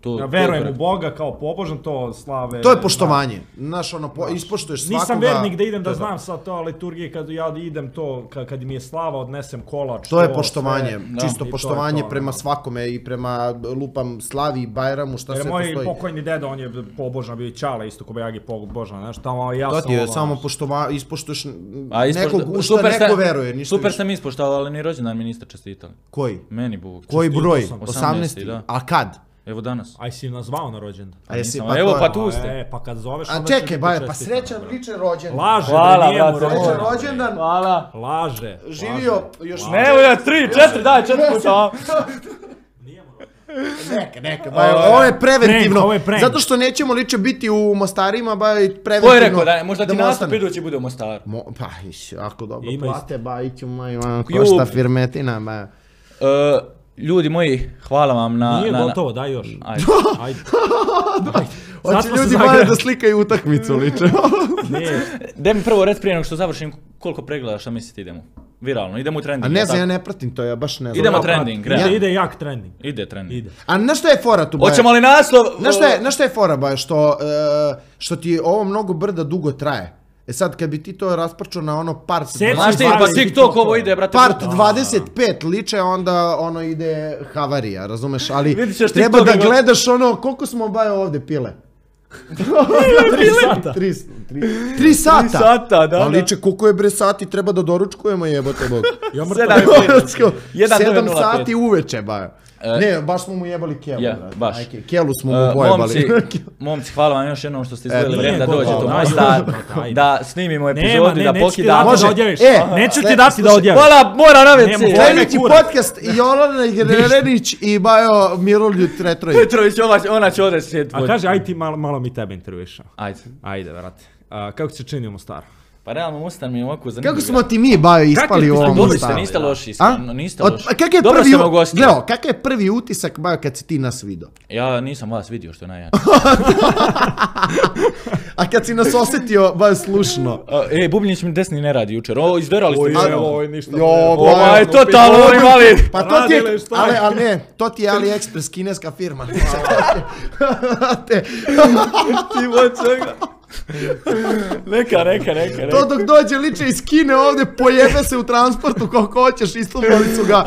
To- ja to je verujem u korektno. Boga kao pobožan, to slave. To je poštovanje. Znaš, ono, po, ispoštuješ svakoga. Nisam vernik da idem to da je to. znam sad to liturgije kad ja idem to, kad, kad mi je slava odnesem kolač. To je sve. poštovanje, Da. čisto I to je poštovanje to, prema ono. svakome i prema lupam slavi i Bajramu, šta Jer sve moj postoji. pokojni deda, on je pobožan, bio i Ćale isto ko Bejagi pobožan, znaš, tamo ja To sam ti je ovo, samo znaš. poštova, ispoštuješ A ispošta- nekog, u šta super neko ste- veruje, ništa Super više. ste mi ispoštovali, ni rođendan mi niste čestitali. Koji? Meni Bog. Koji čestitao broj? sam. osamnaesti? da. A kad? Evo danas. Aj si nas zvao na rođendan. A jesi, Nisam, pa evo to je- pa tu ste. E, pa kad zoveš A onda će čekaj, biti Baja, pa čestitam, srećan brate. ličan rođendan. Laže, Hvala, bre, nije mu brate, rođendan. Srećan rođendan. Hvala. Laže. Živio laže. još... Ne, evo ja, tri, četiri, daj, četiri puta. Neka, neka, ba, ovo je preventivno, Prank, ovo je prank. zato što nećemo liče biti u Mostarima, ba, i preventivno. Ko je rekao da možda ti mu nastup ostane. idući bude u Mostaru? Mo, pa, iš, ako dobro Ima plate, ba, iću moj, man, Ju. košta firmetina, ba. E, ljudi moji, hvala vam na... Nije na, na- gotovo, daj još. Ajde. Ajde. Hoće smo se ljudi zagrali. baje da slikaju utakmicu, liče. Nije. Daj mi prvo reci prije nego što završim koliko pregleda, šta mislite idemo? Viralno, idemo u trending. A ne jel znam, ja tako? ne pratim to, ja baš ne znam. Idemo Ja trending, pratim. realno. Ide, ide jak trending. Ide trending. Ide. A na šta je fora tu, baje? Hoćemo li naslov? Znaš šta je, znaš šta je fora, baje, što, e, što ti ovo mnogo brda dugo traje. E sad, kad bi ti to rasprčao na ono part... Seci Znaš ti, pa dvadeset TikTok ovo ide, brate. Part puta. dvadeset pet liče, onda ono ide havarija, razumeš? Ali Vidit ćeš treba TikTok da nego- gledaš ono, koliko smo baje ovdje pile? Tri sata. Tri, tri, tri sata. Tri sata, da, Pa da. liče, koliko je bre sati, treba da doručkujemo, jebote bog. Ja mrtav. Sedam i pet. Jedan Sedam devet nula pet. sati uveče, baje. E, Ne, baš smo mu jebali kelu, Ja, brate. baš. Ajke, kelu smo mu Uh, bojebali. momci, momci, hvala vam još jednom što ste izdvojili E, vrijeme da nije dođete u gotovo, Mostar, ajde, ajde. da snimimo Nema, epizodu i ne, da neću ti pokidamo. dati Može. da odjaviš. E, Neću sve- ti dati da slušaj, odjaviš. Hvala, mora na Nema, veci. hvala. Sljedeći kurac. podcast Jolana Jerenić i Bajo Miroljub Retrović. Petrović, ova, ona će ovdje sjeti. A kaže, aj ti malo, malo mi tebe intervjuša. Ajde. Ajde, vrati. A, kako se čini u Mostaru? Pa realno Mostar mi je ovako zanimljiv. Kako smo ti mi, Bajo, ispali ti u se ovom Dobri ste, Mostaru? niste loši, A? iskreno, niste Od- loši. a kak je Dobro prvi, ste me u- ugostili. Gleo, kakav je prvi utisak, Bajo, kad si ti nas vidio? Ja nisam vas vidio, što je najjače. A kad si nas osjetio, Bajo, slušno. A, E, Bubnjić mi desni ne radi jučer. O, izderali ste mi. je, sve. ovo je ništa. Jo, Ovo je Bajo, totalno ovo- invalid. Pa to ti je, Radile, šta je? ali, ali ne, to ti je AliExpress, kineska firma. Te- Ti vod čega. Neka, neka, neka, neka. To dok dođe liče iz Kine ovdje, pojebe se u transportu kako hoćeš, istumbali su ga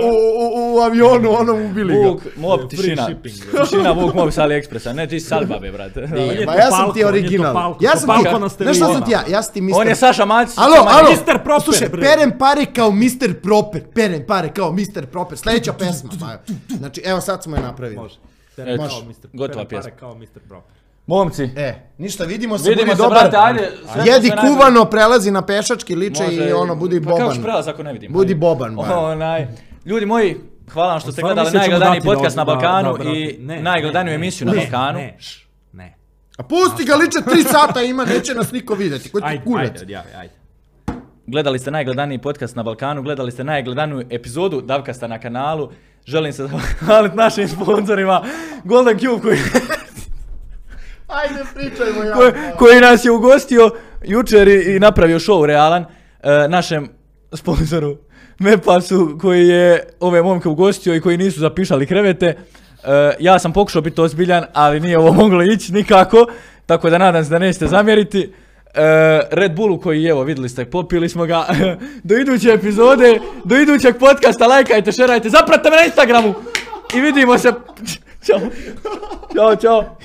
u, u, u, u avionu, onom ubili ga. Vuk, mob, Free tišina. shipping. Tišina, Vuk, mob sa AliExpressa. Ne, ti si Salbabe, brate. je Ma to ja sam Palko, ti on je to original. Palko, Ja to sam Palko ti, na znaš šta sam steroidima. ti ja? Ja sam ti mister... On je Saša Macić. Alo, Saša alo, Macić. mister Proper, slušaj, bre. perem pare kao mister Proper, perem pare kao mister Proper, sljedeća pesma, Bajo. Znači, evo sad smo je napravili. Može. Eto, Kao mister gotova Pere pjesma. pare kao mister Proper. Momci, E, ništa, vidimo se, vidimo budi se, dobar. brate, ajde. sve Jedi sve najbolje. kuvano, prelazi na pešački, liče Može- i ono, budi Pa kako ću boban. prelaz ako ne vidim? Budi Ajde. boban, Bajo. Onaj. Ljudi moji, hvala vam što ste Stvarno gledali mislim da ćemo najgledaniji dati da podcast na od- da- Balkanu da, brate. i Ne, najgledaniju ne, emisiju ne, na ne, Balkanu. Ne, š, ne. A pusti ga, liče tri sata ima, neće nas niko vidjeti, koji ti Ajde, kurac. ajde, odjavi, ajde. Gledali ste najgledaniji podcast na Balkanu, gledali ste najgledaniju epizodu Davkasta na kanalu. Želim se zahvaliti našim sponzorima Golden Cube koji, Ajde, pričajmo ja. koji, koji nas je ugostio jučer i, i napravio show realan. E, našem sponzoru Mepasu koji je ove momke ugostio i koji nisu zapišali krevete. E, ja sam pokušao biti ozbiljan, ali nije ovo moglo ići nikako, tako da nadam se da nećete zamjeriti. E, Red Bullu koji, evo, vidjeli ste, popili smo ga. Do iduće epizode, do idućeg podcasta, lajkajte, šerajte, zapratite me na Instagramu i vidimo se. Ćao. Ćao, čao.